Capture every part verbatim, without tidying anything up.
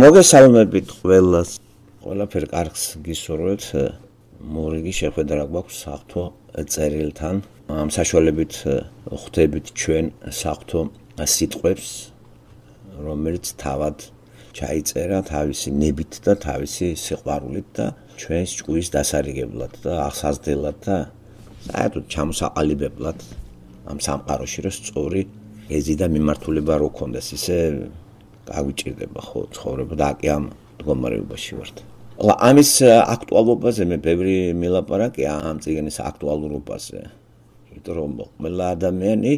მოგესალმებით ყველას. ყველაფერ კარგს გისურვებთ. მორიგი შეხვედრა გვაქვს საღვთო წერილთან. ამ საშუალებით ხვდებით ჩვენ საღვთო სიტყვებს, რომელიც თავად ჩაიწერა თავისი ნებით და თავისი სიყვარულით და ჩვენს ჭკუის დასარიგებლად და აღსაზრდელად და საერთოდ ჩამოსაყალიბებლად ამ სამყაროში, რომ სწორი ეზი და მიმართულება რო ქონდეს, ისე გაგვიჭირდება ხო ცხოვრება და აკი ამ მდგომარეობაში ვართ. ხო, ამის აქტუალობაზე მე ბევრი მილაპარაკია ამ წიგნის აქტუალურობაზე. იმიტომ რომ ყველა ადამიანი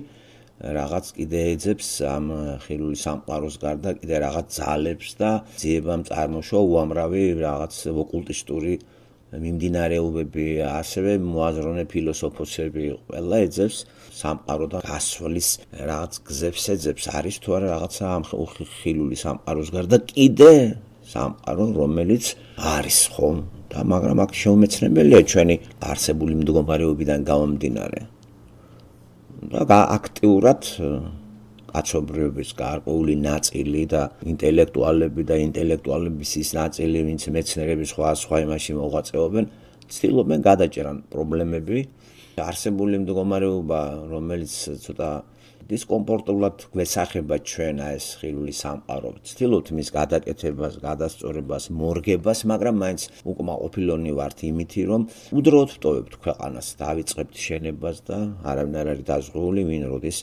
რაღაც კიდე ეძებს ამ ხილული სამყაროს გარდა კიდე რაღაც ძალებს და ძიებამ წარმოშვა უამრავი რაღაც ოკულტისტური მიმდინარეობები, ასევე მოაზროვნე ფილოსოფოსები, ყველა ეძებს სამყაროდან გასვლის რაღაც გზებს ეძებს, არის თუ არა რაღაცა ამ ხილული სამყაროს გარდა კიდე სამყარო, რომელიც არის ხომ და მაგრამ აქ შეუმეცნებელია ჩვენი არსებული მდგომარეობიდან გამომდინარე. და აქტიურად კაცობრიობის გარკვეული ნაწილი და ინტელექტუალები და ინტელექტუალების ის ნაწილი, ვინც მეცნიერების სხვა სხვა იმაში მოღვაწეობენ, ცდილობენ გადაჭერან პრობლემები. არსებული მდგომარეობა, რომელიც ცოტა დისკომფორტულად გვესახება ჩვენ ეს ხილული სამყარო, ცდილობთ მის გადაკეთებას, გადასწორებას, მორგებას, მაგრამ მაინც უკმაყოფილონი ვართ იმითი, რომ უდროოდ ვტოვებთ ქვეყანას, დავიწყებთ შენებას და არავინ არ არის დაზღვეული, ვინ როდის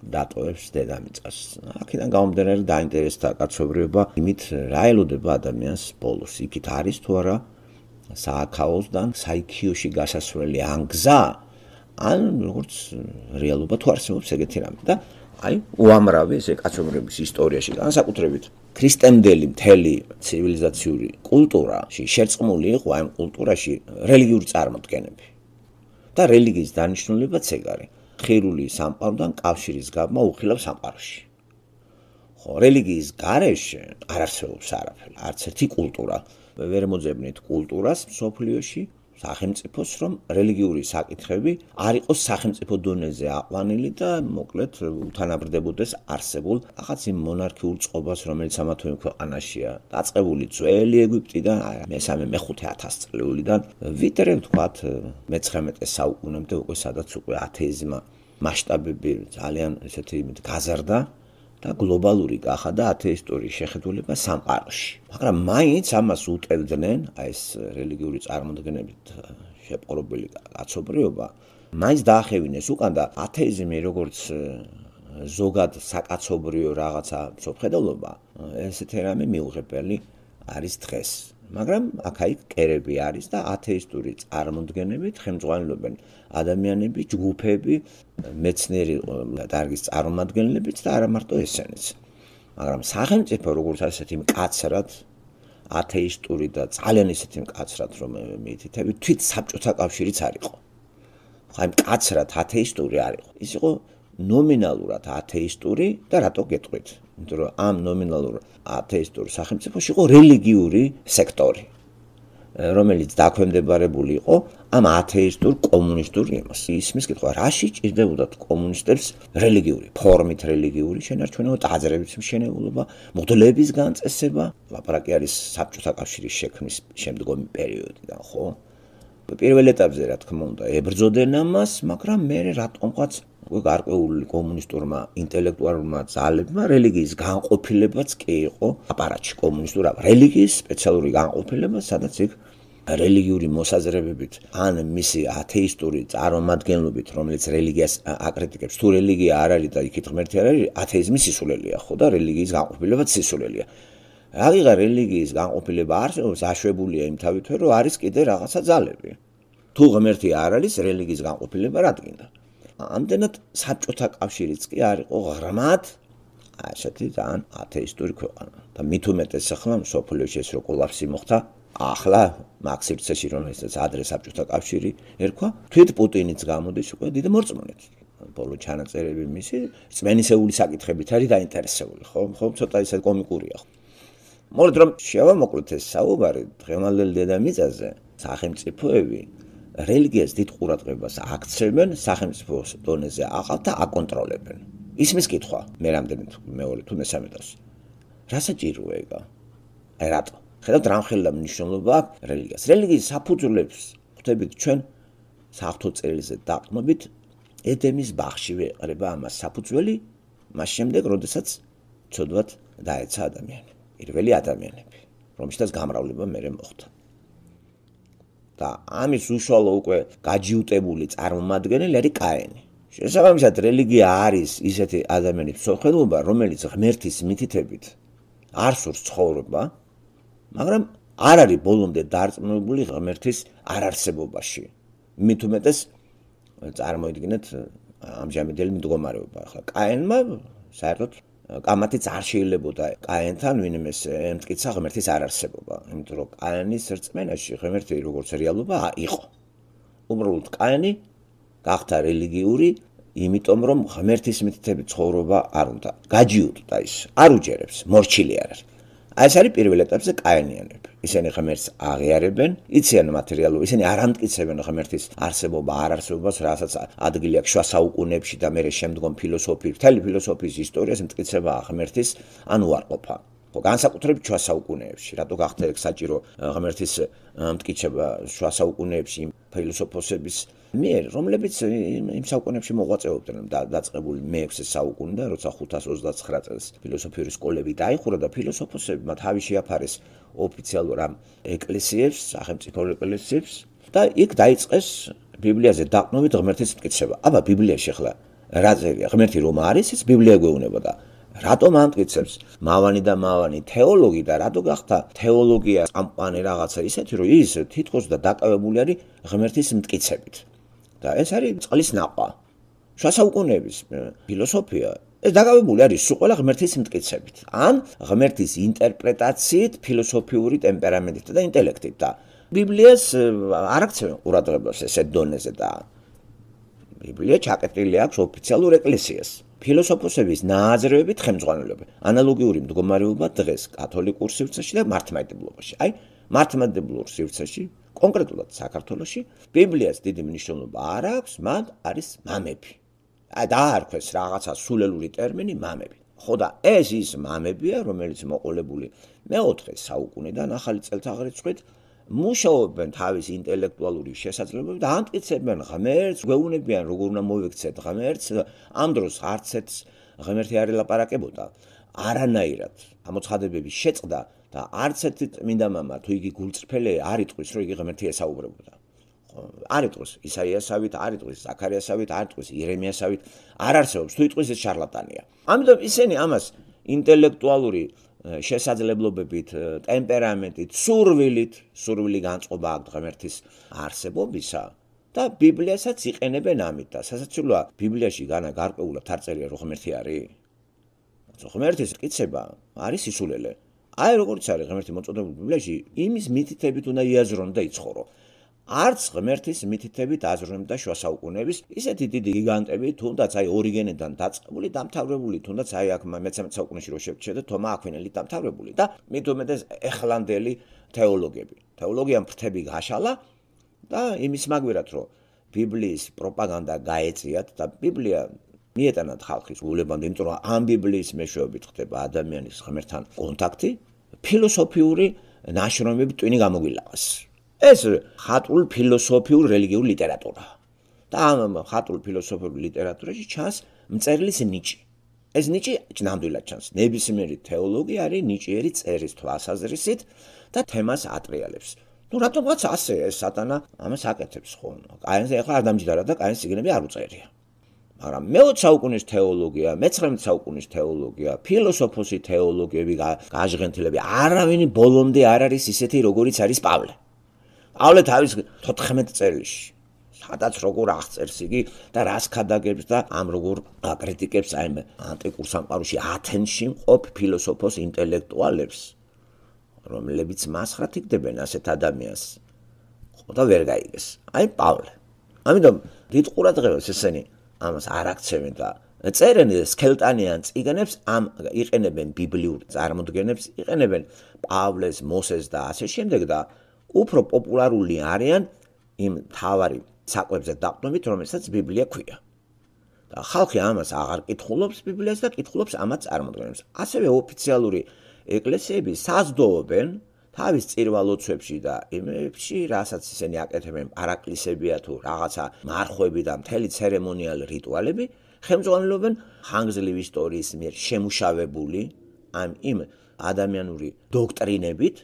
დატოვებს დედამიწას. აქედან გამომდინარე დაინტერესდა კაცობრიობა იმით, რა ელოდება ადამიანს ბოლოს, იქით არის თუ არა სააქაოსთან საიქიოში გასასვლელი ან გზა, ან როგორც რეალობა თუ არსებობს ეგეთი რამე და აი უამრავი ესე კაცობრიობის ისტორიაში, განსაკუთრებით ქრისტემდელი მთელი ცივილიზაციური კულტურაში შერწყმული იყო ამ კულტურაში რელიგიური წარმოდგენები. და რელიგიის დანიშნულებაც ეგ არის. ხილული სამყაროდან კავშირის გაბმა უხილავ სამყაროში. ხო, რელიგიის გარეშე არ არსებობს არაფერი, არც ერთი კულტურა. ვერ მოძებნით კულტურას მსოფლიოში, სახელმწიფოს, რომ რელიგიური საკითხები არ იყოს სახელმწიფო დონეზე აყვანილი და მოკლედ უთანაბრდებოდეს არსებულ რაღაც იმ მონარქიულ წყობას, რომელიც ამა თუ იმ ქვეყანაშია დაწყებული ძველი ეგვიპტიდან, მესამე მეხუთე ათასწლეულიდან, ვიდრე ვთქვათ მეცხრამეტე საუკუნემდე უკვე სადაც უკვე ათეიზმა მასშტაბები ძალიან ესეთი გაზარდა და გლობალური გახადა ათეისტური შეხედულება სამყაროში. მაგრამ მაინც ამას უტევდნენ, აი ეს რელიგიური წარმოდგენებით შეპყრობილი კაცობრიობა, მაინც დაახევინეს უკან და ათეიზმი როგორც ზოგად საკაცობრიო რაღაცა მსოფლმხედველობა, ესეთი რამე მიუღებელი არის დღეს. მაგრამ აქ-აიქ კერები არის და ათეისტური წარმოდგენებით ხელმძღვანელობენ ადამიანები, ჯგუფები, მეცნიერი დარგის წარმომადგენლებიც და არა მარტო ესენიც. მაგრამ სახელმწიფო როგორც ასეთი მკაცრად ათეისტური და ძალიან ისეთი მკაცრად რომ მიითითები, თვით საბჭოთა კავშირიც არ იყო. ხო, აი მკაცრად ათეისტური არ იყო. ის იყო ნომინალურად ათეისტური და რატო გეტყვით? იმიტომ რომ ამ ნომინალურ ათეისტურ სახელმწიფოში იყო რელიგიური სექტორი, რომელიც დაქვემდებარებული იყო ამ ათეისტურ კომუნისტურ იმას. ისმის კითხვა, რაში ჭირდებოდათ კომუნისტებს რელიგიური, ფორმით რელიგიური შენარჩუნება, ტაძრების მშენებლობა, მღვდლების განწესება, ლაპარაკი არის საბჭოთა კავშირის შექმნის შემდგომი პერიოდიდან, ხო? პირველ ეტაპზე, რა თქმა უნდა, ებრძოდნენ ამას, მაგრამ მე რატომღაც გარკვეული კომუნისტურმა ინტელექტუალურმა ძალებმა რელიგიის განყოფილებაც კი იყო აპარატში კომუნისტურ რელიგიის სპეციალური განყოფილება, სადაც იქ რელიგიური მოსაზრებებით ან მისი ათეისტური წარმომადგენლობით, რომელიც რელიგიას აკრიტიკებს, თუ რელიგია არ არის და იქით ღმერთი არ არის, ათეიზმი სისულელია, ხო და რელიგიის განყოფილებაც სისულელია. აღიღა რელიგიის განყოფილება არსებობს, აშვებულია იმ თავით, რომ არის კიდე რაღაცა ძალები. თუ ღმერთი არ არის, რელიგიის განყოფილება რა დგინდა? ამდენად საბჭოთა კავშირიც კი არ იყო ღრმად ასეთი ძალიან ათეისტური ქვეყანა. და მით უმეტეს ახლა მსოფლიოში ეს რო კოლაფსი მოხდა, ახლა მაქსირცეში რომელსაც ადრე საბჭოთა კავშირი ერქვა, თვით პუტინიც გამოდის უკვე დიდი მორწმუნით. ბოლო ჩანაწერები მისი რწმენისეული საკითხებით არის დაინტერესებული, ხო? ხო, ცოტა ისე კომიკურია. მოლეთ რომ შევამოკლეთ ეს საუბარი დღევანდელ დედამიწაზე, სახელმწიფოები რელიგიას დიდ ყურადღებას აქცევენ, სახელმწიფოს დონეზე აყავთ და აკონტროლებენ. ისმის კითხვა, მე რამდენი მეორე თუ მესამე დროს. რა საჭიროა ეგა? აი რატო? ხედავთ რა მხილდა მნიშვნელობა აქვს რელიგიას. რელიგიის საფუძვლებს ხვდებით ჩვენ საღვთო წერილზე დაყრდნობით ედემის ბაღში ვეყრება ამას საფუძველი, მას შემდეგ, როდესაც ცოდვად დაეცა ადამიანი, პირველი ადამიანები, რომელშიც გამრავლება მერე მოხდა. და ამის უშუალო უკვე გაჯიუტებული წარმომადგენელი არის კაენი. შესაბამისად, რელიგია არის ისეთი ადამიანის მსოფლმხედველობა, რომელიც ღმერთის მითითებით არ სურს ცხოვრება, მაგრამ არ არის ბოლომდე დარწმუნებული ღმერთის არარსებობაში. მით უმეტეს წარმოიდგინეთ ამჟამინდელი მდგომარეობა. ახლა კაენმა საერთოდ კამათიც არ შეიძლებოდა კაენთან ვინმეს ემტკიცა ღმერთის არარსებობა, იმიტომ რომ კაენის რწმენაში ღმერთი როგორც რეალობა იყო. უბრალოდ კაენი გახდა რელიგიური, იმიტომ რომ ღმერთის მითითებით ცხოვრება არ უნდა. გაჯიუტდა ის, არ უჯერებს, მორჩილი არ არის. აი ეს არის პირველ ეტაპზე კაენიანები. ისინი ღმერთს აღიარებენ, იციან მატერიალურ, ისინი არ ამტკიცებენ ღმერთის არსებობა, არარსებობას, რასაც ადგილი აქვს შუა საუკუნეებში და მერე შემდგომ ფილოსოფიის, მთელი ფილოსოფიის ისტორიას მტკიცება ღმერთის ან უარყოფა. ხო, განსაკუთრებით შუა საუკუნეებში, რატო გახდა ეგ საჭირო ღმერთის მტკიცება შუა საუკუნეებში ფილოსოფოსების მიერ, რომლებიც იმ საუკუნეებში მოღვაწეობდნენ და დაწყებული მეექვსე საუკუნე და როცა ხუთას ოცდაცხრა წელს ფილოსოფიური სკოლები დაიხურა და ფილოსოფოსებმა თავი შეაფარეს ოფიციალურ ამ ეკლესიებს, სახელმწიფო ეკლესიებს და იქ დაიწყეს ბიბლიაზე დაყრდნობით ღმერთის მტკიცება. აბა ბიბლიაში ახლა რა წერია? ღმერთი რომ არის, ეს ბიბლია გვეუბნება და რატომ ამტკიცებს მავანი და მავანი თეოლოგი და რატო გახდა თეოლოგია წამყვანი რაღაცა ისეთი, რომ ის თითქოს და დაკავებული არის ღმერთის მტკიცებით. და ეს არის წყლის ნაყვა. შუა საუკუნეების ფილოსოფია ეს დაკავებული არის სულ ყველა ღმერთის მტკიცებით. ან ღმერთის ინტერპრეტაციით, ფილოსოფიური ტემპერამენტით და ინტელექტით და ბიბლიას არ აქცევენ ყურადღებას ესეთ დონეზე და ბიბლია ჩაკეტილი აქვს ოფიციალურ ეკლესიას. ფილოსოფოსების ნააზრევებით ხელმძღვანელობა, ანალოგიური მდგომარეობა დღეს კათოლიკურ სივრცეში და მართლმადიდებლობაში. აი, მართლმადიდებლურ სივრცეში, კონკრეტულად საქართველოში, ბიბლიას დიდი მნიშვნელობა არ აქვს, მათ არის მამები. აი, დაარქვეს რაღაცა სულელური ტერმინი მამები. ხო და ეს ის მამებია, რომელიც მოყოლებული მეოთხე საუკუნიდან ახალი წელთაღრიცხვით მუშაობენ თავის ინტელექტუალური შესაძლებლობებით და ამტკიცებენ ღმერთს, გვეუბნებიან როგორ უნდა მოვიქცეთ ღმერთს, ამ დროს არც ერთ ღმერთი არ ელაპარაკებოდა, არანაირად ამოცხადებების შეწყდა და არც ერთი წმინდა მამა თუ იგი გულწრფელი არ იტყვის, რომ იგი ღმერთი ესაუბრებოდა. არ იტყვის ისაიასავით, არ იტყვის ზაქარიასავით, არ იტყვის იერემიასავით, არ არსებობს, თუ იტყვის ეს შარლატანია. ამიტომ ისინი ამას ინტელექტუალური შესაძლებლობებით, ტემპერამენტით, სურვილით, სურვილი განწყობა აქვს ღმერთის არსებობისა და ბიბლიასაც იყენებენ ამით და სასაცილოა ბიბლიაში განა გარკვეულად არ წერია რომ ღმერთი არის. ღმერთის მტკიცება არის სისულელე. აი როგორც არის ღმერთი მოწოდებული ბიბლიაში, იმის მითითებით უნდა იაზრონ და იცხოვრო. არც ღმერთის მითითებით აზროვნებდა შუა საუკუნეების ისეთი დიდი გიგანტები, თუნდაც აი ორიგენიდან დაწყებული, დამთავრებული, თუნდაც აი აქ მეთერთმეტე საუკუნეში რო შევჩერდე თომა აქვინელი დამთავრებული და მით უმეტეს ეხლანდელი თეოლოგები. თეოლოგიამ ფრთები გაშალა და იმის მაგვირად რომ ბიბლიის პროპაგანდა გაეწიათ და ბიბლია მიეტანათ ხალხის გულებამდე, იმიტომ რომ ამ ბიბლიის მეშვეობით ხდება ადამიანის ღმერთთან კონტაქტი, ფილოსოფიური ნაშრომები ტვინი გამოგვილაღეს. ეს ხატულ ფილოსოფიურ რელიგიურ ლიტერატურა. და ამ ხატულ ფილოსოფიურ ლიტერატურაში ჩანს მწერლის ნიჭი. ეს ნიჭი ნამდვილად ჩანს. ნებისმიერი თეოლოგი არის ნიჭიერი წერის თვალსაზრისით და თემას ატრიალებს. ნუ რატომღაც ასე ეს სატანა ამას აკეთებს ხო? კაენს ახლა არ დამჯდარა და კაენს სიგნები არ უწერია. მაგრამ მეოცე საუკუნის თეოლოგია, მეცხრამეტე საუკუნის თეოლოგია, ფილოსოფოსი თეოლოგები, გაჟღენთილები, არავინ ბოლომდე არ არის ისეთი როგორიც არის პავლე. პავლე თავის თოთხმეტ წერილში, სადაც როგორ აღწერს იგი და რას ქადაგებს და ამ როგორ აკრიტიკებს აი ანტიკურ სამყაროში ათენში მყოფ ფილოსოფოს ინტელექტუალებს, რომლებიც მასხრად იგდებენ ასეთ ადამიანს. ხო და ვერ გაიგეს. აი პავლე. ამიტომ დიდ ყურადღებას ესენი ამას არ აქცევენ და წერენ სქელტანიან წიგნებს, ამ იყენებენ ბიბლიურ წარმოდგენებს, იყენებენ პავლეს, მოსეს და ასე შემდეგ და უფრო პოპულარული არიან იმ თავარი საკვებზე დაყრდნობით, რომელსაც ბიბლია ქვია. და ხალხი ამას აღარ კითხულობს ბიბლიას და კითხულობს ამათ წარმოდგენებს. ასევე ოფიციალური ეკლესიები საზრდოობენ თავის წირვალოცვებში და იმებში, რასაც ისინი აკეთებენ, პარაკლისებია თუ რაღაცა მარხვები და მთელი ცერემონიალი რიტუალები, ხელმძღვანელობენ ხანგრძლივი ისტორიის მიერ შემუშავებული ამ იმ ადამიანური დოქტრინებით,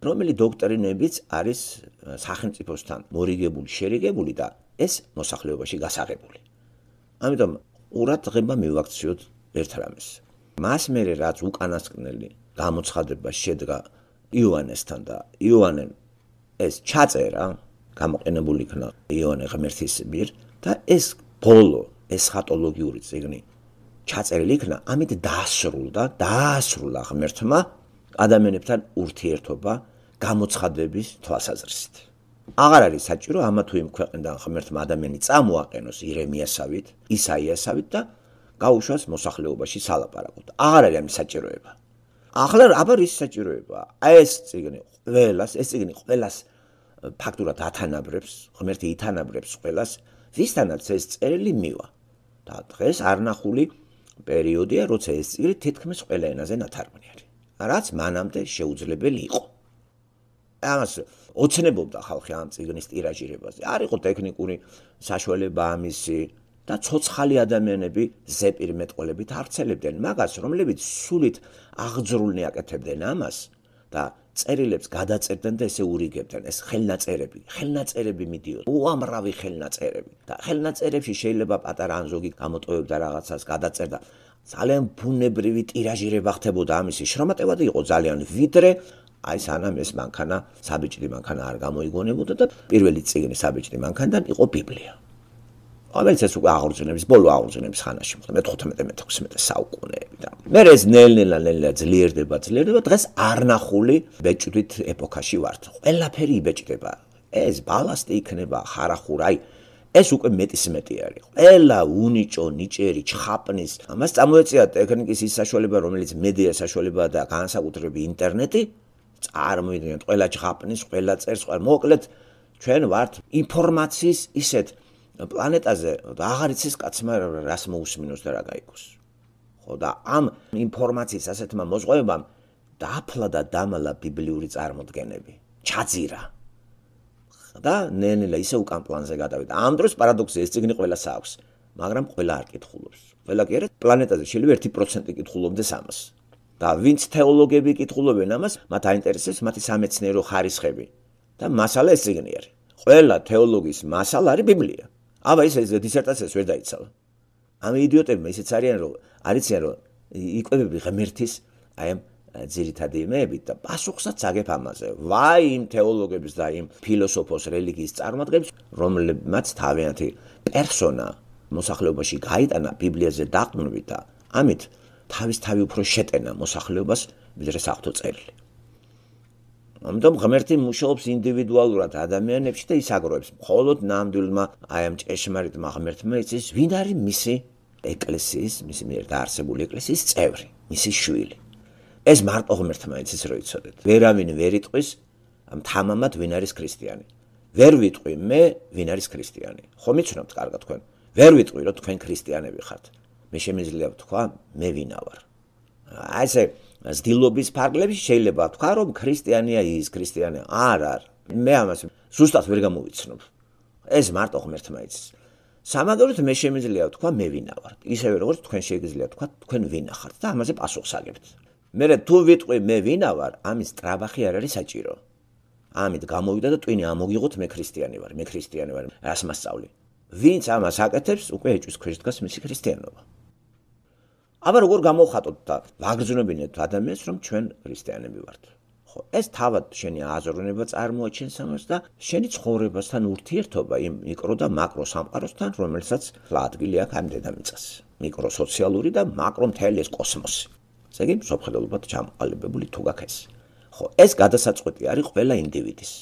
რომელიც დოქტრინებიც არის სახელმწიფოსთან მორიგებული, შერიგებული და ეს მოსახლეობაში გასაღებული. ამიტომ ყურად ღება მივაქციოთ ერთ რამეს. მას მერე რაც უკანასკნელი გამოცხადება შედგა იოანესთან და იოანემ ეს ჩაწერა, გამოყენებული იქნა იოანე ღმერთის მიერ და ეს ბოლო ესხატოლოგიური წიგნი ჩაწერილი იქნა, ამით დაასრულდა, დაასრულა ღმერთმა ადამიანებთან ურთიერთობა გამოცხადების თვალსაზრისით. აღარ არის საჭირო ამა თუ იმ ქვეყნიდან ღმერთმა ადამიანი წამოაყენოს ირემიასავით, ისაიასავით და გაუშვას მოსახლეობაში სალაპარაკოდ. აღარ არის ამის საჭიროება. ახლა აბა რის საჭიროება? აი ეს წიგნი ყველას, ეს წიგნი ყველას ფაქტურად ათანაბრებს, ღმერთი ითანაბრებს ყველას, ვისთანაც ეს წერილი მივა. და დღეს არნახული პერიოდია, როცა ეს წიგნი თითქმის ყველა ენაზე ნათარგმნი არის. რაც მანამდე შეუძლებელი იყო. ამას ოცნებობდა ხალხი ამ წიგნის ტირაჟირებაზე. არ იყო ტექნიკური საშუალება ამისი და ცოცხალი ადამიანები ზეპირმეტყველებით არცელებდნენ მაგას, რომლებიც სულით აღძრულნი აკეთებდნენ ამას და წერილებს გადაწერდნენ და ესე ურიგებდნენ. ეს ხელნაწერები, ხელნაწერები მიდიოდა, უამრავი ხელნაწერები და ხელნაწერებში შეიძლება პატარა ან ზოგი გამოტოვებდა რაღაცას, გადაწერდა. ძალიან ბუნებრივი ტირაჟირება ხდებოდა ამისი, შრომატევადი იყო ძალიან, ვიდრე აი სანამ ეს მანქანა, საბეჭდი მანქანა არ გამოიგონებოდა და პირველი წიგნი საბეჭდი მანქანიდან იყო ბიბლია. რომელიც ეს უკვე აღორძინების, ბოლო აღორძინების ხანაში მოხდა, მეთოთხმეტე მეთექვსმეტე საუკუნეები და მე ეს ნელ-ნელა ნელა ძლიერდება, ძლიერდება, დღეს არნახული ბეჭდვით ეპოქაში ვართ. ყველაფერი იბეჭდება. ეს ბალასტი იქნება, ხარახურა, აი ეს უკვე მეტის მეტი არის. ყველა უნიჭო, ნიჭერი, ჩხაპნის, ამას წამოეწია ტექნიკის ის საშუალება, რომელიც მედია საშუალებაა და განსაკუთრებით ინტერნეტი, წარმოიდგინეთ, ყველა ჩხაპნის, ყველა წერს, ყველა მოკლედ ჩვენ ვართ ინფორმაციის ისეთ პლანეტაზე და აღარ იცის კაცმა რას მოусმინოს და რა გაიგოს. ხო და ამ ინფორმაციის ასეთმა მოზღვევებამ დააფლა და დამალა ბიბლიური წარმოდგენები. ჩაძირა. და ნელ-ნელა ისე უკან პლანზე გადავიდა. ამ დროს პარადოქსია, ეს წიგნი ყველას აქვს, მაგრამ ყველა არ კითხულობს. ყველა კი არა, პლანეტაზე შეიძლება ერთი პროცენტი კითხულობდეს ამას. და ვინც თეოლოგები კითხულობენ ამას, მათ აინტერესებს მათი სამეცნიერო ხარისხები. და მასალა ეს წიგნი არის. ყველა თეოლოგის მასალა არის ბიბლია. აბა ის ეს დისერტაციას ვერ დაიცალა. ამ იდიოტებმა ისეც არიან, რომ არიციან, რომ იკვებები ღმერთის აი ამ ძირითადი იმეებით და პასუხსაც აგებ ამაზე. ვაი იმ თეოლოგებს და იმ ფილოსოფოს რელიგიის წარმომადგენლებს, რომლებმაც თავიანთი პერსონა მოსახლეობაში გაიტანა ბიბლიაზე დაყრდნობით და ამით თავის თავი უფრო შეტენა მოსახლეობას, ვიდრე საღვთო წერილი. ამიტომ ღმერთი მუშაობს ინდივიდუალურად ადამიანებში და ის აგროვებს. მხოლოდ ნამდვილმა აი ამ ჭეშმარიტმა ღმერთმა იცის, ვინ არის მისი ეკლესიის, მისი მიერ დაარსებული ეკლესიის წევრი, მისი შვილი. ეს მარტო ღმერთმა იცის, რომ იცოდეთ. ვერავინ ვერ იტყვის ამ თამამად ვინ არის ქრისტიანი. ვერ ვიტყვი მე ვინ არის ქრისტიანი. ხომ იცნობთ კარგად თქვენ. ვერ ვიტყვი რომ თქვენ ქრისტიანები ხართ. მე შემიძლია ვთქვა მე ვინა ვარ. აი ესე ზდილობის ფარგლებში შეიძლება თქვა რომ ქრისტიანია ის, ქრისტიანია არ არ. მე ამას ზუსტად ვერ გამოვიცნობ. ეს მარტო ღმერთმა იცის. სამაგეროდ მე შემიძლია ვთქვა მე ვინა ვარ. ისევე როგორც თქვენ შეგიძლიათ თქვა თქვენ ვინა ხართ და ამაზე პასუხს აგებთ. მე თუ ვიტყვი მე ვინა ვარ, ამის ტრაბახი არ არის საჭირო. ამით გამოვიდა და ტვინი ამოგიღოთ მე ქრისტიანი ვარ, მე ქრისტიანი ვარ, რას მასწავლი. ვინც ამას აკეთებს, უკვე ეჭვის ქვეშ დგას მისი ქრისტიანობა. აბა როგორ გამოვხატოთ და ვაგრძნობინეთ ადამიანს, რომ ჩვენ ქრისტიანები ვართ. ხო, ეს თავად შენი აზროვნება წარმოაჩენს ამას და შენი ცხოვრებასთან ურთიერთობა იმ მიკრო და მაკრო სამყაროსთან, რომელსაც ადგილი აქვს ამ დედამიწას. მიკრო სოციალური და მაკრო მთელი ეს კოსმოსი. ესე იგი, მსოფლმხედველობად ჩამოყალიბებული თუ გაქვს ეს. ხო, ეს გადასაწყვეტი არის ყველა ინდივიდის.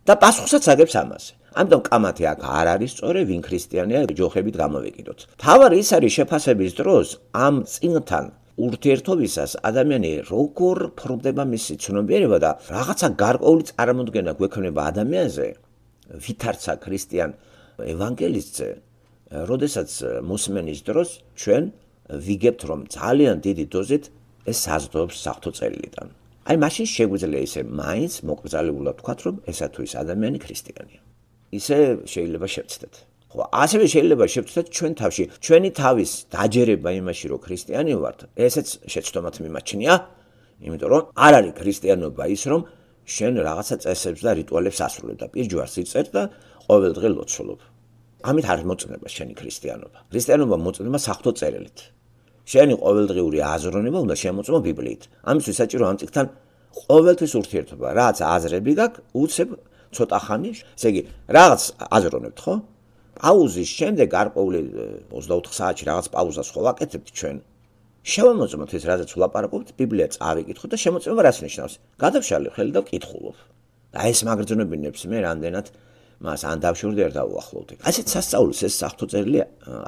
და პასუხსაც აგებს ამაზე. ამიტომ კამათი აქ არ არის სწორი, ვინ ქრისტიანია, ჯოხებით გამოვეკიდოთ. თავარი ის არის შეფასების დროს ამ წინთან ურთიერთობისას ადამიანი როგორ ფორმდება მისი ცნობიერება და რაღაცა გარკვეული წარმოდგენა გვექნება ადამიანზე, ვითარცა ქრისტიან ევანგელისტზე, როდესაც მოსმენის დროს ჩვენ ვიგებთ, რომ ძალიან დიდი დოზით ეს საზრდოობს საღვთო წერილიდან. აი მაშინ შეგვიძლია ისე მაინც მოკრძალებულად ვთქვათ, რომ ესა თუ ის ადამიანი ქრისტიანია. ისე შეიძლება შევცდეთ. ხო, ასევე შეიძლება შევცდეთ ჩვენ თავში, ჩვენი თავის დაჯერება იმაში, რომ ქრისტიანი ვართ, ესეც შეცდომათ მიმაჩნია, იმიტომ რომ არ არის ქრისტიანობა ის, რომ შენ რაღაცა წესებს და რიტუალებს ასრულებ და პირჯვარს იწერ და ყოველდღე ლოცულობ. ამით არ მოწნება შენი ქრისტიანობა. ქრისტიანობა მოწნება საღვთო წერილით. შენი ყოველდღიური აზროვნება უნდა შემოწმო ბიბლიით. ამისთვის საჭირო ამ წიგნთან ყოველთვის ურთიერთობა, რაც აზრები გაქვს, უცებ ცოტა ხანი, ესე იგი, რაღაც აზროვნებთ, ხო? პაუზის შემდეგ გარკვეული ოცდაოთხ საათში რაღაც პაუზას ხო ვაკეთებთ ჩვენ. შევამოწმოთ ის, რაზეც ვლაპარაკობთ, ბიბლია წავიკითხოთ და შემოწმება რას ნიშნავს. გადავშალე ხელი და ვკითხულობ. და ეს მაგრძნობინებს მე რამდენად მას ან დავშორდი არ დავუახლოვდი. ასეთ სასწაულს ეს საღვთო წერილი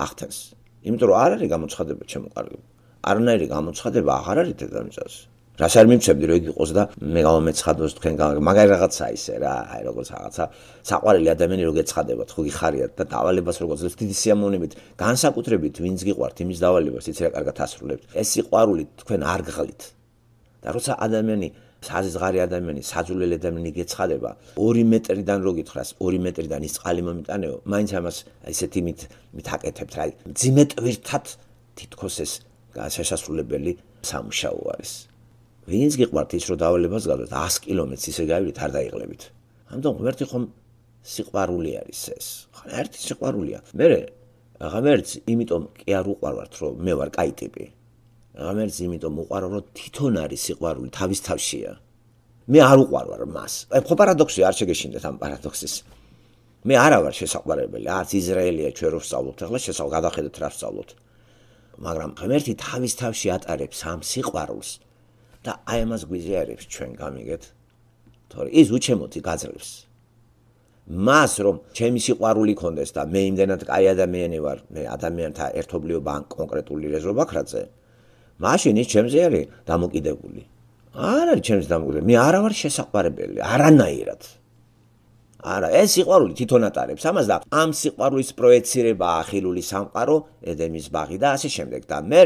ახდენს. იმიტომ რომ არ არის გამოცხადება ჩემო კარგი. არანაირი გამოცხადება აღარ არის დედამიწაზე. რას არ მიმცემდი რომ იგი იყოს და მე გამომეცხადოს თქვენ მაგარი რაღაცა ისე რა, აი როგორც რაღაცა საყვარელი ადამიანი რო გეცხადებათ, ხო გიხარიათ და დავალებას როგორც ძლევთ დიდი სიამოვნებით, განსაკუთრებით ვინც გიყვართ იმის დავალებას, იცი რა კარგად ასრულებთ. ეს სიყვარული თქვენ არ გღლით. და როცა ადამიანი საზღარი ადამიანი, საძულელი ადამიანი გეცხადება, ორი მეტრიდან რო გითხრას, ორი მეტრიდან ის წყალი მომიტანეო, მაინც ამას ისეთი მით მითაკეთებთ, რა, ძიმე ტვირთად თითქოს ეს შესასრულებელი სამუშაო არის. ვინც გიყვართ ის რომ დავალებას გაგდოთ ას კილომეტრს ისე გავიდეთ არ დაიღლებით. ამიტომ ღმერთი ხომ სიყვარული არის ეს. ხან ერთი სიყვარულია. მე ღმერთს იმიტომ კი არ უყვარვართ რომ მე ვარ კაი ტიპი. ღმერთს იმიტომ უყვარავ რომ თვითონ არის სიყვარული თავის თავშია. მე არ უყვარვარ მას. აი ხო პარადოქსია არ შეგეშინდეთ ამ პარადოქსის. მე არა ვარ შესაყვარებელი. არც ისრაელია ჩვენ რო ვსწავლობთ ახლა შესაძლოა გადახედოთ რა ვსწავლობთ. მაგრამ ღმერთი თავის თავში ატარებს ამ სიყვარულს. და აი ამას გვიზიარებს ჩვენ გამიგეთ. თორე ის უჩემოთი გაძლევს. მას რომ ჩემი სიყვარული ქონდეს და მე იმდენად კაი ადამიანი ვარ, მე ადამიანთა ერთობლიობა ან კონკრეტული რეზობაქრაძე, მაშინ ის ჩემზე არის დამოკიდებული. არ არის ჩემზე დამოკიდებული. მე არა ვარ შესაყვარებელი, არანაირად. არა, ეს სიყვარული თვითონ ატარებს ამას და ამ სიყვარულის პროექცირება ახილული სამყარო, ედემის ბაღი და ასე შემდეგ და მე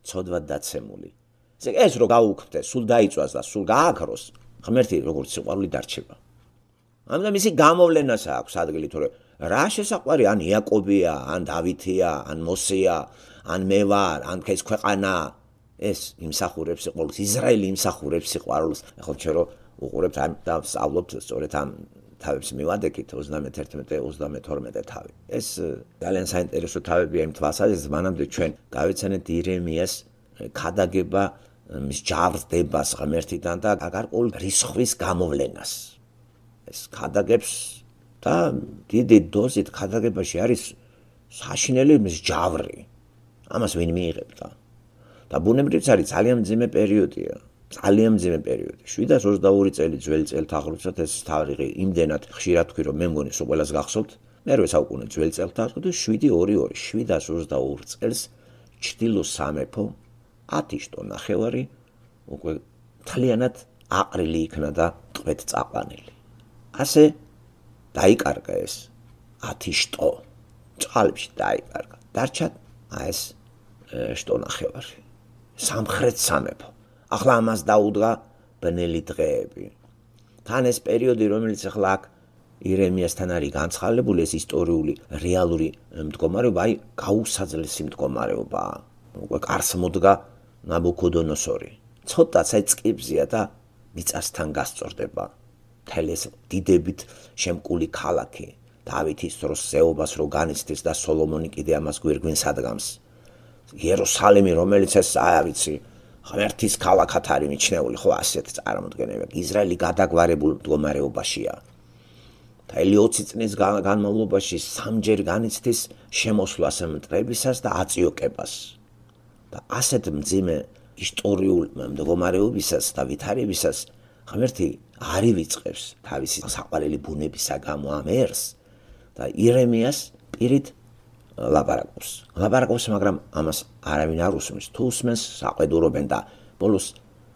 ცოდვად დაცემული. ეს რო გაუქმდეს, სულ დაიწვას და სულ გააქროს, ღმერთი როგორც სიყვარული დარჩება. ამიტომ ისი გამოვლენას აქვს ადგილი, თორე რა შესაყვარი, ან იაკობია, ან დავითია, ან მოსეა, ან მე ვარ, ან ეს ქვეყანა, ეს იმსახურებს სიყვარულს, ისრაელი იმსახურებს სიყვარულს. ახლა ჩვენ რო უყურებთ ამ და ვსწავლობთ სწორედ ამ თავებს მივადექით ოცდამეთერთმეტე ოცდამეთორმეტე თავი. ეს ძალიან საინტერესო თავებია იმ თვალსაზრისით, მანამდე ჩვენ გავეცანეთ ირემიას ქადაგება მის ჯავრდებას ღმერთიდან და გარკვეულ რისხვის გამოვლენას. ეს ქადაგებს და დიდი დოზით ქადაგებაში არის საშინელი მის ჯავრი. ამას ვინ მიიღებდა? და ბუნებრივიც არის ძალიან მძიმე პერიოდია. ძალიან მძიმე პერიოდი. შვიდას ოცდაორი წელი ძველი წელთაღრიცხვად ეს თარიღი იმდენად ხშირად თქვი რომ მე მგონი სულ ყველას გახსოვთ. მერვე საუკუნე ძველი წელთაღრიცხვად და შვიდი ორი ორი შვიდას ოცდაორ წელს ჩრდილო სამეფო ათი შტო ნახევარი უკვე თლიანად აყრილი იქნა და ტყვედ წაყვანილი. ასე დაიკარგა ეს ათი შტო წყალებში დაიკარგა. დარჩა ეს შტო ნახევარი. სამხრეთ სამეფო. ახლა ამას დაუდგა ბნელი დღეები. თან ეს პერიოდი რომელიც ახლა აქ ირემიასთან არის განცხადებული ეს ისტორიული რეალური მდგომარეობა, აი გაუსაძლესი მდგომარეობაა. უკვე კარს მოდგა ნაბუქოდონოსორი. ცოტაც აი წყიბზია და მიწასთან გასწორდება. მთელი ეს დიდებით შემკული ქალაქი. დავითის დროს ზეობას რო განიცდის და სოლომონი კიდე ამას გვირგვინს ადგამს. იერუსალიმი რომელიც ეს აი ვიცი ღმერთის ქალაქად არის მიჩნეული, ხო ასეთ წარმოდგენები. ისრაელი გადაგვარებულ მდგომარეობაშია. მთელი ოცი წლის განმავლობაში სამჯერ განიცდის შემოსვლას მტრებისას და აწიოკებას. და ასეთ მძიმე ისტორიულ მდგომარეობისას და ვითარებისას ღმერთი არ ივიწყებს თავისი საყვარელი ბუნებისა გამო ამ ერს და ირემიას პირით ლაპარაკობს. ლაპარაკობს, მაგრამ ამას არავინ არ უსმენს. თუ უსმენს, საყვედურობენ და ბოლოს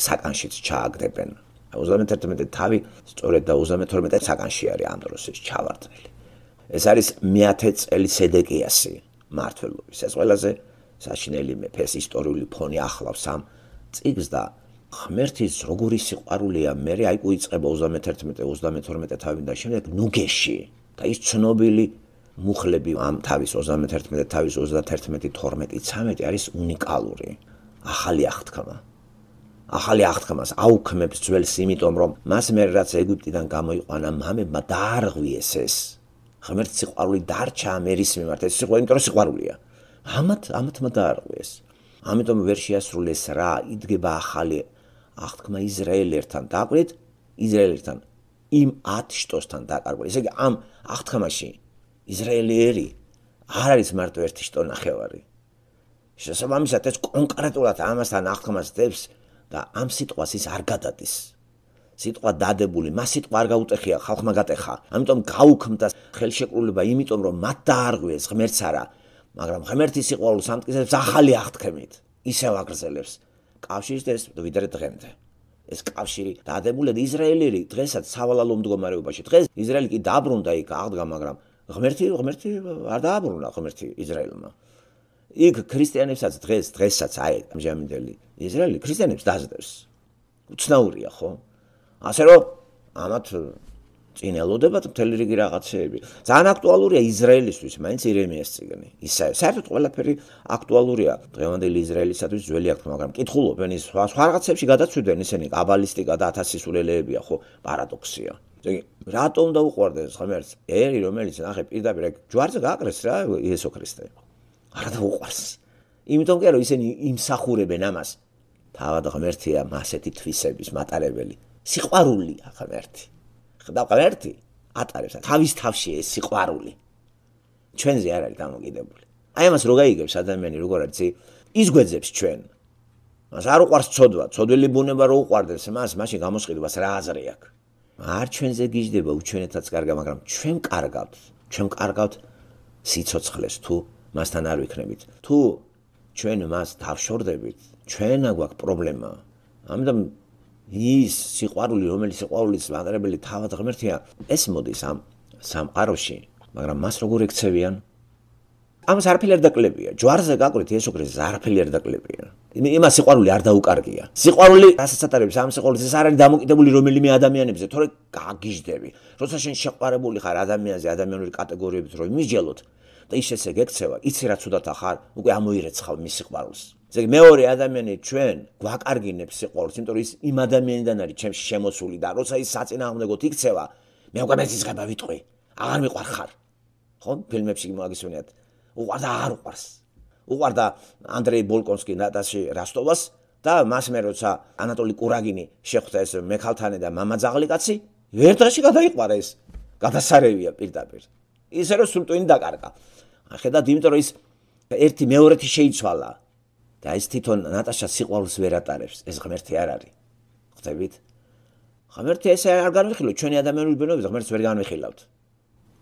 საკანშიც ჩააგდებენ. ოცდამეთერთმეტე თავი სწორედ და ოცდამეთორმეტე საკანში არის ამ დროს ეს ჩავარდნილი. ეს არის მეათე წელი სედეკიასი მმართველობის. ეს ყველაზე საშინელი მეფეს ისტორიული ფონი ახლავს ამ წიგნს და ღმერთის როგორი სიყვარულია, მე აი უიწყება ოცდამეთერთმეტე ოცდამეთორმეტე თავი და შემდეგ ნუგეში და ის ცნობილი მუხლები ამ თავის ოცდამეთერთმეტე თავის ოცდათერთმეტი თორმეტი ცამეტი არის უნიკალური ახალი აღთქმა. ახალი აღთქმას აუქმებს ძველს, იმიტომ რომ მას მე რაც ეგვიპტიდან გამოიყვანა მამებმა დაარღვიეს ეს. ღმერთის სიყვარული დარჩა ამ ერის მიმართ, ეს სიყვარული, იმიტომ რომ სიყვარულია. ამათ ამათმა დაარღვიეს. ამიტომ ვერ შეასრულეს რა, იდგება ახალი აღთქმა ისრაელერთან. დააკვირდით, ისრაელერთან იმ ათ შტოსთან დაკარგვე. ესე იგი ამ აღთქმაში ისრაელიერი არ არის მარტო ერთი შტო ნახევარი. შესაბამისად ეს კონკრეტულად ამასთან აღთქმას დებს და ამ სიტყვას ის არ გადადის. სიტყვა დადებული, მას სიტყვა არ გაუტეხია, ხალხმა გატეხა. ამიტომ გაუქმდა ხელშეკრულება, იმიტომ რომ მათ დაარღვიეს ღმერთს არა, მაგრამ ღმერთის სიყვარულს ამტკიცებს ახალი აღთქმით. ისევ აგრძელებს კავშირის ეს ვიდრე დღემდე. ეს კავშირი დადებული და ისრაელელი დღესაც სავალალო მდგომარეობაში. დღეს ისრაელი კი დაბრუნდა იქ აღდგა, მაგრამ ღმერთი ღმერთი არ დააბრუნა ღმერთი ისრაელმა. იქ ქრისტიანებსაც დღეს დღესაც აი ამჟამინდელი ისრაელი ქრისტიანებს დაძდებს. უცნაურია, ხო? ასე რომ ამათ წინ ელოდებათ მთელი რიგი რაღაცეები. ძალიან აქტუალურია ისრაელისთვის, მაინც ირემიას წიგნი. ისე საერთოდ ყველაფერი აქტუალურია დღევანდელი ისრაელისათვის ძველი აღთქმა, მაგრამ კითხულობენ ის სხვა სხვა რაღაცებში გადაცვიდნენ ისინი კაბალისტიკა და ათასისულელეებია, ხო? პარადოქსია. იგი რატომ დაუყვარდეს ღმერთს? ერი რომელიც ნახე პირდაპირ ჯვარზე გააკრეს რა იესო ქრისტე. არა დაუყვარს. იმიტომ კი რომ ისინი იმსახურებენ ამას. თავად ღმერთია მასეთი თვისების მატარებელი. სიყვარულია ღმერთი. ხდა ღმერთი ატარებს თავის თავში ეს სიყვარული. ჩვენზე არ არის დამოკიდებული. აი ამას რო გაიგებს ადამიანი როგორ არის ის გვეძებს ჩვენ. მას არ უყვარს ცოდვა, ცოდვილი ბუნება რო უყვარდეს მას, მაშინ გამოსყიდვას რა აზრი აქვს. არ ჩვენზე გიждდება უჩვენეთაც კარგა, მაგრამ ჩვენ კარგავთ, ჩვენ კარგავთ სიცოცხლეს თუ მასთან არ ვიქნებით. თუ ჩვენ მას დავშორდებით, ჩვენ აგვაქვს პრობლემა. ამიტომ ის სიყვარული, რომელიც სიყვარულის მატარებელი თავად ღმერთია, ეს მოდის ამ სამყაროში, მაგრამ მას როგორ ექცევიან? ამას არაფერი არ დაკლებია. ჯვარზე გაკვირთ იესო ქრისტეს არაფერი არ დაკლებია. იმას სიყვარული არ დაუკარგია. სიყვარული რასაც ატარებს ამ სიყვარულს ეს არ არის დამოკიდებული რომელიმე ადამიანებზე, თორე გაგიждები. როცა შენ შეყვარებული ხარ ადამიანზე, ადამიანური კატეგორიებით რო იმისჯელოთ და ის ესე გექცევა, იცი რა ცუდათა ხარ, უკვე ამოირეცხავ მის სიყვარულს. ესე იგი მეორე ადამიანი ჩვენ გვაკარგინებს სიყვარულს, იმიტომ რომ ის იმ ადამიანიდან არის ჩემში შემოსული და როცა ის საწინააღმდეგოდ იქცევა, მე უკვე მეცისღება ვიტყვი, აღარ მიყვარ ხარ. ხო, ფილმებში მაგისვენიათ. უყვარდა არ უყვარს. უყვარდა ანდრეი ბოლკონსკი ნატაში რასტოვას და მას მე როცა ანატოლი კურაგინი შეხვდა ეს მექალთანე და მამაძაღლი კაცი, ერთ დღეში გადაიყვარა ეს. გადასარევია პირდაპირ. ისე რომ სულ ტვინი დაკარგა. ხედავთ, იმიტომ რომ ის ერთი მეორეთი შეიცვალა. და ეს თვითონ ნატაშას სიყვარულს ვერ ატარებს, ეს ღმერთი არ არის. ხვდებით? ღმერთი ესე არ განვიხილოთ, ჩვენი ადამიანური ბუნებით ღმერთს ვერ განვიხილავთ.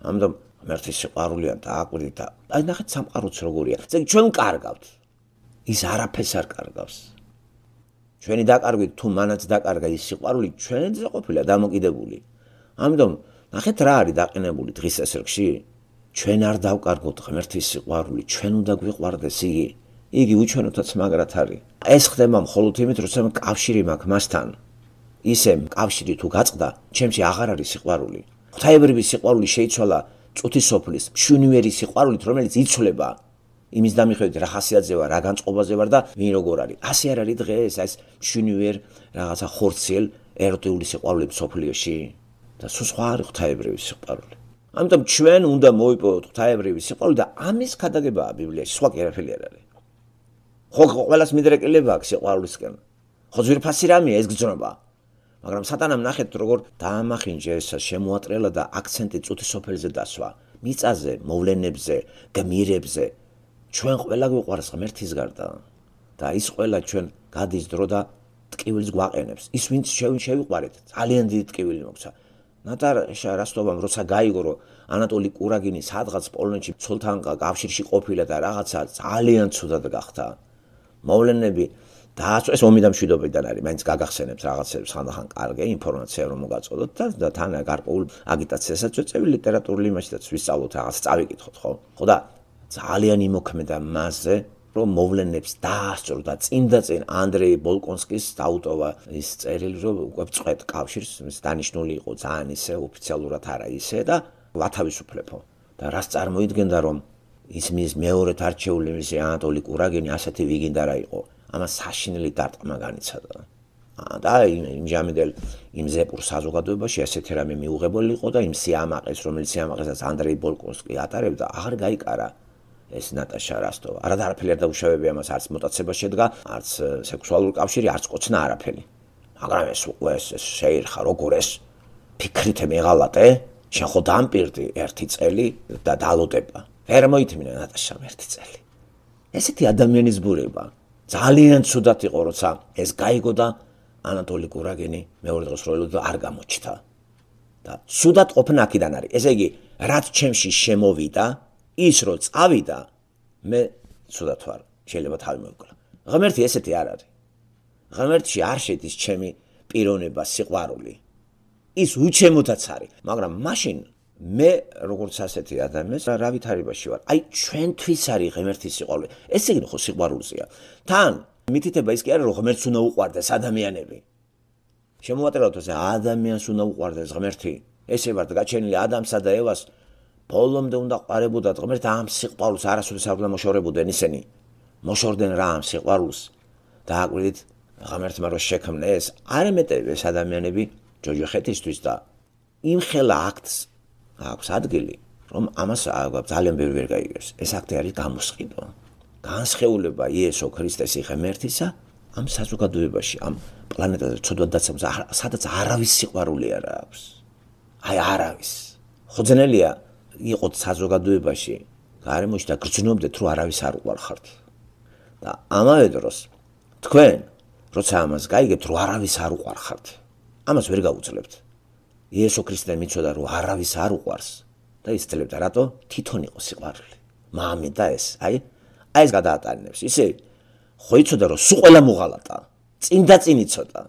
ამიტომ ღმერთის სიყვარულია და აკვირდით და აი ნახეთ სამყაროც როგორია. ესე ჩვენ კარგავთ. ის არაფერს არ კარგავს. ჩვენი დაკარგვით თუ მანაც დაკარგა ის სიყვარული, ჩვენზე ყოფილა დამოკიდებული. ამიტომ ნახეთ რა არის დაყენებული დღის ესრგში? ჩვენ არ დავკარგოთ ღმერთის სიყვარული, ჩვენ უნდა გვიყვარდეს იგი. იგი უჩვენოთაც მაგრად არის. ეს ხდება მხოლოდ იმით, როცა კავშირი მაქვს მასთან. ისე კავშირი თუ გაწყდა, ჩემში აღარ არის სიყვარული. ღვთაებრივი სიყვარული შეიცვალა წუთისოფლის, მშვენიერი სიყვარულით, რომელიც იცვლება იმის დამიხედვით რა ხასიათზე ვარ, რა განწყობაზე ვარ და ვინ როგორ არის. ასე არ არის დღეს ეს მშვენიერ რაღაცა ხორციელ ეროტიული სიყვარულები სოფლიოში და სულ სხვა არის ღვთაებრივი სიყვარული. ამიტომ ჩვენ უნდა მოვიპოვოთ ღვთაებრივი სიყვარული და ამის ქადაგებაა ბიბლიაში, სხვა კი არაფერი არ არის. ხო, ყველას მიდრეკილება აქვს სიყვარულისკენ. ხო, ძვირფასი რამეა ეს გძნობა. მაგრამ სატანამ ნახეთ როგორ დაამახინჯა ეს შემოატრელა და აქცენტი წუთისოფელზე დასვა. მიწაზე, მოვლენებზე, გმირებზე. ჩვენ ყველა გვიყვარს ღმერთის გარდა და ის ყველა ჩვენ გადის დრო და ტკივილს გვაყენებს. ის ვინც შევიყვარეთ, ძალიან დიდი ტკივილი მოგცა. ნატაშა რასტოვამ როცა გაიგო რომ ანატოლი კურაგინი სადღაც პოლონეთში ცოლთან კავშირში ყოფილა და რაღაცა ძალიან ცუდად გახდა. მოვლენები დააწვა ეს ომი და მშვიდობიდან არის, მაინც გაგახსენებთ რაღაცებს ხანდახან კარგი ინფორმაცია რომ მოგაწოდოთ და თან გარკვეულ აგიტაციასაც ვეწევი ლიტერატურული იმაშიც ვისწავლოთ რაღაც წავიკითხოთ, ხო? ხო და ძალიან იმოქმედა მასზე, რომ მოვლენებს დაასწრო და წინ და წინ ანდრეი ბოლკონსკის დაუტოვა ის წერილი, რომ უკვე წვეთ კავშირს, დანიშნული იყო ძალიან ისე ოფიციალურად არა ისე და ვათავისუფლებო. და რას წარმოიდგენდა, რომ ისმის მეორედ არჩეული მისი ანატოლი კურაგინი ასეთი ვიგინდა რა იყო. ამას საშინელი დარტყმა განიცადა. და იმჟამიდელ იმ ზეპურ საზოგადოებაში ესეთი რამე მიუღებელი იყო და იმ სიამაყეს, რომელიც სიამაყესაც ანდრეი ბოლკონსკი ატარებდა, აღარ გაიკარა ეს ნატაშა როსტოვა. არა არაფერი არ დაუშავებია ამას, არც მოტაცება შედგა, არც სექსუალური კავშირი, არც კოცნა არაფერი. მაგრამ ეს უკვე ეს შეირხა როგორ ეს ფიქრით მეღალატე, შენ ხო დამპირდი ერთი წელი და დალოტება. ვერ მოითმინა ნატაშამ ერთი წელი. ესეთი ადამიანის ბურება ძალიან ცუდად იყო, როცა ეს გაიგო და ანატოლი კურაგინი მეორე დღეს როილოდა არ გამოჩნდა. და ცუდად ყოფნა აქედან არის. ესე იგი, რაც ჩემში შემოვიდა, ის რო წავიდა, მე ცუდად ვარ, შეიძლება თავი მოვიკლა. ღმერთი ესეთი არ არის. ღმერთში არ შედის ჩემი პიროვნება, სიყვარული. ის უჩემოდაც არის, მაგრამ მაშინ მე როგორც ასეთი ადამიანს რა ვითარებაში ვარ. აი ჩვენთვის არის ღმერთის სიყვარული. ეს იგი ხო სიყვარულზეა. თან მითითება ის კი არა რომ ღმერთს უნდა უყვარდეს ადამიანები. შემოვაწეროთ ესე ადამიანს უნდა უყვარდეს ღმერთი. ესე ვართ გაჩენილი ადამსა და ევას ბოლომდე უნდა ყვარებოდათ ღმერთს ამ სიყვარულს არასოდეს არ უნდა მოშორებოდნენ ისინი. მოშორდნენ რა ამ სიყვარულს და აკვირდით ღმერთმა რო შექმნა ეს არ ემეტებეს ადამიანები ჯოჯოხეთისთვის და იმ ხელა აქტს აქვს ადგილი რომ ამას ძალიან ბევრი ვერ გაიგებს. ეს აქტი არის გამოსყიდვა. განსხეულება იესო ქრისტესი ღმერთისა ამ საზოგადოებაში, ამ პლანეტაზე ცოდვად დაცემს, სადაც არავის სიყვარული არ აქვს. აი არავის. ხო ძნელია იყოთ საზოგადოებაში, გარემოში და გრძნობდეთ, რომ არავის არ უყვარხართ. და ამავე დროს თქვენ, როცა ამას გაიგებთ, რომ არავის არ უყვარხართ, ამას ვერ გაუძლებთ. იესო ქრისტე მიცოდა, რომ არავის არ უყვარს და იცოლებდა რატო? თვითონ იყო სიყვარული. მამე და ეს, აი აი ეს გადაატანებს. ისე ხო იცოდა რომ სულ ყველა მოღალატა. წინ და წინ იცოდა.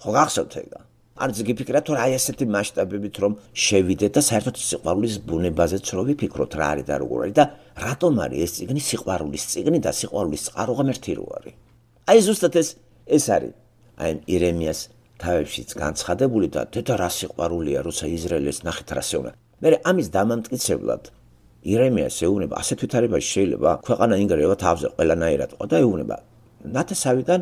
ხო გახსოვთ ეგა? არც გიფიქრათ რომ აი ესეთი მასშტაბებით რომ შევიდეთ და საერთოდ სიყვარულის ბუნებაზეც რო ვიფიქროთ რა არის და როგორ არის და რატომ არის ეს წიგნი სიყვარულის წიგნი და სიყვარულის წყარო ღმერთი რო არის. აი ზუსტად ეს ეს არის. აი ირემიას თავებშიც განცხადებული და თეთა რა სიყვარულია როცა ისრაელს ნახეთ რა შეუნა. მე ამის დამამტკიცებლად ირემიას ეუბნება ასეთ ვითარებაში შეიძლება ქვეყანა ინგრევა თავზე ყველანაირად ყო და ეუბნება ნათესავიდან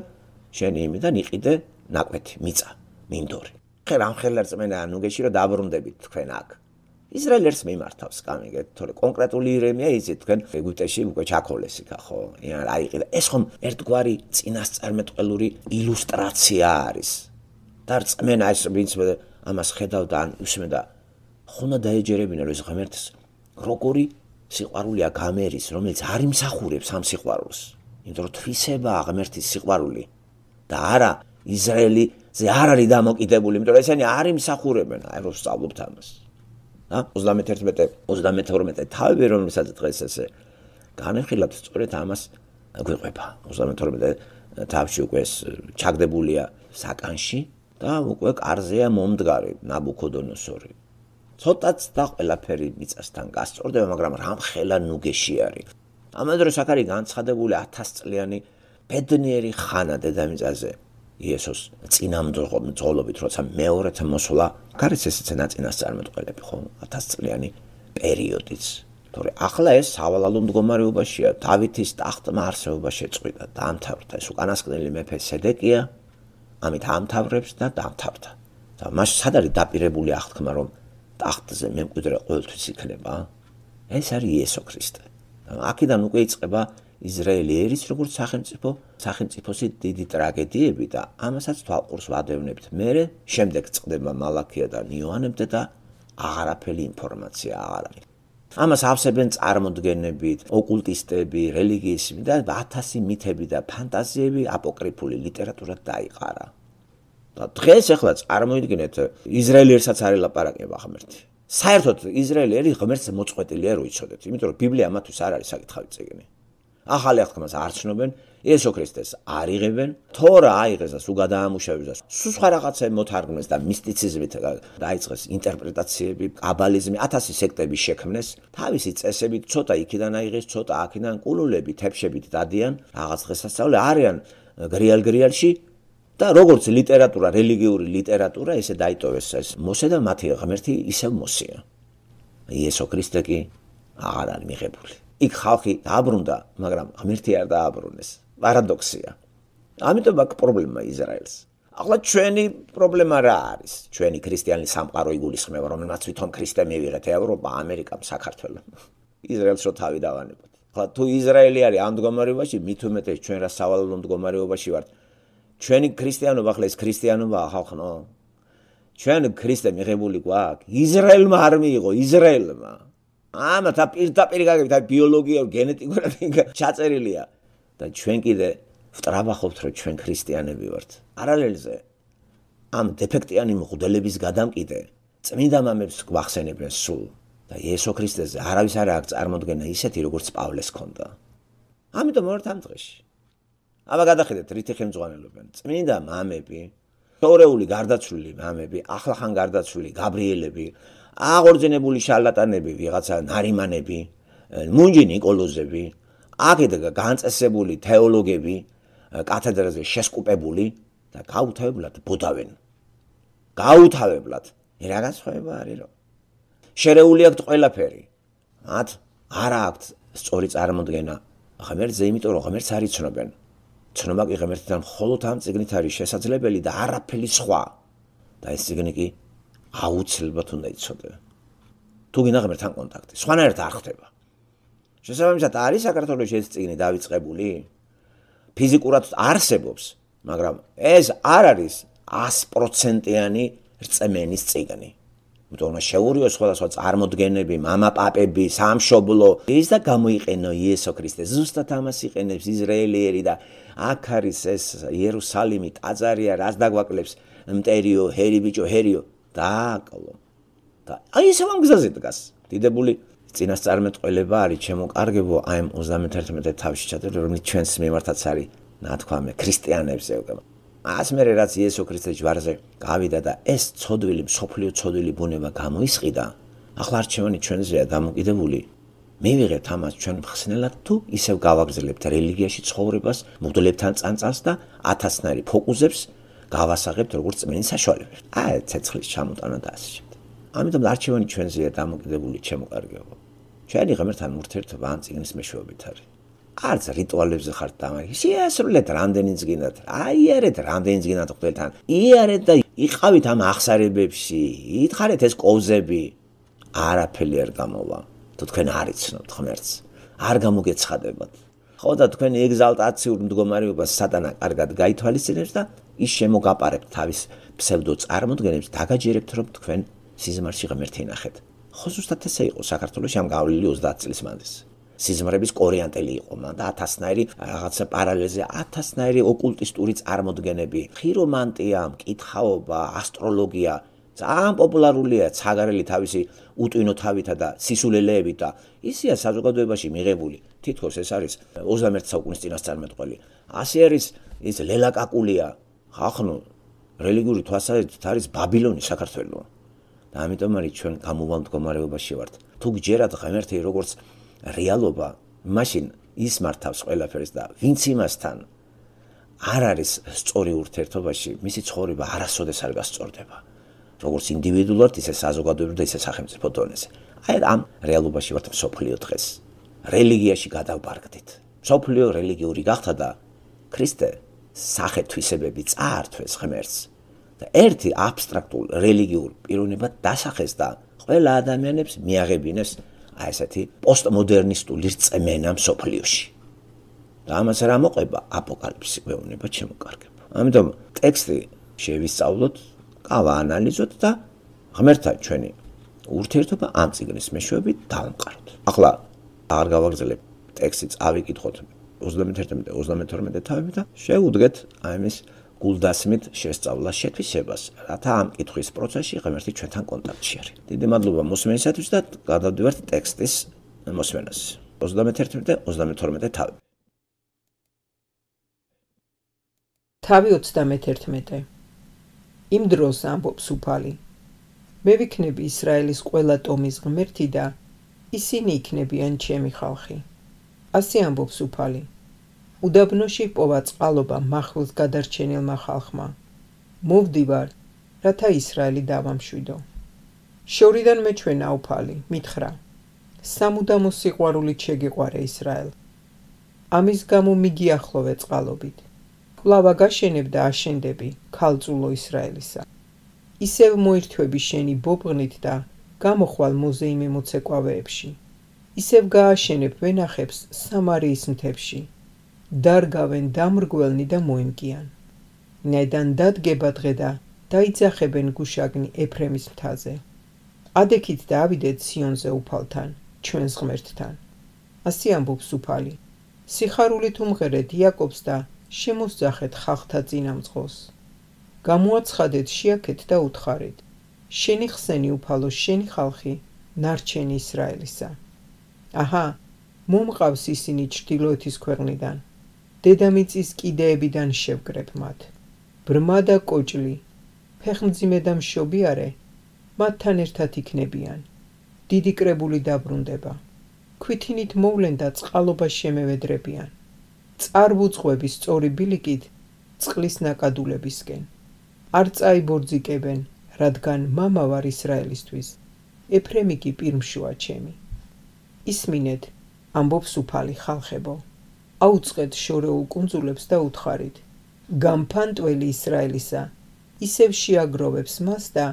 შენი იმიდან იყიდე ნაკვეთი მიწა მინდორი. ხე რამ ხელერს მენა ნუგეში რომ დაბრუნდებით თქვენ აქ. ისრაელს მიმართავს გამიგეთ, თორე კონკრეტული ირემია იცით თქვენ ეგვიპტეში უკვე ჩაქოლეს იქა ხო? რა იყიდა? ეს ხომ ერთგვარი წინასწარმეტყველური ილუსტრაცია არის. და რწმენა ეს ვინც ამას ხედავდა ან უსმენდა ხონა დაეჯერებინა რომ ეს ღმერთს როგორი სიყვარულია გამერის, რომელიც არ იმსახურებს ამ სიყვარულს. იმიტომ რომ თვისებაა ღმერთის სიყვარული და არა ისრაელიზე არ არის დამოკიდებული, იმიტომ რომ ესენი არ იმსახურებენ, აი რომ სწავლობთ ამას. და ოცდამეთერთმეტე ოცდამეთორმეტე თავები რომელსაც დღეს ესე განეხილავთ სწორედ ამას გვიყვება. ოცდამეთორმეტე თავში უკვე ჩაგდებულია საკანში და უკვე კარზეა მომდგარი ნაბუქოდონოსორი. ცოტაც და ყველაფერი მიწასთან გასწორდება, მაგრამ რამ ხელა ნუგეში არის. ამ დროს აქ არის განცხადებული ათასწლიანი ბედნიერი ხანა დედამიწაზე იესოს წინამძღოლობით, როცა მეორეთა მოსვლა, გარეთ ესეც ნაწინასწარმეტყველები ხო, ათასწლიანი პერიოდიც. თორე ახლა ეს სავალალო მდგომარეობაშია, დავითის ტახტმა არსებობა შეწყვიტა, დაამთავრდა ეს უკანასკნელი მეფე სედეკია, ამით ამთავრებს და დამთავრდა. და მას სად არის დაპირებული აღთქმა, რომ ტახტზე მემკვიდრე ყოველთვის იქნება? ეს არის იესო ქრისტე. აქედან უკვე იწყება ისრაელი ერის როგორც სახელმწიფო, სახელმწიფოსი დიდი ტრაგედიები და ამასაც თვალყურს ვადევნებთ. მერე შემდეგ წყდება მალაქია და იოანემდე და აღარაფერი ინფორმაცია აღარ არის. ამას ავსებენ წარმოდგენებით, ოკულტისტები, რელიგიისმი და ათასი მითები და ფანტაზიები აპოკრიფული ლიტერატურად დაიყარა. და დღეს ახლა წარმოიდგინეთ ისრაელი ერსაც არ ელაპარაკება ღმერთი. საერთოდ ისრაელი ერი ღმერთს მოწყვეტილია რო იცოდეთ, იმიტომ რომ ბიბლია მათთვის არ არის საკითხავი წიგნი. ახალი აღთქმას არ ცნობენ, იესო ქრისტეს არ იღებენ, თორა აიღეს და სულ გადაამუშავეს და სულ სხვა რაღაცა მოთარგმნეს და მისტიციზმით დაიწყეს ინტერპრეტაციები, კაბალიზმი, ათასი სექტები შექმნეს, თავისი წესებით ცოტა იქიდან აიღეს, ცოტა აქედან კულულები, თეფშებით დადიან, რაღაც დღესასწაული არიან გრიალ-გრიალში და როგორც ლიტერატურა, რელიგიური ლიტერატურა, ესე დაიტოვეს ეს მოსე და მათი ღმერთი ისევ მოსია. იესო ქრისტე კი აღარ არის მიღებული. იქ ხალხი დააბრუნდა, მაგრამ ღმერთი არ დააბრუნეს. პარადოქსია. ამიტომ აქ პრობლემა ისრაელს. ახლა ჩვენი პრობლემა რა არის? ჩვენი ქრისტიანი სამყარო იგულისხმება, რომელმაც თვითონ ქრისტე მივიღეთ ევროპა, ამერიკა, საქართველო. ისრაელს რო თავი დავანებოთ. ახლა თუ ისრაელი არის ამ მდგომარეობაში, მით უმეტეს ჩვენ რა სავალალო მდგომარეობაში ვართ. ჩვენი ქრისტიანობა ახლა ეს ქრისტიანობა ხალხო. ჩვენ ქრისტე მიღებული გვაქვს. ისრაელმა არ მიიღო, ისრაელმა. ამათ პირდაპირ გაგებით, აი ბიოლოგია, გენეტიკურად ჩაწერილია და ჩვენ კიდე ვტრაბახობთ, რომ ჩვენ ქრისტიანები ვართ. პარალელზე ამ დეფექტიანი მღვდლების გადამკიდე წმინდა მამებს გვახსენებენ სულ და იესო ქრისტეზე არავის არ აქვს წარმოდგენა ისეთი, როგორც პავლეს ჰქონდა. ამიტომ ვართ ამ დღეში. აბა გადახედეთ, რითი ხელმძღვანელობენ წმინდა მამები, თორეული გარდაცვლილი მამები, ახლახან გარდაცვლილი გაბრიელები, აღორძინებული შარლატანები, ვიღაცა ნარიმანები, მუნჯი ნიკოლოზები, აქეთ განწესებული თეოლოგები, კათედრაზე შესკუპებული და გაუთავებლად ბუდავენ. გაუთავებლად. რა განსხვავება არის რომ შერეული აქვთ ყველაფერი. მათ არ აქვთ სწორი წარმოდგენა ღმერთზე, იმიტომ რომ ღმერთს არ იცნობენ. ცნობა კი ღმერთთან მხოლოდ ამ წიგნით არის შესაძლებელი და არაფერი სხვა. და ეს წიგნი კი აუცილებლად უნდა იცოდე. თუ გინდა ღმერთთან კონტაქტი, სხვანაირად არ ხდება. შესაბამისად არის საქართველოში ეს წიგნი დავიწყებული? ფიზიკურად არსებობს, მაგრამ ეს არ არის ას პროცენტიანი რწმენის წიგნი. იმიტომ რომ შეურიოს სხვადასხვა წარმოდგენები, მამაპაპები, სამშობლო, ის და გამოიყენო იესო ქრისტე. ზუსტად ამას იყენებს ისრაელიერი და აქ არის ეს იერუსალიმი, ტაძარია, რაც დაგვაკლებს მტერიო, ჰერი ბიჭო, ჰერიო. დააკლო. და აი ესე ამ გზაზე დგას. დიდებული წინასწარმეტყველება არის ჩემო კარგებო, აი ამ ოცდამეთერთმეტე თავში ჩადებული, რომელიც ჩვენს მიმართაც არის, ნათქვამი ქრისტიანებზე უკვე. ას მერე რაც იესო ქრისტეს ჯვარზე გავიდა და ეს ცოდვილი, მსოფლიო ცოდვილი ბუნება გამოისყიდა, ახლა არჩევანი ჩვენზეა დამოკიდებული. მივიღებთ ამას ჩვენ მხსნელად თუ ისევ გავაგზავნებთ რელიგიაში ცხოვრებას, მღვდლებთან წანწალს და ათასნაირი ფოკუსებს გავასაღებთ როგორც წმენის საშუალებებს. აი ცეცხლის ჩამოტანა და ასე შემდეგ. ამიტომ არჩევანი ჩვენზეა დამოკიდებული, ჩემო კარგებო. ჩვენი ღმერთთან ურთიერთობა ამ წიგნის მეშვეობით არის. არც რიტუალებზე ხართ დამარხი. შეასრულეთ რამდენიც გინდათ. აიარეთ რამდენიც გინდათ ღმერთთან. იარეთ და იყავით ამ აღსარებებში. ითხარეთ ეს კოვზები. არაფერი არ გამოვა. თუ თქვენ არ იცნობთ ღმერთს, არ გამოგეცხადებათ. ხო და თქვენი ეგზალტაციურ მდგომარეობას სატანა კარგად გაითვალისწინებს და ის შემოგაპარებთ თავის ფსევდო წარმოდგენებს, დაგაჯერებთ რომ თქვენ სიზმარში ღმერთი ნახეთ. ხო ზუსტად ესე იყო საქართველოში ამ გავლილი ოცდაათ წლის მანძილს. სიზმრების კორიანტელი იყო მან და ათასნაირი რაღაცა პარალელზე ათასნაირი ოკულტისტური წარმოდგენები, ხირომანტია, მკითხაობა, ასტროლოგია ძალიან პოპულარულია ცაგარელი თავისი უტვინო თავითა და სისულელეებით და ისია საზოგადოებაში მიღებული. თითქოს ეს არის ოცდამეერთე საუკუნის წინასწარმეტყველი. ასე არის ის ლელაკაკულია, ხახნო რელიგიური თვალსაზრისით არის ბაბილონი საქართველო. და ამიტომ არის ჩვენ გამოვალ მდგომარეობაში ვართ. თუ გჯერათ ღმერთი როგორც რეალობა, მაშინ ის მართავს ყველაფერს და ვინც იმასთან არ არის სწორი ურთიერთობაში, მისი ცხოვრება არასოდეს არ გასწორდება. როგორც ინდივიდუალურად, ისე საზოგადოებრივ და ისე სახელმწიფო დონეზე. აი ამ რეალობაში ვართ მსოფლიო დღეს. რელიგიაში გადავბარგდით. მსოფლიო რელიგიური გახდა და ქრისტე სახეთვისებები წაართვეს ღმერთს და ერთი აბსტრაქტულ რელიგიურ პიროვნებად დასახეს და ყველა ადამიანებს მიაღებინეს აი ესეთი პოსტმოდერნისტული რწმენა მსოფლიოში. და ამას რა მოყვება აპოკალიფსი გვეუბნება ჩემო კარგებო. ამიტომ ტექსტი შევისწავლოთ, გავაანალიზოთ და ღმერთთან ჩვენი ურთიერთობა ამ წიგნის მეშვეობით დავამყაროთ. ახლა აღარ გავაგზავნებ ტექსტი, წავიკითხოთ ოცდამეთერთმეტე ოცდამეთორმეტე თავები და შევუდგეთ აი ამის გულდასმით შესწავლას შეთვისებას, რათა ამ კითხვის პროცესში ღმერთი ჩვენთან კონტაქტში არის. დიდი მადლობა მოსმენისათვის და გადავდივართ ტექსტის მოსმენას. ოცდამეთერთმეტე ოცდამეთორმეტე თავები. თავი ოცდამეთერთმეტე. იმ დროს ამბობს უფალი, მე ვიქნები ისრაელის ყველა ტომის ღმერთი და ისინი იქნებიან ჩემი ხალხი. ასე ამბობს უფალი, უდაბნოში პოვა წყალობა მახვილს გადარჩენილმა ხალხმა. მოვდივარ, რათა ისრაელი დავამშვიდო. შორიდან მეჩვენა უფალი, მითხრა, სამუდამო სიყვარულით შეგიყვარე ისრაელ. ამის გამო მიგიახლოვე წყალობით. კვლავ აგაშენებ და აშენდები ქალწულო ისრაელისა. ისევ მოირთვები შენი ბობღნით და გამოხვალ მოზეიმე მოცეკვავეებში. ისევ გააშენებ ვენახებს სამარიის მთებში. დარგავენ დამრგველნი და მოემკიან. ნედან დადგება დღე და დაიძახებენ გუშაგნი ეფრემის მთაზე. ადექით და ავიდეთ სიონზე უფალთან, ჩვენს ღმერთთან. ასე ამბობს უფალი, სიხარულით უმღერეთ იაკობს და შემოსძახეთ ხალხთა წინამძღოლს. გამოაცხადეთ შიაქეთ და უთხარით, შენი ხსენი უფალო, შენი ხალხი, ნარჩენი ისრაელისა. აჰა, მომყავს ისინი ჩრდილოეთის ქვეყნიდან, დედამიწის კიდეებიდან შევგრებ მათ. ბრმა და კოჭლი, ფეხმძიმე და მშობიარე, მათთან ერთად იქნებიან. დიდი კრებული დაბრუნდება. ქვითინით მოვლენ და წყალობა შემევედრებიან. წარბუწყვები სწორი ბილიკით წყლის ნაკადულებისკენ. არ წაიბორძიკებენ, რადგან მამა ვარ ისრაელისთვის, ეფრემი კი პირმშოა ჩემი. ისმინეთ, ამბობს უფალი ხალხებო, აუწყეთ შორეულ კუნძულებს და უთხარით, გამფანტველი ისრაელისა, ისევ შეაგროვებს მას და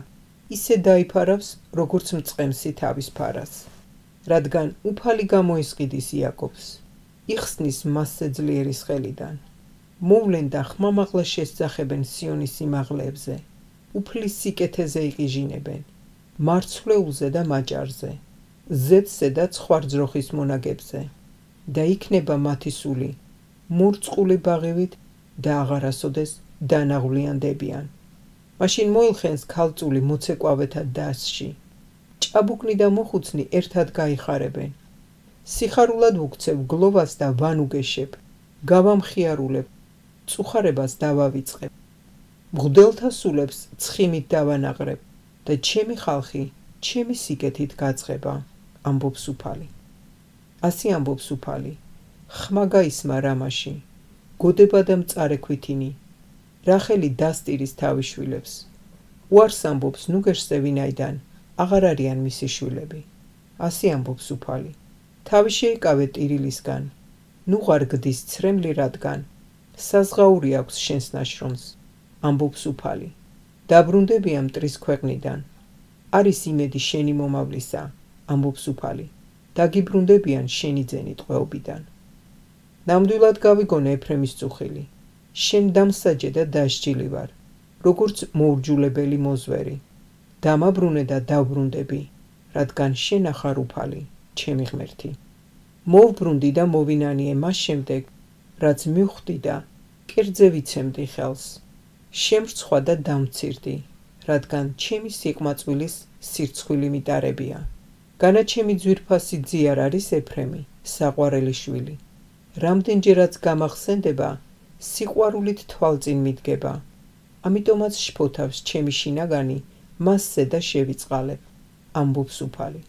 ისე დაიფარავს, როგორც მწყემსი თავის ფარას. რადგან უფალი გამოისყიდის იაკობს, იხსნის მასზე ძლიერის ხელიდან. მოვლენ და ხმამაღლა შესძახებენ სიონის სიმაღლეებზე, უფლის სიკეთეზე იყიჟინებენ, მარცვლეულზე და მაჭარზე, ზეთზე და ცხვარძროხის მონაგებზე. და იქნება მათი სული, მურწყული ბაღივით და აღარასოდეს დანაღვლიანდებიან. მაშინ მოილხენს ქალწული მოცეკვავეთა დასში. ჭაბუკნი და მოხუცნი ერთად გაიხარებენ. სიხარულად ვუქცევ გლოვას და ვანუგეშებ, გავამხიარულებ, წუხარებას დავავიწყებ. მღვდელთა სულებს ცხიმით დავანაღრებ და ჩემი ხალხი ჩემი სიკეთით გაწყება, ამბობს უფალი. ასე ამბობს უფალი, ხმა გაისმა რამაში, გოდება და მწარე ქვითინი, რახელი დასტირის თავის შვილებს. უარს ამბობს ნუგეშზე ვინაიდან აღარ არიან მისი შვილები. ასე ამბობს უფალი, თავი შეიკავე ტირილისგან, ნუღარ გდის ცრემლი რადგან, საზღაური აქვს შენს ნაშრომს, ამბობს უფალი. დაბრუნდებია მტრის ქვეყნიდან, არის იმედი შენი მომავლისა, ამბობს უფალი. დაგიბრუნდებიან შენი ძენი ტყვეობიდან. ნამდვილად გავიგონე ეფრემის წუხილი, შენ დამსაჯე და დასჯილი ვარ, როგორც მოურჯულებელი მოზვერი. დამაბრუნე და დავბრუნდები, რადგან შენ ახარ უფალი, ჩემი ღმერთი. მოვბრუნდი და მოვინანიე მას შემდეგ, რაც მივხვდი და კერძზე ვიცემდი ხელს. შემრცხვა და დამცირდი, რადგან ჩემი სიყმაწვილის სირცხვილი მიტარებია. განაჩემი ძვირფასი ძი არ არის ეფრემი, საყვარელი შვილი. რამდენჯერაც გამახსენდება, სიყვარულით თვალწინ მიდგება. ამიტომაც შფოთავს ჩემი შინაგანი, მასზე და შევიწყალებ, ამბობს უფალი.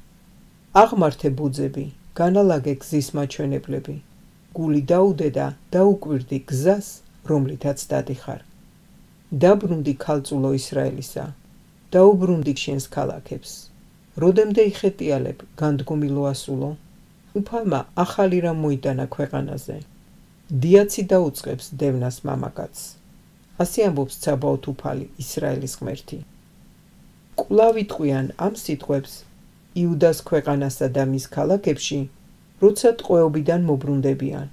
აღმართე ბუძები, განალაგე გზის მაჩვენებლები. გული დაუდე და დაუკვირდი გზას, რომლითაც დადიხარ. დაბრუნდი ქალწულო ისრაელისა, დაუბრუნდი შენს ქალაქებს. როდემდე იხეტიალებ, განდგომი ლოასულო, უფალმა ახალი რამ მოიტანა ქვეყანაზე. დიაცი დაუწყებს დევნას მამაკაცს. ასე ამბობს ცაბაოთ უფალი, ისრაელის ღმერთი. კვლავ იტყვიან ამ სიტყვებს იუდას ქვეყანასა და მის ქალაქებში, როცა ტყვეობიდან მობრუნდებიან.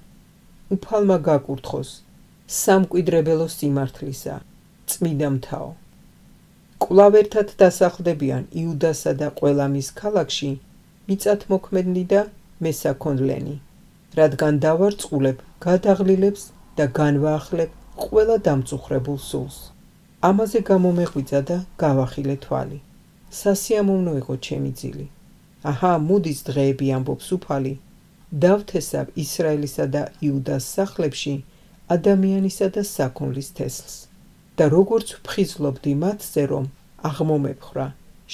უფალმა გაკურთხოს, სამკვიდრებელო სიმართლისა, წმიდა მთაო. კვლავ ერთად დასახლდებიან იუდასა და ყველა მის ქალაქში, მიწათმოქმედნი და მესაქონლენი, რადგან დავარწყულებ, გადაღლილებს და განვაახლებ ყველა დამწუხრებულ სულს. ამაზე გამომეღვიძა და გავახილე თვალი. სასიამოვნო იყო ჩემი ძილი. აჰა, მოდის დღეები, ამბობს უფალი, დავთესავ ისრაელისა და იუდას სახლებში ადამიანისა და საქონლის თესლს და როგორც ვფხიზლობდი მათზე, რომ აღმომეფხრა,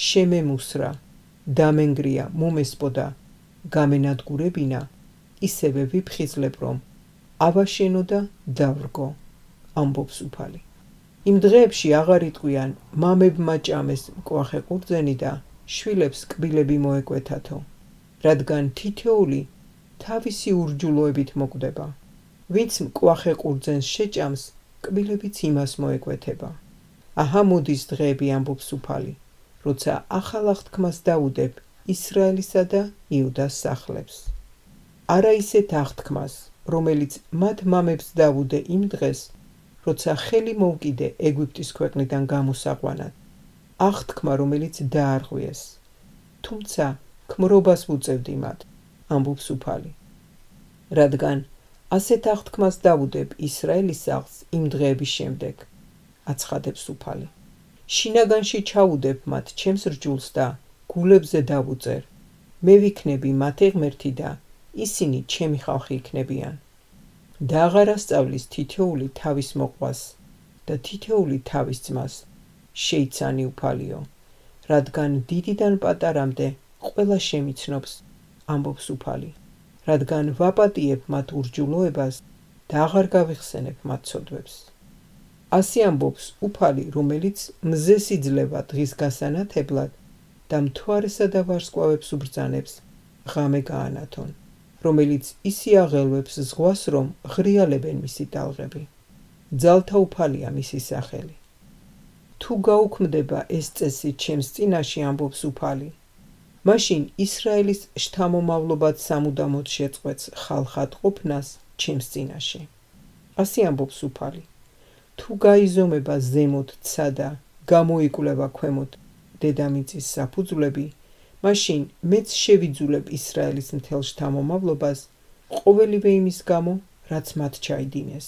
შემემუსრა, დამენგრია, მომესპოდა, გამენადგურებინა, ისევე ვიფხიზლებ, რომ ავაშენო და დავრგო, ამბობს უფალი. იმ დღეებში აღარ იტყვიან, მამებმა ჭამეს მკვახე ყურძენი და შვილებს კბილები მოეკვეთათო, რადგან თითოეული თავისი ურჯულოებით მოკვდება. ვინც მკვახე ყურძენს შეჭამს, კბილებიც იმას მოეკვეთება. აჰა მოდის დღეები, ამბობს უფალი, როცა ახალ აღთქმას დავუდებ ისრაელისა და იუდას სახლებს. არა ისეთ აღთქმას, რომელიც მათ მამებს დავუდე იმ დღეს, როცა ხელი მოვკიდე ეგვიპტის ქვეყნიდან გამოსაყვანად, აღთქმა, რომელიც დაარღვიეს, თუმცა ქმრობას ვუწევდი მათ, ამბობს უფალი. რადგან ასეთ აღთქმას დავუდებ ისრაელის სახლს იმ დღეების შემდეგ, აცხადებს უფალი. შინაგანში ჩაუდებ მათ ჩემს რჯულს და გულებზე დავუწერ, მე ვიქნები მათი ღმერთი და ისინი ჩემი ხალხი იქნებიან. და აღარ ასწავლის თითოეული თავის მოყვას და თითოეული თავის ძმას, შეიცანი უფალიო, რადგან დიდიდან პატარამდე ყველა შემიცნობს, ამბობს უფალი, რადგან ვაპატიებ მათ ურჯულოებას და აღარ გავიხსენებ მათ ცოდვებს. ასე ამბობს უფალი, რომელიც მზეს იძლევა დღის გასანათებლად და მთვარესა და ვარსკვლავებს უბრძანებს, ღამე გაანათონ, რომელიც ისი აღელვებს ზღვას, რომ ღრიალებენ მისი ტალღები. ძალთა უფალია მისი სახელი. თუ გაუქმდება ეს წესი ჩემს წინაშე, ამბობს უფალი, მაშინ ისრაელის შთამომავლობად სამუდამოდ შეწყვეტს ხალხად ყოფნას ჩემს წინაშე. ასე ამბობს უფალი. თუ გაიზომება ზემოთ ცა და გამოიკვლევა ქვემოთ დედამიწის საფუძვლები, მაშინ მეც შევიძულებ ისრაელის მთელ შთამომავლობას, ყოველივე იმის გამო, რაც მათ ჩაიდინეს,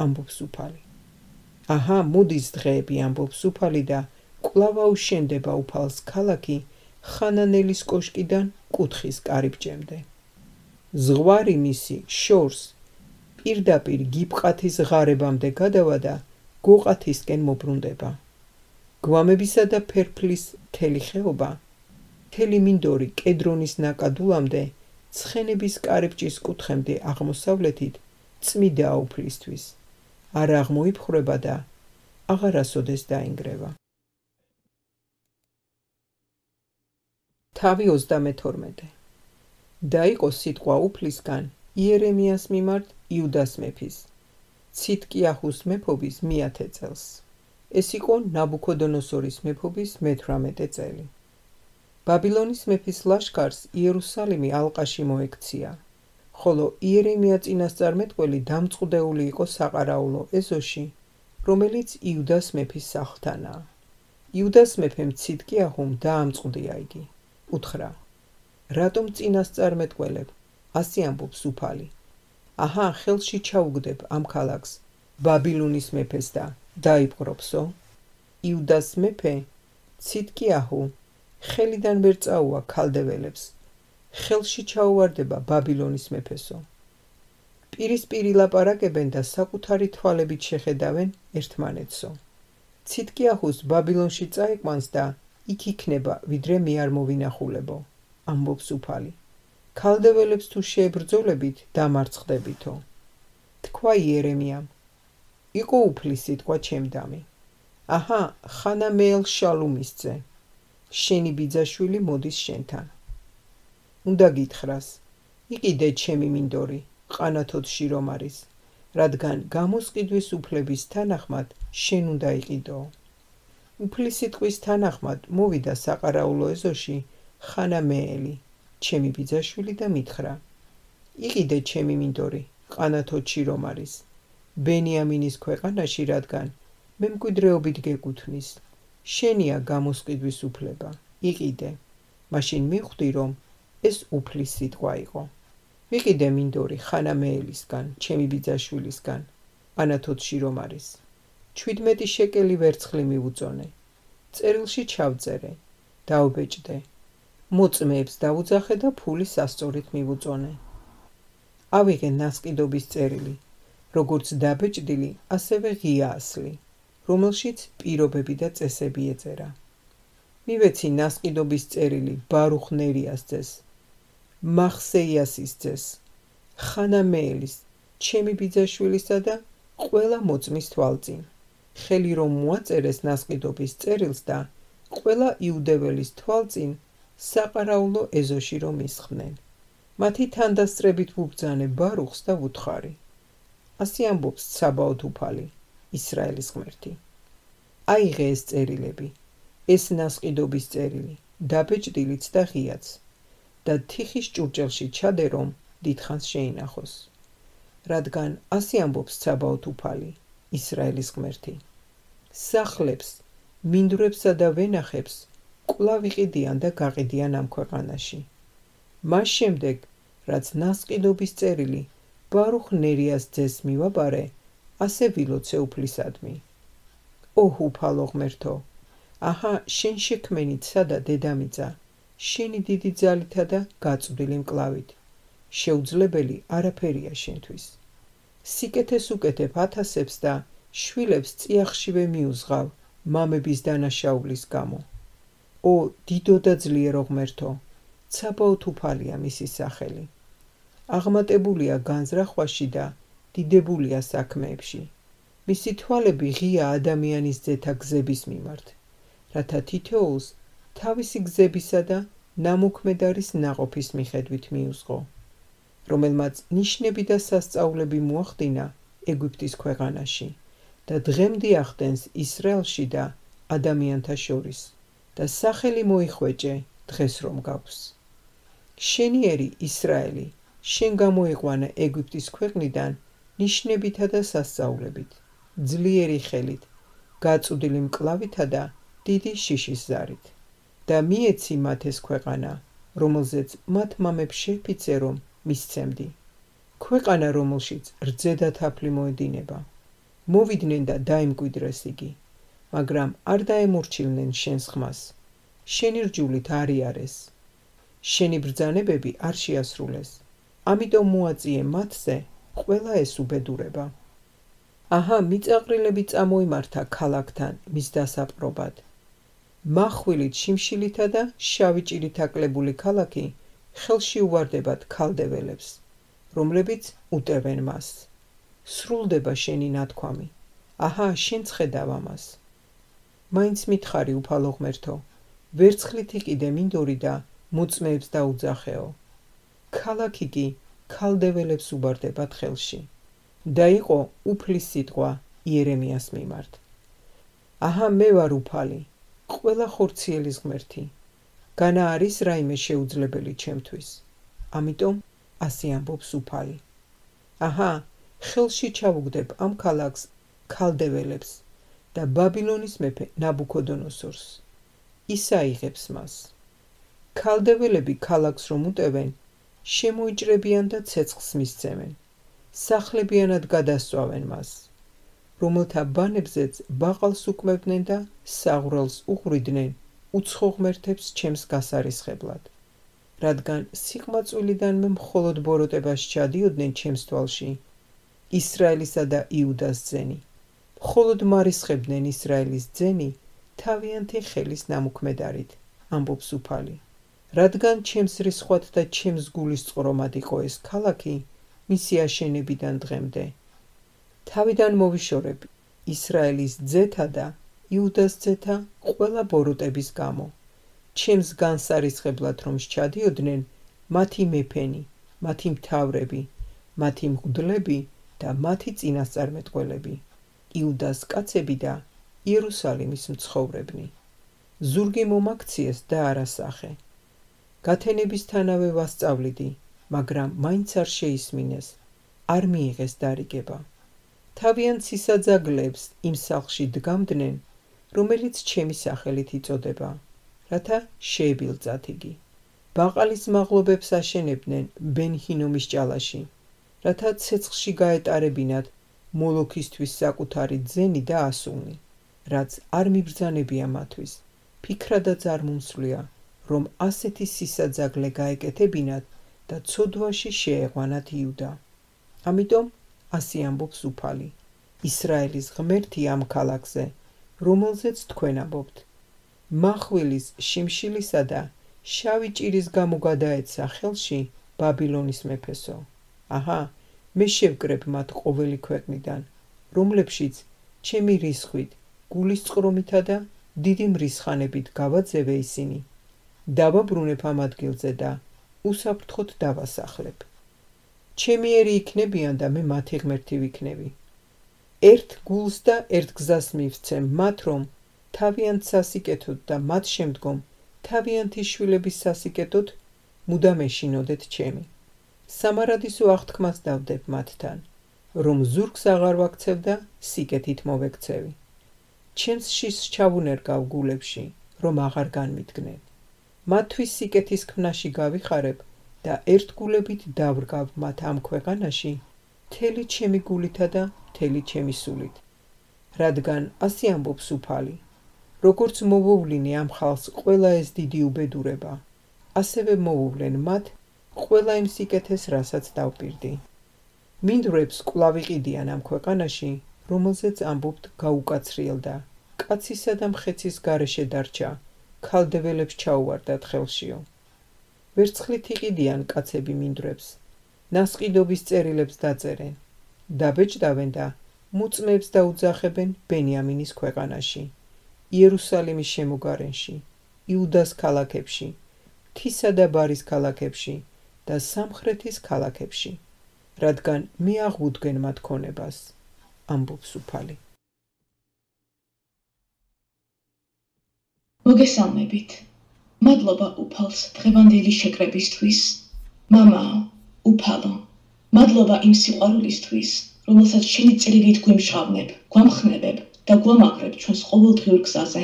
ამბობს უფალი. აჰა, მოდის დღეები, ამბობს უფალი და კვლავ აუშენდება უფალს ქალაქი ხანანელის კოშკიდან კუთხის კარიბჭემდე. ზღვარი მისი შორს პირდაპირ გიბყათის ღარებამდე გადავა და გოყათისკენ მობრუნდება. გვამებისა და ფერფლის მთელი ხეობა, მთელი მინდორი კედრონის ნაკადულამდე, ცხენების კარიბჭის კუთხემდე აღმოსავლეთით წმიდაა უფლისთვის, არ აღმოიფხრება და აღარასოდეს დაინგრევა. თავი ოცდამეთორმეტე. დაიყო სიტყვა უფლისგან იერემიას მიმართ იუდას მეფის, ციტკიაჰუს მეფობის მეათე წელს. ეს იყო ნაბუქოდონოსორის მეფობის მეთვრამეტე წელი. ბაბილონის მეფის ლაშქარს იერუსალიმი ალყაში მოექცია, ხოლო იერემია წინასწარმეტყველი დამწყდეული იყო საყარაულო ეზოში, რომელიც იუდას მეფის სახლთანაა. იუდას მეფემ ციტკიაჰუმ დაამწყდია იგი. უთხრა, რატომ წინასწარმეტყველებ, ასე ამბობს უფალი. აჰა, ხელში ჩაუგდებ ამ ქალაქს ბაბილონის მეფეს და დაიპყრობსო. იუდას მეფე ციტკიაჰუ ხელიდან ვერ წაუა ქალდეველებს, ხელში ჩაუვარდება ბაბილონის მეფესო. პირისპირ ილაპარაკებენ და საკუთარი თვალებით შეხედავენ ერთმანეთსო. ციტკიაჰუს ბაბილონში წაიყვანს და იქ იქნება, ვიდრე მე არ მოვინახულებო, ამბობს უფალი. ქალდეველებს თუ შეებრძოლებით, დამარცხდებითო. თქვა იერემიამ, იყო უფლის სიტყვა ჩემდამი. აჰა, ხანამეელ შალუმისძე, შენი ბიძაშვილი მოდის შენთან. უნდა გითხრას, იყიდე ჩემი მინდორი, ყანათოდში რომ არის, რადგან გამოსყიდვის უფლების თანახმად შენ უნდა იყიდო. უფლის სიტყვის თანახმად მოვიდა საყარაულო ეზოში ხანამეელი, ჩემი ბიძაშვილი და მითხრა, იყიდე ჩემი მინდორი, ყანათოდში რომ არის, ბენიამინის ქვეყანაში, რადგან მემკვიდრეობით გეკუთვნის, შენია გამოსყიდვის უფლება, იყიდე, მაშინ მივხვდი, რომ ეს უფლის სიტყვა იყო. ვიყიდე მინდორი ხანამეელისგან, ჩემი ბიძაშვილისგან, ყანათოდში რომ არის. ჩვიდმეტი შეკელი ვერცხლი მივუწონე, წერილში ჩავწერე, დაუბეჭდე, მოწმეებს დაუძახე და ფული სასწორით მივუწონე. ავიღე ნასყიდობის წერილი, როგორც დაბეჭდილი, ასევე ღია ასლი, რომელშიც პირობები და წესები ეწერა. მივეცი ნასყიდობის წერილი ბარუხ ნერიას ძეს, მახსეიასის ძეს, ხანამეელის, ჩემი ბიძაშვილისა და ყველა მოწმის თვალწინ, ხელი რომ მოაწერეს ნასყიდობის წერილს და ყველა იუდეველის თვალწინ საყარაულო ეზოში რომ ისხდნენ. მათი თანდასწრებით ვუბრძანე ბარუხს და ვუთხარი. ასე ამბობს ცაბაოთ უფალი, ისრაელის ღმერთი. აიღე ეს წერილები, ეს ნასყიდობის წერილი, დაბეჭდილიც და ღიაც, და თიხის ჭურჭელში ჩადე რომ დიდხანს შეინახოს. რადგან ასე ამბობს ცაბაოთ უფალი, ისრაელის ღმერთი. სახლებს, მინდვრებსა და ვენახებს კვლავ იყიდიან და გაყიდიან ამ ქვეყანაში. მას შემდეგ, რაც ნასყიდობის წერილი ბარუხ ნერიას ძეს მივაბარე, ასე ვილოცე უფლისადმი. ოჰ უფალო ღმერთო, აჰა შენ შექმენიცა და დედამიწა, შენი დიდი ძალითა და გაწვდილი მკლავით. შეუძლებელი არაფერია შენთვის. სიკეთეს უკეთებ ათასებს და შვილებს წიაღშივე მიუძღავ მამების დანაშაულის გამო. ო დიდო და ძლიერო ღმერთო, ცაბაოთ უფალია მისი სახელი. აღმატებულია განზრახვაში და დიდებულია საქმეებში. მისი თვალები ღია ადამიანის ძეთა გზების მიმართ, რათა თითოეულს თავისი გზებისა და ნამოქმედარის ნაყოფის მიხედვით მიუძღო, რომელმაც ნიშნები და სასწაულები მოახდინა ეგვიპტის ქვეყანაში და დღემდე ახდენს ისრაელში და ადამიანთა შორის და სახელი მოიხვეჭე დღეს რომ გაქვს. შენიერი ისრაელი, შენ გამოიყვანა ეგვიპტის ქვეყნიდან ნიშნებითა და სასწაულებით, ძლიერი ხელით, გაწვდილი მკლავითა და დიდი შიშის ზარით. და მიეცი მათ ეს ქვეყანა, რომელზეც მათ მამებს შეფიცე რომ მისცემდი. ქვეყანა, რომელშიც რძე და თაფლი მოედინება. მოვიდნენ და დაიმკვიდრეს იგი, მაგრამ არ დაემორჩილნენ შენს ხმას. შენი რჯულით არ იარეს. შენი ბრძანებები არ შეასრულეს. ამიტომ მოაწიე მათზე ყველა ეს უბედურება. აჰა, მიწაყრილები წამოიმართა ქალაქთან მის დასაპყრობად. მახვილით, შიმშილითა და შავი ჭირით აკლებული ქალაქი ხელში უვარდებათ ქალდეველებს, რომლებიც უტევენ მას. სრულდება შენი ნათქვამი. აჰა, შენ ხედავ ამას. მაინც მითხარი უფალო ღმერთო, ვერცხლით იყიდე მინდორი და მოწმეებს დაუძახეო. ქალაქი კი ქალდეველებს უბარდებათ ხელში. და იყო უფლის სიტყვა იერემიას მიმართ. აჰა, მე ვარ უფალი, ყველა ხორციელის ღმერთი. განა არის რაიმე შეუძლებელი ჩემთვის. ამიტომ ასე ამბობს უფალი. აჰა, ხელში ჩავუგდებ ამ ქალაქს ქალდეველებს და ბაბილონის მეფე ნაბუქოდონოსორს. ის აიღებს მას. ქალდეველები ქალაქს რომ უტევენ, შემოიჭრებიან და ცეცხლს მისცემენ. სახლებიანად გადასწვავენ მას, რომელთა ბანებზეც ბაყალს უკმევდნენ და საღვრელს უყვრიდნენ უცხო ღმერთებს ჩემს გასარისხებლად. რადგან სიყმაწვილიდანვე მხოლოდ ბოროტებას ჩადიოდნენ ჩემს თვალში, ისრაელისა და იუდას ძენი. მხოლოდ მარისხებდნენ ისრაელის ძენი თავიანთი ხელის ნამოქმედარით, ამბობს უფალი. რადგან ჩემს რისხვად და ჩემს გულის წყრომად იყო ეს ქალაქი, მისი აშენებიდან დღემდე. თავიდან მოვიშორებ ისრაელის ძეთა და იუდას ძეთა ყველა ბოროტების გამო. ჩემს განსარისხებლად რომ სჩადიოდნენ მათი მეფენი, მათი მთავრები, მათი მღვდლები და მათი წინასწარმეტყველები, იუდას კაცები და იერუსალიმის მცხოვრებნი. ზურგი მომაქციეს და არასახე. გათენებისთანავე ვასწავლიდი, მაგრამ მაინც არ შეისმინეს, არ მიიღეს დარიგება. თავიანთ სისაძაგლეებს იმ სახლში დგამდნენ, რომელიც ჩემი სახელით იწოდება, რათა შეებილწათ იგი. ბაყალის მაღლობებს აშენებდნენ ბენ-ჰინომის ჭალაში, რათა ცეცხლში გაეტარებინათ მოლოქისთვის საკუთარი ძენი და ასულნი, რაც არ მიბრძანებია მათთვის, ფიქრადაც არ მომსვლია, რომ ასეთი სისაძაგლე გაეკეთებინათ და ცოდვაში შეეყვანათ იუდა. ამიტომ ასი ამბობს უფალი, ისრაელის ღმერთი ამ ქალაქზე, რომელზეც თქვენ ამბობთ. მახვილის, შიმშილისა და შავი ჭირის გამო გადაეცა ხელში ბაბილონის მეფესო. აჰა, მე შევკრებ მათ ყოველი ქვეყნიდან, რომლებშიც ჩემი რისხვით, გულის წყრომითა და დიდი მრისხანებით გავაძევე ისინი. დავაბრუნებ ამ ადგილზე და უსაფრთხოდ დავასახლებ. ჩემიერი იქნებიან და მე მათი ღმერთი ვიქნები. ერთ გულს და ერთ გზას მივცემ მათ, რომ თავიანთ სასიკეთოდ და მათ შემდგომ თავიანთი შვილების სასიკეთოდ მუდამ ეშინოდეთ ჩემი. სამარადისო აღთქმას დავდებ მათთან, რომ ზურგს აღარ ვაქცევ და სიკეთით მოვექცევი. ჩემს შის ჩავუნერგავ გულებში, რომ აღარ განმიდგნენ. მათთვის სიკეთის ქმნაში გავიხარებ და ერთგულებით დავრგავ მათ ამ ქვეყანაში, მთელი ჩემი გულითა და მთელი ჩემი სულით. რადგან ასე ამბობს უფალი, როგორც მოვუვლინე ამ ხალხს ყველა ეს დიდი უბედურება, ასევე მოვუვლენ მათ ყველა იმ სიკეთეს, რასაც დავპირდი. მინდვრებს კვლავ იყიდიან ამ ქვეყანაში, რომელზეც ამბობთ გაუკაცრიელდა, კაცისა და მხეცის გარეშე დარჩა, ქალდეველებს ჩაუვარდათ ხელშიო. ვერცხლით იყიდიან კაცები მინდვრებს, ნასყიდობის წერილებს დაწერენ, დაბეჭდავენ და მუწმეებს დაუძახებენ ბენიამინის ქვეყანაში, იერუსალიმის შემოგარენში, იუდას ქალაქებში, მთისა და ბარის ქალაქებში და სამხრეთის ქალაქებში, რადგან მე აღვუდგენ მათ ქონებას, ამბობს უფალი. მოგესალმებით. მადლობა უფალს დღევანდელი შეკრებისთვის. მამაო, უფალო, მადლობა იმ სიყვარულისთვის, რომელსაც შენი წერილით გვიმშღავნებ, გვამხნევებ და გვამაგრებ ჩვენს ყოველდღიურ გზაზე.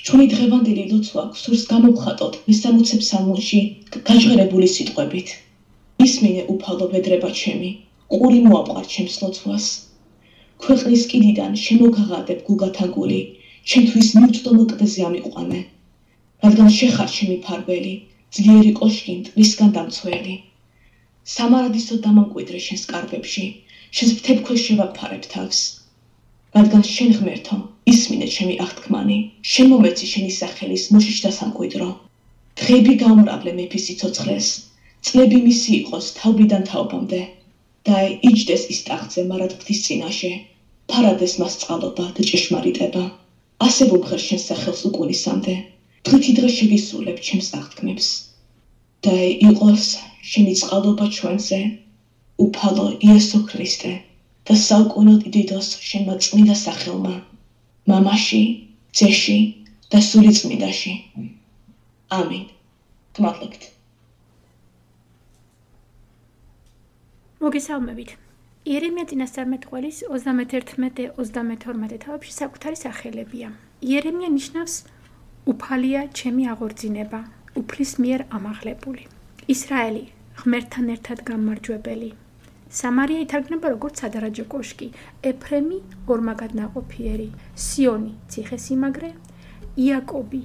ჩვენი დღევანდელი ლოცვა გსურს გამოვხატოთ მესამოცე ფსალმუნში გაჟღერებული სიტყვებით. ისმინე უფალო ვედრება ჩემი, ყური მოაყარ ჩემს ლოცვას. ქვეყნის კიდიდან შემოგაღადებ გულგათანგული, ჩემთვის მიუწვდომელ კლდეზე ამიყვანე. რადგან შეხარ ჩემი ფარველი, ძლიერი კოშკი მტვრისგან დამცველი. სამარადისო დამამკვიდრე შენს კარგებში, შენს ფრთებს შევაფარებ თავს. რადგან შენ ღმერთო, ისმინე ჩემი აღთქმანი, შენ მომეცი შენი სახელის მოშიშ დასამკვიდრო. დღეები გაუმრავლე მეფის სიცოცხლეს, წლები მისი იყოს თაობიდან თაობამდე. და იჯდეს ის ტახტზე მარად ღვთის წინაშე, ფარადეს მას წყალობა და ჭეშმარიტება. ასე ვუმღერ შენს სახელს უკუნისამდე, დღითი დღე შევისრულებ ჩემს აღთქმებს. და იყოს შენი წყალობა ჩვენზე, უფალო იესო ქრისტე, და საუკუნოდ იდიდოს შენმა წმინდა სახელმა, მამაში, ძეში და სული წმინდაში. ამინ. გმადლობთ. მოგესალმებით. იერემია წინასწარმეტყველის ოცდამეთერთმეტე ოცდამეთორმეტე თავებში საკუთარი სახელებია. იერემია ნიშნავს უფალია ჩემი აღორძინება, უფლის მიერ ამაღლებული. ისრაელი ღმერთთან ერთად გამარჯვებელი. სამარია ითარგმნება როგორც სადარაჯო კოშკი, ეფრემი ორმაგად ნაყოფიერი, სიონი ციხესიმაგრე, იაკობი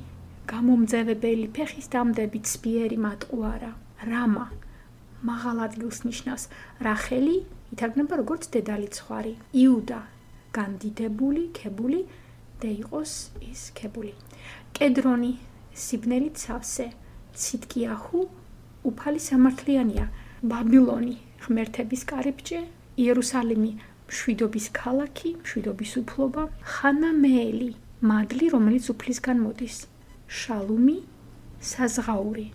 გამომძევებელი ფეხის დამდები ცბიერი მატყუარა, რამა მაღალ ადგილს ნიშნავს, რახელი ითარგმნება როგორც დედალი ცხვარი, იუდა განდიდებული, ქებული და იყოს ის ქებული. კედრონი სიბნელით სავსე, ციტკიაჰუ უფალი სამართლიანია, ბაბილონი ღმერთების კარიბჭე, იერუსალიმი მშვიდობის ქალაქი, მშვიდობის უფლობა, ხანამეელი მადლი, რომელიც უფლისგან მოდის, შალუმი საზღაური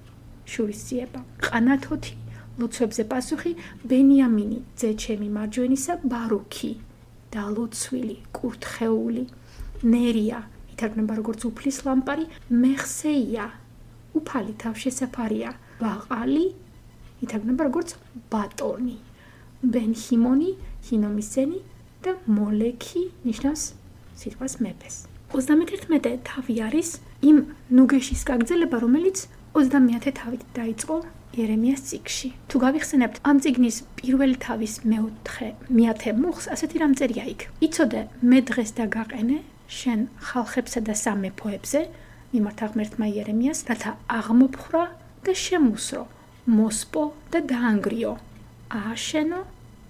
შურისძიება, ყანათოთი ლოცვებზე პასუხი, ბენიამინი ძეჩემი მარჯვენისა, ბარუქი დალოცვილი, კურთხეული, ნერია ითარგმნება როგორც უფლის ლამპარი, მეხსეია უფალი თავშესაფარია, ბაყალი ითარგმნება როგორც ბატონი, ბენჰიმონი ჰინომის ძენი და მოლექი ნიშნავს სიტყვას მეფეს. ოცდამეთერთმეტე თავი არის იმ ნუგეშის გაგრძელება, რომელიც ოცდამეათე თავით დაიწყო იერემიას წიგნში. თუ გავიხსენებთ ამ წიგნის პირველი თავის მეოთხე მეათე მუხლს, ასეთი რამ წერია იქ. იცოდე, მე დღეს დაგაყენე შენ ხალხებსა და სამეფოებზე, მიმართა ღმერთმა იერემიას, რათა აღმოფხრა და შემუსრო, მოსპო და დაანგრიო, ააშენო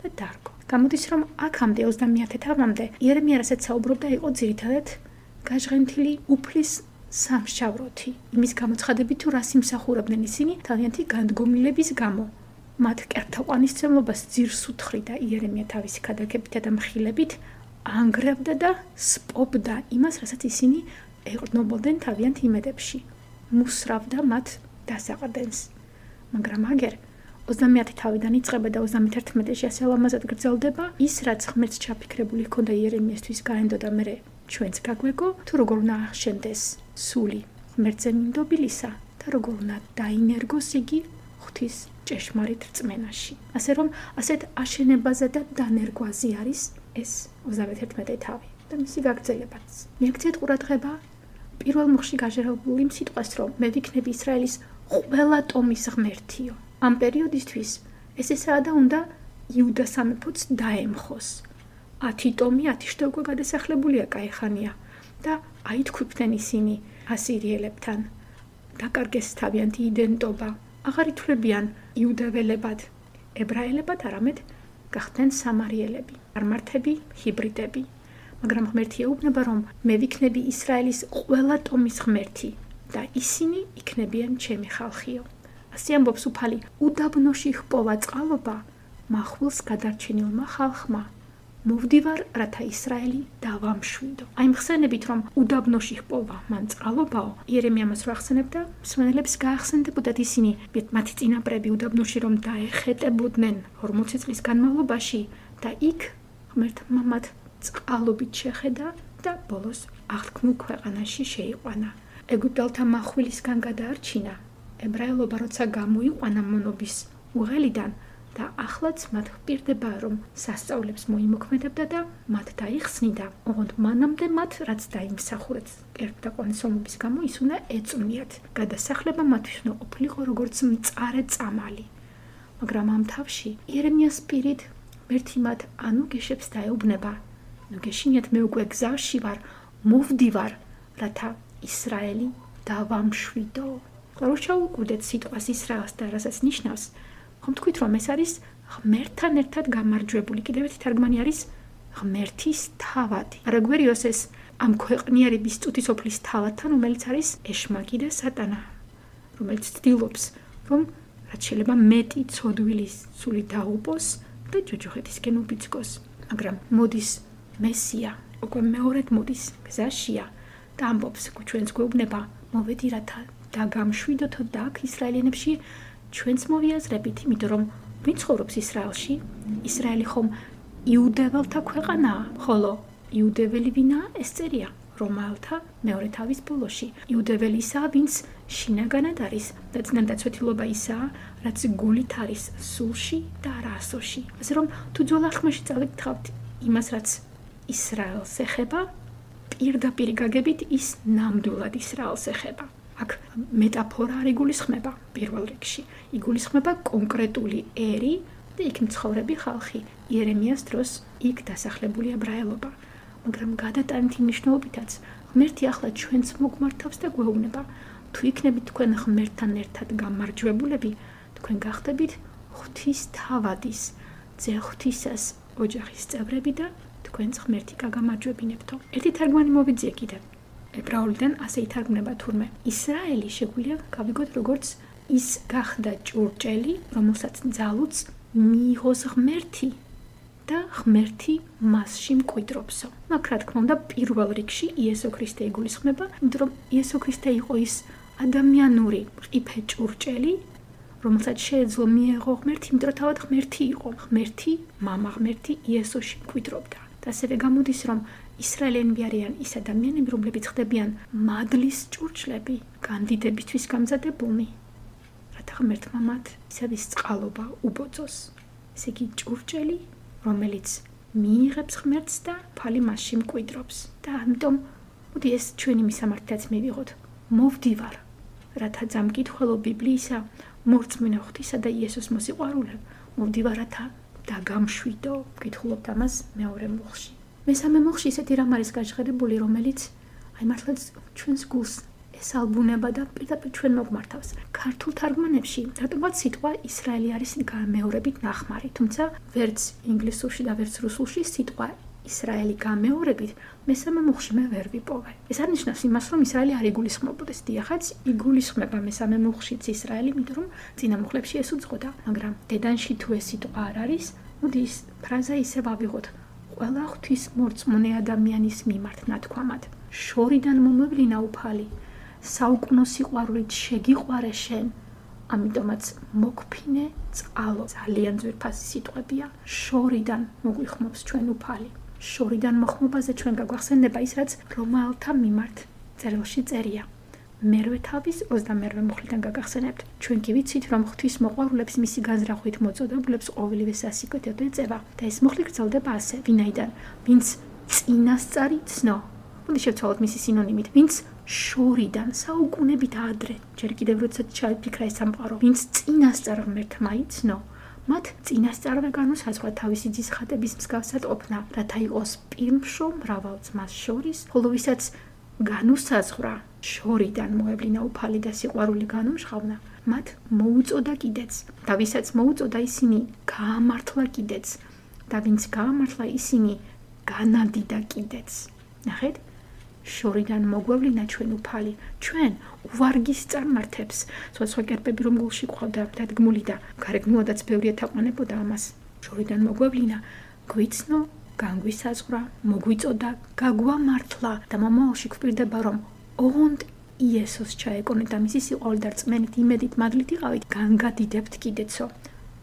და დარგო. გამოდის, რომ აქამდე ოცდამეათე თავამდე იერემია რასაც საუბრობდა, იყო ძირითადად გაჟღენთილი უფლის სამშავროთი, იმის გამოცხადებით თუ რას იმსახურებდნენ ისინი თავიანთი განდგომილების გამო. მათ კერთაყვანისმცემლობას ძირს უთხრიდა იერემია თავისი ქადაგებით და მხილებით ანგრევდა და სპობდა იმას, რასაც ისინი ეყრდნობოდნენ თავიანთ იმედებში, მუსრავდა მათ დასაყრდენს. მაგრამ აგერ ოცდამეათე თავიდან იწყება და ოცდამეთერთმეტეში ასე ლამაზად გრძელდება, ის რაც ღმერთს ჩაფიქრებული ჰქონდა იერემიასთვის გაენდოდა მერე ჩვენც გაგვეგო, თუ როგორ უნდა ახშენდეს სული ღმერთზე მინდობილისა და როგორ უნდა დაინერგოს იგი ღვთის ჭეშმარიტ რწმენაში. ასე რომ ასეთ აშენებაზე და დანერგვაზე არის ეს ოცდამეთერთმეტე თავი და მისი გაგრძელებაც. მიაქციეთ ყურადღება პირველ მუხში გაჟღერებული იმ სიტყვას, რომ მე ვიქნები ისრაელის ყველა ტომის ღმერთიო. ამ პერიოდისთვის ეს ესაა და უნდა იუდა სამეფოც დაემხოს. ათი ტომი ათი შტო უკვე გადასახლებულია კაიხანია და აითქვიფდნენ ისინი ასირიელებთან. დაკარგეს თავიანთი იდენტობა. აღარ ითვლებიან იუდაველებად, ებრაელებად, არამედ გახდნენ სამარიელები, წარმართები, ჰიბრიდები. მაგრამ ღმერთი ეუბნება, რომ მე ვიქნები ისრაელის ყველა ტომის ღმერთი და ისინი იქნებიან ჩემი ხალხიო. ასე ამბობს უფალი, უდაბნოში ჰპოვა წყალობა მახვილს გადარჩენილმა ხალხმა. მოვდივარ, რათა ისრაელი დავამშვიდო. აი მხსენებით, რომ უდაბნოში ჰპოვა მან წყალობაო, იერემია მას რო ახსენებდა, მსმენელებს გაახსენდებოდათ ისინი, მათი წინაპრები უდაბნოში რომ დაეხეტებოდნენ ორმოცი წლის განმავლობაში და იქ ღმერთმა მათ წყალობით შეხედა და ბოლოს აღთქმულ ქვეყანაში შეიყვანა. ეგვიპტელთა מחვილისგან გადაარჩინა. ებრაელობა როცა გამოიყვანა მონობის უღელიდან და ახლაც მათ ჰპირდება, რომ სასწაულებს მოიმოქმედებდა და მათ დაიხსნიდა, ოღონდ მანამდე მათ რაც დაიმსახურეთ კერპტაყვანისმცემლობის გამო ის უნდა ეწვნიათ. გადასახლება მათთვის უნდა ყოფილიყო როგორც მწარე წამალი. მაგრამ ამ თავში იერემიას პირით ღმერთი მათ ანუ გეშებს დაეუბნება, ნუ გეშინიათ, მე უკვე გზაში ვარ, მოვდივარ, რათა ისრაელი დავამშვიდო. რო ჩაუკვდეთ სიტყვას ისრაელს და რასაც ნიშნავს, ხომ თქვით, რომ ეს არის ღმერთთან ერთად გამარჯვებული. კიდევ ერთი თარგმანი არის ღმერთის თავადი. არაგვერიოს ეს ამ ქვეყნიერების წუთისოფლის თავადთან, რომელიც არის ეშმაკი და სატანა, რომელიც ცდილობს, რომ რაც შეიძლება მეტი ცოდვილის სული დაუპოს და ჯოჯოხეთისკენ უბიძგოს. მაგრამ მოდის მესია, უკვე მეორედ მოდის გზაშია და ამბობს, ჩვენს გვეუბნება, მოვედი რათა დაგამშვიდოთო და აქ ისრაელიანებში ჩვენც მოვიაზრებით, იმიტომ რომ ვინ ცხოვრობს ისრაელში? ისრაელი ხომ იუდეველთა ქვეყანაა, ხოლო იუდეველი ვინაა? ეს წერია რომაელთა მეორე თავის ბოლოში. იუდეველი ისაა, ვინც შინაგანად არის და წინადაცვეთილობა ისაა, რაც გულით არის სულში და არა ასოში. ასე რომ თუ ძველ აღთქმაში წავიკითხავთ იმას, რაც ისრაელს ეხება, პირდაპირ გაგებით ის ნამდვილად ისრაელს ეხება. აქ მეტაფორა არ იგულისხმება პირველ რიგში. იგულისხმება კონკრეტული ერი და იქ მცხოვრები ხალხი. იერემიას დროს იქ დასახლებული ებრაელობა. მაგრამ გადატანითი მნიშვნელობითაც ღმერთი ახლა ჩვენც მოგმართავს და გვეუბნება, თუ იქნებით თქვენ ღმერთთან ერთად გამარჯვებულები, თქვენ გახდებით ღვთის თავადის, ძე ღვთისას ოჯახის წევრები და თქვენც ღმერთი გაგამარჯვებინებთო. ერთი თარგმანი მოვიძიე კიდევ. ებრაულიდან ასე ითარგმნება თურმე. ისრაელი შეგვიძლია გავიგოთ როგორც ის გახდა ჭურჭელი, რომელსაც ძალუც მიიღოს ღმერთი და ღმერთი მასში მკვიდრობსო. მაგ რა თქმა უნდა პირველ რიგში იესო ქრისტე იგულისხმება, იმიტომ რომ იესო ქრისტე იყო ის ადამიანური მყიფე ჭურჭელი, რომელსაც შეეძლო მიეღო ღმერთი, იმიტომ რომ თავად ღმერთი იყო. ღმერთი, მამა ღმერთი იესოში მკვიდრობდა. და ასევე გამოდის, რომ ისრაელიანები არიან ის ადამიანები, რომლებიც ხდებიან მადლის ჭურჭლები, განდიდებისთვის გამზადებულნი, რათა ღმერთმა მათ ისევის წყალობა უბოძოს. ესე იგი ჭურჭელი, რომელიც მიიღებს ღმერთს და ფალი მასში მკვიდრობს. და ამიტომ მოდი ეს ჩვენი მისამართიც მივიღოთ. მოვდივარ, რათა ძამკითხველო ბიბლიისა, მორწმუნე ღვთისა და იესოს მოსიყვარულე, მოვდივარ, რათა დაგამშვიდო. ვკითხულობთ ამას მეორე მუხში. მესამე მუხში ისეთი რამ არის გაჟღერებული, რომელიც აი მართლაც ჩვენს გულს ესალბუნება და პირდაპირ ჩვენ მოგმართავს. ქართულ თარგმანებში დატოვა სიტყვა ისრაელი არის გამეორებით ნახმარი, თუმცა ვერც ინგლისურში და ვერც რუსულში სიტყვა ისრაელი გამეორებით მესამე მუხში მე ვერ ვიპოვე. ეს არნიშნავს იმას, რომ ისრაელი არ იგულისხმობოდეს. დიახაც, იგულისხმება მესამე მუხშიც ისრაელი, იმიტომ რომ წინა მუხლებში ეს უძღოდა, მაგრამ დედანში თუ ეს სიტყვა არ არის, მოდი ის ფრაზა ისე ვავიღოთ. ყველა ღვთის მორწმუნე ადამიანის მიმართ ნათქვამად. შორიდან მომევლინა უფალი, საუკუნო სიყვარულით შეგიყვარე შენ. ამიტომაც მოგფინე წყალო. ძალიან ძვირფასი სიტყვებია. შორიდან მოგვიხმობს ჩვენ უფალი. შორიდან მოხმობაზე ჩვენ გაგვახსენდება ის, რაც რომაელთა მიმართ წერილში წერია. მერვე თავის ოცდამერვე მუხლიდან გაგახსენებთ. ჩვენ კი ვიცით, რომ ღვთის მოყვარულებს მისი განზრახვით მოწოდებულებს ყოველივე სასიკვდილო ეწევა და ეს მუხლი გრძელდება ასე, ვინაიდან ვინც წინასწარი ცნო. მოდი შევცვალოთ მისი სინონიმით, ვინც შორიდან საუკუნებით ადრე, ჯერ კიდევ როდესაც ჩაიფიქრა ეს სამყარო, ვინც წინასწარ ღმერთმა იცნო, მათ წინასწარვე განუსაზღვრა თავისი ძის ხატების მსგავსად ყოფნა, რათა იყოს პირმშო მრავალ ძმას შორის, ხოლო ვისაც განუსაზღვრა შორიდან მოევლინა უფალი და სიყვარული განუმშღავნა, მათ მოუწოდა კიდეც, და ვისაც მოუწოდა ისინი გაამართლა კიდეც, და ვინც გაამართლა ისინი განადიდა კიდეც. ნახეთ? შორიდან მოგვევლინა ჩვენ უფალი, ჩვენ უვარგის წარმართებს, სხვა კერპები რომ გულში ყავდა დადგმული და გარეგნულადაც ბევრი ეთაყვანებოდა ამას. შორიდან მოგვევლინა, გვიცნო, განგვისაზღვრა, მოგვიწოდა, გაგვამართლა და მომავალში გვპირდება რომ ოღონდ იესოს ჩაეკონეთ და მისი სიყვარული და რწმენით, იმედით, მადლით იყავით, განგადიდებთ კიდეცო.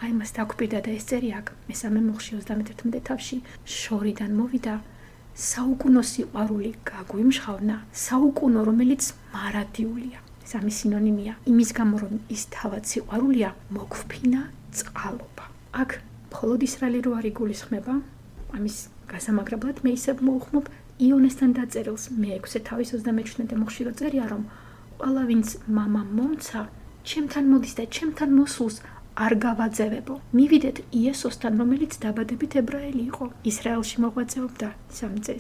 აი მას დაგვპირდა და ეს წერია აქ მესამე მუხში ოცდამეთერთმეტე თავში შორიდან მოვიდა. საუკუნო სიყვარული გაგვიმშღავნა, საუკუნო რომელიც მარადიულია. ეს ამის სინონიმია. იმის გამო რომ ის თავად სიყვარულია, მოგვფინა წყალობა. აქ მხოლოდ ისრაელი რო არ იგულისხმება, ამის გასამაგრებლად მე ისევ მოვხმობ იონესთან დაწერილს მეექვსე თავის ოცდამეჩვიდმეტე მუხში რო წერია რომ ყველა ვინც მამა მომცა, ჩემთან მოდის და ჩემთან მოსულს არ გავაძევებო. მივიდეთ იესოსთან, რომელიც დაბადებით ებრაელი იყო. ისრაელში მოღვაწეობდა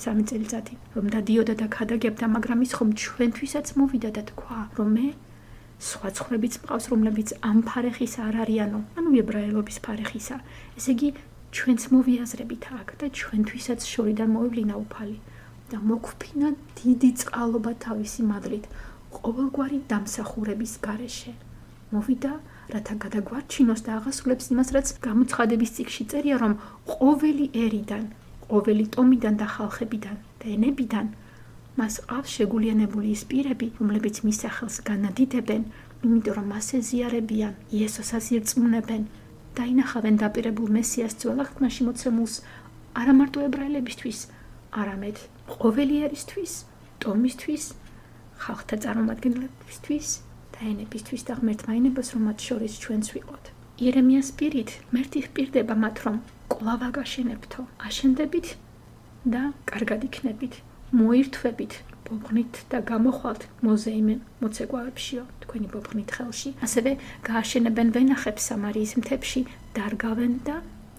სამი წელიწადი, რომ დადიოდა და ქადაგებდა, მაგრამ ის ხომ ჩვენთვისაც მოვიდა და თქვა, რომ მე სხვა ცხოვრებიც მყავს, რომლებიც ამ ფარეხის არ არიანო, ანუ ებრაელობის ფარეხისა. ესე იგი, ჩვენც მოვიაზრებით აქ და ჩვენთვისაც შორიდან მოევლინა უფალი და მოგვფინა დიდი წყალობა თავისი მადლით, ყოველგვარი დამსახურების გარეშე. მოვიდა რათა გადაგვარჩინოს და აღასრულებს იმას, რაც გამოცხადების წიგნში წერია, რომ ყოველი ერიდან, ყოველი ტომიდან და ხალხებიდან და ენებიდან მას ყავს შეგულიანებული ის პირები, რომლებიც მის სახელს განადიდებენ, იმიტომ რომ მას ეზიარებიან, იესოსაც ირწმუნებენ და ინახავენ დაპირებულ მესიას ძველაღთმაში მოცემულს არა მარტო ებრაელებისთვის, არამედ ყოველი ერისთვის, ტომისთვის, ხალხთა წარმომადგენლებისთვის და ენებისთვის და ღმერთმა ინებას, რომ მათ შორის ჩვენც ვიყოთ. იერემიას პირით ღმერთი ჰპირდება მათ, რომ კვლავ აგაშენებთო, აშენდებით და კარგად იქნებით, მოირთვებით, ბობღნით და გამოხვალთ მოზეიმენ მოცეკვავებშიო, თქვენი ბობღნით ხელში. ასევე გააშენებენ ვენახებს სამარიის მთებში, დარგავენ და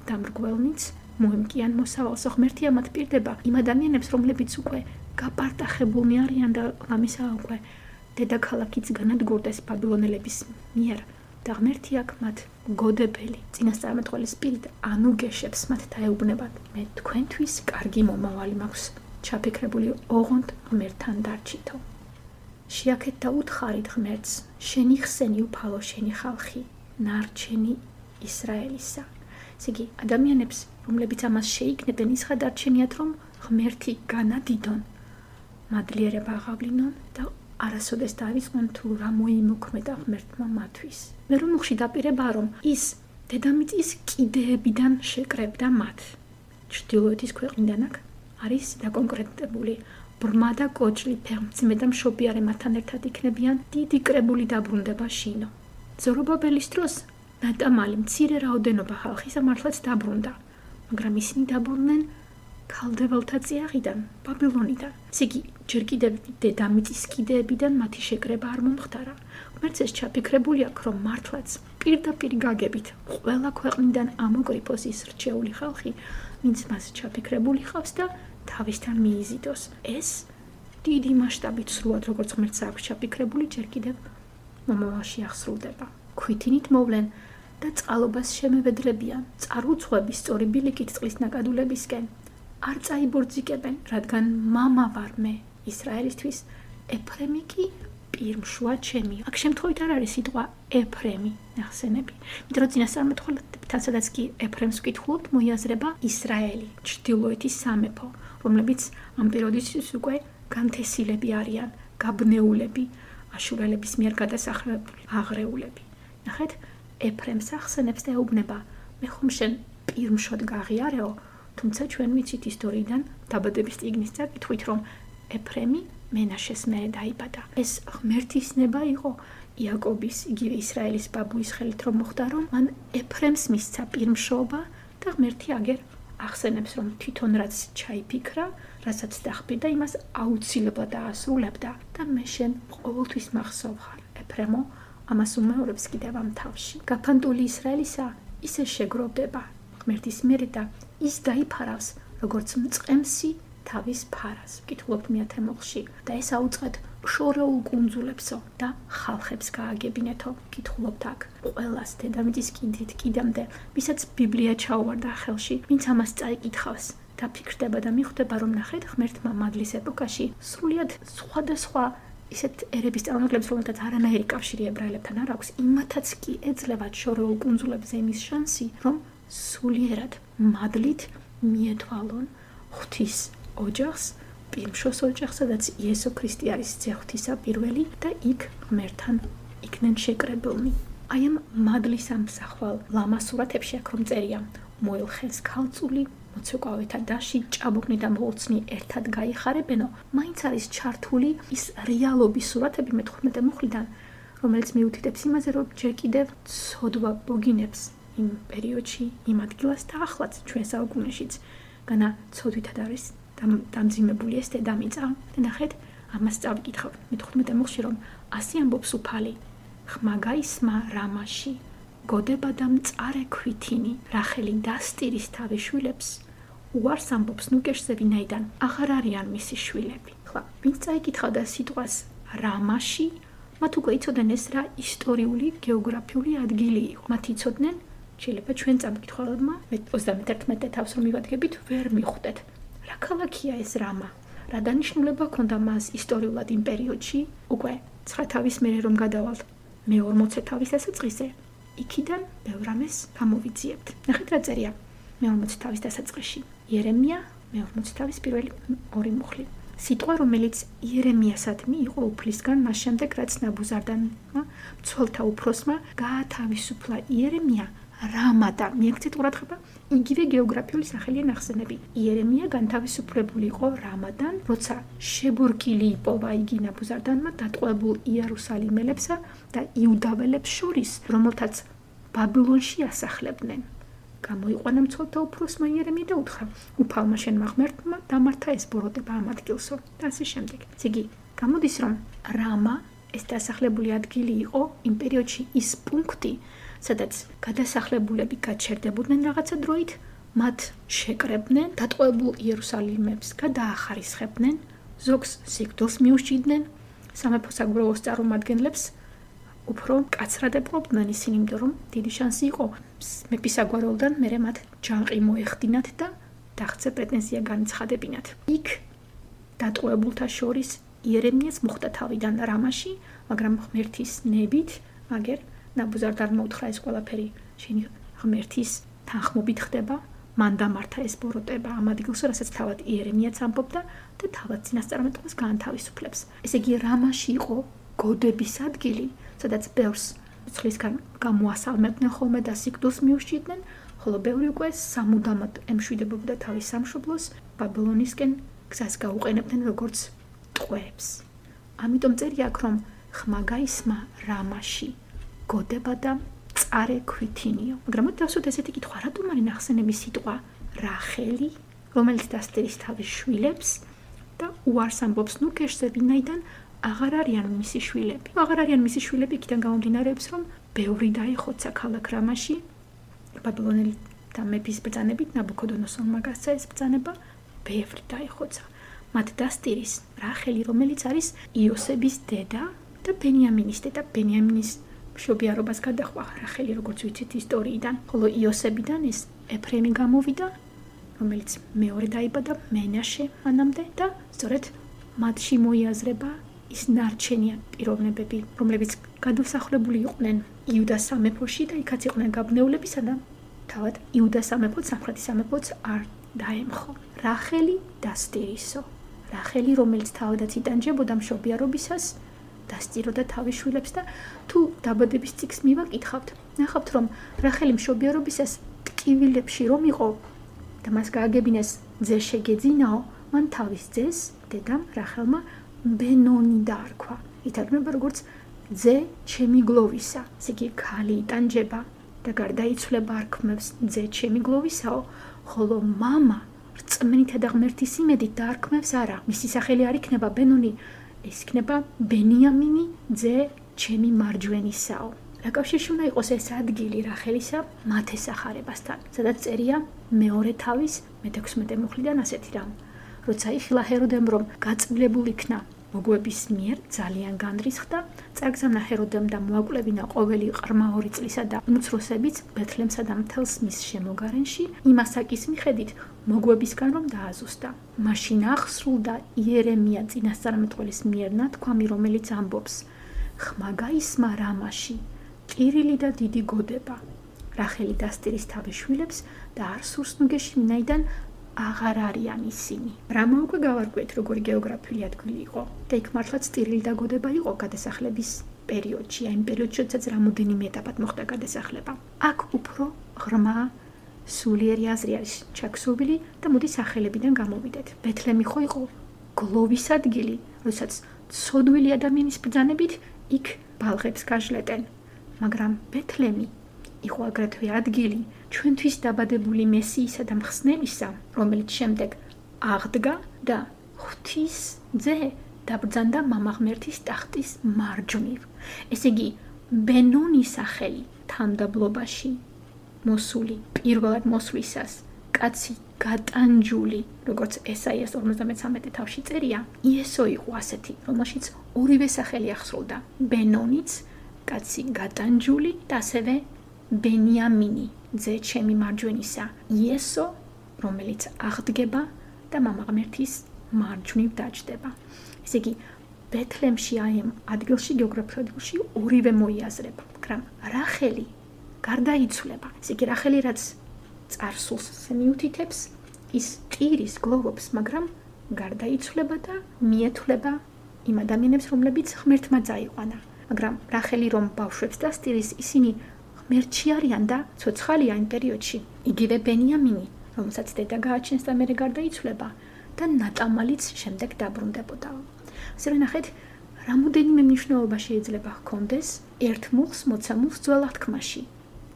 დამრგველნიც მოემკიან მოსავალს. ღმერთი ამათ პირდება იმ ადამიანებს, რომლებიც უკვე გაპარტახებულნი არიან და ლამისა უკვე დედაქალაქიც განადგურდეს ბაბილონელების მიერ და ღმერთი აქ მათ გოდებელი წინასწარმეტყველის პირით ანუგეშებს მათ დაეუბნებათ, მე თქვენთვის კარგი მომავალი მაქვს ჩაფიქრებული, ოღონდ ღმერთთან დარჩითო. შეაქეთ და უთხარით ღმერთს, შენი ხსენი უფალო, შენი ხალხი, ნარჩენი ისრაელისა. ესე იგი, ადამიანებს, რომლებიც ამას შეიქნებენ, ის ხადარჩენიათ, რომ ღმერთი განადიდონ, მადლიერება აღავლინონ და არასოდეს დავიწყონ თუ რა მოიმოქმედა ღმერთმა მათთვის. მე რომ უხში დაპირებაა, რომ ის დედამიწის კიდეებიდან შეკრებდა მათ. ჩრდილოეთის ქვეყნიდან აქ არის დაკონკრეტებული ბრმა და კოჭლი, ფეხმძიმე და მშობიარე მათთან ერთად იქნებიან დიდი კრებული დაბრუნდება შინო. ზორობაბელის დროს ნატამალი მცირე რაოდენობა ხალხისა მართლაც დაბრუნდა, მაგრამ ისინი დაბრუნდნენ ქალდეველთა წიაღიდან, ბაბილონიდან. ესე იგი, ჯერ კიდევ დედამიწის კიდეებიდან მათი შეკრება არ მომხდარა. ღმერთს ეს ჩაფიქრებული აქვს, რომ მართლაც პირდაპირ გაგებით ყველა ქვეყნიდან ამოკრიფოს ის რჩეული ხალხი, ვინც მას ჩაფიქრებული ხავს და თავისთან მიიზიდოს. ეს დიდი მასშტაბით სრულად როგორც ღმერთს აქვს ჩაფიქრებული, ჯერ კიდევ მომავალში აღსრულდება. ქვითინით მოვლენ და წყალობას შემევედრებიან, წარუძღვების სწორი ბილიკით წყლის ნაკადულებისკენ. არ წაიბორძიკებენ, რადგან მამა ვარ მე ისრაელისთვის, ეფრემი კი პირმშვა ჩემი. აქ შემთხვევით არ არის სიტყვა ეფრემი, ნახსენები. იმიტომ რომ წინასწარმეტყველებთან, სადაც კი ეფრემს ვკითხულობთ, მოიაზრება ისრაელი, ჩრდილოეთის სამეფო, რომლებიც ამ პერიოდისთვის უკვე განთესილები არიან, გაბნეულები, აშურელების მიერ გადასახლებული აღრეულები. ნახეთ, ეფრემს ახსენებს და ეუბნება, მე ხომ შენ პირმშოდ გაღიარეო, თუმცა ჩვენ ვიცით ისტორიიდან დაბადების წიგნის წაკითხვით, რომ ეფრემი მენაშეს მერე დაიბადა. ეს ღმერთის ნება იყო იაკობის, იგივე ისრაელის ბაბუის ხელით რომ მოხდა, რომ მან ეფრემს მისცა პირმშობა და ღმერთი აგერ ახსენებს, რომ თვითონ რაც ჩაიფიქრა, რასაც დახბირდა, იმას აუცილებლად დაასრულებდა და მე შენ ყოველთვის მახსოვ ხარ. ეფრემო ამას უმეორებს კიდევ ამ თავში. გაფანტული ისრაელისა ისე შეგროვდება ღმერთის მერე და ის დაიფარავს, როგორც მწყემსი თავის ფარას. ვკითხულობთ მეათე მუხლში და ეს აუწყეთ შორეულ კუნძულებსო და ხალხებს გააგებინეთო. ვკითხულობთ აქ ყველას დედამიწის კიდით კიდემდე, ვისაც ბიბლია ჩაუვარდა ხელში, ვინც ამას წაიკითხავს და ფიქრდება და მიხვდება, რომ ნახეთ ღმერთმა მადლის ეპოქაში სრულიად სხვადასხვა ისეთ ერების წარმომადგენლებს, რომელთაც არანაირი კავშირი ებრაელებთან არ აქვს, იმათაც კი ეძლევათ შორეულ კუნძულებზე იმის შანსი, რომ სულიერად მადლით მიეთვალონ ღვთის ოჯახს, პირმშოს ოჯახს, სადაც იესო ქრისტე არის ძეხვთისა პირველი და იქ ღმერთთან იქნენ შეკრებილნი. აი ამ მადლის ამსახველ ლამასურათებში აქ რომ წერია, მოელხეს ქალწული, მოცეკვავეთა დაში, ჭაბუკნი და მოლცნი ერთად გაიხარებენო, მაინც არის ჩართული ის რეალობის სურათები მეთორმეტე მუხლიდან, რომელიც მიუთითებს იმაზე, რომ ჯერ კიდევ ცოდვა ბოგინებს იმ პერიოდში, იმ ადგილას და ახლაც ჩვენ საუკუნეშიც, განა ცოდვითად არის დამძიმებული ეს დედამიწა. და ნახეთ, ამას წავიკითხავ მეთორმეტე მუხლში, რომ ასე ამბობს უფალი, ხმა გაისმა რამაში, გოდება და მწარე ქვითინი, რახელი დასტირის თავის შვილებს, უარს ამბობს ნუკეშზე, ვინაიდან აღარ არიან მისი შვილები. ხლა, ვინც წაიკითხავდა სიტყვას რამაში, მათ უკვე იცოდნენ ეს რა ისტორიული, გეოგრაფიული ადგილი იყო. მათ იცოდნენ, შეიძლება ჩვენ წამკითხველებმა ოცდამეთერთმეტე თავს რომ მივადგებით, ვერ მიხვდეთ. რა ქალაქია ეს რამა? რა დანიშნულება ჰქონდა მას ისტორიულად იმ პერიოდში? უკვე ცხრა თავის მერე რომ გადავალთ მეორმოცე თავის დასაწყისზე, იქიდან ბევრ რამეს გამოვიძიებთ. ნახეთ რა წერია მეორმოცე თავის დასაწყისში. იერემია მეორმოცე თავის პირველი ორი მუხლი. სიტყვა, რომელიც იერემიასადმი იყო უფლისგან, მას შემდეგ რაც ნაბუზარდანმა მცველთა უფროსმა გაათავისუფლა იერემია რამადან. მიექცეთ ყურადღება, იგივე გეოგრაფიული სახელია ნახსენები. იერემია განთავისუფლებული იყო რამადან, როცა შებურკილი იპოვა იგი ნაბუზარდანმა დატყვევებულ იერუსალიმელებსა და იუდაველებს შორის, რომელთაც ბაბილონში ასახლებდნენ. გამოიყვანა მცველთა უფროსმა იერემია და უთხრა, უფალმა შენმა ღმერთმა დამართა ეს ბოროტება ამ ადგილსო და ასე შემდეგ. ესე იგი, გამოდის რომ რამა ეს დასახლებული ადგილი იყო იმ პერიოდში ის პუნქტი, სადაც გადასახლებულები გაჩერდებოდნენ რაღაცა დროით, მათ შეკრებდნენ, დატყვევებულ იერუსალიმებს გადაახარისხებდნენ, ზოგს სიკვდილს მიუსჭიდნენ, სამეფო საგურაოს წარმომადგენლებს უფრო მკაცრად ეპყრობდნენ ისინი, იმიტომ რომ დიდი შანსი იყო მეფის საგვარეულოდან მერე მათ ჯანყი მოეხდინათ და დაღწე პრეტენზია განცხადებინათ. იქ დატყვევებულთა შორის იერემიას მოხვდა თავიდან რამაში, მაგრამ ღმერთის ნებით, მაგერ ნაბუზარდანმა უთხრა ეს ყველაფერი შენი ღმერთის თანხმობით ხდება, მან დამართა ეს ბოროტება ამ ადგილსო, რასაც თავად იერემიაც ამბობდა და თავად წინასწარმეტყველს გაანთავისუფლებს. ესე იგი, რამაში იყო გოდების ადგილი, სადაც ბევრს ცხრისგან გამოასალმებდნენ ხოლმე და სიკვდილს მიუსჭიდნენ, ხოლო ბევრი უკვე სამუდამოდ ემშვიდებოდა თავის სამშობლოს, ბაბილონისკენ გზას გაუყენებდნენ როგორც ტყვეებს. ამიტომ წერია აქ, რომ ხმა გაისმა რამაში, გოდება და მწარე ქვითინიო. მაგრამ მოდი დავსვათ ესეთი კითხვა, რატომ არის ნახსენების სიტყვა რახელი, რომელიც დასტირის თავის შვილებს და უარს ამბობს ნუკეშზე, ვინაიდან აღარ არიან მისი შვილები. აღარ არიან მისი შვილები, იქიდან გამომდინარეობს, რომ ბევრი დაიხოცა ქალაქ რამაში, ბაბილონელი და მეფის ბრძანებით, ნაბუქოდონოსორმა გასცა ეს ბრძანება, ბევრი დაიხოცა. მათ დასტირის რახელი, რომელიც არის იოსების დედა და ბენიამინის დედა. ბენიამინის მშობიარობას გადახვა რახელი, როგორც ვიცით ისტორიიდან, ხოლო იოსებიდან ეს ეფრემი გამოვიდა, რომელიც მეორე დაიბადა მენაშე მანამდე და სწორედ მათში მოიაზრება ის ნარჩენია პიროვნებები, რომლებიც გადასახლებული იყვნენ იუდას სამეფოში და იქაც იყვნენ გაბნეულები, სადაც თავად იუდას სამეფოც, სამხრეთის სამეფოც არ დაემხო. რახელი დასტირისო. რახელი, რომელიც თავადაც იტანჯებოდა მშობიარობისას, დასტიროდა თავის შვილებს და თუ დაბადების წიგნს მივაკითხავთ, ნახავთ, რომ რახელი მშობიარობისას ტკივილებში რომ იყო და მას გააგებინეს ძე შეგეძინაო, მან თავის ძეს, დედამ რახელმა ბენონი დაარქვა. ითარგმნება როგორც ძე ჩემი გლოვისა. ესე იგი, ქალი იტანჯება და გარდაიცვლება არქმევს ძე ჩემი გლოვისაო, ხოლო მამა რწმენითა და ღმერთის იმედით დაარქმევს არა. მისი სახელი არ იქნება ბენონი, ეს იქნება ბენიამინი ძე ჩემი მარჯვენისაო. რა კავშირში უნდა იყოს ეს ადგილი რახელისა მათ ესახარებასთან, სადაც წერია მეორე თავის მეთექვსმეტე მუხლიდან ასეთი რამ. როცა იხილა ჰეროდემ რომ გაწმილებული იქნა მოგვების მიერ ძალიან განრისხდა, წარგზავნა ჰეროდემ და მოაკვლევინა ყოველი ყრმა ორი წლისა და უმცროსებიც ბეთლემსა და მთელს მის შემოგარენში, იმ ასაკის მიხედით მოგვებისგან რომ დააზუსტა. მაშინ აღსრულდა იერემია წინასწარმეტყველის მიერ ნათქვამი, რომელიც ამბობს: ხმა გაისმა რამაში, კირილი და დიდი გოდება. რახელი დასტირის თავის შვილებს და არ სურს ნუგეში, ვინაიდან აღარ არიან ისინი. რამა უკვე გავარკვიეთ, როგორი გეოგრაფიული ადგილი იყო და იქ მართლაც ტირილი და გოდება იყო გადასახლების პერიოდში, აი იმ პერიოდში, როდესაც რამოდენიმე ეტაპად მოხდა გადასახლება. აქ უფრო ღრმა სულიერი აზრი არის ჩაქსოვილი და მოდი სახელებიდან გამოვიდეთ. ბეთლემი ხო იყო გლოვის ადგილი, როდესაც ცოდვილი ადამიანის ბრძანებით იქ ბალღებს გაჟლეტენ, მაგრამ ბეთლემი იყო აგრეთვე ადგილი ჩვენთვის დაბადებული მესიისა და მხსნელისა, რომელიც შემდეგ აღდგა და ღვთის ძე დაბრძანდა მამა ღმერთის ტახტის მარჯვნივ. ესე იგი, ბენონის სახელი თანმდაბლობაში მოსული, პირველად მოსვლისას, კაცი გატანჯული, როგორც ესაიას ორმოცდამეცამეტე თავში წერია, იესო იყო ასეთი, რომელშიც ორივე სახელი აღსრულდა. ბენონიც, კაცი გატანჯული და ასევე ბენიამინი, ძე ჩემი მარჯვენისა, იესო, რომელიც აღდგება და მამა ღმერთის მარჯვნივ დაჯდება. ესე იგი, ბეთლემში აი ამ ადგილში, გეოგრაფიულ ადგილში ორივე მოიაზრება, მაგრამ რახელი გარდაიცვლება. ესე იგი, რახელი რაც წარსულს მიუთითებს, ის ტირის გლოვობს, მაგრამ გარდაიცვლება და მიეთვლება იმ ადამიანებს, რომლებიც ღმერთმა წაიყვანა. მაგრამ რახელი რომ ბავშვებს დასტირის, ისინი ღმერთში არიან და ცოცხალია იმ პერიოდში. იგივე ბენიამინი, რომელსაც დედა გააჩენს და მერე გარდაიცვლება და ნატამალიც შემდეგ დაბრუნდებოდა. ასე რომ ნახეთ, რამოდენიმე მნიშვნელობა შეიძლება ჰქონდეს ერთ მუხლს მოცემულს ძველ აღთქმაში,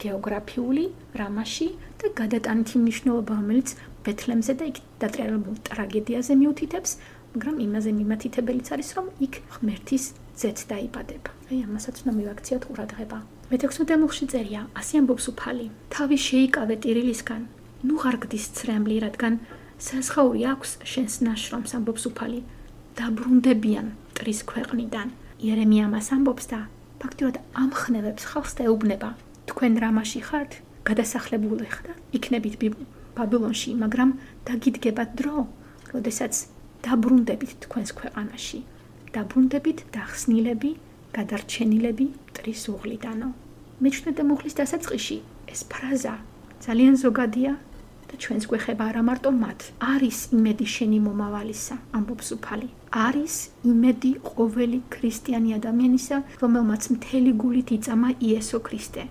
გეოგრაფიული რამაში და გადატანითი მნიშვნელობა, რომელიც ბეთლემზე და იქ დატრიალებულ ტრაგედიაზე მიუთითებს, მაგრამ იმაზე მიმართებელიც არის, რომ იქ ღმერთის ძეც დაიბადება. აი ამასაც უნდა მივაქციოთ ყურადღება. მეთექვსმეტე მუხლში წერია, ასე ამბობს უფალი: თავი შეიკავე ტირილისგან, ნუ ღარ გდის ცრემლი, რადგან საზღაური აქვს შენს ნაშრომს, ამბობს უფალი, დაბრუნდებიან ტრის ქვეყნიდან. იერემია ამას ამბობს და ფაქტიურად ამხნევებს ხალხს და ეუბნება: თქვენ რამაში ხართ, გადასახლებული ხართ, იქნებით ბაბილონში, მაგრამ დაგიდგებათ დრო, როდესაც დაბრუნდებით თქვენს ქვეყანაში. დაბრუნდებით დახსნილები, გადარჩენილები ტრის უღლიდანო. მეჩვენე მუხლის დასაწყისში ეს ფრაზა ძალიან ზოგადია და ჩვენს გვეხება არა მარტო მათ. არის იმედი შენი მომავალისა, ამბობს უფალი. არის იმედი ყოველი ქრისტიანი ადამიანისა, რომელმაც მთელი გულით იწამა იესო ქრისტე.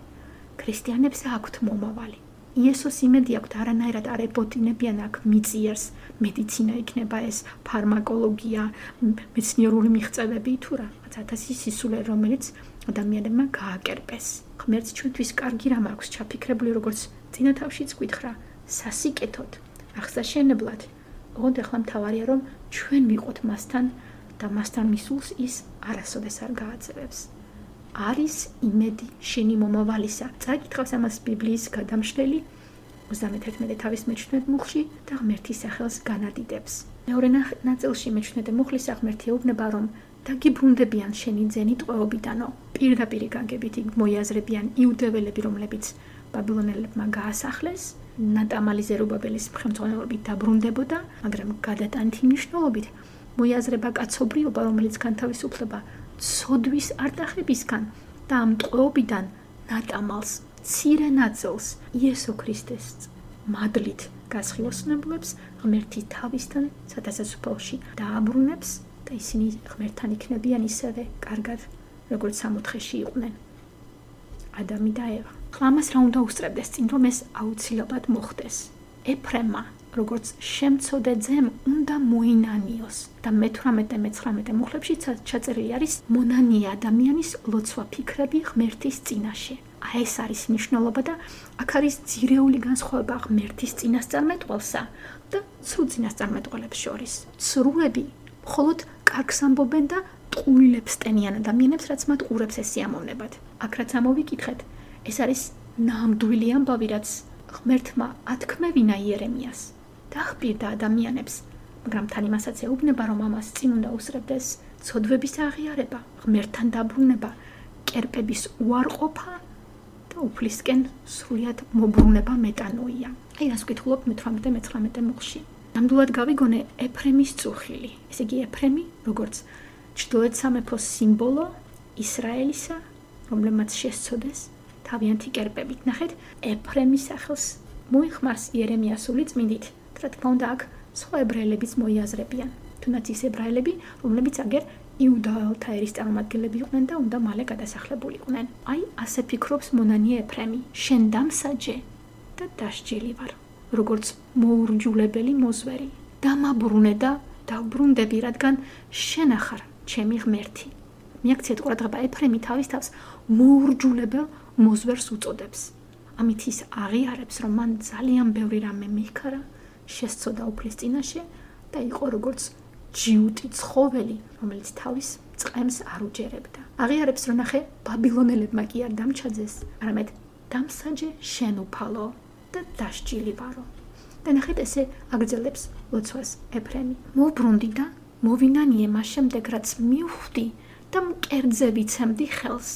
ქრისტიანებს აქვთ მომავალი. იესოს იმედი აქვთ, არანაირად არ ებოტინებიან აქ მიწიერს, მედიცინა იქნება ეს, ფარმაკოლოგია, მეცნიერული მიღწევები თუ რაღაც ათასი სისულე, რომელიც ადამიანებმა გააკერპეს. ღმერთს ჩვენთვის კარგი რამ აქვს ჩაფიქრებული, როგორც წინა თავშიც გითხრა, სასიკეთოდ, აღსაშენებლად. ოღონდ ახლა მთავარია, რომ ჩვენ ვიყოთ მასთან და მასთან მისულს ის არასოდეს არ გააძევებს. არის იმედი შენი მომავალისა. წაკითხავს ამას ბიბლიის გადამშლელი ოცდამეთერთმეტე თავის მეჩვენე მუხლში და ღმერთის სახელს განადიდებს. მეორე ნაწილში მეჩვენე მუხლის აღმერთი ეუბნება, რომ დაგიბრუნდებიან შენი ძენი ტყვეობიდანო. პირდაპირ გაგებით მოიაზრებიან იუდეველები, რომლებიც ბაბილონელებმა გაასახლეს, ნატამალი ზერუბაბელის ხელმძღვანელობით დაბრუნდებოდა, მაგრამ გადატანითი მნიშვნელობით მოიაზრება კაცობრიობა, რომელიც განთავისუფლება ცოდვის არტახებისგან და ამ ტყვეობიდან ნატამალს, მცირე ნაწილს იესო ქრისტეს მადლით გასხილოსნებლებს ღმერთის თავისთან სათასაცოფლოში დააბრუნებს და ისინი ღმერთთან იქნებიან ისევე კარგად, როგორც სამოთხეში იყვნენ ადამი და ევა. ამას რა უნდა უსწრებდეს წინ, რომ ეს აუცილებლად მოხდეს. ეფრემმა, როგორც შემცოდე ძემ, უნდა მოინანიოს და მეთვრამეტე მეცხრამეტე მუხლებში ჩაწერილი არის მონანია ადამიანის ლოცვა ფიქრები ღმერთის წინაშე. აი ეს არის მნიშვნელობა და აქ არის ძირეული განსხვავება ღმერთის წინასწარმეტყველსა და ცრუ წინასწარმეტყველებს შორის. ცრუები მხოლოდ კარგს ამბობენ და ტყუილებს ტენიან ადამიანებს, რაც მათ ყურებს ესიამოვნებად. აქ რაც ამოვიკითხეთ, ეს არის ნამდვილი ამბავი, რაც ღმერთმა ათქმევინა იერემიას. დაახპირდა ადამიანებს, მაგრამ თან იმასაც ეუბნება, რომ ამას წინ უნდა უსწრებდეს ცოდვების აღიარება, ღმერთთან დაბრუნება, კერპების უარყოფა და უფლისკენ სრულად მობრუნება მეტანოია. აი რას ვკითხულობ მეთვრამეტე მეცხრამეტე მუხლში. ნამდვილად გავიგონე ეფრემის წუხილი. ესე იგი ეფრემი, როგორც ჩრდილოეთ სამეფოს სიმბოლო ისრაელისა, რომლებმაც შესწოდეს თავიანთი კერპებით. ნახეთ, ეფრემის სახელს მოიხმარს იერემიას სული წმინდით. რა თქმა უნდა, აქ სხვა ებრაელებიც მოიაზრებიან. თუნდაც ის ებრაელები, რომლებიც აგერ იუდაელთა ერის წარმომადგენლები იყვნენ და უნდა მალე გადასახლებულიყვნენ. აი, ასე ფიქრობს მონანიე ეფრემი. შენ დამსაჯე და დასჯელი ვარ, როგორც მოურჯულებელი მოზვერი. დამაბრუნე და დავბრუნდები, რადგან შენ ახარ ჩემი ღმერთი. მიაქციეთ ყურადღება, ეფრემი თავის თავს მოურჯულებელ მოზვერს უწოდებს. ამით ის აღიარებს, რომ მან ძალიან ბევრი რამე მიჰქარა, შესწოდა უფლის წინაშე და იყო როგორც ჯიუტი ცხოველი, რომელიც თავის წყემს არ უჯერებდა. აღიარებს, რომ ნახე, ბაბილონელებმა კი არ დამჩაძეს, არამედ დამსაჯე შენ უფალო და დასჯილი ვარო. და ნახეთ, ესე აგრძელებს ლოცვას ეფრემი. მოვბრუნდი და მოვინანიე მას შემდეგ, რაც მივხვდი და მკერდზე ვიცემდი ხელს.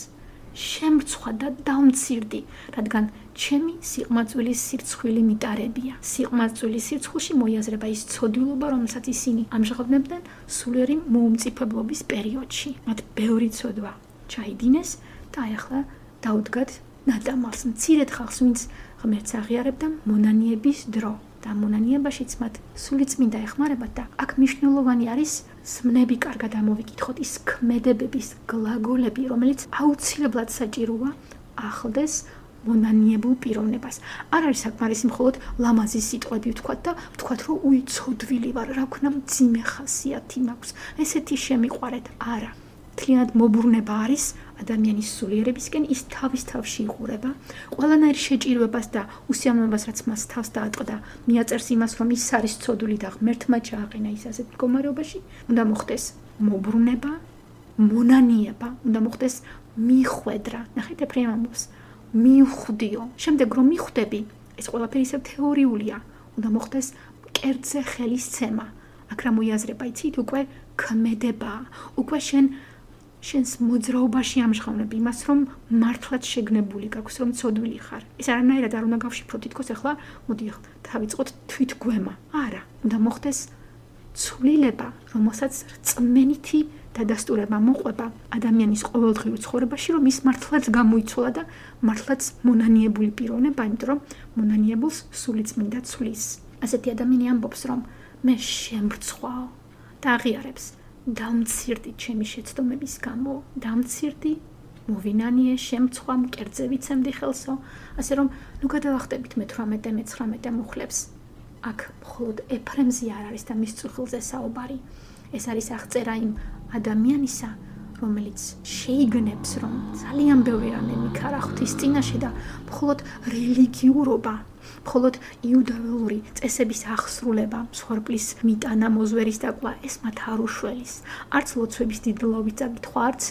შემრცხვა და დავმცირდი, რადგან ჩემი სიყმაწვილის სირცხვილი მიტარებია. სიყმაწვილის სირცხვილში მოიაზრება ის ცოდილობა, რომელსაც ისინი ამჟღავნებდნენ სულიერი მოუმწიფებლობის პერიოდში. მათ ბევრი ცოდვა ჩაიდინეს და აი ახლა დაუდგათ ნატამალს, მცირედ ხალხს, ვინც ღმერთს აღიარებდა მონანიების დრო. და მონანიებაშიც მათ სული წმინდა ეხმარებათ და აქ მნიშვნელოვანი არის სმნები კარგად ამოვიკითხოთ, ის ქმედებების გლაგოლები, რომელიც აუცილებლად საჭიროა ახლდეს მონანიებულ პიროვნებას. არ არის საკმარისი მხოლოდ ლამაზი სიტყვები ვთქვათ და ვთქვათ, რომ უიცოდვილი ვარ, რა ვქნა მძიმე ხასიათი მაქვს, ესეთი შემიყვარეთ. არა, მთლიანად მობრუნება არის ადამიანის სულიერებისკენ, ის თავის თავში იყურება, ყველანაირ შეჭირვებას და უსიამოვნებას, რაც მას თავს დაატყდა, მიაწერს იმას, რომ ის არის ცოდული და ღმერთმა ჩააყენა ის ასეთ მდგომარეობაში, უნდა მოხდეს მობრუნება, მონანიება, უნდა მოხდეს მიხვედრა. ნახეთ, ეფრემი ამბობს, მივხვდიო. შემდეგ რომ მიხვდები, ეს ყველაფერი ისევ თეორიულია, უნდა მოხდეს კერძზე ხელისცემა. აქ რა მოიაზრება, იცით, უკვე ქმედება, უკვე შენ შენს მოძრაობაში ამჟღავნები იმას, რომ მართლაც შეგნებული გაქვს, რომ ცოდვილი ხარ. ეს არანაირად არ უნდა გავშიფრო, თითქოს ახლა მოდი დავიწყოთ თვითგვემა. არა, უნდა მოხდეს ცვლილება, რომელსაც რწმენითი დადასტურება მოყვება ადამიანის ყოველდღიურ ცხოვრებაში, რომ ის მართლაც გამოიცვალა და მართლაც მონანიებული პიროვნება, იმიტომ რომ მონანიებულს სული წმინდა ცვლის. ასეთი ადამიანი ამბობს, რომ მე შემრცხვაო და აღიარებს, დამცირდი ჩემი შეცდომების გამო, დამცირდი, მოვინანიე, შემრცხვა, მკერდზე ვიცემდი ხელსო, ასე რომ ნუ გადავახტებით მეთვრამეტე მეცხრამეტე მუხლებს. აქ მხოლოდ ეფრემზე არ არის და მის წუხილზე საუბარი. ეს არის აღწერა იმ ადამიანისა, რომელიც შეიგნებს, რომ ძალიან ბევრი რამე მიქარა ღვთის წინაშე და მხოლოდ რელიგიურობა, მხოლოდ იუდაელური წესების აღსრულება, მსხვერპლის მიტანა, მოზვერის დაკლა, ეს მათ არ უშველის. არც ლოცვების დიდლობით წაკითხვა, არც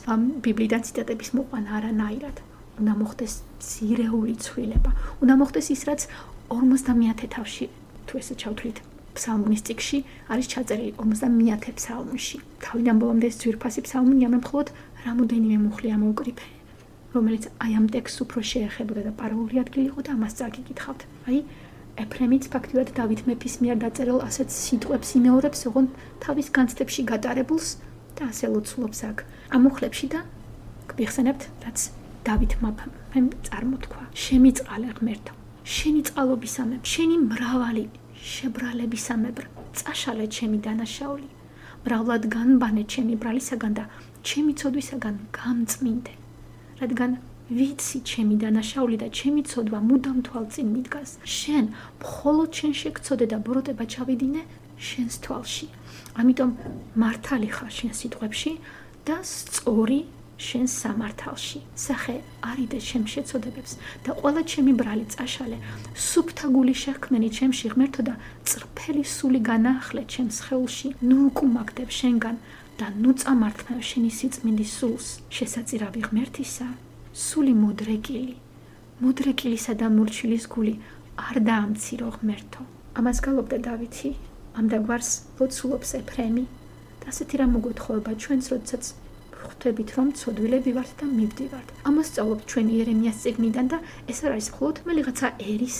ბიბლიიდან ციტატების მოყვანა არანაირად. უნდა მოხდეს ძირეული ცვლილება. უნდა მოხდეს ის, რაც ორმოცდამეათე თავში, თუ ესე ჩავთვლით, ფსალმუნის წიგნში არის ჩაწერილი ორმოცდამეათე ფსალმუნში. თავიდან ბოლომდე ეს ძვირფასი ფსალმუნი ამე მხოლოდ რამოდენიმე მუხლი ამოვკრიფე, რომელიც აი ამ ტექსტს უფრო შეეხებოდა და პარალელური ადგილი იყო და ამას წაგიკითხავთ. აი ეფრემიც ფაქტიურად დავით მეფის მიერ დაწერილ ასეთ სიტყვებს იმეორებს, ოღონდ თავის განცდებში გატარებულს და ასე ლოცულობს აქ ამ მუხლებში და გიხსენებთ, რაც დავით მეფემ წარმოთქვა. შემიწყალე ღმერთო, შენი წყალობისამებრ, შენი მრავალი შებრალებისამებრ, წაშალე ჩემი დანაშაული, მრავლად განბანე ჩემი ბრალისაგან და ჩემი ცოდვისაგან გამწმინდე, რადგან ვიცი ჩემი დანაშაული და ჩემი ცოდვა მუდამ თვალწინ მიდგას. შენ მხოლოდ შენ შეგცოდე და ბროტება ჩავიდინე შენს თვალში. ამიტომ მართალი ხარ შენ სიტყვებში და სწორი შენ სამართალში. სახე არიდე ჩემ შეცოდებებს და ყველა ჩემი ბრალი წაშალე. სუფთა გული შექმნენი ჩემში ღმერთო და წრფელი სული განაახლე ჩემს სხეულში. ნუ უკუმაგდებ შენგან და ნუ წამართმევ შენი სიწმინდის სულს. შესაწირავი ღმერთისა, სული მოდრეკილი, მოდრეკილისა და მურჩილის გული არ დაამცირო ღმერთო. ამას გალობდა დავითი, ამ დაგვარს ლოცულობს ეფრემი და ასეთი რამ მოგვითხოვება ჩვენს, როდესაც ხვდებით რომ ცოდვილები ვართ და მივდივართ. ამას სწავლობთ ჩვენ იერემიას წიგნიდან და ეს არ არის მხოლოდ მელიღაცა ერის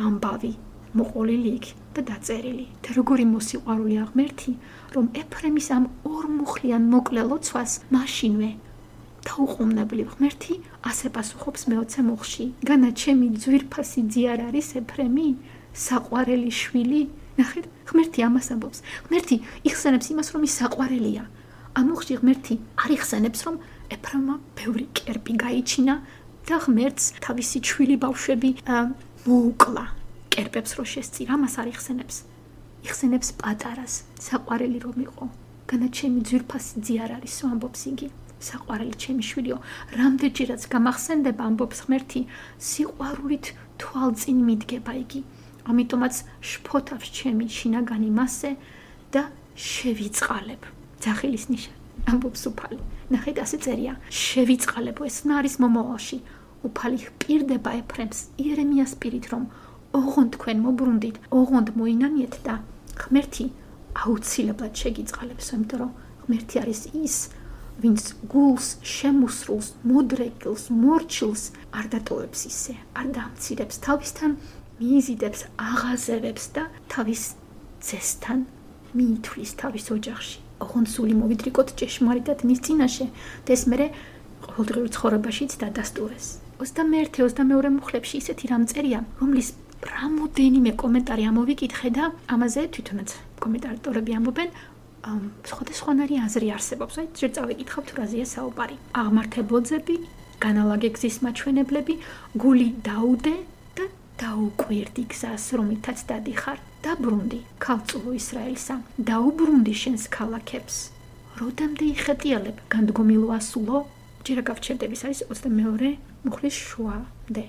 ამბავი მოყოლილი იქ და დაწერილი. და როგორი მოსიყვარულია ღმერთი, რომ ეფრემის ამ ორმუხლიან მოკლე ლოცვას მაშინვე დაუყოვნებლივ ღმერთი ასე პასუხობს მეოცე მუხლში. განა ჩემი ძვირფასი ძიარ არის ეფრემი, საყვარელი შვილი. ნახეთ, ღმერთი ამას ამბობს. ღმერთი იხსენებს იმას, რომ ის საყვარელია. ამ მუხლში ღმერთი არ იხსენებს, რომ ეფრემმა ბევრი კერპი გაიჩინა და ღმერთს თავისი ჩვილი ბავშვები მოუკლა. კერპებს რო შესწირა, ამას არ იხსენებს. იხსენებს პატარას, საყვარელი რომ იყო. განა ჩემი ძვირფასი ძიარ არისო, ამბობს იგი. საყვარელი ჩემი შვილიო, რამდენჯერაც გამახსენდება, ამბობს ღმერთი, სიყვარულით თვალწინ მიდგება იგი. ამიტომაც შფოთავს ჩემი შინაგანი მასე და შევიწყალებ. ძახილის ნიშანი, ამბობს უფალი. ნახეთ, ასე წერია, შევიწყალებო, ეს არის მომავალში. უფალი ჰპირდება ეფრემს იერემიას პირით, რომ ოღონდ თქვენ მობრუნდით, ოღონდ მოინანიეთ და ღმერთი აუცილებლად შეგიწყალებს, იმიტომ რომ ღმერთი არის ის, ვინც გულს, შემოსრულს, მოდრეკილს, მორჩილს არ დატოვებს ისე, არ დამცირებს, თავისთან მიიზიდებს, აღაზევებს და თავის ძესთან მიითვლის თავის ოჯახში. ოღონდ სული მოვიდრიკოთ ჭეშმარიტად მის წინაშე და ეს მერე ყოველდღიურ ცხოვრებაშიც დადასტურეს. ოცდამეერთე ოცდამეორე მუხლებში ისეთი რამ წერია, რომლის რამოდენიმე კომენტარი ამოვიკითხე და ამაზე თვითონაც კომენტატორები ამბობენ, სხვადასხვანაირი აზრი არსებობს. აი, ჯერ წავიკითხავთ თუ რაზეა საუბარი. აღმართებოძები, განალაგე გზის მაჩვენებლები, გული დაუდე და დაუკვირდი გზას, რომლითაც დადიხარ. დაბრუნდი, ქალწულო ისრაელსა, დაუბრუნდი შენს ქალაქებს. როდემდე იხეტიალებ, განდგომილო ასულო? ჯერ გავჩერდების არის ოცდამეორე მუხლის შუამდე,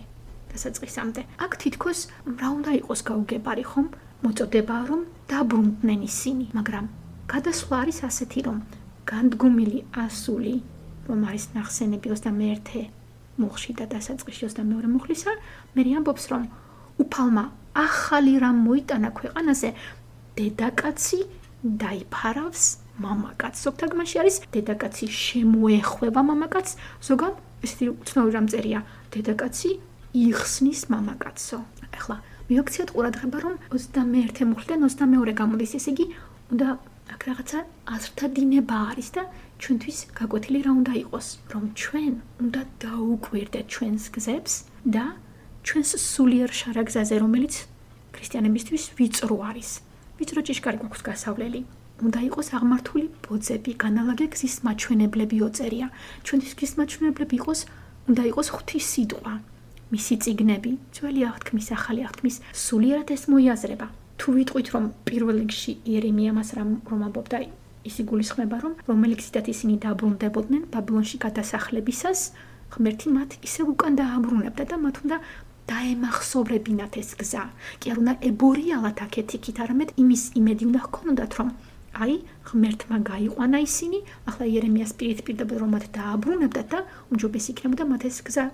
დასაწყისამდე. აქ თითქოს რა უნდა იყოს გაუგებარი ხომ? მოწოდებაა რომ დაბრუნდნენ ისინი, მაგრამ გადასვლა არის ასეთი, რომ განდგომილი ასული, რომ არის ნახსენები ოცდამეერთე მუხლში და დასაწყისში ოცდამეორე მუხლისა, მე ამბობს, რომ უფალმა ახალი რამ მოიტანა ქვეყანაზე, დედაკაცი დაიფარავს მამაკაცს. ზოგ თარგმანში არის დედაკაცი შემოეხვება მამაკაცს, ზოგან ესეთი უცნაური რამ წერია, დედაკაცი იხსნის მამაკაცსო. ახლა მივაქციოთ ყურადღება, რომ ოცდამეერთე მუხლიდან ოცდამეორე გამოდის, ესე იგი უნდა აქ რაღაცა აზრთა დინება არის და ჩვენთვის გაკვეთილი რა უნდა იყოს, რომ ჩვენ უნდა დაუკვირდეთ ჩვენს გზებს და ჩვენს სულიერ შარაგზაზე, რომელიც ქრისტიანებისთვის ვიწრო არის. ვიწრო ჭიშკარი გვაქვს გასავლელი. უნდა იყოს აღმართული ბოძები, განალაგე გზის მაჩვენებლები ოწერია. ჩვენთვის გზის მაჩვენებლები იყოს, უნდა იყოს ღვთის სიტყვა, მისი წიგნები, ძველი აღთქმის, ახალი აღთქმის, სულიერად ეს მოიაზრება. თუ ვიტყვით, რომ პირველ რიგში იერემია მას რომ ამბობდა, ის იგულისხმება, რომ რომელი გზითაც ისინი დაბრუნდებოდნენ ბაბილონში გადასახლებისას, ღმერთი მათ ისევ უკან დააბრუნებდა და მათ უნდა დაემახსოვრებინათ ეს გზა. კი არ უნდა ებორიალათ აქეთ იქით, არამედ იმის იმედი უნდა ჰქონოდათ, რომ აი, ღმერთმა გაიყვანა ისინი, ახლა იერემიას პირით პირდაპირ რომ მათ დააბრუნებდათ და უმჯობესი იქნებოდა მათ ეს გზა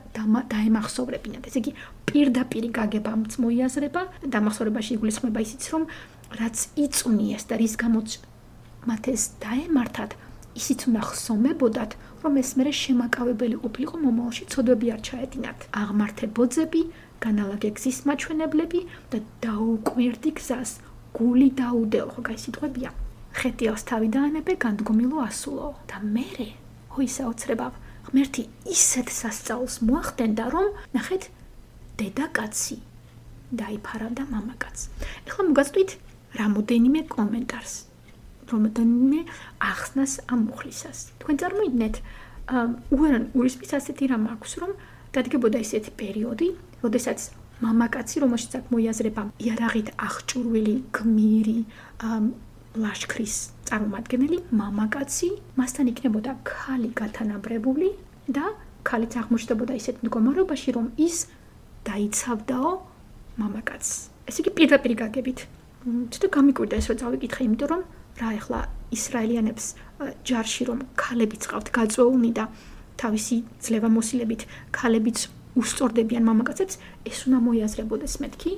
დაემახსოვრებინათ. ესე იგი, პირდაპირ გაგებამც მოიაზრება, დამახსოვრებაში იგულისხმება ისიც, რომ რაც იწვნიეს და რის გამოც მათ ეს დაემართათ, ისიც უნდა ხსომებოდათ, რომ ეს მერე შემაკავებელი ყოფილიყო მომავალში ცოდვები არ ჩაედინათ. აღმართებოძები, განალაგე გზის მაჩვენებლები და დაუკვირდი გზას, გული დაუდეო, ხო კაი სიტყვებია. ხეტიავს თავი დაანებე, განდგომილო ასულო. და მერე, ხო ისაოცრებავ, ღმერთი ისეთ სასწაულს მოახდენდა, რომ ნახეთ, დედაკაცი დაიფარავდა მამაკაცს. ეხლა მოგაწვით რამოდენიმე კომენტარს, რამოდენიმე ახსნას ამ მუხლისას. თქვენ წარმოიდგინეთ, უერან ურისპის ასეთი რამ აქვს, რომ დადგებოდა ისეთი პერიოდი, როდესაც მამაკაცი, რომელშიც აქ მოიაზრება იარაღით აღჭურვილი გმირი ლაშქრის წარმომადგენელი, მამაკაცი, მასთან იქნებოდა ქალი გათანაბრებული და ქალიც აღმოჩნდებოდა ისეთ მდგომარეობაში, რომ ის დაიცავდაო მამაკაცს. ესე იგი პირდაპირ გაგებით. ცოტა გამიკვირდა ეს, რომ წავიკითხე, იმიტომ რომ რა ეხლა ისრაელიანებს ჯარში რომ ქალებიც ყავთ გაწვეულნი და თავისი ძლევამოსილებით ქალებიც უსწორდებიან მამაკაცებს, ეს უნდა მოიაზრებოდეს მეთქი.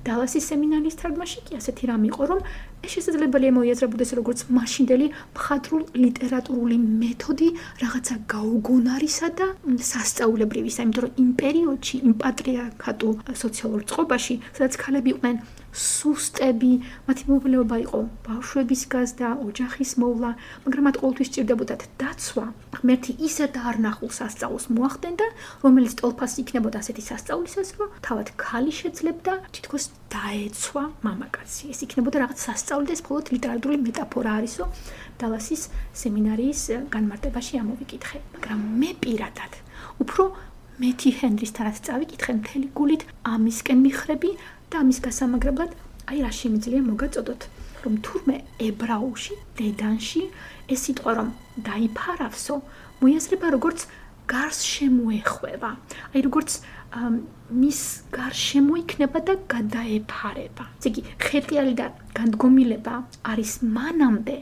დალასის სემინარიის თარგმანში კი ასეთი რამ იყო, რომ ეს შესაძლებელია მოიაზრებოდეს როგორც მაშინდელი მხატვრულ ლიტერატურული მეთოდი რაღაცა გაუგონარისა და სასწაულებრივისა, იმიტომ რომ იმ პერიოდში, იმ პატრიარქატულ სოციალურ წყობაში, სადაც ქალები იყვნენ სუსტები, მათი მოვლეობა იყო ბავშვების გაზრდა, ოჯახის მოვლა, მაგრამ მათ ყოველთვის სჭირდებოდათ დაცვა. ღმერთი ისეთ არნახულ სასწაულს მოახდენდა, რომელიც ტოლფას იქნებოდა ასეთი სასწაულისას, რომ თავად ქალი შეძლებდა თითქოს დაეცვა მამაკაცი. ეს იქნებოდა რაღაც სასწაული და ეს მხოლოდ ლიტერატურული მეტაფორა არისო, დალასის სემინარიის განმარტებაში ამოვიკითხე. მაგრამ მე პირადად უფრო მეტი ჰენრისთანაც წავიკითხე მთელი გულით ამისკენ მიხრები და ამის გასამაგრებლად, აი რა შემიძლია მოგაწოდოთ, რომ თურმე ებრაულში, დედანში ეს სიტყვა რომ დაიფარავსო, მოიაზრება როგორც გარს შემოეხვევა. აი როგორც მის გარშემო იქნება და გადაეფარება. ესე იგი, ხეტიალი და განდგომილება არის მანამდე,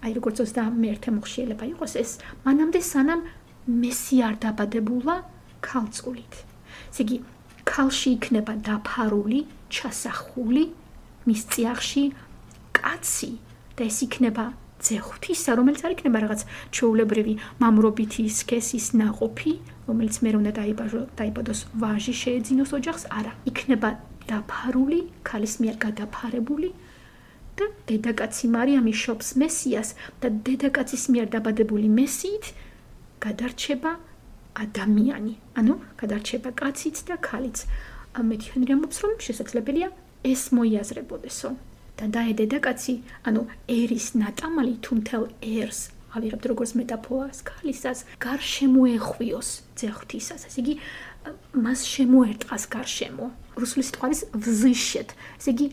აი როგორც ოცდამეერთე მოხშიელება იყოს ეს, მანამდე სანამ მესი არ დაბადებულა ქალწულით. ესე იგი, ქალში იქნება დაფარული, ჩასახული, მის წიაღში კაცი და ეს იქნება ძეხვთისა, რომელიც არ იქნება რაღაც ჩვეულებრივი მამრობითი სქესის ნაყოფი, რომელიც მე უნდა დაიბადოს ვაჟი შეეძინოს ოჯახს, არა, იქნება დაფარული, ქალის მიერ გადაფარებული და დედაკაცი მარიამი შობს მესიას და დედაკაცის მიერ დაბადებული მესიით გადარჩება ადამიანი, ანუ გადარჩება კაციც და ქალიც. მეთი ჰენრი ამბობს, რომ შესაძლებელია ეს მოიაზრებოდესო. და დაე დედაკაცი, ანუ ერის ნატამალი თუ მთელ ერს ავიღებთ როგორც მეტაფორას ქალისას, გარშემოეხვიოს ძეხვთისას. ესე იგი, მას შემოერტყას გარშემო. რუსული სიტყვა არის ვზიშეთ. ესე იგი,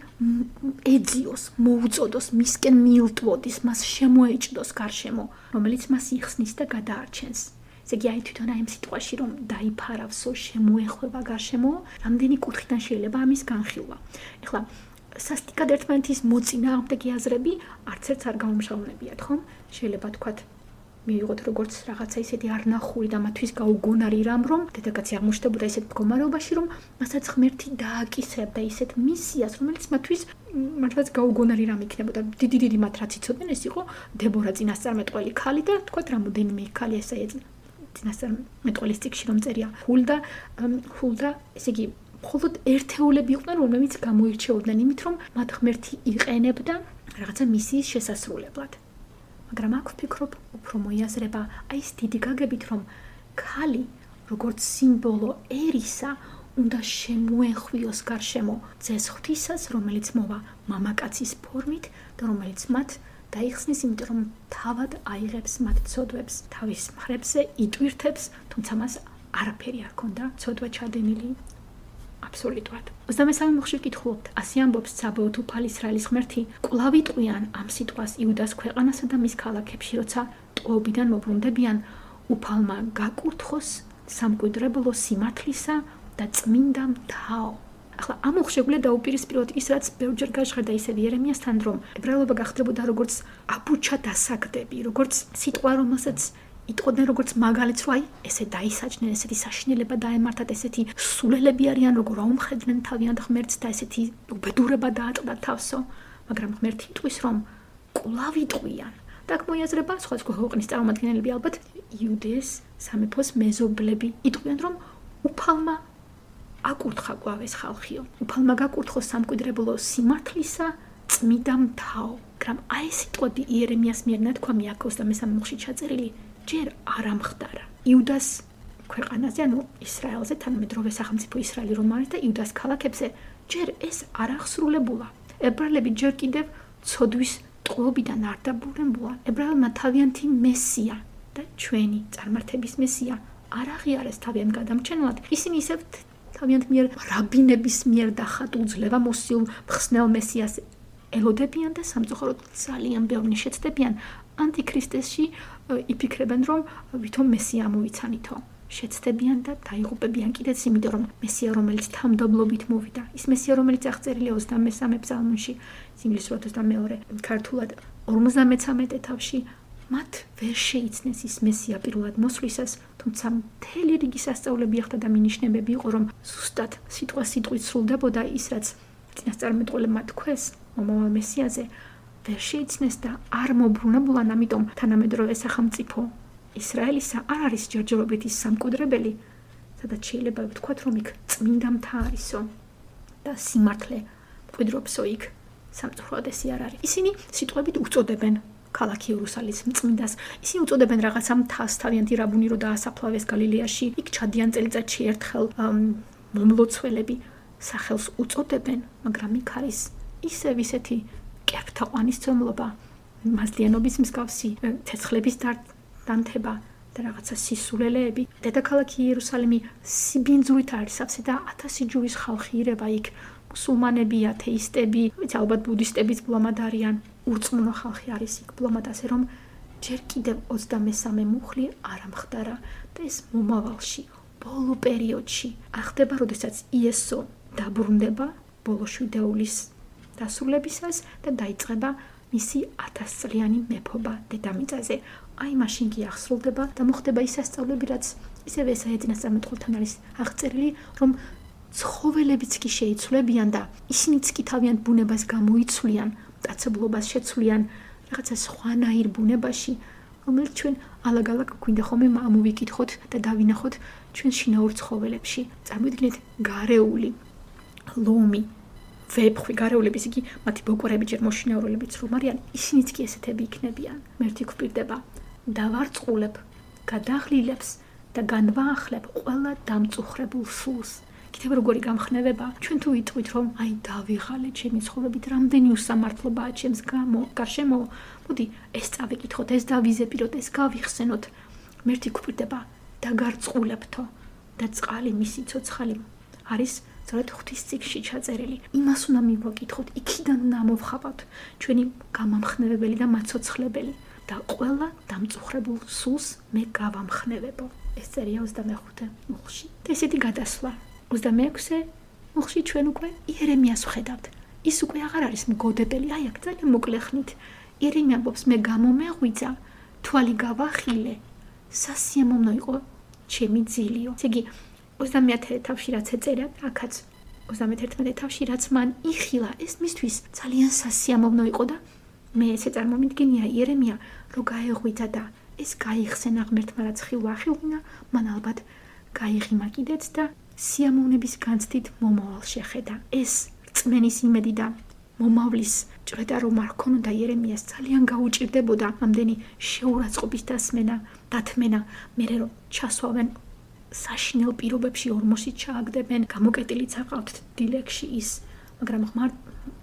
ეძიოს, მოუწოდოს, მისკენ მიილტვოდის, მას შემოეჭდოს გარშემო, რომელიც მას იხსნის და გადაარჩენს. ესე იგი, აი თვითონ აი ამ სიტყვაში რომ დაიფარავსო, შემოეხვევა გარშემო, რამდენი კუთხიდან შეიძლება ამის განხილვა. ეხლა სასტიკად ერთმანეთის მოწინააღმდეგე აზრები არც ერთს არ გაუმჟღავნებიათ, ხომ? შეიძლება თქვათ მივიღოთ როგორც რაღაცა ისეთი არნახული და მათთვის გაუგონარი რამ, რომ დედაკაცი აღმოჩნდებოდა ისეთ მდგომარეობაში, რომ მასაც ღმერთი დააკისრებდა ისეთ მისიას, რომელიც მათთვის მართლაც გაუგონარი რამ იქნებოდა. დიდი დიდი მათ რაც იცოდნენ, ეს იყო დებორა წინასწარმეტყველი ქალი და თქვათ რამოდენიმე ქალი ესა ეძნა. წინასწარმეტყველის წიგნში რომ წერია ჰულდა, ჰულდა, ესე იგი მხოლოდ ერთეულები იყვნენ, რომლებიც გამოირჩეოდნენ იმით, რომ მათ ღმერთი იყენებდა რაღაცა მისიის შესასრულებლად. მაგრამ აქ ვფიქრობ, უფრო მოიაზრება აი ეს დიდი გაგებით, რომ ქალი, როგორც სიმბოლო ერისა, უნდა შემოეხვიოს გარშემო ძეხვთისას, რომელიც მოვა მამაკაცის ფორმით და რომელიც მათ დაიხსნის, იმიტომ რომ თავად აიღებს მათ ცოდვებს, თავის მხრებზე იტვირთებს, თუმცა მას არაფერი არ ქონდა ცოდვა ჩადენილი. აბსოლუტურად. ოცდამესამე მოხში ვკითხულობთ, ასე ამბობს საბეოთ უფალ ისრაელის ღმერთი, კვლავ იტყვიან ამ სიტყვას იუდას ქვეყანასა და მის ქალაქებში, როცა ტყვეობიდან მობრუნდებიან, უფალმა გაკურთხოს სამკვიდრებლო სიმართლისა და წმინდა მთაო. ახლა ამ მოხშეგულა დაუპირისპიროთ ის, რაც ბევრჯერ გაჟღერდა ისევ იერემიასთან, რომ ებრაელობა გახდებოდა როგორც აბუჩა დასაგდები, როგორც სიტყვა, რომელსაც იტყოდნენ როგორც მაგალითს, რომ აი ესე დაისაჯნენ, ესეთი საშინელება დაემართათ, ესეთი სულელები არიან, როგორ აუმხედნენ თავიანთ ღმერთს და ესეთი უბედურება დაატყდათ თავსო, მაგრამ ღმერთი იტყვის, რომ კვლავ იტყვიან. და აქ მოიაზრება სხვადასხვა ქვეყნის წარმომადგენლები ალბათ იუდეის სამეფოს მეზობლები იტყვიან, რომ უფალმა აკურთხა კვლავ ეს ხალხიო. უფალმა გაკურთხო სამკვიდრებლო სიმართლისა წმიდა მთავ. მაგრამ აი ეს სიტყვები იერემიას მიერ ნათქვამი აქ ოცდამესამე მუხლში ჩაწერილი ჯერ არ ამხდარა. იუდას ქვეყანაზე, ანუ ისრაელზე, თანამედროვე სახელმწიფო ისრაელი რომ არის და იუდას ქალაქებზე ჯერ ეს არ აღსრულებულა. ებრაელები ჯერ კიდევ ცოდვის ტყუობიდან არ დაბრუნებულან. ებრაელმა თავიანთი მესია და ჩვენი წარმართების მესია არ აღიარეს თავიანთ გადამრჩენლად. ისინი ისევ თავიანთ მიერ რაბინების მიერ დახატულ ძლევამოსილ მხსნელ მესიას ელოდებიან და სამწუხაროდ ძალიან ბევრი შეცდებიან ანტიქრისტესში იფიქრებენ, რომ ვითომ მესია ამოვიცანითო. შეცდებიან და დაიღუპებიან კიდეც, იმიტომ რომ მესია, რომელიც თამდობლობით მოვიდა, ის მესია, რომელიც აღწერილია ოცდამესამე ფსალმში, ინგლისურად ოცდამეორე, ქართულად ორმოცდამეცამეტე თავში, მათ ვერ შეიცნეს ის მესია პირველად მოსვლისას, თუმცა მთელი რიგი სასწაულები ახდა და მინიშნებები იყო, რომ ზუსტად სიტყვა სიტყვით სრულდებოდა ის, რაც წინასწარმეტყველებმა თქვეს მომავალ მესიაზე, ვერ შეიცნეს და არ მოbrunებულან, ამიტომ თანამედროვე სახელმწიფო ისრაელისა არ არის ჯერჯერობით ის სამკვიდრებელი, სადაც შეიძლება ვთქვათ, რომ იქ წმინდა მთა არისო და სიმართლე მკვიდრობსო იქ სამწუხაროდ ესე არ არის. ისინი სიტყვებით უწოდებენ ქალაქი იერუსალიმის მწმინდას. ისინი უწოდებენ რაღაცა მთას, თავიანთი რაბუნი რო დაასაფლავეს გალილეაში, იქ ჩადიან წელიწადში ერთხელ მომლოცველები სახელს უწოდებენ, მაგრამ იქ არის ისევ ისეთი კერპთაყვანის ცნობობა, მასლიანობის მსგავსი, ცეცხლების დანთება და რაღაცა სისულელეები. დედაქალაქი იერუსალიმი სიბინძურით არის სავსე და ათასი ჯურის ხალხი ირება იქ. მუსულმანები, ათეისტები, ალბათ ბუდისტებიც ბლომად არიან. ურწმუნო ხალხი არის იქ ბლომად, ასე რომ ჯერ კიდევ ოცდამესამე მუხლი არ ამხდარა და ეს მომავალში, ბოლო პერიოდში ახდება, როდესაც იესო დაბრუნდება ბოლო შვიდეულის დასრულებისას და დაიწყება მისი ათასწლიანი მეფობა დედამიწაზე. აი მაშინ კი აღსრულდება და მოხდება ის სასწაულები, რაც ისევე ესაა წინასწარმეტყველთან არის აღწერილი, რომ ცხოველებიც კი შეიცვლებიან და ისინიც კი თავიანთ ბუნებას გამოიცვლიან, მტაცებლობას შეცვლიან რაღაცა სხვანაირ ბუნებაში, რომელიც ჩვენ ალაგ-ალაგ გვინდა ხოლმე ამოვიკითხოთ და დავინახოთ ჩვენ შინაურ ცხოველებში. წარმოიდგინეთ გარეული, ლომი, ვეფხვი, გარეულების იგი მათი ბოკვერები ჯერ მოშინაურულებიც რომ არიან, ისინიც კი ესეთები იქნებიან. მერთი გვპირდება დავარწყულებ, გადაღლილებს და განვაახლებ ყველა დამწუხრებულ სულს. კიდევ როგორი გამხნევება, ჩვენ თუ ვიტყვით, რომ აი დავიღალე ჩემი ცხოვრებით, რამდენი უსამართლობაა ჩემს გარშემო, მოდი ეს წავიკითხოთ, ეს დავიზეპიროთ, ეს გავიხსენოთ. მერთი გვპირდება დაგარწყულებთო და წყალი მისი ცოცხალი არის სწორედ ღვთის წიგნში ჩაწერილი. იმას უნდა მივაკითხოთ, იქიდან უნდა მოვხავოთ ჩვენი გამამხნევებელი და მაცოცხლებელი და ყველა დამწუხრებულ სულს მე გავამხნევებო. ეს წერია ოცდამეხუთე მუხლში. და ესეთი გადასვლა. ოცდამეექვსე მუხლში ჩვენ უკვე იერემიას ვხედავთ. ის უკვე აღარ არის მგოდებელი, აი აქ ძალიან მოკლე ხნით. იერემია ამბობს, მე გამომეღვიძა, თვალი გავახილე, სასიამოვნო იყო ჩემი ძილიო. ესე იგი ოცდამეათე თავში რაც ეწერა, აქაც ოცდამეთერთმეტე თავში რაც მან იხილა, ეს მისთვის ძალიან სასიამოვნო იყო და მე ესე წარმომიდგენია იერემია, რომ გაეღვიძა და ეს გაიხსენა ღმერთმა, რაც ხილვა ახილვინა, მან ალბათ გაიღიმა კიდეც და სიამოვნების განცდით მომავალ შეხედა. ეს რწმენის იმედი და მომავლის ჭრედა რომ არ ქონოდა იერემიას ძალიან გაუჭირდებოდა ამდენი შეურაცხყოფის დასმენა, დათმენა, მერე რომ ჩასვავენ საშინელ პირობებში ორმოსი ჩააგდებენ, გამოკეტილიც აყავთ დილეგში ის, მაგრამ ღმართ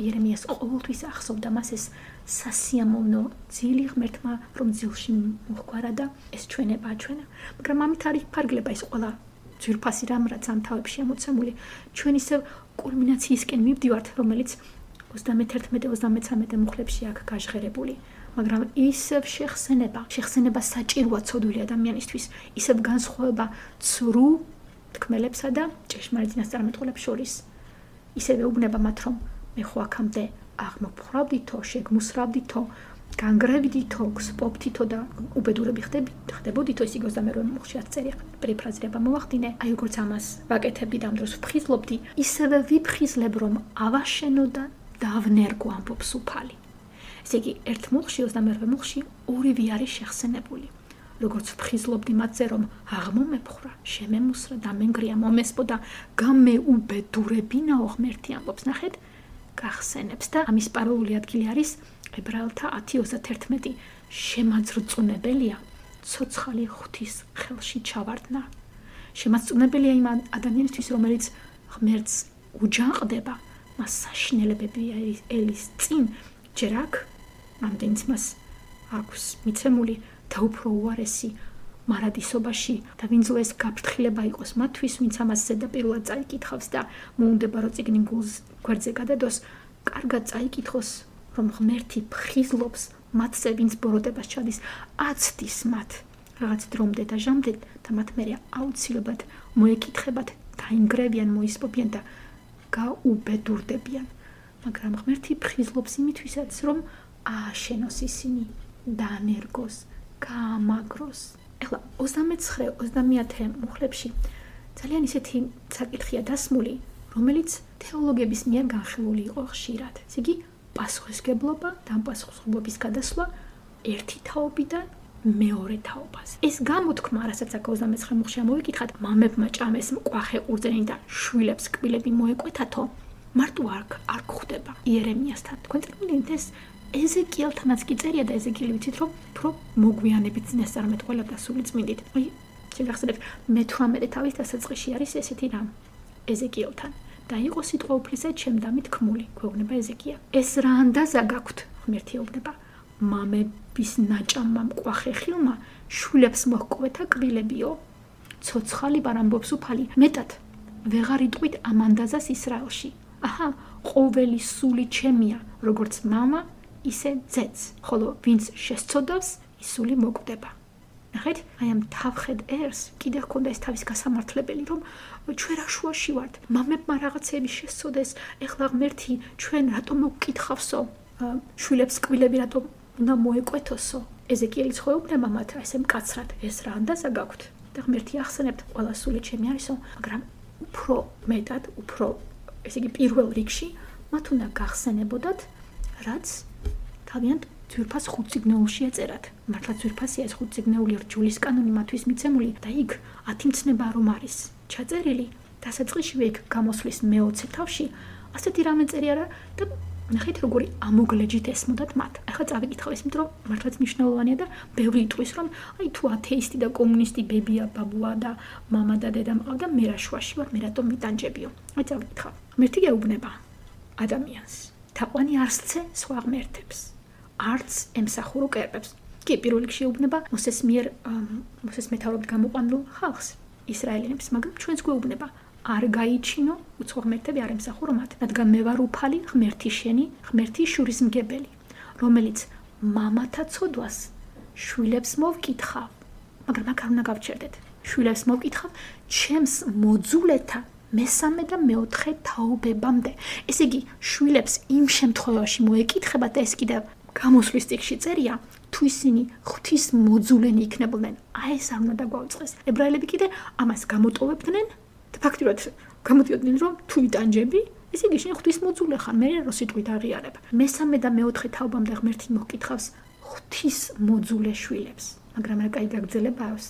იერემიას ყოველთვის ახსოვდა მას ეს სასიამოვნო ძილი ღმერთმა, რომ ძილში მოჰგვარა და ეს ჩვენება ჩვენა. მაგრამ ამით არის ფარგლება ეს ყველა ძვირფასი რამ, რაც ამ თავებში ამოცემული. ჩვენ ისევ კულმინაციისკენ მივდივართ, რომელიც ოცდამეთერთმეტე ოცდამეცამეტე მუხლებში აქ გაჟღერებული. მაგრამ ისევ შეხსენება, შეხსენება საჭიროა ცოდვილი ადამიანისთვის, ისევ განსხვავება ცრუ თქმელებსა და ჭეშმარიტ წინასწარმეტყველებს შორის. ისევ ეუბნება მათ, რომ მე ხო აქამდე აღმოფხვრავდითო, შეგმუსრავდითო, განგრევიდითო, გსპობდითო და უბედურები ხდებოდითო, ის იგივე მუხშიაც წერი პერიფრაზირება მოვახდინე. აი როგორც ამას ვაკეთებდი და ამ დროს ვფხიზლობდი, ისევე ვიფხიზლებ, რომ ავაშენო და დავნერგო ამბობს უფალი. ესე იგი, ერთ მუხში, ოცდამეორე მუხში ორივე არის შეხსენებული. როგორც ვფხიზლობდი მათზე, რომ აღმომეფხრა, შემემუსრა, დამენგრია, მომესპო და გამეუბედურებინაო ღმერთი ამბობს, ნახეთ, გახსენებს და ამის პარალელური ადგილი არის ებრაელთა ათი ოცდაათი შემაძრწუნებელია ცოცხალი ღვთის ხელში ჩავარდნა. შემაძრწუნებელია იმ ადამიანისთვის, რომელიც ღმერთს უჯანყდება, მას საშინელებები ელის წინ ჯერ აქ, ამდენიც მას აქვს მიცემული და უფრო უარესი მარადისობაში და ვინც ეს გაფრთხილება იყოს მათთვის, ვინც ამას ზედაპირულად წაიკითხავს და მოუნდება რომ წიგნი გულს გვერდზე გადადოს, კარგად წაიკითხოს, რომ ღმერთი ფხიზლობს მათზე, ვინც ბოროტებას ჩადის, აცდის მათ რაღაც დრომდე და ჟამდე და მათ მერე აუცილებლად მოეკითხებათ, დაინგრევიან, მოისპობიან და გაუბედურდებიან. მაგრამ ღმერთი ფხიზლობს იმითვისაც, რომ ააშენოს ისინი, დაანერგოს, გაამაგროს. ეხლა ოცდამეცხრე ოცდამეათე მუხლებში ძალიან ისეთი საკითხია დასმული, რომელიც თეოლოგების მიერ განხილული იყო ხშირად. ესე იგი, პასუხისგებლობა და ამ პასუხისგებლობის გადასვლა ერთი თაობიდან მეორე თაობაზე. ეს გამოთქმა, რასაც აქ ოცდამეცხრე მუხლში ამოვიკითხათ, მამებმა ჭამეს მკვახე ყურძენი და შვილებს კბილები მოეკვეთათო, მარტო არ არ გვხვდება იერემიასთან. თქვენ წიგნით ეს ეზეკიელთანაც კი წერია და ეზეკიელი ვიცით რომ უფრო მოგვიანებით წინასწარმეტ ყველა დასული წმინდით. აი, შეგახსენებთ, მეთვრამეტე თავის დასაწყისში არის ესეთი რამ ეზეკიელთან. და იყო სიტყვა უფლისა ჩემდამით ქმული, გვეუბნება ეზეკია. ეს რა ანდაზა გაქვთ, ღმერთი ეუბნება, მამების ნაჭამმა მკვახე ხილმა შვილებს მოჰკვეთა კბილებიო. ცოცხალი ვარ ამბობს უფალი, მეტად ვეღარ იტყვით ამ ანდაზას ისრაელში. აჰა, ყოველი სული ჩემია, როგორც მამა, ისე ძეც, ხოლო ვინც შესწოდავს, ის სული მოკვდება. ნახეთ, აი ამ თავხედ ერს კიდე ჰქონდა ეს თავის გასამართლებელი, რომ ჩვენ რა შუაში ვართ, მამებმა რაღაცები შესწოდეს, ეხლა ღმერთი ჩვენ რატომ მოგკითხავსო, შვილებს კბილები რატომ უნდა მოეკვეთოსო. ეზეკიელის ხო ეუბნება მათ ესე მკაცრად, ეს რა ანდაზა გაქვთ და ღმერთი ახსენებთ, ყველა სული ჩემი არისო, მაგრამ უფრო მეტად, უფრო ესე იგი პირველ რიგში მათ უნდა გახსენებოდათ, რაც თავიანთ ძვირფას ხუთწიგნეულში ეწერათ. მართლა ძვირფასია ეს ხუთწიგნეული რჯულის კანონი მათთვის მიცემული და იქ ათი მცნება რომ არის ჩაწერილი, დასაწყისშივე იქ გამოსვლის მეოცე თავში ასეთი რამე წერია რა და ნახეთ როგორი ამოგლეჯით ესმოდათ მათ. ახლა წავიკითხავ ეს, იმიტომ რომ მართლაც მნიშვნელოვანია და ბევრი იტყვის რომ აი თუ ათეისტი და კომუნისტი ბებია, ბაბუა და მამა და დედა მყავდა, მე რა შუაში ვარ, მე რატომ მიტანჯებიო. აი წავიკითხავ. ღმერთი გეუბნება ადამიანს. თაყვანი არსცე სხვა ღმერთებს. არც ემსახურო კერპებს. კი, პირველ რიგში ეუბნება მოსეს მიერ მოსეს მეთაურობით გამოყვანილ ხალხს, ისრაელიანებს, მაგრამ ჩვენს გვეუბნება არ გაიჩინო უცხო ღმერთები არ ემსახურო მათ, რადგან მე ვარ უფალი, ღმერთი შენი, ღმერთი შურისმგებელი, რომელიც მამათა ცოდვას შვილებს მოვკითხავ, მაგრამ აქ არ უნდა გავჩერდეთ. შვილებს მოვკითხავ ჩემს მოძულეთა მესამე და მეოთხე თაობებამდე. ესე იგი, შვილებს იმ შემთხვევაში მოეკითხება და ეს კიდევ გამოსვლის წიგნში წერია, თუ ისინი ღვთის მოძულენი იქნებოდნენ, აი ეს არ უნდა დაგვაუწყეს. ებრაელები კიდე ამას გამოტოვებდნენ და ფაქტიურად გამოდიოდნენ, რომ თუ იტანჯები, ესე იგი შენ ღვთის მოძულე ხარ, მე რო სიტყვით აღიარებ. მესამე და მეოთხე თაობამდე ღმერთი მოგკითხავს ღვთის მოძულე შვილებს. მაგრამ რა კაი გაგრძელება აქვს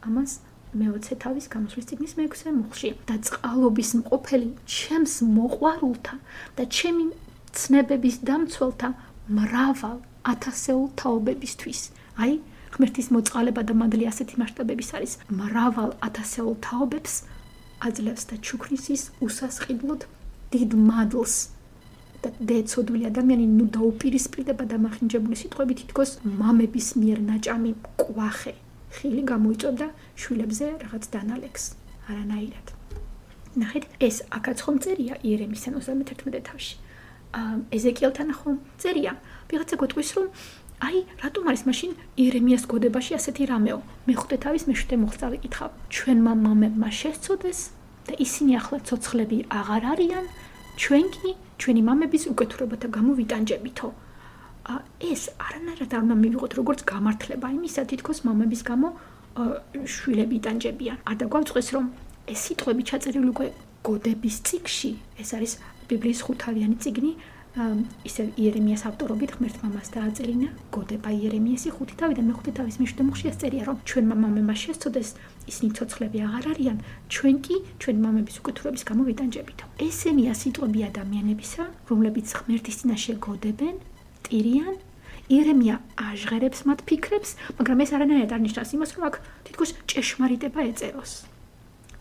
ამას მეოცე თავის გამოსვლის წიგნის მეექვსე მუხლში და წყალობის მყოფელი ჩემს მოყვარულთა და ჩემი ცნებების დამცველთა მრავალ ათასეულ თაობებისთვის. აი, ღმერთის მოწყალება და მადლი ასეთი მასშტაბების არის. მრავალ ათასეულ თაობებს აძლევს და ჩუქნის ის უსასყიდლოდ დიდ მადლს და დეცოდვილი ადამიანი ნუ დაუპირისპირდება და მახინჯებული სიტყვებით თითქოს მამების მიერ ნაჭამი მკვახე ხილი გამოიწოდა შვილებზე რაღაც დანალექს. არანაირად. ნახეთ, ეს აქაც ხომ წერია იერემიასთან ოცდამეთერთმეტე თავში. ეზეკიელთან ხომ წერია. ვიღაცა გვეტყვის რომ აი, რატომ არის მაშინ იერემიას გოდებაში ასეთი რამეო? მეხუთე თავის მეშვიდე მუხლს წავიკითხავ. ჩვენმა მამებმა შესწოდეს და ისინი ახლა ცოცხლები აღარ არიან, ჩვენ კი ჩვენი მამების უკეთურებათა გამო ვიტანჯებითო. ეს არანაირად არ უნდა მივიღოთ როგორც გამართლება იმისა, თითქოს მამების გამო შვილები იტანჯებიან. არ დაგვაწყდეს რომ ეს სიტყვები ჩაწერილი უკვე გოდების წიგნში, ეს არის ბიბლიის ხუთავიანი წიგნი, ისე იერემიას ავტორობით ღმერთმა მას დააწერინა გოდება იერემიასი ხუთი თავი და მეხუთე თავის მეშვიდე წერია რომ ჩვენმა მამებმა შესწოდეს ისინი ცოცხლები აღარ არიან ჩვენ კი ჩვენი მამების უკეთურების გამო ვიტანჯებით. ესენია სიტყვები ადამიანებისა, რომლებიც ღმერთის წინაშე გოდებენ, ტირიან. იერემია აჟღერებს მათ ფიქრებს, მაგრამ ეს არანაირად არ ნიშნავს იმას, რომ აქ თითქოს ჭეშმარიტება ეწეროს.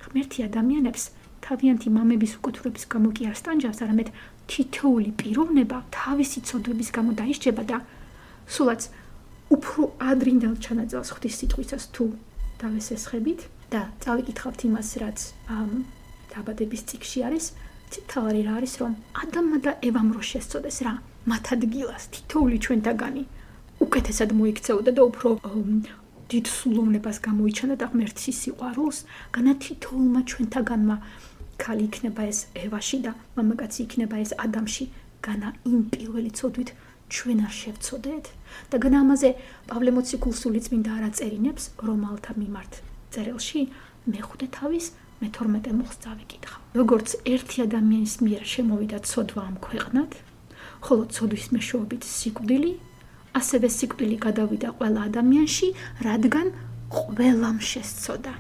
ღმერთი ადამიანებს თავიანთი მამების უკეთურების გამო კი არ სტანჯავს, არამედ თითოეული პიროვნება თავისი ცოდვების გამო დაისჯება და სულაც უფრო ადრინდელ ჩანაწერს ღვთის სიტყვისას თუ დავესესხებით და წავიკითხავთ იმას, რაც დაბადების წიგნში არის, თავარი რა არის, რომ ადამმა და ევამ რო შესწოდეს რა, მათ ადგილას თითოეული ჩვენთაგანი უკეთესად მოიქცეოდა და უფრო დიდ სულოვნებას გამოიჩანა და ღმერთის სიყვარულს, განა თითოეულმა ჩვენთაგანმა ქალი იქნება ეს ევაში და მამაკაცი იქნება ეს ადამში, განა იმ პირველი ცოდვით ჩვენ არ შევცოდეთ და განა ამაზე პავლე მოციქულსული წმინდა არ აწერინებს რომალთა მიმართ წერილში მეხუთე თავის მეთორმეტე მუხლს წავიკითხავ. როგორც ერთი ადამიანის მიერ შემოვიდა ცოდვა ამ ქვეყნად, ხოლო ცოდვის მეშვეობით სიკვდილი, ასევე სიკვდილი გადავიდა ყველა ადამიანში, რადგან ყველამ შესწოდა.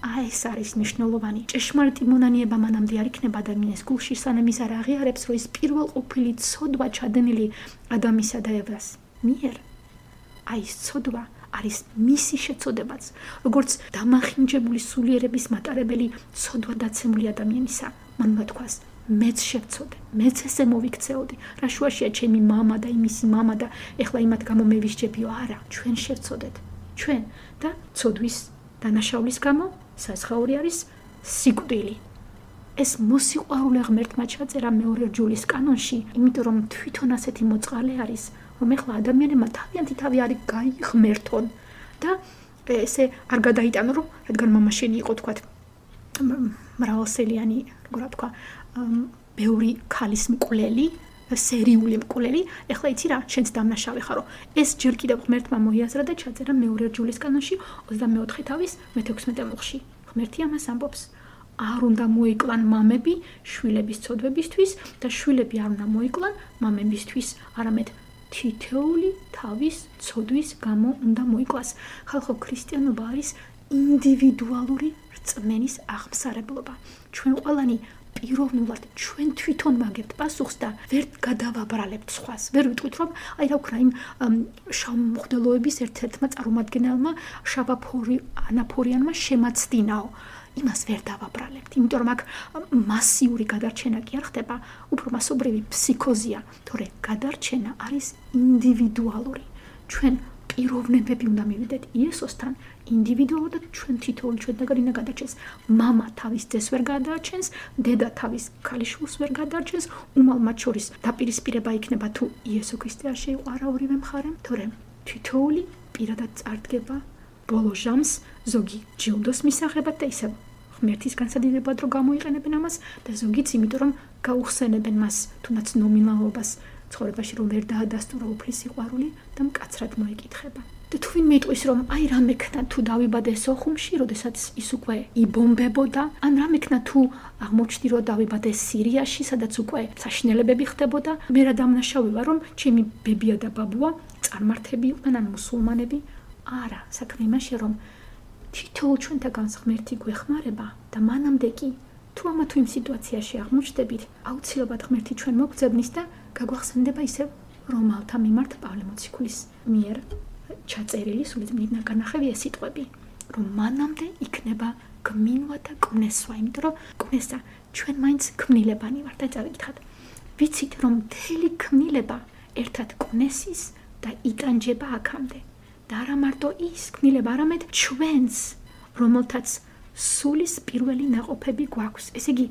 აი ეს არის მნიშვნელოვანი. ჭეშმარიტი მონანიება მანამდე არ იქნება ადამიანის გულში, სანამ ის არ აღიარებს, რომ ის პირველყოფილი ცოდვა ჩადენილი ადამიანსა და ევას მიერ, აი ეს ცოდვა არის მისი შეწოდებაც, როგორც დამახინჯებული სულიერების მატარებელი ცოდვა დაცემული ადამიანისა. მან მოთქვას, მეც შევწოდე, მეც ესე მოვიქცეოდი. რა შუაშია ჩემი მამა და იმისი მამა და ეხლა იმათ გამო მე ვისჯებიო? არა, ჩვენ შევწოდეთ. ჩვენ და ცოდვის დანაშაულის გამო საზღაური არის სიკვდილი. ეს მოსიყვარულე ღმერთმა ჩაწერა მეორე რჯულის კანონში, იმიტომ რომ თვითონ ასეთი მოწყალე არის, რომ ეხლა ადამიანებმა თავიანთი თავი არის გაიღმერთონ და ესე არ გადაიტანო, რომ რადგან მამა შენი იყო თქვათ მრავალსელიანი, როგორ თქვა, ბევრი ქალის მკვლელი, სერიული მკვლელი, ეხლა იცი რა, შენც დამნაშავე ხარო. ეს ჯერ კიდევ ღმერთმა მოიაზრა და ჩაწერა მეორე რჯულის კანონში ოცდამეოთხე თავის მეთექვსმეტე მუხლში. ღმერთი ამას ამბობს. არ უნდა მოიკლან მამები შვილების ცოდვებისთვის და შვილები არ უნდა მოიკლან მამებისთვის, არამედ თითოეული თავის ცოდვის გამო უნდა მოიკლას. ხალხო, ქრისტიანობა არის ინდივიდუალური რწმენის აღმსარებლობა. ჩვენ ყველანი პიროვნულად ჩვენ თვითონ მაგებთ პასუხს და ვერ გადავაბრალებთ სხვას. ვერ ვიტყვით რომ აი რა ვქნა იმ შავმუხდელოების ერთ-ერთმა წარმომადგენელმა შავაფორი ანაფორიანმა შემაცდინაო. იმას ვერ დავაბრალებთ, იმიტომ რომ აქ მასიური გადარჩენა კი არ ხდება, უფრო მასობრივი ფსიქოზია, თორე გადარჩენა არის ინდივიდუალური. ჩვენ პიროვნებები უნდა მივიდეთ იესოსთან ინდივიდუალურად და ჩვენ თითოეული ჩვენთაგანი უნდა გადარჩენს. მამა თავის ძეს ვერ გადარჩენს, დედა თავის ქალიშვილს ვერ გადარჩენს, უმალ მათ შორის დაპირისპირება იქნება თუ იესო ქრისტე არ შეიყო არა ორივე მხარე, თორემ თითოეული პირადად წარდგება ბოლო ჟამს ზოგი ჯილდოს მისაღებად და ისევ ღმერთის განსადიდებად რომ გამოიყენებენ ამას და ზოგიც იმიტომ რომ გაუხსენებენ მას თუნდაც ნომინალობას ცხოვრებაში რომ ვერ დაადასტურა უფლის სიყვარული და მკაცრად მოეკითხება. და თუ ვინმე იტყვის რომ აი რა მექნა თუ დავიბადე სოხუმში, როდესაც ის უკვე იბომბებოდა, ან რა მექნა თუ აღმოჩნდი რომ დავიბადე სირიაში, სადაც უკვე საშინელებები ხდებოდა, მე რა დამნაშავე ვარ რომ ჩემი ბებია და ბაბუა წარმართები იყვნენ ან მუსულმანები. არა, საქმე იმაშია რომ თითოეულ ჩვენთაგანს ღმერთი გვეხმარება და მანამდე კი თუ ამა თუ იმ სიტუაციაში აღმოჩნდებით, აუცილებლად ღმერთი ჩვენ მოგძებნის და გაგვახსენდება ისევ რომალთა მიმართ პავლე მოციქულის მიერ ჩაწერილი სულიწმინდა განახევი ეს სიტყვები, რომ მანამდე იქნება გმინვა და კვნესვა, იმიტომ რომ კვნესა ჩვენ მაინც ქმნილებანი ვართ და წავიკითხოთ. ვიცით რომ მთელი ქმნილება ერთად კვნესის და იტანჯება აქამდე. და არა მარტო ის ქმნილება, არამედ ჩვენს, რომელთაც სულის პირველი ნაყოფები გვაქვს. ესე იგი,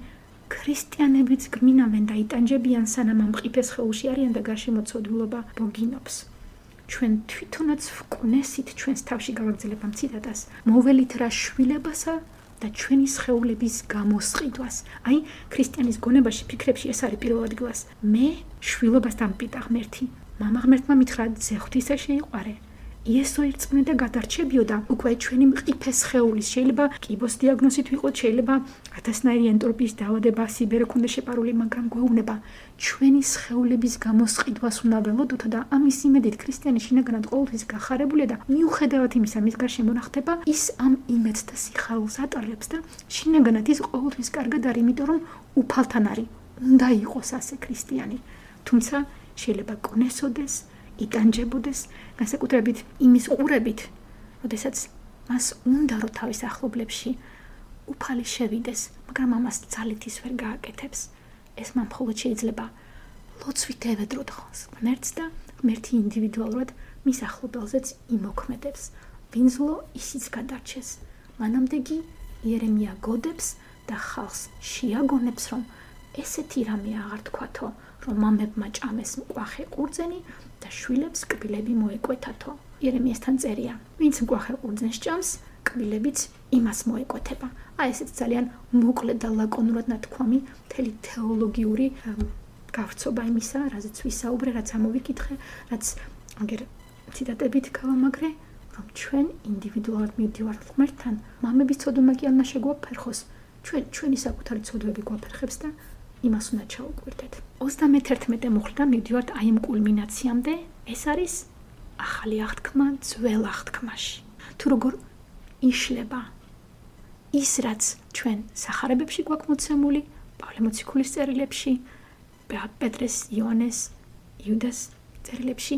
ქრისტიანებიც გმინავენ და იტანჯებიან, სანამ ამ მყიფეს ხეულში არიან და გარშემო ცოდვილობა ბოგინობს. ჩვენ თვითონაც ვკვნესით ჩვენს თავში გავაგრძელებ ამ ციტატას, მოველით რა შვილებასა და ჩვენი სხეულების გამოსყიდვას. აი, ქრისტიანის გონებაში, ფიქრებში ეს არის პირველ ადგილას. მე შვილობას დამპიტა ღმერთი. მამა ღმერთმა მითხრა ძე ღვთისა შეიყვარე. იესო ერწყმედა გადარჩებიოდა უკვე ჩვენი მყიფე სხეულის შეიძლება კიბოს დიაგნოზით ვიყოთ შეიძლება ათასნაირი ენტროპიის დაავადება სიბერო ქონდა შეპარული მაგრამ გვეუბნება ჩვენი სხეულების გამოსყიდვას უნდა ველოდოთ და ამის იმედით ქრისტიანი შინაგანად ყოველთვის გახარებულია და მიუხედავად იმისა მის გარშემო რა ხდება ის ამ იმედს და სიხარულს ატარებს და შინაგანად ის ყოველთვის კარგად არის იმიტომ რომ უფალთან არის უნდა იყოს ასე ქრისტიანი თუმცა შეიძლება კონესოდეს იტანჯებოდეს განსაკუთრებით იმის ყურებით, როდესაც მას უნდა რომ თავის ახლობლებში უფალი შევიდეს, მაგრამ ამას ძალით ის ვერ გააკეთებს. ეს მან მხოლოდ შეიძლება ლოცვით ევედროთ ღმერთს და ღმერთი ინდივიდუალურად მის ახლობელზეც იმოქმედებს. ვინძლო ისიც გადარჩეს. მანამდე კი იერემია გოდებს და ხალხს შეაგონებს, რომ ესეთი რამე აღარ თქვათო, რომ მამებმა ჭამეს მკვახე ყურძენი და შვილებს კბილები მოეკვეთათო. იერემიასთან წერია, ვინც მკვახე ყურძენს ჭამს, კბილებიც იმას მოეკვეთება. აი ესეც ძალიან მოკლედ და ლაკონურად ნათქვამი მთელი თეოლოგიური გავრცობა იმისა, რაზეც ვისაუბრე, რაც ამოვიკითხე, რაც აგერ ციტატებით გავამაგრე, რომ ჩვენ ინდივიდუალურად მივდივართ ღმერთთან, მამების ცოდვა კი არ უნდა შეგვაფერხოს. ჩვენ ჩვენი საკუთარი ცოდვები გვაფერხებს და იმას უნდა ჩაუკვირდეთ. ოცდამეთერთმეტე მუხლდა მივდივართ აი ამ კულმინაციამდე, ეს არის ახალი აღთქმა ძველ აღთქმაში. თუ როგორ იშლება ის რაც ჩვენ სახარებებში გვაქვს მოცემული, პავლე მოციქულის წერილებში, პეტრეს, იოანეს, იუდას წერილებში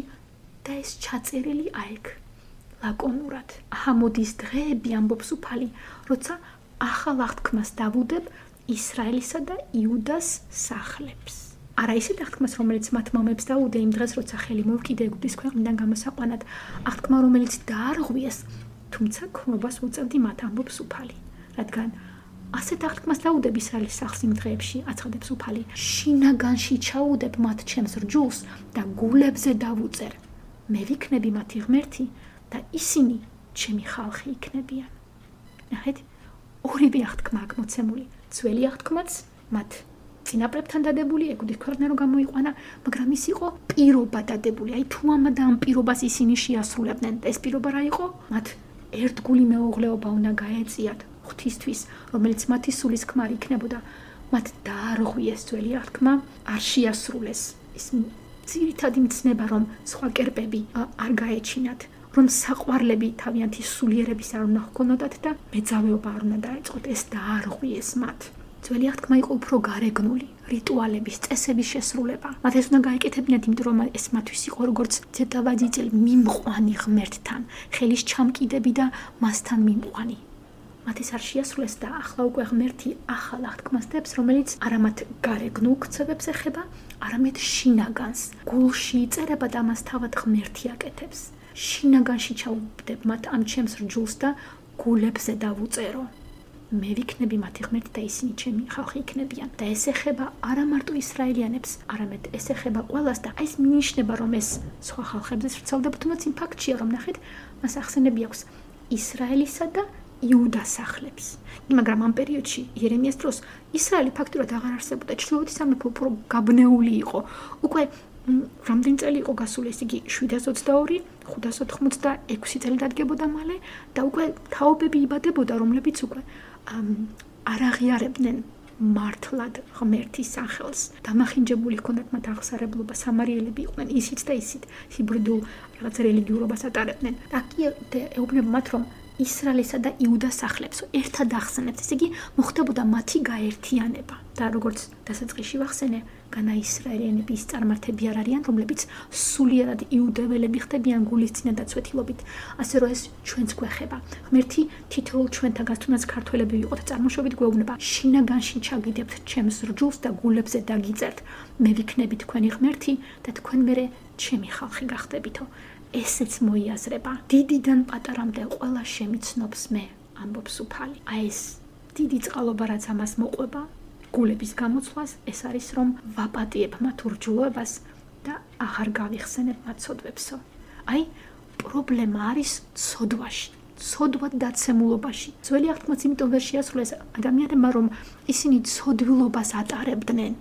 და ეს ჩაწერილი აიქ ლაკონურად. აჰა მოდის დღეები ამბობს უფალი, როცა ახალ აღთქმას დავუდებ ისრაელისა და იუდას სახლებს. არა ისეთ აღთქმას, რომელიც მათ მამებს დაუდე იმ დღეს, როცა ხელი მოვკიდე ეგვიპტის ქვეყნიდან გამოსაყვანად, აღთქმა, რომელიც დაარღვიეს, თუმცა ქრობას უწევდი მათ ამბობს უფალი. რადგან ასეთ აღთქმას დაუდებ ისრაელის სახლს იმ დღეებში, აცხადებს უფალი, შინაგანში ჩაუდებ მათ ჩემს რჯულს და გულებზე დავუწერ. მე ვიქნები მათი ღმერთი და ისინი ჩემი ხალხი იქნებიან. ნახეთ, ორივე აღთქმა აქ მოცემული. ძველი აღთქმაც მათ წინაპრებთან დადებული, ეგვიპტის ქვეყნიდან რომ გამოიყვანა, მაგრამ ის იყო პირობა დადებული. აი თუ ამა და ამ პირობას ისინი შეასრულებდნენ, ეს პირობა რა იყო? მათ ერთგული მეუღლეობა უნდა გაეწიათ ღვთისთვის, რომელიც მათი სულის ქმარი იქნებოდა. მათ დაარღვიეს ძველი აღთქმა, არ შეასრულეს. ის ძირითადი მცნება, რომ სხვა კერპები არ გაეჩინათ, რომ საყვარლები თავიანთი სულიერების არ უნდა ჰქონოდათ და მეძავეობა არ უნდა დაეწყოთ, ეს დაარღვიეს მათ. ძველი აღთქმა იყო უფრო გარეგნული, რიტუალების, წესების შესრულება. მათ ეს უნდა გაეკეთებინათ, იმიტომ რომ ეს მათთვის იყო როგორც ზედავაძიძელი მიმყვანი ღმერთთან, ხელის ჩამკიდები და მასთან მიმყვანი. მათ ეს არ შეასრულეს და ახლა უკვე ღმერთი ახალ აღთქმას დებს, რომელიც არა მათ გარეგნულ ქცევებს ეხება, არამედ შინაგანს. გულში იწერება და მას თავად ღმერთი აკეთებს. შინაგანში ჩაუდებ მათ ამ ჩემს რჯულს და გულებზე დავუწერო. მე ვიქნები მათი ღმერთი და ისინი ჩემი ხალხი იქნებიან. და ეს ეხება არა მარტო ისრაელიანებს, არამედ ეს ეხება ყველას და ეს მინიშნება, რომ ეს სხვა ხალხებზეც ვრცელდება, თუმცა იმ ფაქტშია, რომ ნახეთ, მას ახსენები აქვს ისრაელისა და იუდას სახლებს. მაგრამ ამ პერიოდში იერემიას დროს ისრაელი ფაქტურად აღარ არსებობდა, ჩრდილოეთის სამეფო უფრო გაბნეული იყო. უკვე რამდენი წელი იყო გასული, ეს იგი შვიდას ოცდაორი, ხუთას ოთხმოცდაექვსი წელი დადგებოდა მალე და უკვე თაობები იბადებოდა, რომლებიც უკვე არ აღიარებდნენ მართლად ღმერთის სახელს. დამახინჯებული ჰქონდათ მათ აღსარებლობა, სამარიელები იყვნენ ისიც და ისიც, ჰიბრიდულ რაღაც რელიგიურობას ატარებდნენ. და კი ეუბნება მათ, რომ ისრაელისა და იუდას სახლებს ერთად ახსენებს, ესე იგი მოხდებოდა მათი გაერთიანება. და როგორც დასაწყისში ვახსენე, განა ისრაელიანები ის წარმართები არ არიან, რომლებიც სულიერად იუდეველები ხდებიან გულის წინა დაცვეთილობით, ასე რომ ეს ჩვენც გვეხება. ღმერთი თითოეულ ჩვენთაგან, თუნდაც ქართველები ვიყოთ, წარმოშობით გვეუბნება, შინაგანში ჩაგიდებთ ჩემს რჯულს და გულებზე დაგიწერთ. მე ვიქნები თქვენი ღმერთი და თქვენ მერე ჩემი ხალხი გახდებითო. ესეც მოიაზრება. დიდიდან პატარამდე ყველა შემიცნობს მე, ამბობს უფალი. აი ეს დიდი წყალობა რაც ამას მოყვება, გულების გამოცვლას, ეს არის რომ ვაპატიებ მათ ურჯულოებას და აღარ გავიხსენებ მათ ცოდვებსო. აი პრობლემა არის ცოდვაში, ცოდვად დაცემულობაში. ძველი აღთქმაც იმიტომ ვერ შეასრულეს ადამიანებმა, რომ ისინი ცოდვილობას ატარებდნენ.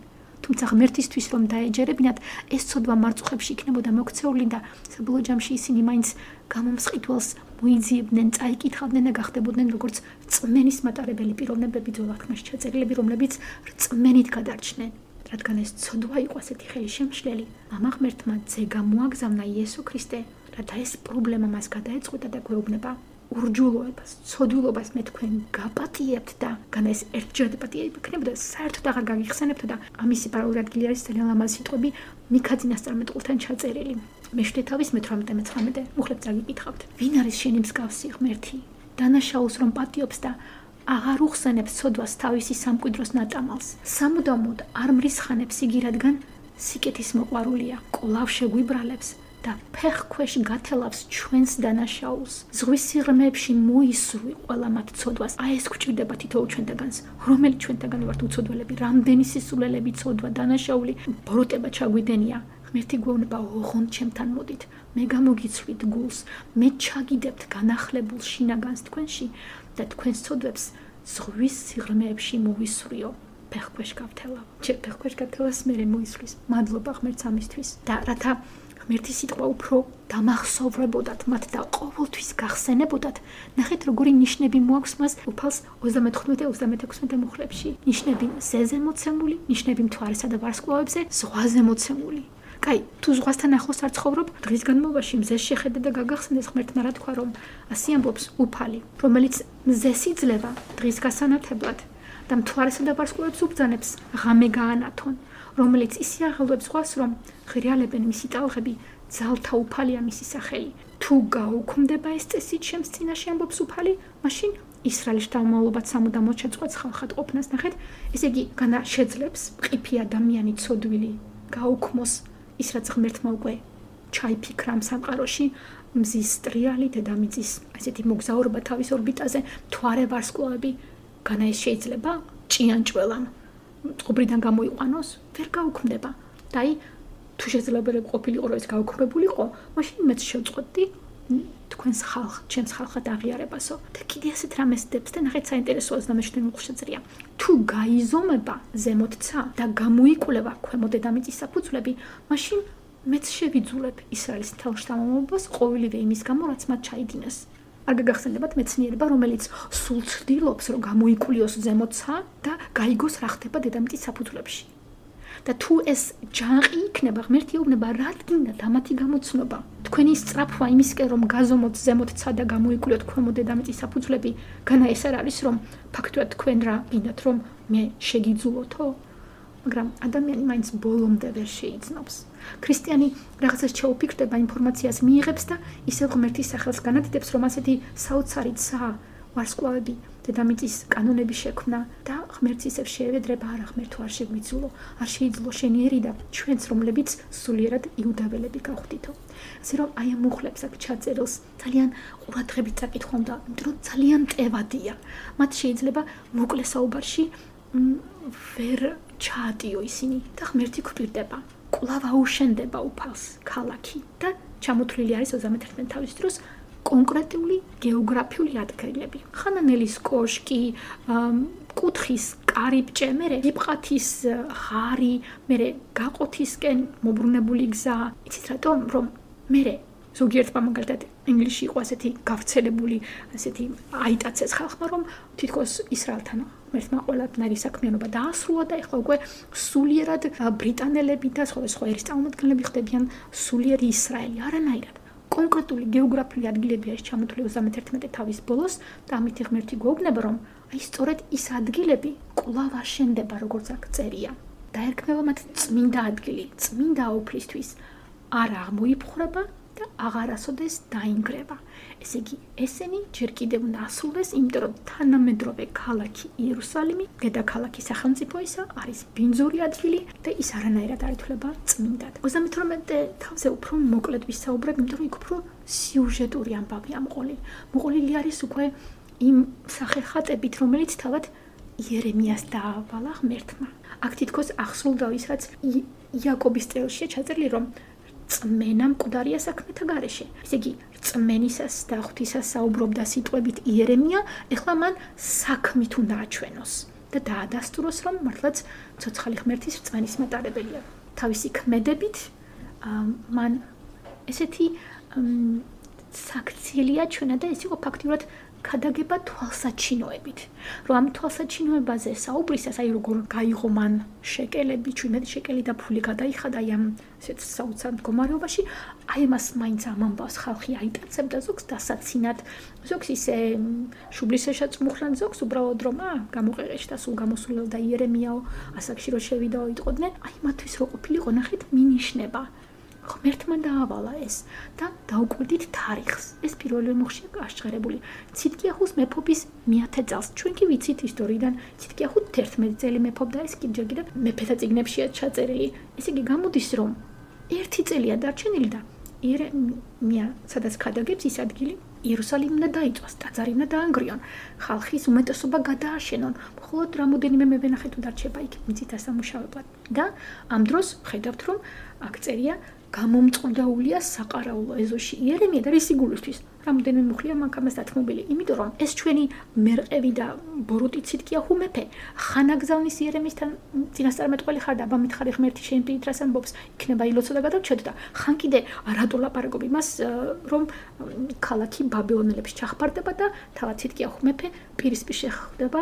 თუმცა ღმერთისთვის რომ დაეჯერებინათ, ეს ცოდვა მარწუხებში იქნებოდა მოქცეული და საბოლოო ჯამში ისინი მაინც გამომსყიდველს მოიძიებდნენ, წაიკითხავდნენ და გახდებოდნენ როგორც რწმენის მატარებელი პიროვნებები ძველათქმაში ჩაწერილები, რომლებიც რწმენით გადარჩნენ. რადგან ეს ცოდვა იყო ასეთი ხელისშემშლელი, მამა ღმერთმა ძე გამოაგზავნა იესო ქრისტე, რათა ეს პრობლემა მას გადაეწყვეტა და გვეუბნება ურჯულოებას, ცოდვილობას მე თქვენ გაპატიებთ და განა ეს ერთჯერადი პატიება იქნებოდა, საერთოდ აღარ გაგიხსენებთ და ამისი პარალელი ადგილი არის ძალიან ლამაზ სიტყვები მიქაძინას წარმეტყველთან ჩაწერილი. მეშვიდე თავის მეთვრამეტე მეცხრამეტე მუხლებს წაგიკითხავთ. ვინ არის შენი მსგავსი ღმერთი? დანაშაულს რომ პატიობს და აღარ უხსენებს ცოდვას თავისი სამკვიდროს ნატამალს. სამუდამოდ არ მრისხანებს იგი, რადგან სიკეთის მოყვარულია, კვლავ შეგვიბრალებს და ფეხ ქვეშ გათელავს ჩვენს დანაშაულს. ზღვის სიღრმეებში მოისრვი ყველა მათ ცოდვას. აი ეს გვჭირდება თითოეულ ჩვენთაგანს. რომელი ჩვენთაგანი ვართ უცოდველები, რამდენი სისულელები, ცოდვა, დანაშაული, ბოროტება ჩაგვიდენია. ღმერთი გვეუბნება, ოღონდ ჩემთან მოდით, მე გამოგიცვლით გულს, მე ჩაგიდებთ განახლებულ შინაგანს თქვენში და თქვენს ცოდვებს ზღვის სიღრმეებში მოვისვრიო. ფეხქვეშ გავთელავ. ჩემ ფეხქვეშ გათელას მე მოისვრის. მადლობა ღმერთს ამისთვის და რათა ღმერთის სიტყვა უფრო დამახსოვრებოდათ მათ და ყოველთვის გახსენებოდათ. ნახეთ როგორი ნიშნები მოაქვს მას უფალს ოცდამეთხმეტე ოცდამეექვსმეტე მუხლებში. ნიშნები ზეზე მოცემული, ნიშნები მთვარესა და ვარსკვლავებზე ზღვაზე მოცემული. კაი, თუ ზღვასთან ახლოს არ ცხოვრობ, დღის განმავლობაში მზეს შეხედე და გაგახსენდეს ღმერთმა რა თქვა, რომ ასე ამბობს უფალი, რომელიც მზეს იძლევა დღის გასანათებლად და მთვარესა და ვარსკვლავებს უბრძანებს ღამე გაანათონ, რომელიც ისე აღელვებს ზღვას, რომ ღრიალებენ მისი ტალღები, ძალთა უფალია მისი სახელი. თუ გაუქმდება ეს წესი ჩემს წინაშე ამბობს უფალი, მაშინ ისრაელის შთამომავლობად სამუდამოდ შეწყვეტს ხალხად ყოფნას. ნახეთ, ესე იგი, განა შეძლებს ყიფი ადამიანი ცოდვილი გაუქმოს ის რაც ღმერთმა უკვე ჩაიფიქრა ამ სამყაროში, მზის ტრიალი, დედამიწის ასეთი მოგზაურობა თავის ორბიტაზე, მთვარე ვარსკვლავები, განა ეს შეიძლება ჭიანჭველამ წყობრიდან გამოიყვანოს, ვერ გაუქმდება. და აი, თუ შეიძლება ყოფილიყო, რომ ეს გაუქმებულიყო, მაშინ მეც შევწყვეტდი თქვენს ხალხ, ჩემს ხალხად აღიარებასო. და კიდე ასეთ რამეს დებს და ნახეთ საინტერესოა ოცდამეშვიდე მუხლშეწრია. თუ გაიზომება ზემოთცა და გამოიკვლევა ქვემო დედამიწის საფუძვლები, მაშინ მეც შევიძულებ ისრაელის მთელ შთამომავლობას ყოველივე იმის გამო, რაც მათ ჩაიდინეს. არ გაგახსენებათ მეცნიერება, რომელიც სულ ცდილობს, რომ გამოიკლიოს ზემოთცა და გაიგოს რა ხდება დედამიწის საფუძვლებში. და თუ ეს ჯანყი იქნება, ღმერთი ეუბნება, რადგინა დამათი გამოცნობა. თქვენი სწრაფვა იმისკენ, რომ გაზომოთ ზემოთცა და გამოიკლიოთ ქვემო დედამიწის საფუძვლები, განა ეს არ არის, რომ ფაქტობრივად თქვენ რა გინდათ, რომ მე შეგიძულოთო? მაგრამ ადამიანი მაინც ბოლომდე ვერ შეიძნობს. ქრისტიანი რაღაცას შეუფიქრდება, ინფორმაციას მიიღებს და ისევ ღმერთის სახელს განადიდებს, რომ ასეთი საოცარი ცა, ვარსკვლავები, დედამიწის კანონები შექმნა და ღმერთს ისევ შეევედრება, არა ღმერთო არ შეგვიძულო, არ შეიძულო შენი ერი და ჩვენც რომლებიც სულიერად იუდაველები გავხდითო. ასე რომ აი ამ მუხლებს აქ ჩაწერილს ძალიან ყურადღებით წაკითხვა უნდა, იმიტომ რომ ძალიან ტევადია. მათ შეიძლება მოკლე საუბარში ვერ ჩაატიო ისინი და ღმერთი გვპირდება. კვლავ აუშენდება უფალს ქალაქი და ჩამოთვლილი არის ოცდამეთხმეტე თავის დროს კონკრეტული გეოგრაფიული ადგილები. ხანანელის კოშკი, კუთხის კარიბჭე, მერე იპყათის ღარი, მერე გაყოთისკენ მობრუნებული გზა. იცით რატომ? რომ მერე ზოგიერთმა მაგალითად ინგლისში იყო ასეთი გავრცელებული, ასეთი აიტაცეს ხალხმა, რომ თითქოს ისრაელთან ღმერთმა ყველანაირი საქმიანობა დაასრულა და ეხლა უკვე სულიერად ბრიტანელები და სხვა სხვა ერის წარმომადგენლები ხდებიან სულიერი ისრაელი. არანაირად. კონკრეტული გეოგრაფიული ადგილები არის ჩამოთვლილი ოცდამეერთმეტე თავის ბოლოს და ამით ღმერთი გვეუბნება, რომ აი სწორედ ის ადგილები კვლავ აშენდება, როგორც აქ წერია. დაერქმევა მათ წმინდა ადგილი, წმინდა აუფლისთვის. არ აღმოიფხვრება და აღარასოდეს დაინგრება. ესე იგი, ესენი ჯერ კიდევ უნდა ასრულდეს, იმიტომ რომ თანამედროვე ქალაქი იერუსალიმი, დედაქალაქი სახელმწიფოისა, არის ბინძური ადგილი და ის არანაირად არ ითვლება წმინდად. ოცდამეთვრამეტე თავზე უფრო მოკლედ ვისაუბრებ, იმიტომ რომ იქ უფრო სიუჟეტური ამბავია მოყოლილი. მოყოლილი არის უკვე იმ სახეხატებით, რომელიც თავად იერემიას დაავალა ღმერთმა. აქ თითქოს აღსრულდა ის, რაც იაკობის წრეშია ჩაწერილი, რომ წმენა მკვდარია საქმეთა გარეშე. ესე იგი, წმენისას და ღვთისას საუბრობდა სიტყვებით იერემია, ეხლა მან საქმით უნდა აჩვენოს. და დაადასტუროს, რომ მართლაც ცოცხალი ღმერთის რწმენის მატარებელია. თავისი ქმედებით მან ესეთი საქციელია ჩვენა და ეს იყო ფაქტიურად ქადაგება თვალსაჩინოებით. რომ ამ თვალსაჩინოებაზე საუბრისას, აი როგორ გაიღო მან შეკელები, ჩვენეთი შეკელი და ფული გადაიხადა აი ამ ესეთ საოცარ მდგომარეობაში, აი მას მაინც ამ ამბავს ხალხი აიტაცებდა ზოგს დასაცინად, ზოგს ისე შუბლისეშა წმუხლან, ზოგს უბრალოდ რომ ა გამოყეყეშდა სულ გამოსულელდა იერემიაო, ასაკში რო შევიდაო იტყოდნენ, აი მათთვის რო ყოფილიყო ნახეთ მინიშნება. ღმერთმა დაავალა ეს და დაუკვირდით თარიღს. ეს პირველი მოხშია გაშღერებული. ციტკიაჰუს მეფობის მეათე წელს. ჩვენ კი ვიცით ისტორიიდან, ციტკიაჰუ თერთმეტი წელი მეფობდა, ეს კი ჯერ კიდევ მეფეთა წიგნებშია ჩაწერილი. ესე იგი გამოდის რომ ერთი წელია დარჩენილი და იერემია, სადაც ქადაგებს ის ადგილი, იერუსალიმი უნდა დაიწვას, ტაძარი უნდა დაანგრიონ, ხალხის უმეტესობა გადააშენონ. მხოლოდ რამოდენიმე მევენახე თუ დარჩება იქ მიწით ასამუშავებლად. და ამ დროს ხედავთ რომ აქ წერია გამომწყდაულია საყარაულო ეზოში იერემია და რისი გულისთვის. რამოდენიმე მუხლია მანქანას დათმობილი, იმიტომ რომ ეს ჩვენი მერყევი და ბოროტი ციტკიაჰუ მეფე ხანაგზავნის იერემისთან წინასწარმეტყველი ხარ და აბა მითხარი ღმერთი შენ პირით რას ამბობს, იქნება ილოცო და გადავჩედ და ხან კიდე რატო ლაპარაკობ იმას რომ ქალაქი ბაბილონელებს ჩახფარდება და თავად ციტკიაჰუ მეფე პირისპირ შეხვდება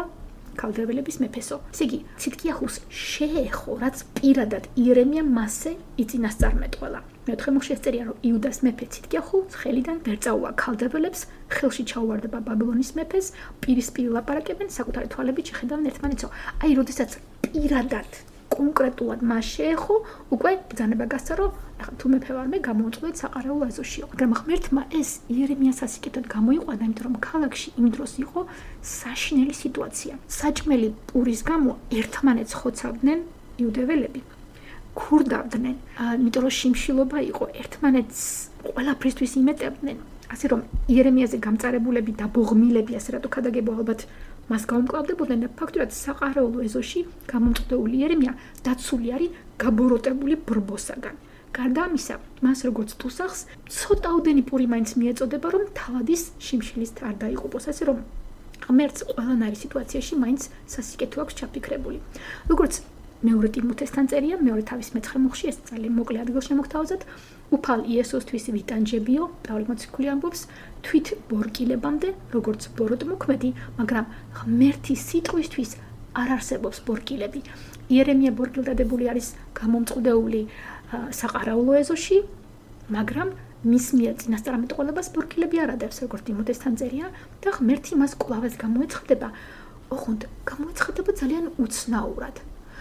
ქალდრებელების მეფესო. ესე იგი, ციტკიაჰუს შეეხო, რაც პირადად იერემია მასზე იწინასწარმეტყველა. მეოთხე მოხში წერია, რომ იუდას მეფე ციტკიაჰუ ხელიდან ვერ წაუვა ქალდრებელებს, ხელში ჩაუვარდება ბაბილონის მეფეს, პირისპირ ლაპარაკებენ, საკუთარი თვალებით შეხედავენ ერთმანეთსო. აი, როდესაც პირადად კონკრეტულად მას შეეხო, უკვე ბრძანება გასცა, რომ ახლა თუ მეფე ვარ მე გამოუწყვეთ საყარაულო ეზოშიო. მაგრამ ღმერთმა ეს იერემიას ასიკეთად გამოიყვანა, იმიტომ რომ ქალაქში იმ დროს იყო საშინელი სიტუაცია. საჭმელი პურის გამო ერთმანეთს ხოცავდნენ იუდეველები. ქურდავდნენ, იმიტომ რომ შიმშილობა იყო, ერთმანეთს ყველაფრისთვის იმეტებდნენ. ასე რომ იერემიაზე გამწარებულები და ბოღმილები, ასე რატო ქადაგებო ალბათ მას გაუმკლავდებოდნენ და ფაქტურად საყარაულო ეზოში გამომწყდეული იერემია დაცული არის გაბოროტებული ბრბოსაგან. გარდა ამისა, მას როგორც თუსახს, ცოტაოდენი პური მაინც მიეწოდება, რომ თავადის შიმშილის არ დაიღუპოს, ასე რომ ღმერთს ყველანაირი სიტუაციაში მაინც სასიკეთო აქვს ჩაფიქრებული. როგორც მეორე ტიმოთესთან წერია, მეორე თავის მეცხრე მოხში, ეს ძალიან მოკლე ადგილშემოგთავაზად, უფალ იესოსთვის ვიტანჯებიო, პავლე მოციქული ამბობს, თვით ბორკილებამდე, როგორც ბოროტმოქმედი, მაგრამ ღმერთის სიტყვისთვის არ არსებობს ბორკილები. იერემია ბორკილდადებული არის გამომწყდეული საყარაულო ეზოში, მაგრამ მის მიერ წინასწარმეტყველებას ბორკილები არ ადევს, როგორც ტიმოთესთან წერია, და ღმერთი მას კვლავაც გამოეცხადება, ოღონდ გამოეცხადება ძალიან უცნაურად.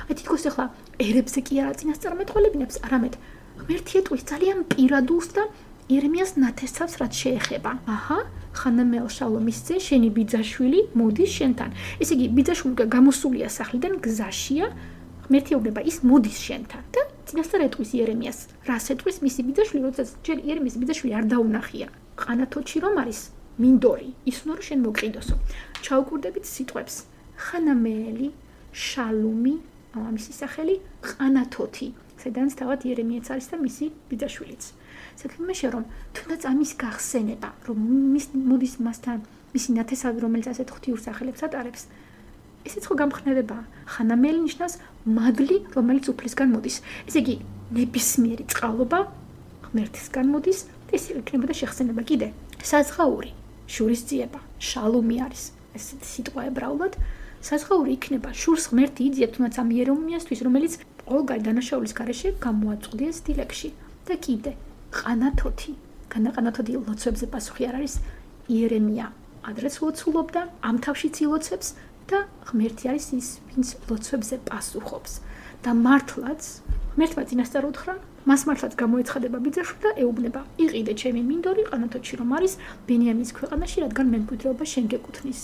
აი თითქოს ახლა ერებზე კი არა წინასწარმეტყველებინებს, არამედ ღმერთი ეტყვის ძალიან პირადულს და იერემიას ნათესავს რაც შეეხება. აჰა, ხანამელ შალომის ძე, შენი ბიძაშვილი მოდის შენთან. ესე იგი, ბიძაშვილი გამოსულია სახლიდან, გზაშია, ღმერთი ეუბნება ის მოდის შენთან და წინასწარ ეტყვის იერემიას. რას ეტყვის მისი ბიძაშვილი, როდესაც ჯერ იერემიის ბიძაშვილი არ დაუნახია. ყანათოჩი რომ არის, მინდორი, ის უნდა რომ შენ მოკიდოსო. ჩაუკვირდებით სიტყვებს. ხანამელი, შალომი, ამისი სახელი, ყანათოთი. სადაც თავად იერემიაც არის და მისი ბიძაშვილიც. საქმე შე რომ თუნდაც ამის გახსენება, რომ მის მოდის მასთან მისი ნათესავი, რომელიც ასეთ ღვთიურ სახელებს ატარებს, ესეც ხო გამხნევება. ხანამელი ნიშნავს მადლი, რომელიც უფლისგან მოდის. ესე იგი, ნებისმიერი წყალობა ღმერთისგან მოდის და ეს იქნებოდა შეხსენება კიდე. საზღაური, შურისძიება, შალომი არის. ეს სიტყვა ებრაულად საზღაური იქნება შურს ღმერთი იძიებს თუნდაც ამ იერემიასთვის, რომელიც ყველგან დანაშაულის გარეშე გამოაწყვდიეს დილეგში. და კიდე ყანათოთი, განაყანათოთი ლოცვებზე პასუხი არ არის, იერემია ადრეს ლოცულობდა, ამ თავშიც ილოცებს და ღმერთი არის ის, ვინც ლოცვებზე პასუხობს. და მართლაც ღმერთმა წინასწარ უთხრა, მას მართლაც გამოეცხადება ბიძაშვილი და ეუბნება, იყიდე ჩემი მინდორი ყანათოთში რომ არის ბენიამინის ქვეყანაში, რადგან მემკვიდრეობა შენ გეკუთვნის.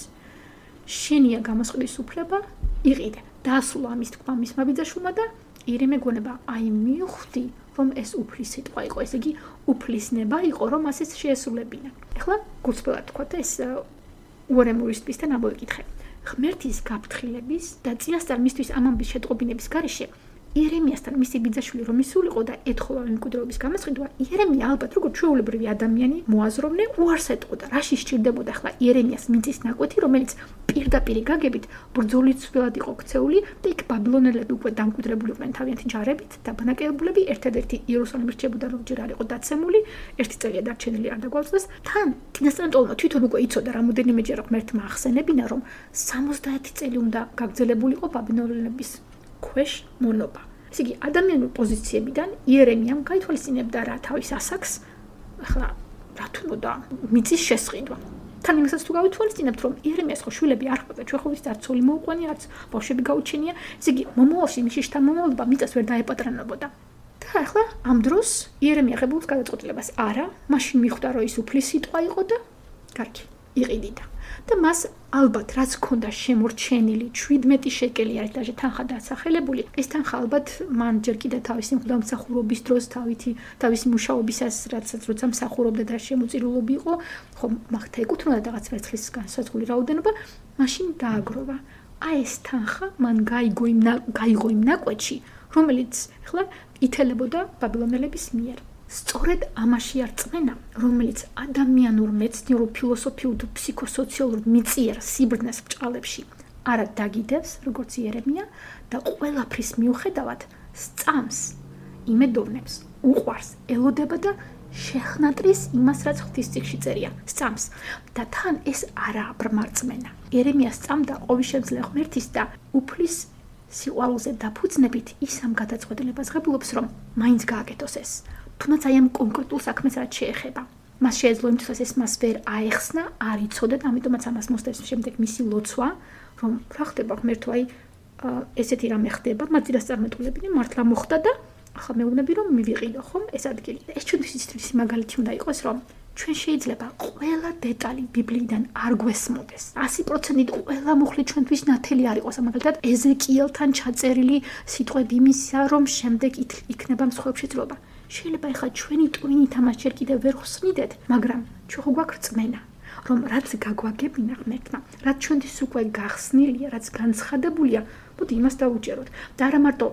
შენია გამოსყიდის უფლება, იყიდე. დაასრულა ამის თქმა მისმა ბიძაშვილმა და იერემია გონება, აი მივხვდი, რომ ეს უფლის სიტყვა იყო, ესე იგი უფლისნება იყო, რომ ასეც შეესრულებინა. ეხლა გულწრფელად თქვა და ეს უორემურისტებისთან ამოვიკითხე. ღმერთის გაფრთხილების და წინასწარ მისთვის ამ ამბის შეტყობინების გარეშე იერემიასთან მისი ბიძაშვილი რომ ისულიყო და ეთხოვა მემკვიდრეობის გამოსყიდვა, იერემია ალბათ როგორც ჩვეულებრივი ადამიანი მოაზროვნე უარს ეტყოდა, რაში სჭირდებოდა ახლა იერემიას მიწის ნაკვეთი, რომელიც პირდაპირ გაგებით ბრძოლის ველად იყო ქცეული და იქ ბაბილონელები უკვე დამკვიდრებული იყვნენ თავიანთი ჯარებით და ბანაკებულები ერთადერთი იერუსალიმის რჩებოდა რომ ჯერ არ იყო დაცემული ერთი წელია დარჩენილი არ დაგვაძლეს თან წინასწარმეტყველმა თვითონ უკვე იცოდა რამოდენიმეჯერ ღმერთმა ახსენებინა რომ სამოცდაერთი წელი უნდა გაგრძელებულიყო ბაბილონელების ქვეშ მონობა ესე იგი ადამიანური პოზიციებიდან იერემიამ გაითვალისწინებდა რა თავის ასაკს ახლა რა თუნდა მიწის შესყიდვა თან იმასაც თუ გავითვალისწინებთ რომ იერემიას ხო შვილები არ ხდება ჩვენ ხო ვიცით არც ცოლი მოუყვანია არც ბავშვები გაუჩენია ესე იგი მომავალში მისი შთამომავლობა მიწას ვერ დაეპატრანებოდა და ახლა ამ დროს იერემია ღებულობს გადაწყვეტილებას არა მაშინ მიხვდა რომ ის უფლის სიტყვა იყო და კარგი იყიდიდა და მას ალბათ რაც ქონდა შემორჩენილი შვიდმეტი შეკელი არის დაჟე თანხა დასახელებული ეს თანხა ალბათ მან ჯერ კიდე თავისი მღვდელმსახურობის დროს თავითი თავისი მუშაობისას რაცაც როცა მსახურობდა და შემოწირულობი იყო ხო მაგთა ეკუთვნოდა რაღაც ვერცხლის განსაზღვრული რაოდენობა მაშინ დააგროვა აი ეს თანხა მან გაიგო იმ გაიგო იმ ნაკვეთში რომელიც ახლა ითელებოდა ბაბილონელების მიერ სწორედ ამაში არ წმენა, რომელიც ადამიანურ მეცნიერულ ფილოსოფიურ თუ ფსიქოსოციალურ მიწიერ სიბრძნეს ბჭყალებში არა დაგიდევს, როგორც იერემია და ყველაფრის მიუხედავად სწამს, იმედოვნებს, უყვარს, ელოდება და შეხნატრის იმას, რაც ღვთისმსახურში წერია, სწამს და თან ეს არაა ბრმარწმენა. იერემია სწამდა ყოვისშემძლე ღმერთის და უფლის სიყვარულზე დაფუძნებით ის ამ გადაწყვეტილებას ღებულობს, რომ მაინც გააკეთოს ეს. თუნდაც აი ამ კონკრეტულ საქმეს რაც შეეხება. მას შეეძლო იმთვისაც ეს მას ვერ აეხსნა, არ იცოდა და ამიტომაც ამას მოსდევს შემდეგ მისი ლოცვა, რომ რა ხდება ღმერთო, აი ესეთი რამე ხდება, მათ წინასწარმეტყველებინე მართლა მოხდა და ახლა მეუბნები რომ მივიყიდო ხომ ეს ადგილი. ეს ჩვენთვის ისეთი მაგალითი უნდა იყოს, რომ ჩვენ შეიძლება ყველა დეტალი ბიბლიიდან არ გვესმოდეს. ასი პროცენტით ყველა მუხლი ჩვენთვის ნათელი არ იყოს. მაგალითად, ეზეკიელთან ჩაწერილი სიტყვები იმისა, რომ შემდეგ იქნება მსხვერპლი შეძლება. შეიძლება ეხლა ჩვენი ტვინით ამას ჯერ კიდევ ვერ ხსნიდეთ, მაგრამ ჩვენ ხო გვაქვს რწმენა, რომ რაც გაგვაგებინა ღმერთმა, რაც ჩვენთვის უკვე გახსნილია, რაც განცხადებულია, მოდი იმას დავუჯეროთ. და არა მარტო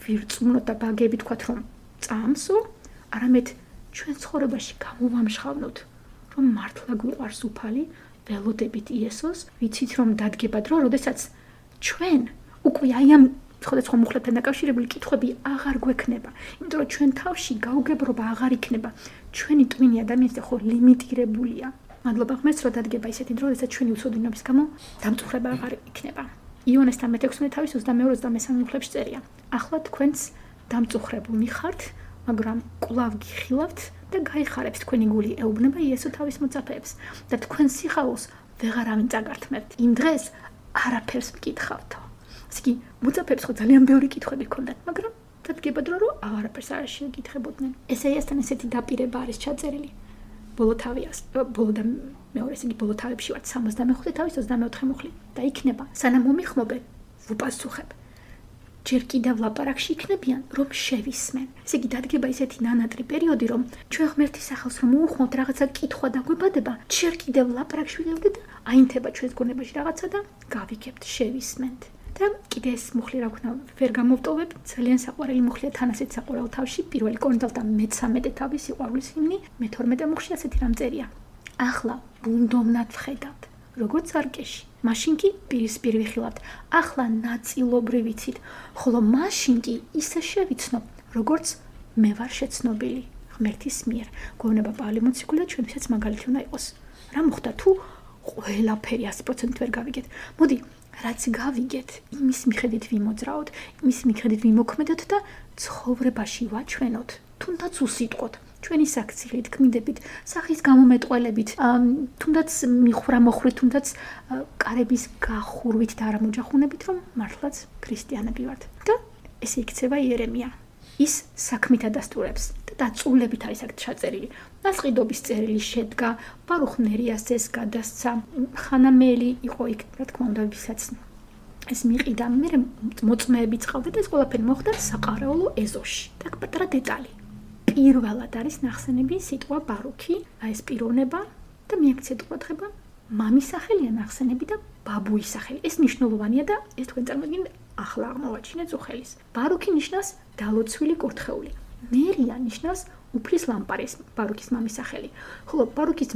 ვირწმუნოთ და ბაგები თქვათ, რომ წამსო, არამედ ჩვენ ცხოვრებაში გამოვამშხავნოთ, რომ მართლა გვიყვარს უფალი, ველოდებით იესოს, ვიცით რომ დადგება დრო, როდესაც ჩვენ უკვე აი ამ სხვადასხვა მუხლებთან დაკავშირებული კითხვები აღარ გვექნება, იმიტომ რომ ჩვენ თავში გაუგებრობა აღარ იქნება. ჩვენი ტვინი ადამიანის ხო ლიმიტირებულია. მადლობა ღმერთს, რომ დადგება ისეთი დრო, როდესაც ჩვენი უცოდინობის გამო დამწუხრება აღარ იქნება. იონესთან მეთექვსმეტე თავის ოცდამეორე ოცდამესამე მუხლებში წერია. ახლა თქვენც დამწუხრებულნი ხართ, მაგრამ კვლავ გიხილავთ და გაიხარებთ თქვენი გული ეუბნება იესო თავის მოწაფეებს და თქვენ სიხარულს ვეღარავინ წაგართმევთ. იმ დღეს არაფერს მკითხავთო. ისე მოწაფეებს ხო ძალიან ბევრი კითხვები ჰქონდათ, მაგრამ დადგება დრო, რომ აღარაფერს არ შეეკითხებოდნენ. ესაიასთან ესეთი დაპირება არის ჩაწერილი. ბოლო თავიას, ბოლო და მეორე, ისე ბოლო თავებში ვართ სამოცდამეხუთე თავის ოცდამეოთხე მუხლი და იქნება, სანამ მომიხმობენ, ვუპასუხებ. ჯერ კიდევ ლაპარაკში იქნებიან, რომ შევისმენ. ესე იგი დადგება ისეთი ნანატრი პერიოდი, რომ ჩვენ ღმერთის სახელს რომ მოუხმობთ რაღაცა კითხვა დაგვებადება, ჯერ კიდევ ლაპარაკში ვიდევდეთ და აინთება ჩვენს გონებაში რაღაცა და გავიგებთ, შევისმენთ. და კიდე ეს მუხლი რა ვქნა, ვერ გამოვტოვებ, ძალიან საყვარელი მუხლია თან ასეთ საყვარელ თავში, პირველი კორინთელთა მეთერთმეტე თავის სიყვარულის ჰიმნი, მეთორმეტე მუხლში ასეთი რამ წერია. ახლა ბუნდოვნად ვხედავთ, როგორც არკეში. მაშინ კი პირისპირ ვიხილავთ, ახლა ნაწილობრივ ვიცით, ხოლო მაშინ კი ისე შევიცნობ, როგორც მე ვარ შეცნობილი ღმერთის მიერ. გვეუბნება პავლე მოციქული და ჩვენთვისაც მაგალითი უნდა იყოს. რა მოხდა თუ ყველაფერი ასი პროცენტით ვერ გავიგეთ? მოდი, რაც გავიგეთ, იმის მიხედვით ვიმოძრაოთ, იმის მიხედვით ვიმოქმედოთ და ცხოვრებაში ვაჩვენოთ, თუნდაც უსიტყვოთ. ჩვენი საქციელით, ქმედებით, სახის გამომეტყველებით, თუნდაც მიხვრა-მოხვრით, თუნდაც კარების გახურვით და არამოჯახუნებით, რომ მართლაც ქრისტიანები ვართ. და ესე იქცევა იერემია. ის საქმით ადასტურებს და დაწვრილებით არის აქ ჩაწერილი. ნასყიდობის წერილი შედგა, ბარუხ ნერიას ეს გადასცა, ხანამელი იყო იქ, რა თქმა უნდა, ვისაც ეს მიყიდა, მე მოწმეები წყავდა და ეს ყველაფერი მოხდა საყარეულო ეზოში. და პატარა დეტალი. პირველად არის ნახსენები სიტყვა ბარუქი, აი ეს პიროვნება და მიაქცეთ ყურადღება, მამის სახელია ნახსენები და ბაბუის სახელი. ეს მნიშვნელოვანია და ეს თქვენ წარმოგიდგენთ ახლა აღმოვაჩინეთ უხელის. ბარუქი ნიშნავს დალოცვილი კურთხეული. ნერია ნიშნავს უფლის ლამპარის, ბარუქის მამის სახელი. ხოლო ბარუქის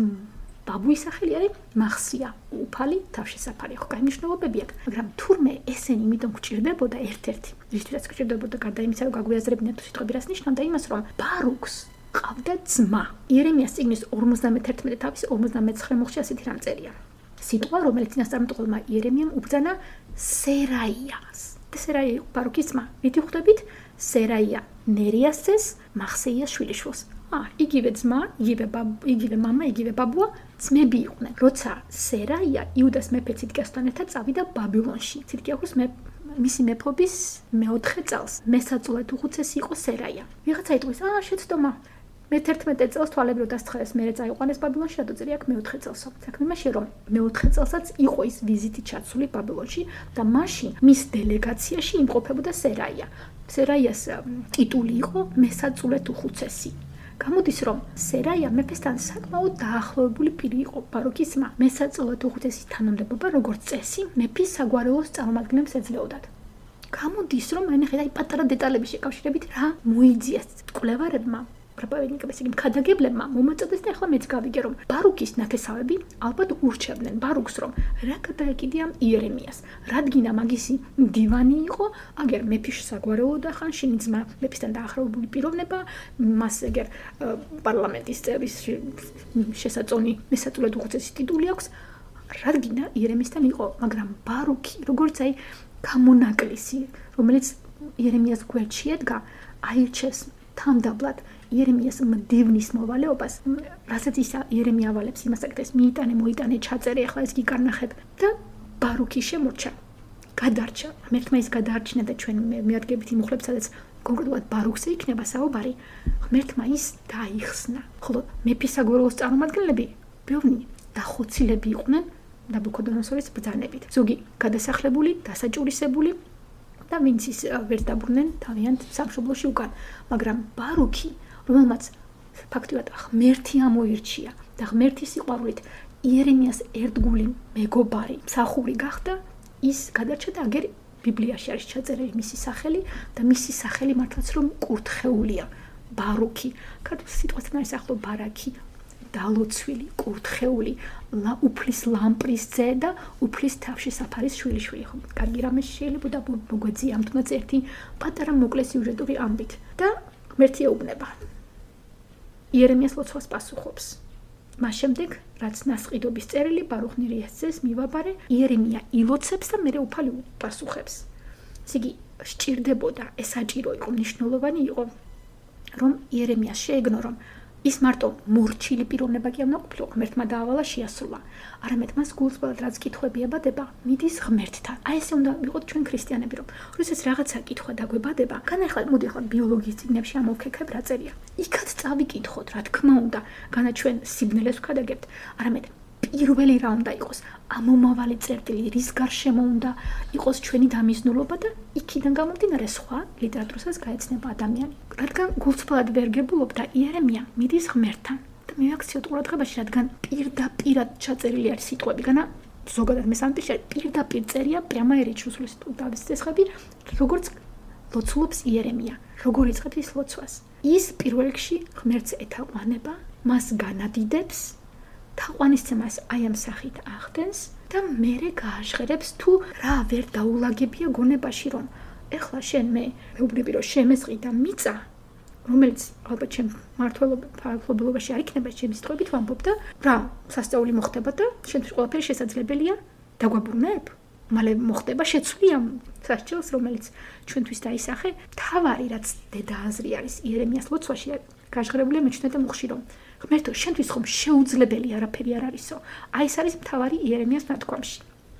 ბაბუის სახელი არის მახსია, უფალი, თავშესაფარი. ხო, კაი მნიშვნელობები აქვს, მაგრამ თურმე ესენი იმიტომ გჭირდებოდა ერთ-ერთი. რითაც გჭირდებოდა გარდა იმისა, რომ გაგვიაზრებინათ თუ სიტყვები რას ნიშნავდა იმას, რომ ბარუქს ყავდა ძმა. იერემიას წიგნის ორმოცდამეთერთმეტე თავის ორმოცდამეცხრე მოხში ასეთი რამ წერია. სიტყვა, რომელიც წინასწარმეტყველმა იერემიამ უბრძანა სერაიას. და სერაია იყო ბარუქის ძმა. რითი ხვდებით? სერაია ნერიას ძეს, მახსეიას შვილიშვილს. ა, იგივე ძმა, იგივე ბაბა, იგივე მამა, იგივე ბაბუა ძმები იყვნენ. როცა სერაია იუდას მეფე ციდკიასთან ერთად წავიდა ბაბილონში. ციდკიას მე მისი მეფობის მეოთხე წელს. მესაწულად უხუცესი იყო სერაია. ვიღაცა იტყვის, აა შეცდომა. მეთერთმეტე წელს თვალები რო დასთხარეს, მერე წაიყვანეს ბაბილონში, რატო წერია აქ მეოთხე წელსო. საქმე იმაშია, რომ მეოთხე წელსაც იყო ის ვიზიტი ჩაცული ბაბილონში და მაშინ მის დელეგაციაში იმყოფებოდა სერაია. სერაიას ტიტული იყო მესაწულად უხუცესი. გამოდის, რომ სერაია მეფესთან საკმაოდ დაახლოებული პირი იყო, ბარუქის ძმა. მესაწულად უხუცესის თანამდებობა, როგორც წესი, მეფის საგვარეულოს წარმომადგენლებს ეძლეოდათ. გამოდის, რომ აი ნახეთ, აი პატარა დეტალების შეკავშირებით რა მოიძიეს კვლევარებმა, პროპაგანდისტებმა, ქადაგებლებმა მომაწოდეს და ახლა მეც გავიგე, რომ ბარუქის ნათესავები ალბათ ურჩევდნენ ბარუქს, რომ რა გადაეკიდია იერემიას. რადგინა მაგისი დივანი იყო, აგერ მეფის საგვარეულო და ხან შენი ძმა მეფისთან დაახლოებული პიროვნება, მას ეგერ პარლამენტის წევრის შესაწონი მესაწულად უხუცესი ტიტული აქვს, რადგინა იერემიასთან იყო, მაგრამ ბარუქი, როგორც აი გამონაკლისი, რომელიც იერემიას გვერდში ედგა, აირჩეს თამდაბლად იერემიას მდივნის მოვალეობას, რასაც ის იერემია ავალებს იმას აკეთებს, მიიტანე, მოიტანე, ჩაწერე, ახლა ეს გიკარნახებ და ბარუქი შემორჩა. გადარჩა. ღმერთმა ის გადაარჩინა და ჩვენ მიადგებით იმ უხლებს, სადაც კონკრეტულად ბარუქზე იქნება საუბარი. ღმერთმა ის დაიხსნა. ხოლო მეფის საგვარეულოს წარმომადგენლები ბევრი დახოცილები იყვნენ ნაბუქოდონოსორის ბრძანებით. ზოგი გადასახლებული, დასაჭურისებული და ვინც ის ვერ დაბრუნდნენ თავიანთ სამშობლოში უკან, მაგრამ ბარუქი, რომელმაც ფაქტიურად ღმერთი ამოირჩია და ღმერთის სიყვარულით იერემიას ერთგული მეგობარი, მსახური გახდა, ის გადარჩა და აგერ ბიბლიაში არის ჩაწერილი მისი სახელი და მისი სახელი მართლაც რომ კურთხეულია, ბარუქი. ქართულ სიტყვასთან არის ახლო ბარაქი, დალოცვილი, კურთხეული, უფლის ლამპრის ძე და უფლის თავშესაფარის შვილიშვილი. ხო, კარგი რამე შეიძლება მოგვეძია ამ თუნდაც ერთი პატარა მოკლე სიუჟეტური ამბით და ღმერთი ეუბნება. იერემიას ლოცვას პასუხობს. მას შემდეგ, რაც ნასყიდობის წერილი ბარუხ ნერიას ძეს მივაბარე, იერემია ილოცებს და მერე უფალი პასუხებს. ესე იგი, სჭირდებოდა, ეს საჭირო იყო, მნიშვნელოვანი იყო, რომ იერემიას შეეგნო, რომ ის მარტო მორჩილი პიროვნება კი არ უნდა ყოფილიყო, ღმერთმა დაავალა შეასრულა. არამედ მას გულწრფელად რაც კითხვები ებადება, მიდის ღმერთთან. აი ესე უნდა ვიყოთ ჩვენ ქრისტიანები, რომ როდესაც რაღაცა კითხვა დაგვებადება, განახლა მოდი ახლა ბიოლოგიის წიგნებში ამოვქექებ რა წერია. იქაც წავიკითხოთ, რა თქმა უნდა, განა ჩვენ სიბნელეს ვქადაგებთ, არამედ პირველი რა უნდა იყოს, ამომავალი წერტილი, რის გარშემო უნდა იყოს ჩვენი დამიზნულობა და იქიდან გამომდინარე სხვა ლიტერატურასაც გაეცნება ადამიანი. რადგან გულწრფელად ვერ გებულობ და იერემია მიდის ღმერთთან და მივაქციოთ ყურადღებაში, რადგან პირდაპირად ჩაწერილი არის სიტყვები, განა ზოგადად მესამეში პირდაპირ წერია პრямо ერიჩუსლის თავის წესხები, როგორც ლოცულობს იერემია, როგორ იწყებს ის ლოცვას. ის პირველ რიგში ღმერთს ეთაყვანება, მას განადიდებს, თაყვანისცემას აი ამ სახით ახდენს და მერე გააჟღერებს თუ რა ვერ დაულაგებია გონებაში, რომ ეხლა შენ მე მეუბნები რომ შემესყი და მიწა, რომელიც ალბათ ჩემ მართლობელობაში არ იქნება ჩემი სიტყვებით ვამბობ და რა სასწაული მოხდება და შენთვის ყველაფერი შესაძლებელია დაგვაბრუნებ, მალე მოხდება შეცვლი ამ სასჯელს, რომელიც ჩვენთვის დაისახე. თავარი რაც დედააზრი არის იერემიას ლოცვაში გაჟღერებულია მეჩნე და მუხში, რომ ღმერთო, შენთვის ხომ შეუძლებელი არაფერი არ არისო. აი ეს არის მთავარი იერემიას ნათქვამში.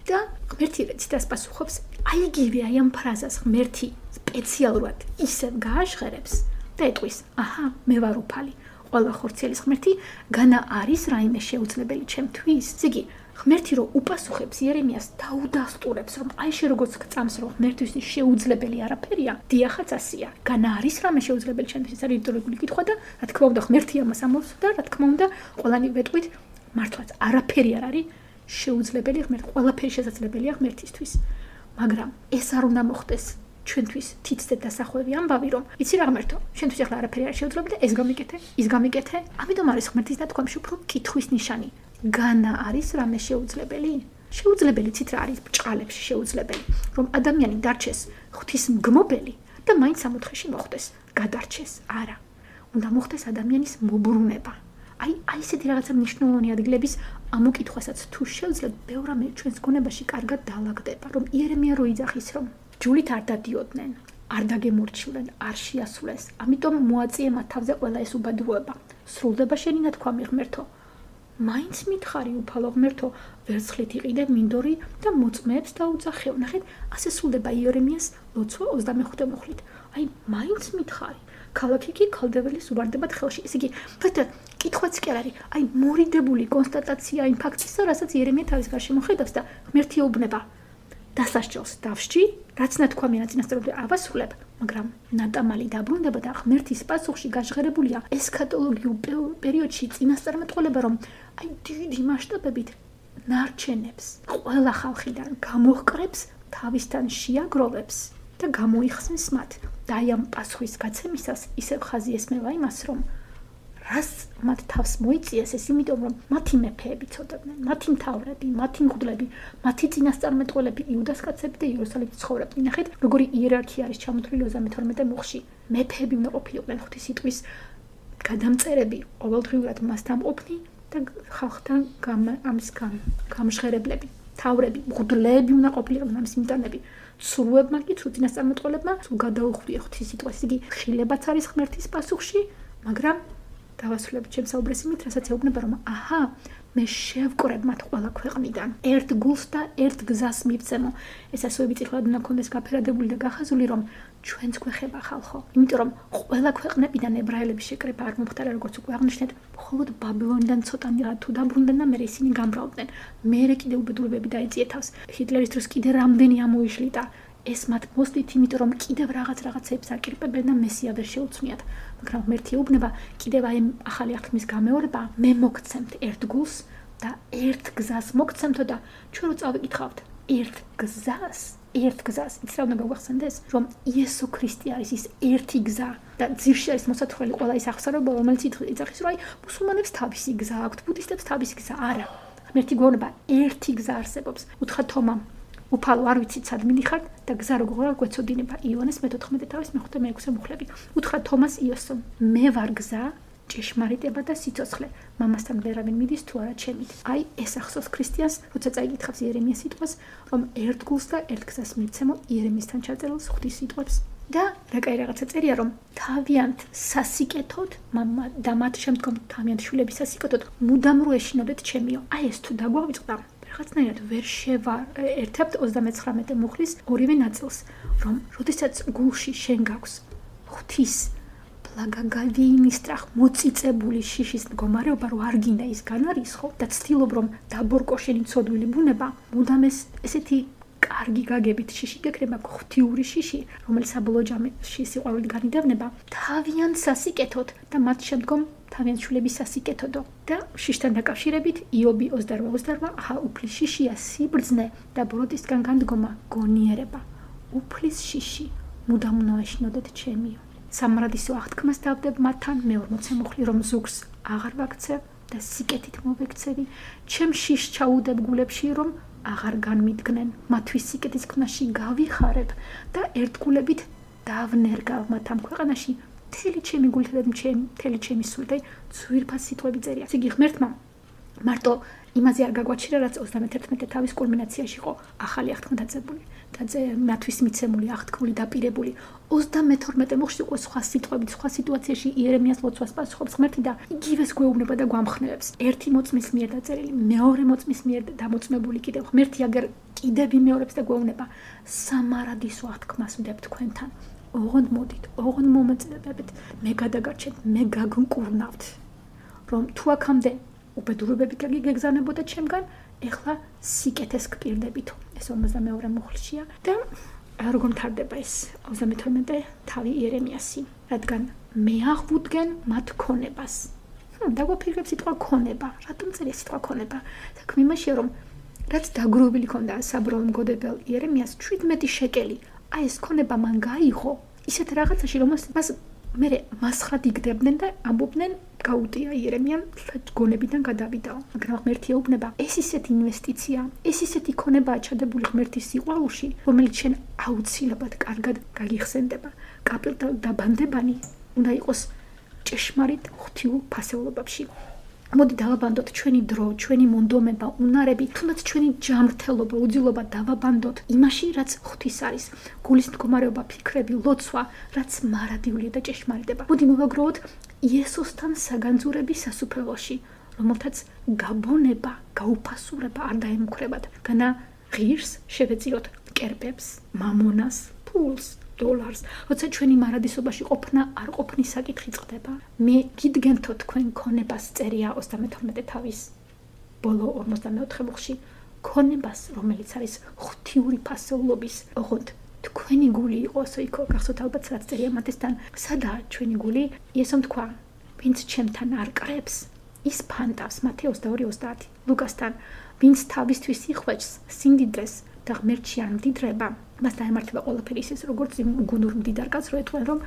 და ღმერთი ციტას პასუხობს, აი იგივე აი ამ ფრაზას ღმერთი სპეციალურად ისევ გააჟღერებს და ეტყვის, აჰა, მე ვარ უფალი, ყველა ხორციელის ღმერთი, განა არის რაიმე შეუძლებელი ჩემთვის. ზიგი, ღმერთი რო უპასუხებს იერემიას დაუდასტურებს, რომ აი შე როგორც წამს რომ ღმერთისთვის შეუძლებელი არაფერია, დიახაც ასია. განა არის რამე შეუძლებელი ჩემთვის, ეს არის რიტორიკული კითხვა და რა თქმა უნდა ღმერთი ამას ამბობს და რა თქმა უნდა ყველანი ვეტყვით, მართლაც არაფერი არ არის შეუძლებელი ღმერთ, ყველაფერი შესაძლებელია ღმერთისთვის. მაგრამ ეს არ უნდა მოხდეს ჩვენთვის თითზე დასახვევი ამბავი, რომ იცი რა ღმერთო, შენთვის ახლა არაფერი არ შეუძლებელი და ეს გამიკეთე, ის გამიკეთე. ამიტომ არის ღმერთის ნათქვამში უფრო კითხვის ნიშანი. განა არის რამე შეუძლებელი? შეუძლებელი ცით რა არის ბჭყალებში შეუძლებელი, რომ ადამიანი დარჩეს ღვთისმგმობელი და მაინც სამოთხეში მოხვდეს, გადარჩეს. არა. უნდა მოხდეს ადამიანის მობრუნება. აი, აი ესეთი რაღაცა მნიშვნელოვანი ადგილების ამოკითხვასაც თუ შევძლებ, ბევრ რამე ჩვენს გონებაში კარგად დაალაგდება, რომ იერემია რო იძახის, რომ ჯულით არ დადიოდნენ, არ დაგემორჩილენ, არ შეასრულეს. ამიტომ მოაწიე მათ თავზე ყველა ეს უბადურება. სრულდება შენი ნათქვამი ღმერთო. მაინც მითხარი უფალო ღმერთო, ვერცხლით იყიდე მინდორი და მოწმეებს დაუძახეო. ნახეთ, ასე სრულდება იერემიას ლოცვა ოცდამეხუთე მუხლით. აი, მაინც მითხარი. ქალაქი კი ქალდეველის უვარდებათ ხელში. ესე იგი, ფეთე კითხვაც კი არ არის. აი, მორიდებული კონსტატაცია იმ ფაქტისა, რასაც იერემია თავის გარშემო ხედავს და ღმერთი ეუბნება. დასასჯელს დავსჯი, რაც ნათქვამია წინასწარმეტყველებამდე ავასრულებ, მაგრამ ნატამალი დაბრუნდება და ღმერთის პასუხში გაჟღერებულია ესქატოლოგიურ პერიოდში წინასწარმეტყველება, რომ აი დიდი მასშტაბებით ნარჩენებს ყველა ხალხიდან გამოჰკრებს, თავისთან შეაგროვებს და გამოიხსნის მათ. და აი ამ პასუხის გაცემისას ისევ ხაზი ესმევა იმას, რომ რას მათ თავს მოიწიეს ეს, იმიტომ რომ მათი მეფეები ცოტებდნენ, მათი მთავრები, მათი მღვდლები, მათი წინასწარმეტყველები, იუდას კაცები და იერუსალიმში ცხოვრობდნენ. ნახეთ, როგორი იერარქია არის ჩამოთვლილი ოცდამეთორმეტე მუხლში. მეფეები უნდა ყოფილიყვნენ ღვთის სიტყვის გადამწერები, ყოველდღიურად მასთან ყოფნი და ხალხთან ამის გამჟღერებლები, მთავრები, მღვდლები უნდა ყოფილიყვნენ ამის მიტანები. ცრუებმა კი, ცრუ წინასწარმეტყველებმა გადაუხვდია ღვთის სიტყვას. იგი ხილებაც არის ღმერთის პასუხში, მაგრამ დავასრულებ ჩემს საუბრეს იმით, რასაც ეუბნება, რომ აჰა, მე შევკრებ მათ ყველა ქვეყნიდან, ერთ გულს და ერთ გზას მივცემო. ეს ასოები წითლად უნდა ქონდეს გაფერადებული და გახაზული, რომ ჩვენც გვეხება ხალხო. იმიტომ რომ ყველა ქვეყნებიდან ებრაელების შეკრება არ მომხდარა, როგორც უკვე აღნიშნეთ, მხოლოდ ბაბილონიდან ცოტანი რა თუ დაბრუნდნენ და მერე ისინი გამრავლდნენ. მერე კიდე უბედურებები დაეწია თავს. ჰიტლერის დროს კიდე რამდენი ამოიშლიდა. ეს მათ მოსდით, იმიტომ რომ კიდევ რაღაც რაღაცებს აკირპებენ და მესია ვერ შეუცვლიათ. მაგრამ ღმერთი ეუბნება, კიდევ აი ახალი აღთქმის გამეორება, მე მოგცემთ ერთ გულს და ერთ გზას მოგცემთო და ჩვენ რო წავიკითხავთ ერთ გზას, ერთ გზას, იცი რა უნდა გაგვახსენდეს, რომ იესო ქრისტე არის ის ერთი გზა და ძირში არის მოსათხრელი ყველა ის აღსარება, რომელიც იძახის, რომ აი მუსულმანებს თავისი გზა აქვთ, ბუდისტებს თავისი გზა. არა. ღმერთი გვეუბნება, ერთი გზა არსებობს. უთხრა თომამ, უფალო არ ვიცით სად მიდიხართ და გზა როგორ გვეცოდინება. იონეს მეთოთხმეტე თავის მეხუთე მეექვსე მუხლები. უთხრა თომას იოსომ, მე ვარ გზა, ჭეშმარიტება და სიცოცხლე. მამასთან ვერავინ მიდის თუ არა ჩემით. აი ეს ახსოვს ქრისტიანს, როცა წაიკითხავს იერემიას სიტყვას, რომ ერთ გულს და ერთ გზას მივცემო იერემიასთან ჩაწერილ ღვთის სიტყვებს. და რა კაი რაღაცა წერია, რომ თავიანთ სასიკეთოდ მამა და მათ შემდგომ თავიანთ შვილების სასიკეთოდ მუდამ რო ეშინოდეთ ჩემიო. აი ეს თუ დაგვავიწყდა რაღაცნაირად ვერ შევარ ერთად ოცდამეცხრამეტე მუხლის ორივე ნაწილს, რომ როდესაც გულში შენ გაქვს ღვთის პლაგაგავინის სტრახ მოწიწებული შიშის მდგომარეობა, რომ არ გინდა ის განარისხო და ცდილობ რომ დაბორკო შენი ცოდვილი ბუნება, მუდამ ეს ესეთი კარგი გაგებით შიში გეკრება, ღვთიური შიში, რომელიც საბოლოო ჯამში სიყვარულით განიდევნება, თავიანთ სასიკეთოდ და მათ შემდგომ თავიანთ შვილების სასიკეთოდო. და შიშთან დაკავშირებით იობი ოცდაორ ოცდაორ, აჰა, უფლის შიშია სიბრძნე და ბროდისგან განდგომა გონიერება. უფლის შიში, მუდამ უნდა ეშინოდეთ ჩემიო. სამარადისო აღთქმას დავდებ მათთან, მე ორმოცე მუხლი რომ ზურგს აღარ ვაქცევ და სიკეთით მოვექცევი, ჩემ შიშს ჩაუდებ გულებში, რომ აღარ განმიდგნენ, მათთვის სიკეთის ქვნაში გავიხარებ და ერთგულებით დავნერგავ მათ ამ ქვეყანაში. მთელი ჩემი გულით და მთელი ჩემი სულით, აი ძვირფას სიტყვები წერია. ესე იგი ღმერთმა მარტო იმაზე არ გაგვაჩერა, რაც ოცდამეთერთმეტე თავის კულმინაციაში იყო ახალი აღთქმა დაძებული და მათთვის მიცემული, აღთქმული, დაპირებული. ოცდამეთორმეტე მუხლში უკვე სხვა სიტყვებით, სხვა სიტუაციაში იერემიას ლოცვას პასუხობს ღმერთი და იგივეს გვეუბნება და გვამხნევებს. ერთი მოწმის მიერ დაწერილი, მეორე მოწმის მიერ დამოწმებული კიდევ ღმერთი აგერ კიდევ ვიმეორებს და გვეუბნება, სამარადისო აღთქმას ვდებ თქვენთან. ოღონდ მოდით, ოღონდ მომეწდებებით, მე გადაგარჩეთ, მე გაგმკურნავთ, რომ თუ აქამდე უბედურებები გეგზავნებოდა ჩემგან, ეხლა სიკეთეს გპირდებითო. ეს ორმოცდამეორე მუხლშია და როგორ მთავრდება ეს ოცდამეთორმეტე თავი იერემიასი, რადგან მე აღვუდგენ მათ ქონებას. ჰმ, დაგვაფიქრებ სიტყვა ქონება, რატომ წერია სიტყვა ქონება? საქმე იმაშია, რომ რაც დაგროვილი ქონდა საბრალო მგოდებელ იერემიას შვიდმეტი შეკელი. აი ეს ქონება მან გაიღო ისეთ რაღაცაში, რომელსაც მას მე მასხრად იგდებდნენ და ამბობდნენ გაუტია იერემიამ გონებიდან გადავიდაო. მაგრამ ღმერთი ეუბნება, ეს ისეთი ინვესტიცია, ეს ისეთი ქონებაა ჩადებული ღმერთის სიყვარულში, რომელიც შენ აუცილებლად კარგად გაგიხსენდება. კაპილდაბანდებანი უნდა იყოს ჭეშმარიტ ღვთიურ ფასეულობებში. მოდი დავაბანდოთ ჩვენი დრო, ჩვენი მონდომება, უნარები, თუნდაც ჩვენი ჯანმრთელობა, უძილობა დავაბანდოთ იმაში, რაც ღვთის არის. გულის მდგომარეობა, ფიქრები, ლოცვა, რაც მარადიულია და ჭეშმარიტება. მოდი მოვაგროვოთ იესოსთან საგანძურების სასუფეველში, რომელთაც გაბონება, გაუფასურება არ დაემუქრებათ. განა ღირს შევეწიროთ კერპებს, მამონას, ფულს, დოლარს, როცა ჩვენი მარადისობაში ყოფნა არ ყოფნის საკითხი წყდება. მე გიდგენთო თქვენ ქონებას წერია ოცდამეთორმეტე თავის ბოლო ორმოცდამეოთხე მუხლში, ქონებას, რომელიც არის ღვთიური ფასეულობის, ოღონდ თქვენი გული იყოს იქო, გახსოვთ ალბათ რაც წერია მათესთან, სადაა ჩვენი გული? იესომ თქვა, ვინც ჩემთან არ კრებს, ის ფანტავს, მათე ოცდაორი ოცდაათი, ლუკასთან, ვინც თავისთვის იხვეჭს სიმდიდრეს და ღმერთში არ მდიდრება, მას დაემართება ყველაფერი ისე, როგორც იმ გუნურ მდიდარ კაცს, რო ეთქვენ, რომ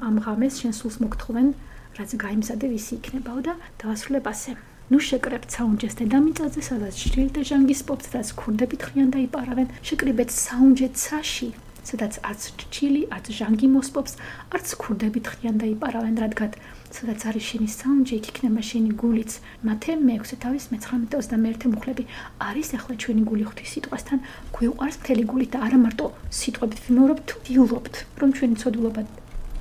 ამ ღამეს შენ სულს მოგთხოვენ, რაც გაიმზადე ვისი იქნებაო და დავასრულებ ასე. ნუ შეკრებთ საუნჯეს დედამიწაზე, სადაც ჭრილი და ჟანგი სპობს, სადაც ქურდები თხრიან და იპარავენ, შეკრიბეთ საუნჯე ცაში, სადაც არც ჭრილი, არც ჟანგი მოსპობს, არც ქურდები თხრიან და იპარავენ, რადგან სადაც არის შენი საუნჯე, იქ იქნება შენი გულიც. მათე მეექვსე თავის მეცხრამეტე ოცდამეერთე მუხლები. არის ახლა ჩვენი გული ღვთის სიტყვასთან, გვიყვარს მთელი გულით და არა მარტო სიტყვებით ვიმეორებთ, ვიულობთ, რომ ჩვენი ცოდულობა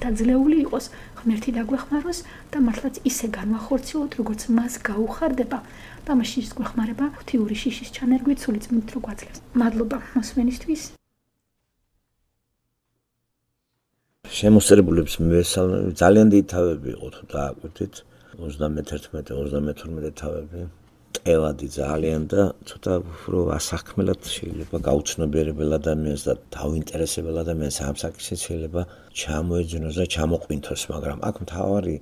დაძლეული იყოს, ღმერთი დაგვეხმაროს და მართლაც ისე განვახორციელოთ, როგორც მას გაუხარდება და მაშინ ის გვეხმარება ღვთიური შიშის ჩანერგვით სული წმინდით რო გვაძლევს. მადლობა მოსმენისთვის. შემოსწრებულებს მივესალმები, ძალიან დიდი თავები იყო თუ დააკვირდით, ოცდამეთერთმეტე ოცდამეთორმეტე თავები, ტევადი ძალიან და ცოტა უფრო ასახმელად შეიძლება გაუცნობიერებელ ადამიანს და დაუინტერესებელ ადამიანს ამ საკითხით შეიძლება ჩამოეძინოს და ჩამოყვინთოს, მაგრამ აქ მთავარი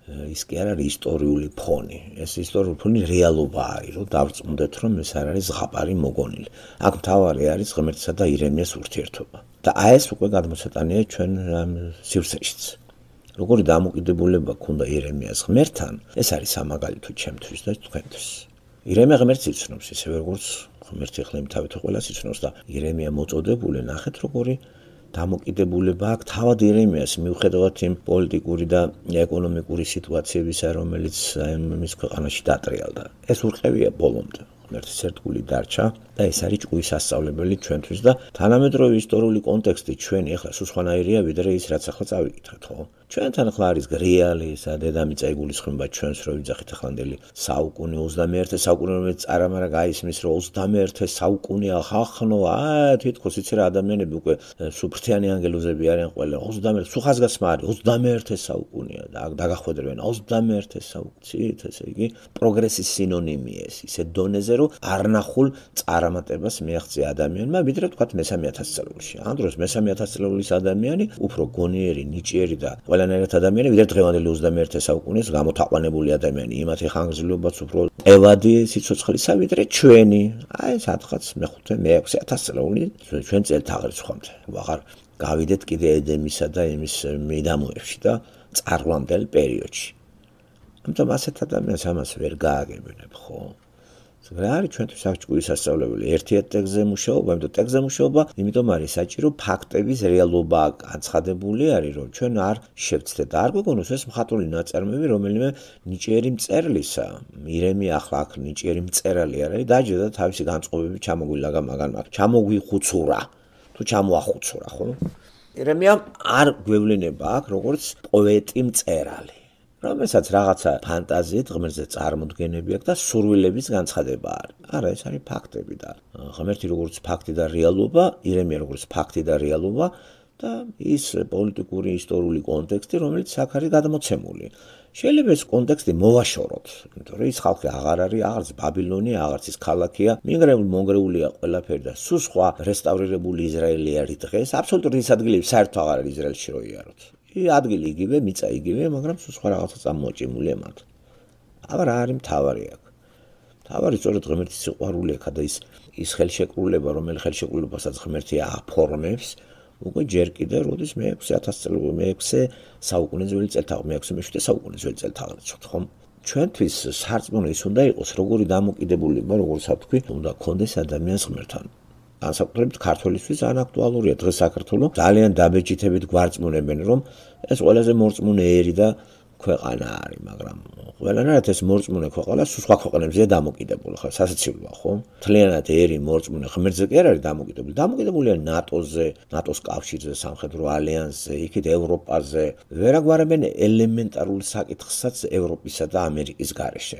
ის კი არ არის ისტორიული ფონი. ეს ისტორიული ფონი რეალობა არის, რომ დავწმუნდეთ, რომ ეს არ არის ზღაპარი მოგონილი. აქ მთავარი არის ღმერთსა და ირემიას ურთიერთობა. და აი ეს უკვე გადმოცეტანია ჩვენ სივრცეშიც. როგორი დამოკიდებულება ქონდა ირემიას ღმერთთან, ეს არის სამაგალითო ჩემთვის და თქვენთვის. ირემია ღმერთს იცნობს, ისევე როგორც ღმერთი ახლა იმ თავით ყველას იცნობს და ირემია მოწოდებული, ნახეთ როგორი დამოკიდებულება აქვს თავად ირემიას მიუხედავად იმ პოლიტიკური და ეკონომიკური სიტუაციებისა, რომელიც მის ქვეყანაში დატრიალდა. ეს ურყევია ბოლომდე. ღმერთის ერთგული დარჩა და ეს არის ჭკუის სასწავლებელი ჩვენთვის და თანამედროვე ისტორიული კონტექსტი ჩვენი ახლა სულსხვანაირია ვიდრე ის რაც ახლა წავიკითხეთ, ხო? ჩვენთან ახლა არის რეალი ისა დედამიწა იგულისხმება ჩვენს რო ვიძახით ახლანდელი საუკუნე ოცდამეერთე საუკუნე რომელიც არამარა გაისმის რომ ოცდამეერთე საუკუნეა ხახნო აა თითქოს იცი რა ადამიანები უკვე სუფრთიანი ანგელოზები არიან ყველა ოცდამეერთე სუხაზგასმა არის ოცდამეერთე საუკუნეა და დაგახვედრებენ ოცდამეერთე საუკუნეც ესე იგი პროგრესის სინონიმია ეს ისე დონეზე რომ არნახულ წარმატებას მიაღწია ადამიანმა ვიდრე თქვათ მესამე ათასწლეულში. ამ დროს მესამე ათასწლეულის ადამიანი უფრო გონიერი, ნიჭიერი და ყველანაირად ადამიანი ვიდრე დღევანდელი ოცდამეერთე საუკუნეს გამოთაყვანებული ადამიანი. იმათი ხანგრძლივობაც უფრო ევადი სიცოცხლისა ვიდრე ჩვენი. აი სადღაც მეხუთე, მეექვსე ათასწლეული ჩვენ წელთაღრიცხვამდე. ვაღარ გავიდეთ კიდე ედემისა და იმის მიდამოებში და წარვლამდელ პერიოდში. ამიტომ ასეთ ადამიანს ამას ვერ გააგებინებ, ხო? რა არის ჩვენთვის აღჭურვის სასწავლებელი? ერთიად ტექსტზე მუშაობა, იმიტომ ტექსტზე მუშაობა, იმიტომ არის საჭირო ფაქტების რეალობა განცხადებული არის, რომ ჩვენ არ შევცდეთ და არ გვეგონოს ეს მხატვრული ნაწარმოები, რომელიმე ნიჭიერი მწერლისა, ირემია ახლა აქ ნიჭიერი მწერალი არ არის, დაჯდა და თავისი განწყობები ჩამოგვილაგა მაგან მაგ, ჩამოგვიხუცურა, თუ ჩამოახუცურა, ხო? ირემია არ გვევლინება აქ როგორც პოეტი მწერალი. რომელსაც რაღაცა ფანტაზიით ღმერთზე წარმოდგენები აქვს და სურვილების განცხადება არის. არა, ეს არის ფაქტები და ღმერთი როგორც ფაქტი და რეალობა, ირემია როგორც ფაქტი და რეალობა და ის პოლიტიკური ისტორიული კონტექსტი, რომელიც აქ არის გადმოცემული. შეიძლება ეს კონტექსტი მოვაშოროთ, იმიტომ რომ ის ხალხი აღარ არის, აღარც ბაბილონი, აღარც ის ქალაქია, მიგრებული მონგრეულია ყველაფერი და სულ სხვა რესტავრირებული ისრაელი არის დღეს. აბსოლუტურად ის ადგილები საერთოდ აღარ არის ისრაელში რო იაროთ. ადგილი იგივე, მიწა იგივე, მაგრამ სულ სხვა რაღაცა წარმოაჭიმულია მათ. აბა რა არის მთავარი აქ? მთავარი სწორედ ღმერთის სიყვარული აქ და ის ის ხელშეკრულება, რომელი ხელშეკრულებასაც ღმერთი აფორმებს, უკვე ჯერ კიდევ როდის მეექვსე ათას წელი მეექვსე საუკუნე ძველი წელთაღრიცხვი მეექვსე მეშვიდე საუკუნე ძველი წელთაღრიცხვი ხომ ჩვენთვის სარწმუნო ის უნდა იყოს როგორი დამოკიდებულება როგორც ვთქვი უნდა გქონდეს ადამიანს ღმერთთან განსაკუთრებით ქართველისთვის ძალიან აქტუალურია დღეს საქართველოს ძალიან დაბეჭდებით გვარწმუნებენ რომ ეს ყველაზე მორწმუნე ერი და ქვეყანა არის მაგრამ ყველანაირად ეს მორწმუნე ქვეყანა სხვა ქვეყნებზეა დამოკიდებული ხო სასაცილოა ხო მთლიანად ერი მორწმუნე ღმერთზე კი არ არის დამოკიდებული დამოკიდებულია ნატოზე ნატოს კავშირზე სამხედრო ალიანსზე იქით ევროპაზე ვერაგვარებენ ელემენტარულ საკითხსაც ევროპისა და ამერიკის გარეშე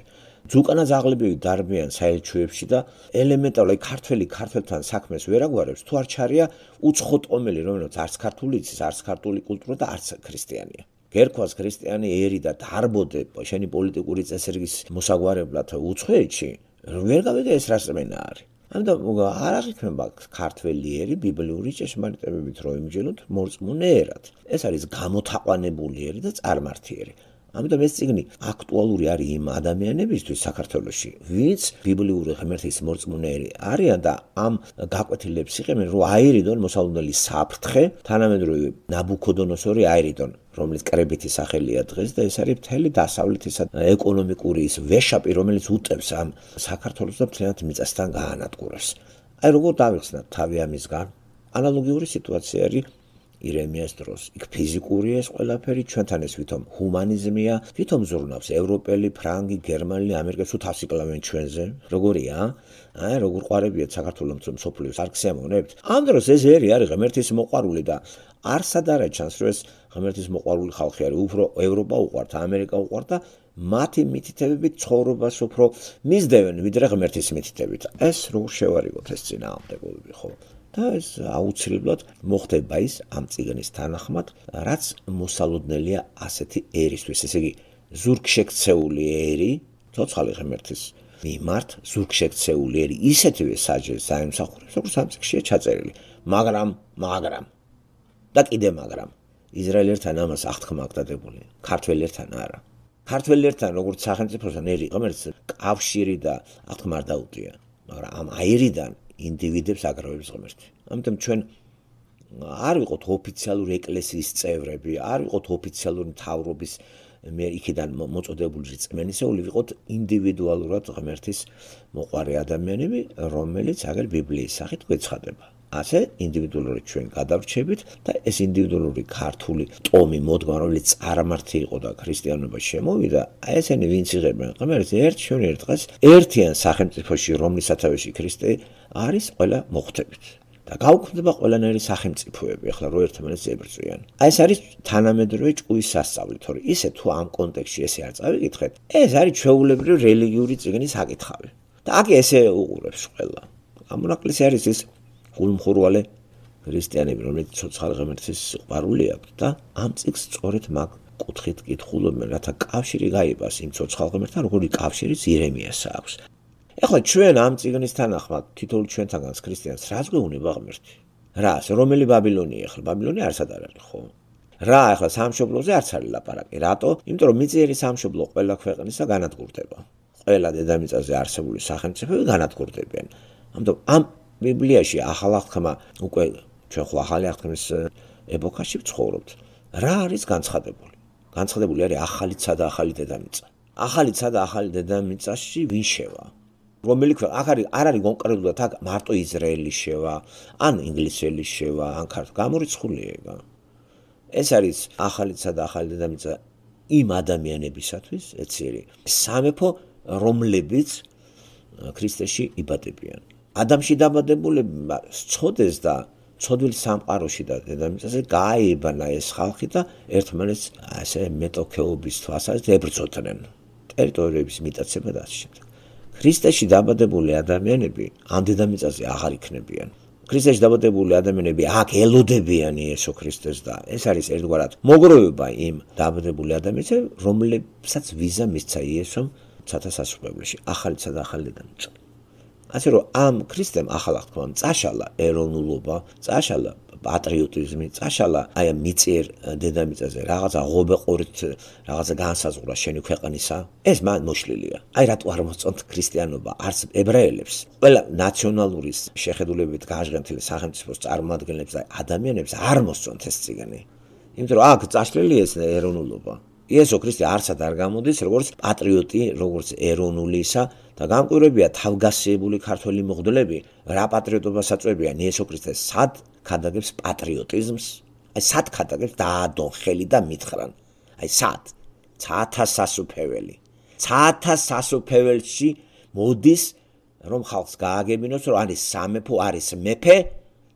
ზუკანა ზაღლებივი დარბიან საელჩოებში და ელემენტარული ქართველი ქართველთან საქმეს ვერაგვარებს თუ არ ჩარია უცხო ტომელი რომელსაც არც ქართული იცის არც ქართული კულტურა და არც ქრისტიანია გერქვას ქრისტიანი ერი და დარბოდე შენი პოლიტიკური წესრიგის მოსაგვარებლად უცხოეთში ვერ გავიგე ეს რა სმენა არის ამიტომ არ აღიქმება ქართველი ერი ბიბლიური ჭეშმარიტებებით რომ იმჯელოთ მორწმუნე ერად ეს არის გამოთაყვანებული ერი და წარმართი ერი ამიტომ ეს წიგნი აქტუალური არის იმ ადამიანებისთვის საქართველოში ვინც ბიბლიური ღმერთის მორწმუნეები არიან და ამ გაკვეთილებს იღებენ რომ აირიდონ მოსალოდნელი საფრთხე თანამედროვე ნაბუქოდონოსორი აირიდონ რომელიც კრებითი სახელია დღეს და ეს არის მთელი დასავლეთის ეკონომიკური ის ვეშაპი რომელიც უტევს ამ საქართველოს და მთლიანად მიწასთან გაანადგურებს აი როგორ დავიხსნათ თავი ამისგან ანალოგიური სიტუაცია არის ირემიას დროს. იქ ფიზიკურია ეს ყველაფერი, ჩვენთან ეს ვითომ ჰუმანიზმია, ვითომ ზრუნავს ევროპელი, ფრანგი, გერმანელი, ამერიკელი თუ თავს იკლავენ ჩვენზე. როგორია? აი, როგორ ყვარებიათ საქართველოს მსოფლიოს არ გსიამოვნებთ? ამ დროს ეს ერი არის ღმერთის მოყვარული და არსად არა ჩანს, რომ ეს ღმერთის მოყვარული ხალხი არის, უფრო ევროპა უყვართ, ამერიკა უყვართ და მათი მითითებებით ცხოვრებას უფრო მისდევენ, ვიდრე ღმერთის მითითებით. ეს როგორ შევარიგოთ ეს წინააღმდეგობები, ხო? და ეს აუცილებლად მოხდება ის ამ წიგნის თანახმად, რაც მოსალოდნელია ასეთი ერისთვის, ესე იგი ზურგშექცეული ერი, ცოცხალი ღმერთის მიმართ, ზურგშექცეული ერი ისეთივე საჯელს აიმსახურებს, როგორც ამ წიგნშია ჩაწერილი, მაგრამ, მაგრამ და კიდე მაგრამ ისრაელერთან ამას აღთქმა აქვს დადებული, ქართველერთან არა. ქართველერთან როგორც სახელმწიფოსთან ერი ღმერთს კავშირი და აღთქმა არ დაუტია, მაგრამ ამ აირიდან ინდივიდებს აგროვებს ღმერთი. ამიტომ ჩვენ არ ვიყოთ ოფიციალური ეკლესიის წევრები, არ ვიყოთ ოფიციალური მთავრობის მე იქიდან მოწოდებული რწმენისეული, ვიყოთ ინდივიდუალურად ღმერთის მოყვარე ადამიანები, რომელიც აგერ ბიბლიის სახით გვეცხადება. ასე ინდივიდუალურად ჩვენ გადავრჩებით და ეს ინდივიდუალური ქართული ტომი მოდგმა, რომელიც წარმართი იყო და ქრისტიანობა შემოვიდა, აი ესენი ვინც იღებენ ღმერთს ერთ ჩვენ ერთ დღეს ერთიან სახელმწიფოში, რომლის სათავეში ქრისტე არის ყველა მოხვდებით. და გაუქმდება ყველანაირი სახელმწიფოები, ახლა რო ერთმანეთს ებრძვიან. აი ეს არის თანამედროვე ჭკუის სასწავლი, თორე ისე თუ ამ კონტექსტში ესე არ წავიკითხეთ, ეს არის ჩვეულებრივი რელიგიური წიგნის საკითხავი. და აქ ესე უყურებს ყველა. ამონაკლისი არის ის გულმხურვალე ქრისტიანები, რომელიც ცოცხალ ღმერთის სიყვარული აქვს და ამ წიგნს სწორედ მაგ კუთხით კითხულობენ, რათა კავშირი გაიბას იმ ცოცხალ ღმერთთან, როგორი კავშირიც ირემიას აქვს. ეხლა ჩვენ ამ წიგნის თანახმად თითოეული ჩვენთანაც ქრისტიანს რას გვეუბნება ღმერთი? რას? რომელი ბაბილონია ახლა? ბაბილონია არსად არ არის, ხო? რა ახლა სამშობლოზე არც არის ლაპარაკი. რატო? იმიტომ რომ მიწიერი სამშობლო ყველა ქვეყნისა განადგურდება. ყველა დედამიწაზე არსებული სახელმწიფოები განადგურდებიან. ამიტომ ამ ბიბლიაში ახალ აღთქმა უკვე ჩვენ ხო ახალი აღთქმის ეპოქაში ვცხოვრობთ. რა არის განცხადებული? განცხადებული არის ახალისა და ახალი დედამიწა. ახალისა და ახალი დედამიწაში ვინ შევა? რომელი ქვეყანა? აქ არის არ არის კონკრეტულად აქ მარტო ისრაელი შევა, ან ინგლისელი შევა, ან ქართული გამორიცხულია ეგა. ეს არის ახალისა და ახალი დედამიწა იმ ადამიანებისათვის, ეციერი სამეფო, რომლებიც ქრისტეში იბადებიან. ადამიანში დაბადებულება სწოდეს და ცოდვილ სამყაროში და დედამიწაზე გააიბანა ეს ხალხი და ერთმანეთს ასე მეტოქეობის თვალსაზრისით ებრძოდნენ. ტერიტორიების მიტაცება და ასე შემდეგ. ქრისტეში დაბადებული ადამიანები ამ დედამიწაზე აღარ იქნებიან. ქრისტეში დაბადებული ადამიანები აქ ელოდებიან იესო ქრისტეს და ეს არის ერთგვარად მოგროვება იმ დაბადებული ადამიანებზე, რომლებსაც ვიზა მისცა იესომ ცათასასწრაფოში, ახალისა და ახალი დედამიწა. ასე რომ ამ ქრისტემ ახალ აღთქმამ წაშალა ეროვნულობა, წაშალა პატრიოტიზმი წაშალა აი ამ მიწიერ დედამიწაზე რაღაცა ღობეყურით რაღაცა განსაზღვრა შენი ქვეყნისა ეს მან მოშლილია აი რატო არ მოსწონთ ქრისტიანობა არც ებრაელებს ყველა ნაციონალური შეხედულებებით გაჟღენთილი სახელმწიფოს წარმომადგენლებს და ადამიანებს არ მოსწონთ ეს წიგნი იმიტომ რომ აქ წაშლილია ეს ეროვნულობა იესო ქრისტე არცად არ გამოდის როგორც პატრიოტი როგორც ეროვნულისა და გამკვირვებია თავგასიებული ქართველი მღვდლები რა პატრიოტობას აწვევიან იესო ქრისტეს სად ქადაგებს პატრიოტიზმს აი სად ქადაგებს დაადონ ხელი და მითხრან აი სად ცათა სასუფეველი ცათა სასუფეველში მოდის რომ ხალხს გააგებინოს რომ არის სამეფო არის მეფე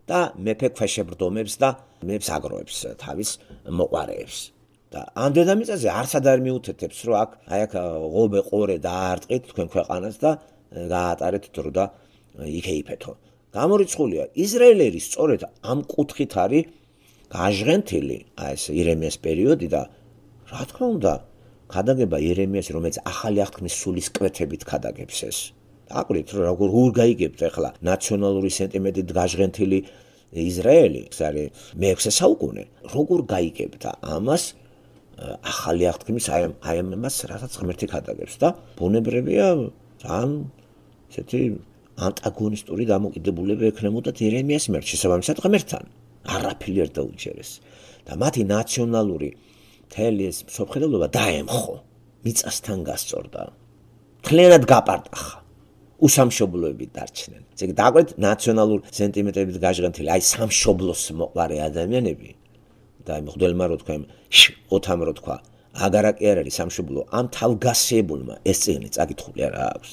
და მეფე ქვეშებრდომებს და მეფს აგროვებს თავის მოყარეებს და ამ დედამიწაზე არცად არ მიუთეთებს რომ აქ აი აქ ღობე ყორე დაარტყით თქვენ ქვეყანას და გაატარეთ დრო და იქეიფეთო გამორიცხულია ისრაელერი სწორედ ამ კუთხით არის გაჟღენთილი აი ეს ირემიას პერიოდი და რა თქმა უნდა ქადაგება ირემიას რომელიც ახალი აღთქმის სულის კვეთებით ქადაგებს ეს აკვირით რომ როგორ ურგაიგებთ ახლა ნაციონალური სენტიმენტით გაჟღენთილი ისრაელი ეს არის მეექვსე საუკუნე როგორ გაიგებთ ამას ახალი აღთქმის აი აი ამას რასაც ღმერთი ქადაგებს და ბუნებრივია ძალიან ესეთი ანტაგონისტური დამოკიდებულება ექნებოდათ ირემიას მიერ შესაბამისად ღმერთთან არაფერი არ დაუჯერეს და მათი ნაციონალური მთელი ეს მსოფლმხედველობა დაემხო მიწასთან გასწორდა მთლიანად გაპარტახა უსამშობლოები დარჩნენ ესე იგი დაგვეთ ნაციონალურ სენტიმენტებით გაჟღენთილი აი სამშობლოს მოყარე ადამიანები და აი მღვდელმა რო თქვა ოთამ რო თქვა აგარაკი არ არის სამშობლო ამ თავგასიებულმა ეს წიგნი წაკითხული არა აქვს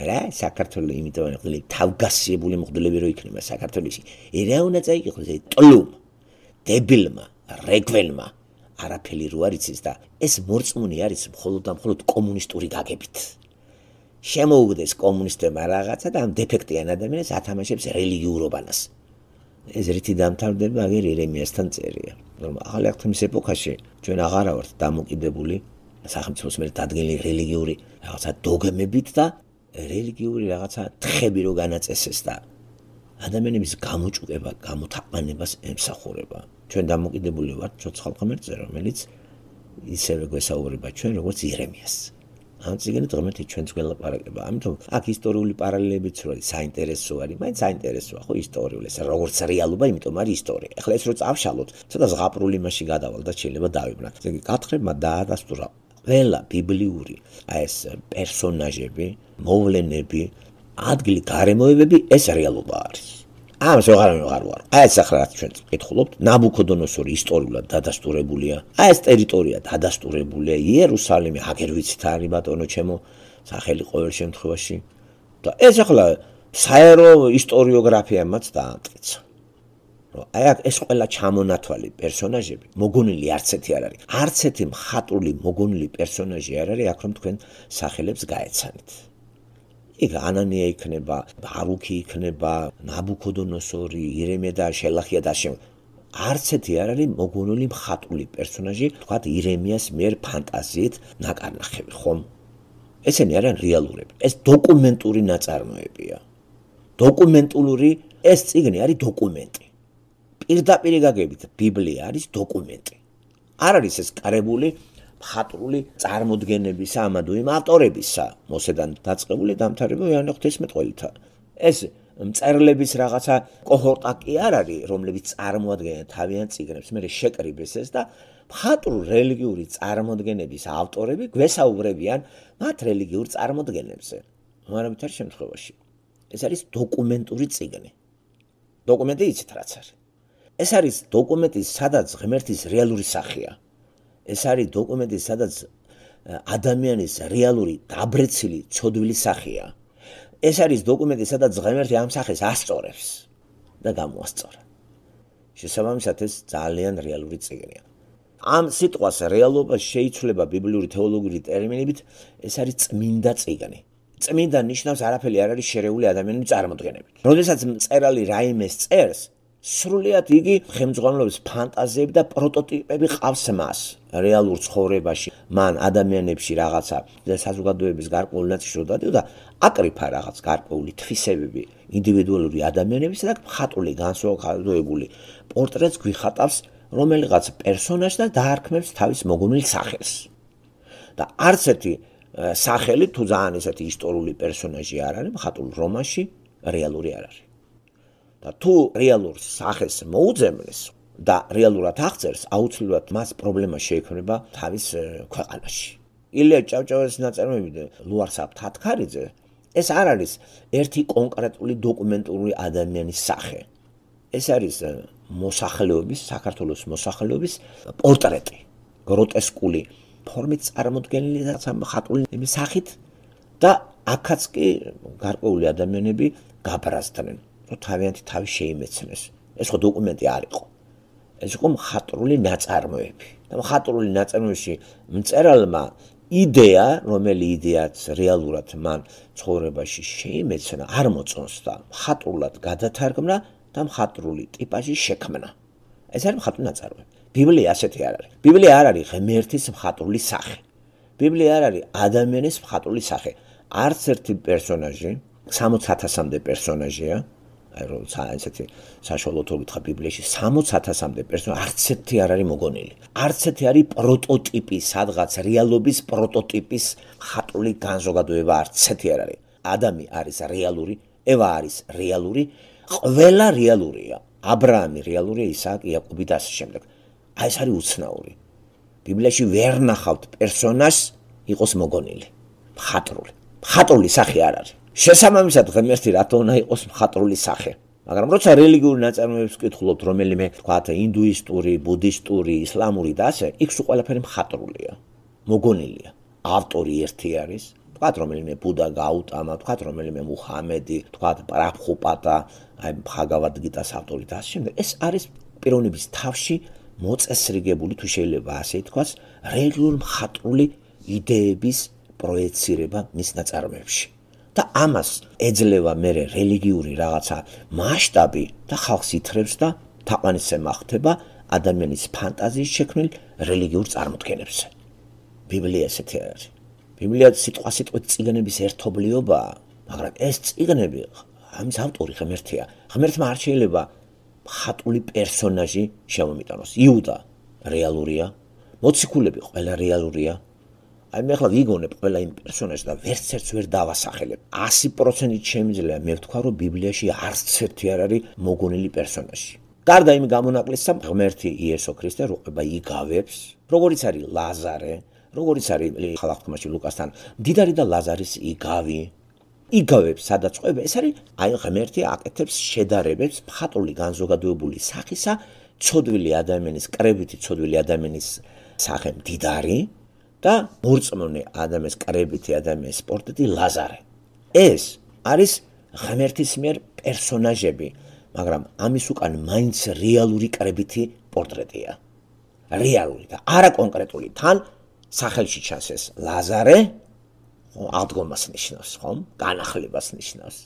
რა საქართველოს იმიტომ რომ თავგასიებული მღვდლები რო იქნება საქართველოში ერა უნდა წაიკითხოს ეს ტლუმ დებილმა რეგვენმა არაფერი რო არის ის და ეს მორწმუნე არის მხოლოდ და მხოლოდ კომუნისტური გაგებით შემოუგდეს კომუნისტებმა რაღაცა და ამ დეფექტიან ადამიანებს ათამაშებს რელიგიურობანას ეს რითი დამთავრდება აგერ ირემიასთან წერია რომ ახალი აღთქმის ეპოქაში ჩვენ აღარა ვართ დამოკიდებული სახელმწიფოს მიერ დადგენილი რელიგიური რაღაცა დოგმებით და რელიგიური რაღაცა თხები რო განაწესეს და ადამიანების გამოჭუყება გამოთაყვანებას ემსახურება ჩვენ დამოკიდებული ვართ ცოცხალ ღმერთზე რომელიც ისევე გვესაუბრება ჩვენ როგორც ირემიას ამ წიგნით ღმერთი ჩვენს გველაპარაკება ამიტომ აქ ისტორიული პარალელებიც რო არის საინტერესო არის მაინც საინტერესოა ხო ისტორიული ეს როგორც რეალობა იმიტომ არის ისტორია ახლა ეს რო წავშალოთ ცოტა ზღაპრული მასში გადავალ და შეიძლება დავიბრუნოთ ესე იგი კათხებმა დაადასტურა ყველა ბიბლიური აი ეს პერსონაჟები მოვლენები ადგილი გარემოებები ეს რეალობა არის ამას ვეღარ ვეღარ ვარ აი ეს ახლა რაც ჩვენ ვკითხულობთ ნაბუქოდონოსორი ისტორიულად დადასტურებულია აი ეს ტერიტორია დადასტურებულია იერუსალიმი აგერ ვიცით არის ბატონო ჩემო სახელი ყოველ შემთხვევაში და ეს ახლა საერო ისტორიოგრაფიამაც დაამტკიცა რომ აი ეს ყველა ჩამონათვალი პერსონაჟები მოგონილი არც ერთი არ არის არც ერთი მხატვრული მოგონილი პერსონაჟი არ არის აქ რომ თქვენ სახელებს გაეცანით იქ ანანია იქნება, ბარუქი იქნება, ნაბუქოდონოსორი, ირემია და შელახია და შენ. არც ერთი არ არის მოგონილი მხატვრული პერსონაჟი, თქვათ ირემიას მიერ ფანტაზიით ნაკარნახები, ხომ? ესენი არიან რეალურები. ეს დოკუმენტური ნაწარმოებია. დოკუმენტური ეს წიგნი არის დოკუმენტი. პირდაპირ გაგებით ბიბლია არის დოკუმენტი. არ არის ეს კარებული მხატვრული წარმოდგენებისა ამადო იმ ავტორებისა მოსედან დაწყებული დამთავრებული იოანე ღვთისმეტყველთა ეს მწერლების რაღაცა კოჰორტა კი არ არის რომლებიც წარმოადგენენ თავიანთ წიგნებს მე შეკრიბეს ეს და მხატვრულ რელიგიური წარმოდგენების ავტორები გვესაუბრებიან მათ რელიგიურ წარმოდგენებზე მაგრამ თარ შემთხვევაში ეს არის დოკუმენტური წიგნი დოკუმენტი იცით რაც არის ეს არის დოკუმენტი სადაც ღმერთის რეალური სახეა ეს არის დოკუმენტი, სადაც ადამიანის რეალური დაბრეცილი ცოდვილი სახეა. ეს არის დოკუმენტი, სადაც ღმერთი ამ სახეს ასწორებს და გამოასწორა. შესაბამისად ეს ძალიან რეალური წიგნია. ამ სიტყვას რეალობას შეიცვლება ბიბლიური თეოლოგიური ტერმინებით, ეს არის წმინდა წიგნი. წმინდა ნიშნავს არაფერი არ არის შერეული ადამიანის წარმოდგენებით. როდესაც მწერალი რაიმეს წერს, სრულიად იგი ხელმძღვანელობის ფანტაზიები და პროტოტიპები ყავს მას რეალურ ცხოვრებაში. მან ადამიანებში რაღაცა საზოგადოების გარკვეული ნაწილი რო დადიოდა, აკრიფა რაღაც გარკვეული თვისებები ინდივიდუალური ადამიანების და მხატვრული განსხვავებული პორტრეტს გვიხატავს რომელიღაც პერსონაჟს და დაარქმევს თავის მოგონილ სახელს. და არც ერთი სახელი თუ ძალიან ესეთი ისტორიული პერსონაჟი არ არის მხატვრულ რომანში რეალური არ არის. და თუ რეალურ სახელს მოუძებნეს და რეალურად აღწერს, აუცილებლად მას პრობლემა შეექმნება თავის ქვეყანაში. ილია ჭავჭავაძის ნაწარმოები ლუარსაბ თათქარიძე ეს არ არის ერთი კონკრეტული დოკუმენტური ადამიანის სახე. ეს არის მოსახლეობის, საქართველოს მოსახლეობის პორტრეტი, გროტესკული ფორმით წარმოდგენილი მხატვრული სახით და აქაც კი გარკვეული ადამიანები გაბრაზდნენ, რომ თავიანთი თავი შეიმეცნეს. ეს ხო დოკუმენტი არ იყო. ეს იყო მხატვრული ნაწარმოები. და მხატვრული ნაწარმოებში მწერალმა იდეა, რომელი იდეაც რეალურად მან ცხოვრებაში შეიმეცნა, არ მოწონს და მხატვრულად გადათარგმნა და მხატვრული ტიპაჟი შექმნა. ეს არის მხატვრული ნაწარმოები. ბიბლია ასეთი არ არის. ბიბლია არ არის ღმერთის მხატვრული სახე. ბიბლია არ არის ადამიანის მხატვრული სახე. არც ერთი პერსონაჟი, სამოც ათასამდე პერსონაჟია, აი რომ ესეთი საშუალოდ რო გითხრა ბიბლიაში სამოც ათასამდე პერსონაჟი არც ერთი არ არის მოგონილი. არც ერთი არის პროტოტიპი, სადღაც რეალობის პროტოტიპის მხატვრული განზოგადოება არც ერთი არ არის. ადამი არის რეალური, ევა არის რეალური, ყველა რეალურია. აბრაამი რეალურია, ისააკი, იაკობი და ასე შემდეგ. აი ეს არის უცნაური. ბიბლიაში ვერ ნახავთ პერსონაჟს იყოს მოგონილი, მხატვრული. მხატვრული სახე არ არის. შესაბამისად ღმერთი რატო უნდა იყოს მხატვრული სახე. მაგრამ როცა რელიგიური ნაწარმოებებს ვკითხულობთ, რომელიმე თქვათ ინდუისტური, ბუდისტური, ისლამური და ასე, იქ სულ ყველაფერი მხატვრულია, მოგონილია. ავტორი ერთი არის, თქვათ რომელიმე ბუდა გაუტამა, თქვათ რომელიმე მუჰამედი, თქვათ პრაბჰუპადა, აი ბჰაგავად გიტას ავტორი და ასე შემდეგ. ეს არის პიროვნების თავში მოწესრიგებული, თუ შეიძლება ასე ითქვას, რელიგიური მხატვრული იდეების პროექცირება მის ნაწარმოებში. და ამას ეძლევა მერე რელიგიური რაღაცა მასშტაბი და ხალხს ითხრებს და თაყვანისცემა ხდება ადამიანის ფანტაზიის შექმნილ რელიგიურ წარმოდგენებზე. ბიბლია ესეთი არის. ბიბლია სიტყვა-სიტყვით წიგნების ერთობლიობაა, მაგრამ ეს წიგნები ამის ავტორი ღმერთია. ღმერთმა არ შეიძლება მხატვრული პერსონაჟი შემომიტანოს. იუდა რეალურია, მოციქულები ყველა რეალურია. აი მე ახლა ვიგონებ ყველა იმ პერსონაჟს და ვერც ერთს ვერ დავასახელებ. ასი პროცენტით შემიძლია მე ვთქვა, რომ ბიბლიაში არც ერთი არ არის მოგონილი პერსონაჟი. გარდა იმ გამონაკლისისა, ღმერთი იესო ქრისტე რო ყובה იგავებს, როგორიც არის ლაზარე, როგორიც არის ხალხთმაში ლუკასთან, მდიდარი და ლაზარის იგავი. იგავებს სადაც ყובה, ეს არის აი ღმერთი აკეთებს შედარებებს მხატვრული განზოგადოებული სახისა, ცოდვილი ადამიანის, კრებითი ცოდვილი ადამიანის სახე მდიდარი და მორწმუნე ადამიანის, კრებითი ადამიანის პორტრეტი ლაზარე. ეს არის ღმერთის მიერ პერსონაჟები, მაგრამ ამის უკან მაინც რეალური კრებითი პორტრეტია. რეალური და არა კონკრეტული. თან სახელში ჩანს ეს ლაზარე, აღდგომას ნიშნავს, ხომ? განახლებას ნიშნავს.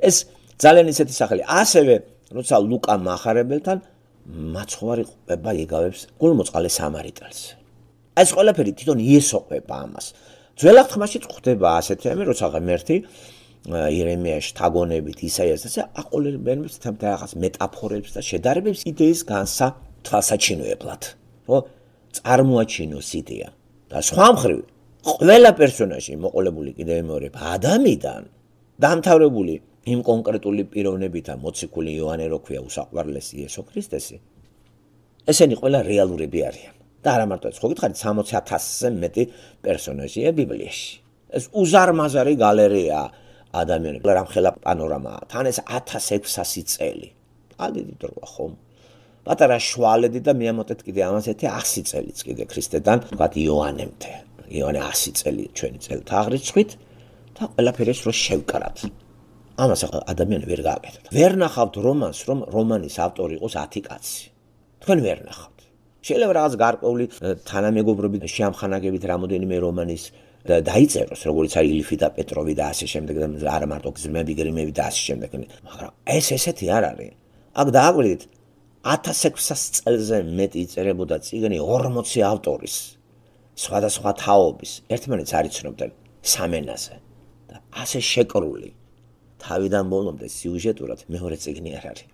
ეს ძალიან ისეთი სახელი. ასევე, როცა ლუკა მახარებელთან მაცხოვარი ყובה იგავებს გულმოწყალე სამარიტელს. ეს ყველაფერი თვითონ იესო ყובה ამას. ძველ აღთქმაშიც ხდება ასეთი ამი, როცა ღმერთი იერემიაში თაგონებით ისაიას და აყოლებებს თამთაღას მეტაფორებს და შედარებებს იდეის განსა თვალსაჩინოებლად, რომ წარმოაჩინოს იდეა. და სხვა მხრივ ყველა პერსონაჟი მოყოლებული კიდევ მეორე ადამიანიდან დამთავრებული იმ კონკრეტული პიროვნებითა მოციქული იოანე რო ქვია უსაყვარლესი იესო ქრისტესი. ესენი ყველა რეალურები არიან. და არა მარტო ეს, ხო გითხარით სამოცი ათასზე მეტი პერსონაჟია ბიბლიაში. ეს უზარმაზარი გალერეა ადამიანები, რამხელა პანორამაა. თან ეს ათას ექვსასი წელი. ალდიდი დროა ხომ? პატარა შვალედი და მიამოტეთ კიდე ამასეთი ასი წელიც კიდე ქრისტედან, თქვათ იოანემდე. იოანე ასი წელი ჩვენი წელთა აღრიცხვით და ყველაფერს რო შევკრათ. ამას ადამიანი ვერ გააკეთებთ. ვერ ნახავთ რომანს, რომ რომანის ავტორი იყოს ათი კაცი. თქვენ ვერ ნახავთ. შეიძლება რაღაც გარკვეული თანამეგობრობით შეამხანაგებით რამოდენიმე რომანის დაიწეროს, როგორც არის ილიფი და პეტროვი და ასე შემდეგ და არა მარტო გზმები, გრიმები და ასე შემდეგ. მაგრამ ეს ესეთი არ არის. აქ დააკვირდით ათას ექვსას წელზე მეტი იწერებოდა წიგნი ორმოცი ავტორის სხვადასხვა თაობის ერთმანეთს არ იცნობდნენ სამენაზე და ასე შეკრული თავიდან ბოლომდე სიუჟეტურად მეორე წიგნი არ არის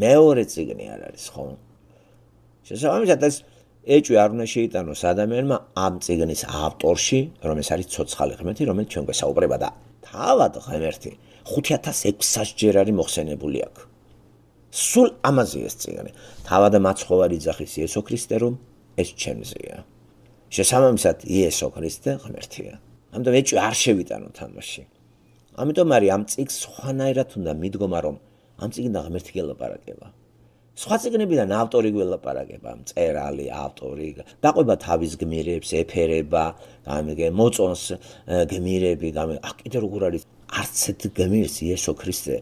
მეორე წიგნი არ არის ხო შესაბამისად ეს ეჭვი არ უნდა შეიტანოს ადამიანმა ამ წიგნის ავტორში რომელიც არის ცოცხალი ღმერთი რომელიც ჩვენ გვესაუბრება და თავად ღმერთი ხუთი ათას ექვსას ჯერ არის მოხსენებული აქ სულ ამაზე ეს წიგნი თავად მაცხოვარი იძახის იესო ქრისტე რომ ეს ჩემზეა შესაბამისად იესო ქრისტე ღმერთია ამიტომ ეჭვი არ შევიტანოთ ამაში ამიტომ არის ამ წიგს სხვანაირად უნდა მიდგომა რომ ამ წიგნიდან ღმერთი გელაპარაკება სხვა წიგნებიდან ავტორი გველაპარაკება მწერალი ავტორი დაყვება თავის გმირებს ეფერება გამიგე მოწონს გმირები აქ კიდე როგორ არის არც ერთ გმირს იესო ქრისტე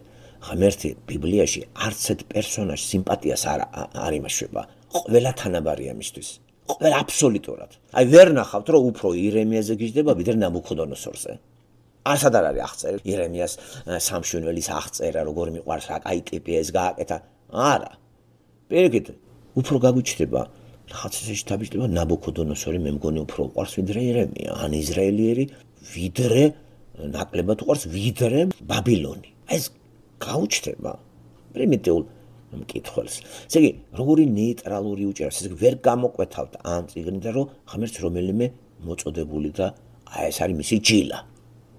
ღმერთი ბიბლიაში არც ერთ პერსონაჟს სიმპათიას არ არ იმაშვება ყველა თანაბარია მისთვის ყველა აბსოლუტურად აი ვერ ნახავთ რომ უფრო ირემიაზე გიждდება ვიდრე ნაბუქოდონოსორზე ასად არ არის აღწერილი ირემიას სამშვენველის აღწერა როგორ მიყვარს რა კაი ტიპი ეს გააკეთა არა პირიქით უფრო გაგვიჩნდება რაღაცაში დაბიჯდება ნაბუქოდონოსორი მე მგონი უფრო უყვარს ვიდრე ირემია ან ისრაელიერი ვიდრე ნაკლებად უყვარს ვიდრე ბაბილონი ეს გაუჩნდება პრიმიტიულ მკითხველს ესე იგი როგორი ნეიტრალური უჭერს ესე იგი ვერ გამოკვეთავთ ამ წიგნიდან რომ ღმერთს რომელიმე მოწოდებული და აი ეს არის მისი ჯილა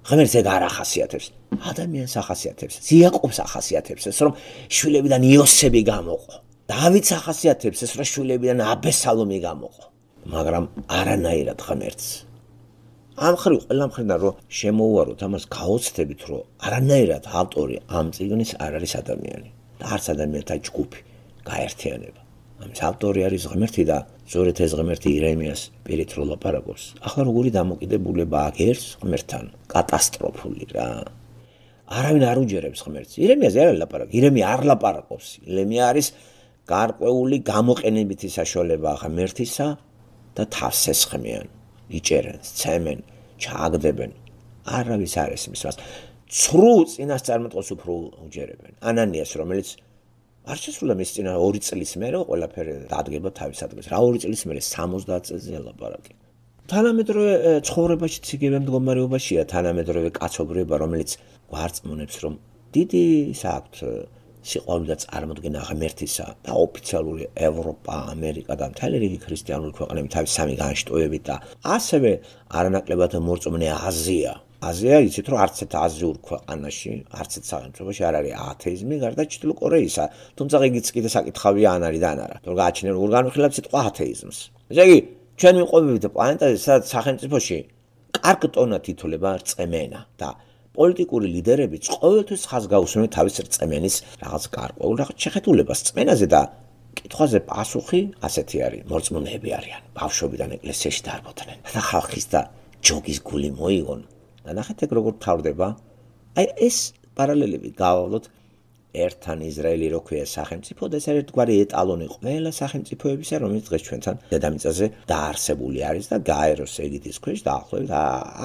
ღმერთს ეგ არ ახასიათებს ადამიანს ახასიათებს იაკობს ახასიათებს ეს რომ შვილებიდან იოსები გამოყო დავითს ახასიათებს ეს რომ შვილებიდან აბესალომი გამოყო მაგრამ არანაირად ღმერთს ამ ხრივ ყველა მხრიდან რომ შემოუაროთ ამას გაოცდებით რომ არანაირად ავტორი ამ წიგნის არ არის ადამიანი და არც ადამიანთა ჯგუფი გაერთიანება ამის ავტორი არის ღმერთი და ზოგადად ეს ღმერთი ირემიას პირით რო ლაპარაკობს ახლა როგორი დამოკიდებულება აქვს ერთს ღმერთთან კატასტროფული რა არავინ არ უჯერებს ღმერთს ირემიაზე არ ლაპარაკობს ირემია არ ლაპარაკობს ირემია არის გარკვეული გამოყენებითი საშუალება ღმერთისა და თავს ესხმიან იჭერენ, ცემენ, ჩააგდებენ. არავის არ ესმის მას. ცრუ წინასწარმეტყველს უფრო უჯერებენ. ანანიას, რომელიც არ შესრულა მის წინა ორი წლის მერე ყველაფერი დადგება თავის ადგილს. რა ორი წლის მერე სამოცდაათ წელზე ელაპარაკე. თანამედროვე ცხოვრებაში ციგებე მდგომარეობაშია თანამედროვე კაცობრიობა, რომელიც გვარწმუნებს, რომ დიდი საქვთ სიყვარული და წარმოდგენა ღმერთისა და ოფიციალური ევროპა, ამერიკა და მთელი რიგი ქრისტიანული ქვეყნები თავის სამი განშტოებით და ასევე არანაკლებად მორწმუნე აზია. აზია იცით რომ არც ერთ აზიურ ქვეყანაში, არც ერთ სახელმწიფოში არ არის ათეიზმი, გარდა ჩრდილო კორეისა. თუმცა იგიც კიდე საკითხავია ან არის და ან არა. თუ გააჩნია როგორ განვიხილავთ სიტყვა ათეიზმს. ესე იგი, ჩვენ ვიყვებით პლანეტაზე, სადაც სახელმწიფოში კარგ ტონად ითვლება რწმენა და პოლიტიკური ლიდერებიც ყოველთვის ხაზ გაუსმენ თავის რწმენის რაღაც გარკვეულ რაღაც შეხედულებას რწმენაზე და კითხვაზე პასუხი ასეთი არის მორწმუნეები არიან ბავშვობიდან ეკლესიაში დარბოდნენ და ხალხის და ჯოგის გული მოიგონ და ნახეთ ეგ როგორ თავდება აი ეს პარალელები გავავლოთ ერთთან ისრაელი რო ქვია სახელმწიფო და ეს ერთგვარი ეტალონი ყველა სახელმწიფოებისა რომელიც დღეს ჩვენთან დედამიწაზე დაარსებული არის და გაეროს ეგიდის ქვეშ დაახლოებით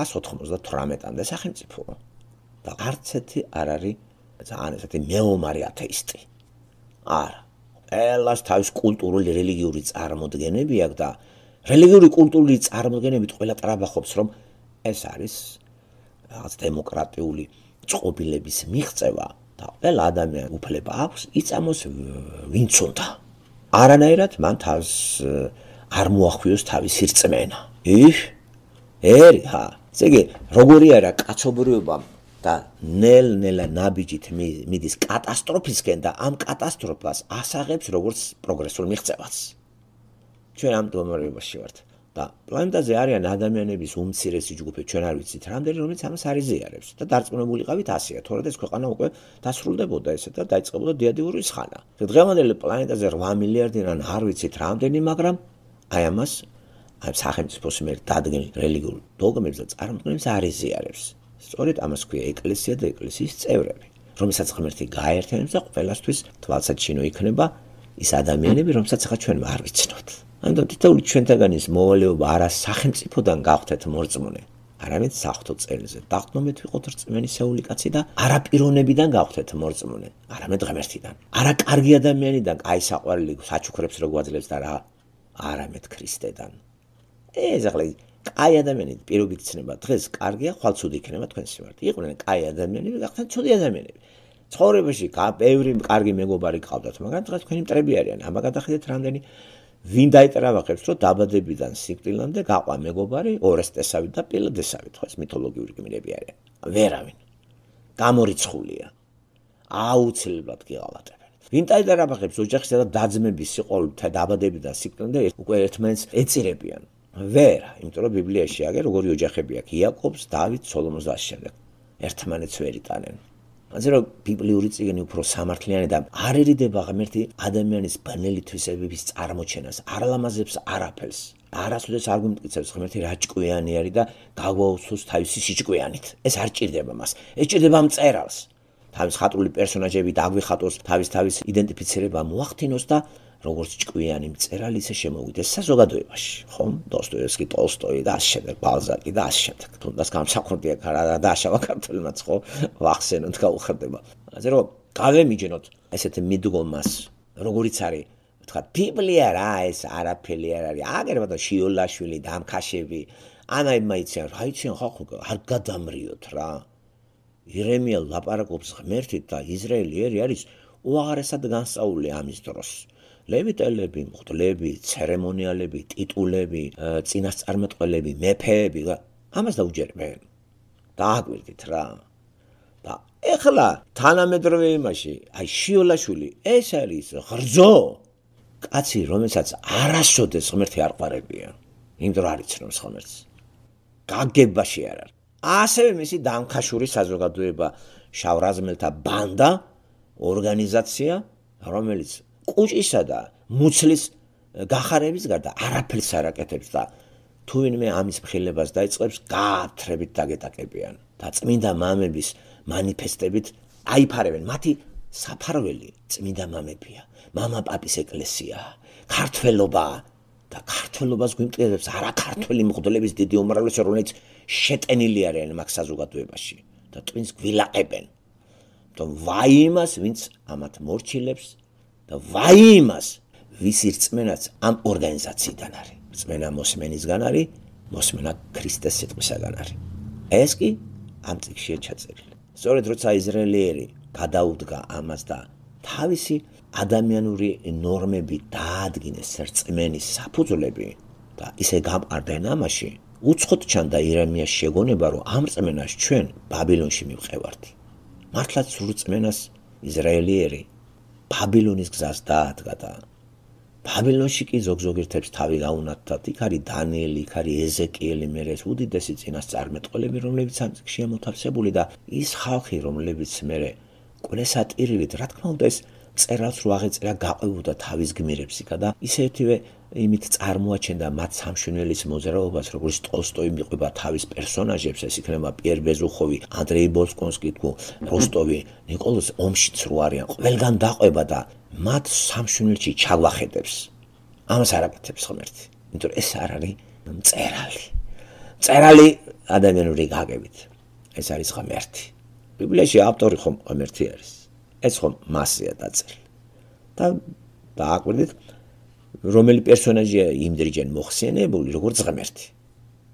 ას ოთხმოცდათვრამეტამდე სახელმწიფოა და არც ერთი არ არის ძალიან ესეთი მეომარი ათეისტი. არა. ყველას თავის კულტურული რელიგიური წარმოდგენები აქვს და რელიგიური კულტურული წარმოდგენებით ყველა ტრაბახობს რომ ეს არის რაღაც დემოკრატიული წყობილების მიღწევა და ყველა ადამიან უფლება აქვს იწამოს ვინც უნდა. არანაირად მან თავს არ მოახვიოს თავისი რწმენა. იხ ერი ჰა. ესე იგი როგორი არა კაცობრიობა და ნელ-ნელა ნაბიჯით მიდის კატასტროფისკენ და ამ კატასტროფას ასაღებს როგორც პროგრესულ მიღწევას. ჩვენ ამ მდგომარეობაში ვართ და პლანეტაზე არიან ადამიანების უმცირესი ჯგუფი, ჩვენ არ ვიცით რამდენი, რომელიც ამას არ იზიარებს და დარწმუნებულიყავით ასეა, თორემ ეს ქვეყანა უკვე დასრულდებოდა ესე და დაიწყებოდა დიადიურის ხანა. დღევანდელი პლანეტაზე რვა მილიარდი ან არ ვიცით რამდენი, მაგრამ აი ამას აი სახელმწიფოს მიერ დადგენილ რელიგიურ დოგმებს და წარმოდგენებს არ იზიარებს. სწორედ ამას ქვია ეკლესია და ეკლესიის წევრები, რომელსაც ღმერთი გააერთიანებს და ყველასთვის თვალსაჩინო იქნება ის ადამიანები, რომელსაც ახლა ჩვენ არ ვიცნობთ. ამიტომ თითოეული ჩვენთაგანის მოვალეობა არა სახელმწიფოდან გავხდეთ მორწმუნე, არამედ საღვთო წერილზე. დაღდნობით ვიყოთ რწმენისეული კაცი და არა პიროვნებიდან გავხდეთ მორწმუნე, არამედ ღმერთიდან. არა კარგი ადამიანიდან, აი საყვარელი საჩუქრებს რო გვაძლევს და რა, არამედ ქრისტედან. ეს ახლა კაი ადამიანი პირობით ცნება დღეს კარგია, ხვალ ცუდი იქნება თქვენ სიმართლე. იყვნენ კაი ადამიანები, გახდნენ ცუდი ადამიანები. ცხოვრებაში ბევრი კარგი მეგობარი გყავდათ, მაგრამ დღეს თქვენი მტრები არიან. აბა გადახედეთ რამდენი ვინ დაეტრაბახებს, რომ დაბადებიდან სიკვდილამდე გაყვა მეგობარი ორესტესავი და პილადესავი, თქვენს მითოლოგიური გმირები არიან. ვერავინ. გამორიცხულია. აუცილებლად გიღალატებენ. ვინ დაეტრაბახებს ოჯახისა და დაძმების სიყვარულით დაბადებიდან სიკვდილამდე უკვე ერთმანეთს ეწირებიან. ვერა, იმიტომ რომ ბიბლიაში აგერ როგორი ოჯახები აქვს, იაკობს, დავით, სოლომონს და შემდეგ. ერთმანეთს ვერ იტანენ. ასე რომ ბიბლიური წიგნი უფრო სამართლიანი და არ ერიდება ღმერთი ადამიანის ბნელი თვისებების წარმოჩენას, არ ლამაზებს არაფერს. არასოდეს არ გვიმტკიცებს ღმერთი რა ჭკვიანი არის და გაგვაუცოს თავისი სიჭკვიანით. ეს არ ჭირდება მას. ეს ჭირდება მწერალს. თავის ხატრული პერსონაჟები დაგვიხატოს, თავის თავის იდენტიფიცირება მოახდინოს და როგორც ჭკვიანი მწერალი ისე შემოვიდეს საზოგადოებაში, ხომ? დოსტოევსკი, ტოლსტოი და ასე შემდეგ, ბალზაკი და ასე შემდეგ. თუნდაც გამსახურდია რა დააშავა ქართველმაც, ხო? ვახსენოთ, გაუხერდება. ასე რომ გავემიჯნოთ ესეთ მიდგომას, როგორიც არის, ვთქვათ, ბიბლია რა, ეს არაფერი არ არის. აგერბა შიოლაშვილი, დამქაშები, ანაებმა იციან, რა იციან ხალხო, არ გადამრიოთ რა. ირემია ლაპარაკობს ღმერთით და ისრაელი არის უაღრესად განსწავლული ამის დროს. ლევიტელები, მღვდლები, ცერემონიალები, ტიტულები, წინასწარმეტყველები, მეფეები, ამას დაუჯერებენ. დააგვირდით რა. და ეხლა თანამედროვე იმაში, აი შიოლაშვილი, ეს არის ღრძო. კაცი, რომელსაც არასოდეს ღმერთი არ ყვარებია. იმიტომ არ იცნობს ღმერთს. გაგებაში არ არის. ასევე მისი დამქაშური საზოგადოება, შავრაზმელთა ბანდა, ორგანიზაცია, რომელიც კუჭისა და მუცლის გახარების გარდა არაფერს არ აკეთებს და თუ ვინმე ამის მხილებას დაიწყებს, გაათრებით დაგეტაკებიან და წმინდა მამების მანიფესტებით აიფარებენ. მათი საფარველი წმინდა მამებია, მამა პაპის ეკლესია, ქართველობა და ქართველობას გვიმტკიცებს არა ქართველი მღვდლების დიდი უმრავლესობა, რომელიც შეტენილი არიან მაგ საზოგადოებაში და twins გვილაყებენ. თუმ ვაი იმას, ვინც ამათ მორჩილებს და ვაი იმას, ვის რწმენაც ამ ორგანიზაციიდან არის. რწმენა მოსმენისგან არის, მოსმენა ქრისტეს სიტყვისაგან არის. ეს კი ამ წიგნშია ჩაწერილი. სწორედ როცა ისრაელიერი გადაუდგა ამას და თავისი ადამიანური ნორმები დაადგინეს რწმენის საფუძვლები და ისე გამყარდნენ ამაში, უცხოდ ჩანდა ირემიას შეგონება, რომ ამ რწმენას ჩვენ ბაბილონში მივყევართ. მართლაც სულ რწმენას ისრაელიერი ბაბილონის გზას დაადგა და ბაბილონში კი ზოგ-ზოგ ერთებს თავი გაუნათდათ. იქ არის დანიელი, იქ არის ეზეკიელი, მერე უდიდესი წინასწარმეტყველები, რომლებიც ამ წიგნშია მოთავსებული და ის ხალხი, რომლებიც მერე ყველასატირილით, რა თქმა უნდა, ეს წერალს რო აღეწერა, გაყვებოდა თავის გმირებს იქა და ისეთივე იმით წარმოაჩენდა მათ სამშვენელის მოძრაობას, როგორც ტოლსტოი მიყვება თავის პერსონაჟებს, ეს იქნება პიერ ბეზუხოვი, ანდრეი ბოლკონსკი, როსტოვი, ნიკოლოზ ომშიც რო არიან, ყველგან დაყვება და მათ სამშვენელში ჩაგვახედებს. ამას არ აკეთებს ღმერთი, იმიტომ რომ ეს არ არის მწერალი. მწერალი ადამიანური გაგებით. ეს არის ღმერთი. ბიბლიაში ავტორი ხომ ღმერთი არის. ეს ხომ მასია დაწერილი. და დააკვირდით, რომელი პერსონაჟია იმდრიჯენ მოხსენებული, როგორც ღმერთი.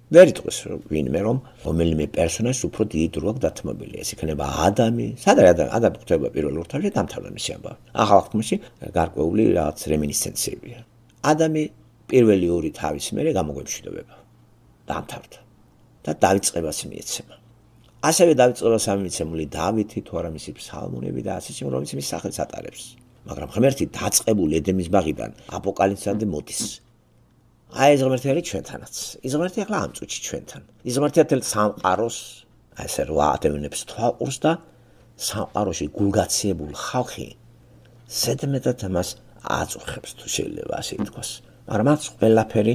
ვერ იტყვის ვინმე, რომ რომელიმე პერსონაჟს უფრო დიდი დრო აქვს დათმობილი. ეს იქნება ადამი, სადაც ადამი ხდება პირველ რთავში დამთავრდა მისი ამბავი. ახალ ხმში გარკვეული რაღაც რემინისცენციებია. ადამი პირველი ორი თავის მერე გამოგვემშვიდობება. დამთავრდა. და დაიწყებას მიეცემა. ასევე დაიწყებას ამიცემული დავითი, თუ არა მისი ფსალმუნები და ასე შემდეგ, რომელიც მის სახელს ატარებს. მაგრამ ღმერთი დაწყებული ედემის ბაღიდან აპოკალიფსამდე მოდის. აი ეს ღმერთი არის ჩვენთანაც. ის ღმერთი ახლა ამ წუთში ჩვენთან. ის ღმერთი თელ სამყაროს, ასე რა ადამიანებს თვალყურს და სამყაროში გულგაციებულ ხალხი ზედმეტად მას აწუხებს, თუ შეიძლება ასე ითქვას. მაგრამ მას ყველაფერი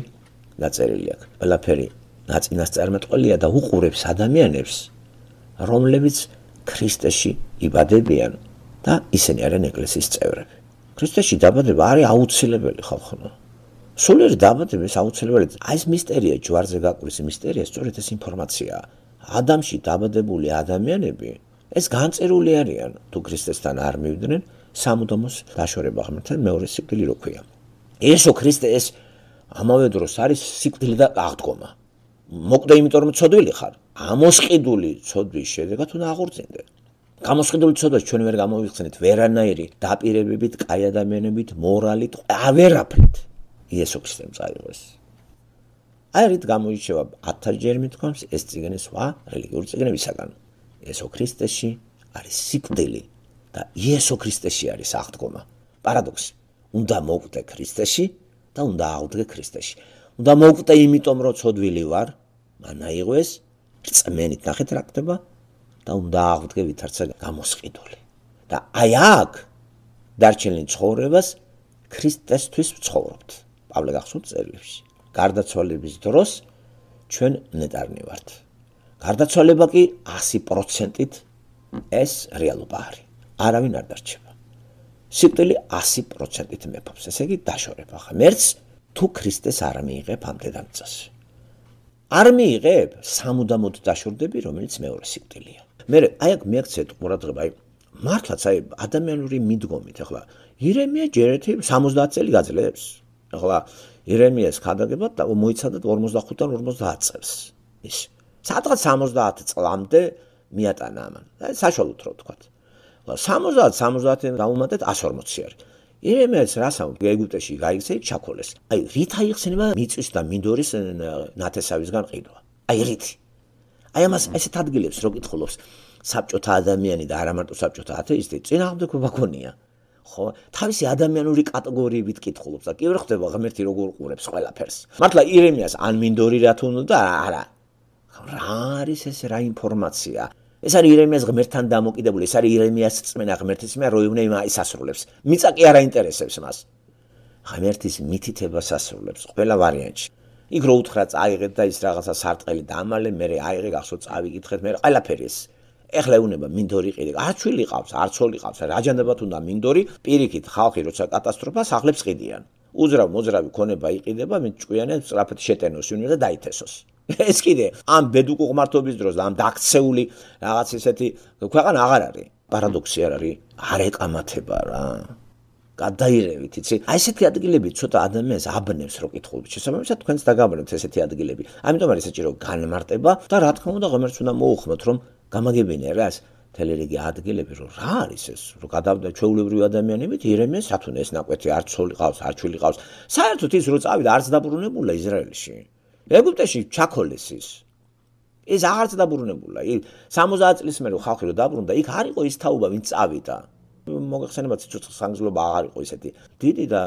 დაწერილი აქვს. ყველაფერი ნაწინასწარმეტყველია და უყურებს ადამიანებს, რომლებიც ქრისტეში იბადებიან და ისინი არიან ეკლესიის წევრები. ქრისტეში დაბადება არის აუცილებელი ხალხო. სულიერი დაბადების აუცილებელი აი ეს მისტერია ჯვარზე გაკვრის მისტერია სწორედ ეს ინფორმაციაა ადამიანში დაბადებული ადამიანები ეს განწერული არიან თუ ქრისტესთან არ მივიდნენ სამუდამოს დაშორება ღმერთთან მეორე სიკვდილი რო ქვია იესო ქრისტე ეს ამავე დროს არის სიკვდილი და აღდგომა მოკვდე იმიტომ რომ ცოდვილი ხარ ამოსყიდული ცოდვის შედეგად უნდა აღორძინდე გამოსყიდული ცოდვას ჩვენ ვერ გამოვიხსენით ვერანაირი დაპირებებით კაი ადამიანებით მორალით ავერაფრით იესო ქრისტემ წაიღოს აი რით გამოირჩევა ათჯერ მithქვამს ეს წიგნი სხვა რელიგიური წიგნებისაგან იესო ქრისტეში არის სიკვდილი და იესო ქრისტეში არის აღდგომა პარადოქსი უნდა მოკვდე ქრისტეში და უნდა აღდგე ქრისტეში უნდა მოკვდე იმიტომ რომ ცოდვილი ვარ მანაიღო ეს რწმენით ნახეთ რა ხდება და უნდა აღდგე ვითარცა გამოსყიდული და აი აქ დარჩენილ ცხოვრებას ქრისტესთვის ვცხოვრობთ პავლე გახსოვთ წერილებში გარდაცვალების დროს ჩვენ ნეტარნი ვართ გარდაცვალება კი ასი პროცენტით ეს რეალობა არის არავინ არ დარჩება სიკვდილი ასი პროცენტით მეფობს ესე იგი დაშორება ღმერთს თუ ქრისტეს არ მიიღებ ამ დედამიწას არ მიიღებ სამუდამოდ დაშორდები რომელიც მეორე სიკვდილია მე აი აქ მიაქცეთ ყურადღება აი მართლაც აი ადამიანური მიდგომით ახლა ირემია ჯერეთი სამოცდაათი წელი გაძლევს ახლა ირემიას ქადაგებად და მოიცადათ ორმოცდახუთიდან ორმოცდაათ წელს ის სადღაც სამოცდაათი წლამდე მიატანა ამან აი საშუალოდ რო ვთქვათ სამოცდაათი სამოცდაათიდან დაუმატეთ ასი ორმოცი არის ირემიას რასამ ეგვიპტეში გაიქცა იქ ჩაქოლეს აი რით აიხსნება მიწის და მინდორის ნათესავისგან ყიდვა აი რით აი ამას ესეთ ადგილებს რო კითხულობს საბჭოთა ადამიანი და არა მარტო საბჭოთა ათეისტი წინააღმდეგობა გონია ხო თავისი ადამიანური კატეგორიებით კითხულობს და კი ვერ ხდება ღმერთი როგორ ყურებს ყველაფერს მართლა ირემიას ან მინდორი რა თუ უნდა არა რა არის ეს რა ინფორმაცია ეს არის ირემიას ღმერთთან დამოკიდებული ეს არის ირემიას წმენა ღმერთის მიერ რო ივნე ის ასრულებს მიწა კი არ აინტერესებს მას ღმერთის მითითებას ასრულებს ყველა ვარიანტში იქ რო უთხრა წაიღეთ და ის რაღაცა სარტყელი დამალე მე აიღე გახსოვთ წავიკითხეთ მე ყველაფერი ეს ეხლა უნება მინდორი ყიდე არ ჩვილი ყავს არ ცოლი ყავს რაჯანდებათ უნდა მინდორი პირიქით ხალხი როცა კატასტროფას ახლებს ყიდიან უძრავ მოძრავი ქონება იყიდება მე ჭკვიანე სწრაფად შეტენოს უნდა და დაითესოს ეს კიდე ამ ბედუკო ღმართობის დროს და ამ დაქცეული რაღაც ისეთი ქვეყანა აღარ არის პარადოქსი არ არის არ ეკამათება რა გადაირევით იცი აი ესეთი ადგილები ცოტა ადამიანს აბნევს რო კითხულობთ შესაბამისად თქვენს დაგაბნევთ ესეთი ადგილები ამიტომ არის საჭირო განმარტება და რა თქმა უნდა ღმერთს უნდა მოუხმოთ რომ გამაგებინე რას თელერიგი ადგილები რომ რა არის ეს რომ გადავდა ჩვეულებრივი ადამიანებით ირემეს სათუნე ეს ნაკვეთი არ ცოლი ყავს არ ჩვილი ყავს საერთოდ ის რო წავიდა არც დაბრუნებულა ისრაელში ეგვიპტეში ჩაქოლეს ის ეს აღარც დაბრუნებულა სამოცდაათი წლის მერე ხალხი რო დაბრუნდა იქ არ იყო ის თაობა ვინც წავიდა მოგეხსენებათ სიცოცხლის ხანგრძლივობა აღარ იყო ისეთი დიდი და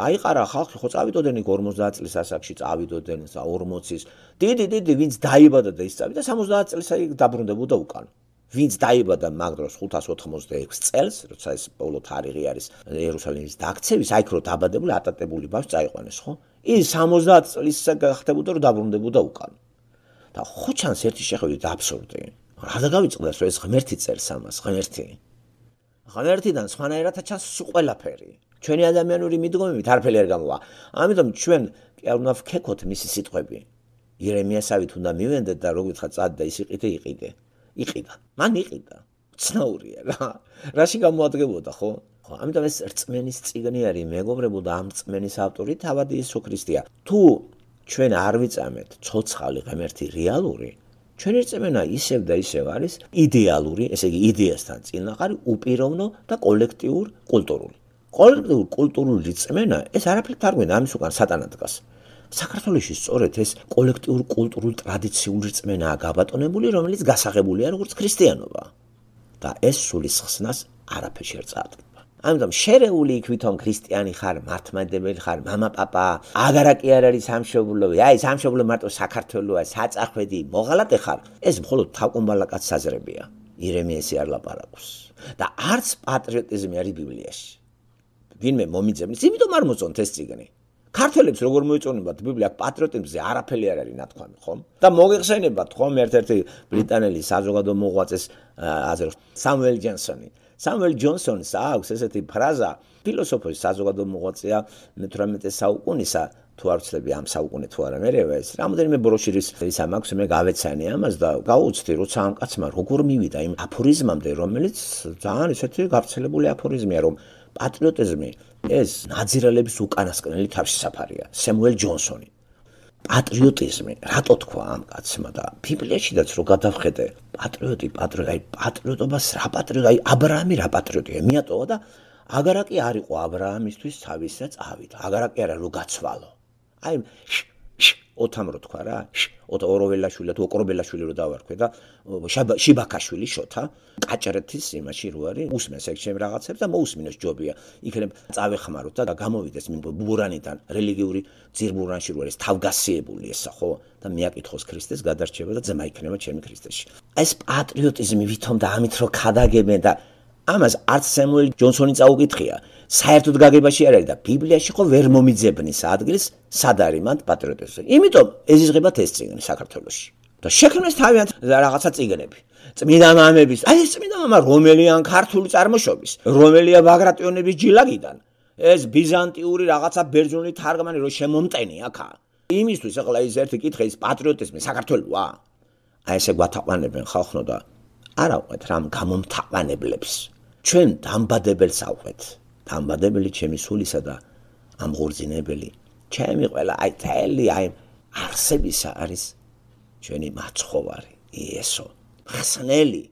აიყარა ხალხი ხო წავიდოდნენ იქ ორმოცდაათი წლის ასაკში წავიდოდნენ ორმოცის დიდი დიდი ვინც დაიბადა და ის წავიდა სამოცდაათი წლის აი დაბრუნდებოდა უკან ვინც დაიბადა მაგ დროს ხუთას ოცდაექვსი წელს როცა ეს პავლო თარიღი არის იერუსალიმის დაქცევის აი რო დაბადებული ატატებული ბავშვი წაიყვანეს ხო ის სამოცდაათი წლის გახდებოდა რომ დაბრუნდებოდა უკან და ხო ჩანს ერთი შეხედვით აბსურდი რა დაგავიწყდეს რომ ეს ღმერთი წერს ამას ღმერთი ღმერთიდან სხვანაირად ჩანს ყველაფერი ჩვენი ადამიანური მიდგომებით არაფერი არ გამოვა ამიტომ ჩვენ კი არ უნდა ვქეკოთ მისი სიტყვები ირემიასავით უნდა მივენდეთ და როგორ ვთქვა წად და ის იყიდე იყიდე იყიდა მან იყიდა ცნაურია რა რაში გამოადგებოდა ხო ხო ამიტომ ეს რწმენის წიგნი არის მეგობრებო და ამ რწმენის ავტორი თავად იესო ქრისტეა თუ ჩვენ არ ვიწამეთ ცოცხალი ღმერთი რეალური ჩვენი რწმენა ისევ და ისევ არის იდეალური, ესე იგი იდეასთან წინააღმდეგ, უპიროვნო და კოლექტიურ კულტურული. კოლექტიურ კულტურული რწმენა ეს არაფერთ არ გვინდა ამის უკან სატანა დგას. საქართველოში სწორედ ეს კოლექტიურ კულტურულ ტრადიციული რწმენაა გაბატონებული, რომელიც გასაღებულია როგორც ქრისტიანობა. და ეს სულის ხსნას არაფერში არ წაადგება. ამიტომ შერეული იქ ვითომ ქრისტიანი ხარ, მართლმადიდებელი ხარ, мама, папа, აგარა კი არ არის სამშობლოი, აი სამშობლო მარტო საქართველოა, საწახვედი, მოღალატე ხარ. ეს მხოლოდ თავკომბალაკაც საზრებია. ირემიესი არ ლაპარაკობს. და არც პატრიოტიზმი არის ბიბლიაში. ვინმე მომიძებნის, იმიტომ არ მოწონთ ეს წიგნი. ქართველებს როგორ მოეწონებათ ბიბლია პატრიოტიზმზე არაფერი არ არის ნათქვამი, ხომ? და მოგეხსენებათ, ხომ, ერთ-ერთი ბრიტანელი საზოგადო მოღვაწეს აზრს, სამუელ ჯენსონი. სამუელ ჯონსონს აქვს ესეთი ფრაზა, ფილოსოფიის საზოგადო მოღვაწეა მეთვრამეტე საუკუნისა, თუ არ ვცდები ამ საუკუნე თუ არა მერევა ეს. რამოდენიმე ბროშირის ის ამაქვს მე გავეცანი ამას და გავუცდი როცა ამ კაცმა როგორ მივიდა იმ აფორიზმამდე, რომელიც ძალიან ისეთი გავრცელებული აფორიზმია, რომ პატრიოტიზმი ეს ნაძირალების უკანასკნელი თავშესაფარია. სამუელ ჯონსონი. პატრიოტიზმი, რატო თქვა ამ კაცმა და ბიბლიაშიდაც რო გადავხედე, პატრიოტი, პატრიოტი, აი პატრიოტობას რა პატრიოტი, აი აბრაამი რა პატრიოტია, მიატოვა და აგარაკი არ იყო აბრაამისთვის თავისა წავიდა. აგარაკი არა რო გაცვალო. აი ოთამ რო თქვა რა, ოროველაშვილი თუ ოკრობელაშვილი რო დავარქვე და შიბაქაშვილი შოთა, კაჭრეთის იმაში რო არის, უსმენს ეგ ჩემ რაღაცებს და მოусმინოს ჯობია. იქნებ წავეხმაროთ და გამოვიდეს მინ ბურანიდან, რელიგიური ძირბურანში რო არის თავგასიებული ესა ხო და მიაკითხოს ქრისტეს გადარჩება და ძმა იქნება ჩემი ქრისტეში. ეს პატრიოტიზმი ვითომ და ამით რო ქადაგებენ და ამას არც სამუელ ჯონსონი წაუკითხია. საერთოდ გაგებაში არ არის და ბიბლიაში ხო ვერ მომიძებნის ადგილს სად არის მან პატრიოტიზმი. იმიტომ ეზიზღებათ ეს წიგნი საქართველოში. და შექმნეს თავიანთ რაღაცა წიგნები. წმინდა მამების, აი ეს წმინდა მამა რომელია ქართული წარმოშობის, რომელია ბაგრატიონების ჯილაგიდან. ეს ბიზანტიური რაღაცა ბერძნული თარგმანი რო შემომტენი აქა. იმისთვის ახლა ის ერთი კითხე ის პატრიოტიზმი საქართველოა. აი ესე გვათაყვანებენ ხალხო და არა ვყვეთ რამ გამომთაყვანებლებს. ჩვენ დამბადებელს ავყვეთ. დამბადებელი ჩემი სულისა და ამღორძინებელი ჩემი ყველა აი თელი აი არსებისა არის ჩვენი მაცხოვარი იესო ხსნელი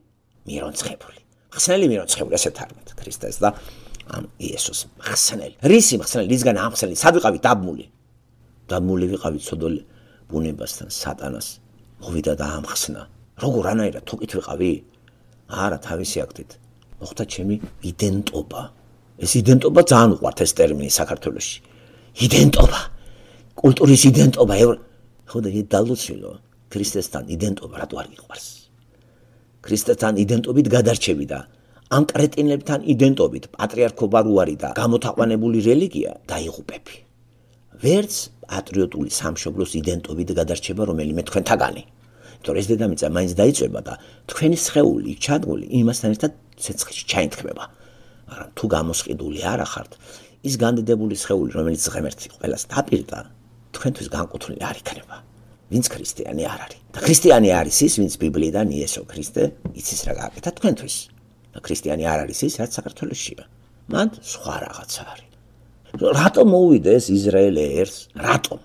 მირონცხებული ხსნელი მირონცხებული ესე თარგმნით ქრისტეს და ამ იესოს ხსნელი რისი ხსნელი რისგან ამხსნელი სად ვიყავით დაბმული დაბმული ვიყავით ცოდოლ ბუნებასთან სატანას მოვიდა და ამხსნა როგორ ანაირად თუკით ვიყავი არა თავისი აქტით მოხდა ჩემი იდენტობა ეს იდენტობა ძალიან უყვართ ეს ტერმინი საქართველოში. იდენტობა. კულტურის იდენტობა. ხო და დალოცილო ქრისტესთან იდენტობა რატო არ გიყვარს? ქრისტესთან იდენტობით გადარჩები და ამ კრეტინებთან იდენტობით პატრიარქობა რო არის და გამოთაყვანებული რელიგია დაიღუპები. ვერც პატრიოტული სამშობლოს იდენტობით გადარჩება რომელიმე თქვენთაგანი. იმიტომ ეს დედამიწა მაინც დაიწვება და თქვენი სხეული ჩადგული იმასთან ერთად ცეცხლში ჩაინთქმება. მაგრამ თუ გამოსყიდული არ ახართ, ის განდიდებული სხეული, რომელიც ღმერთი ყველას დაპირდა, თქვენთვის განკუთვნილი არ იქნება. ვინც ქრისტიანი არ არის. და ქრისტიანი არის ის, ვინც ბიბლიიდან იესო ქრისტე იცის რა გააკეთა თქვენთვის. და ქრისტიანი არ არის ის, რაც საქართველოშია. მან სხვა რაღაცა არის. რატომ მოვიდა ეს ისრაელი ერს? რატომ?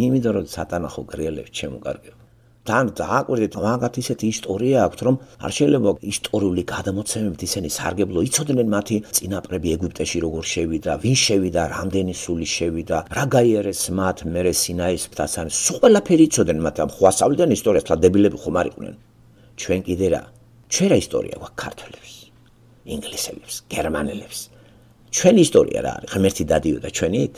იმიტომ რომ სატანა ხო გრიელებს შემოკარგება. თან დააკვირდით მაგათ ისეთი ისტორია აქვს რომ არ შეიძლება ისტორიული გადამოცემებით ისინი სარგებლო იცოდნენ მათი წინაპრები ეგვიპტეში როგორ შევიდა, ვინ შევიდა, რამდენი სული შევიდა, რა გაიარეს მათ მერე სინაის მთასთან, სულ ყველაფერი იცოდნენ მათ ამ ხვასავლიდან ისტორიას თლადებილები ხომ არ იყვნენ. ჩვენ კიდე რა? ჩვენ რა ისტორია გვაქვს ქართველებს, ინგლისელებს, გერმანელებს. ჩვენი ისტორია რა არის? ღმერთი დადიოდა ჩვენით?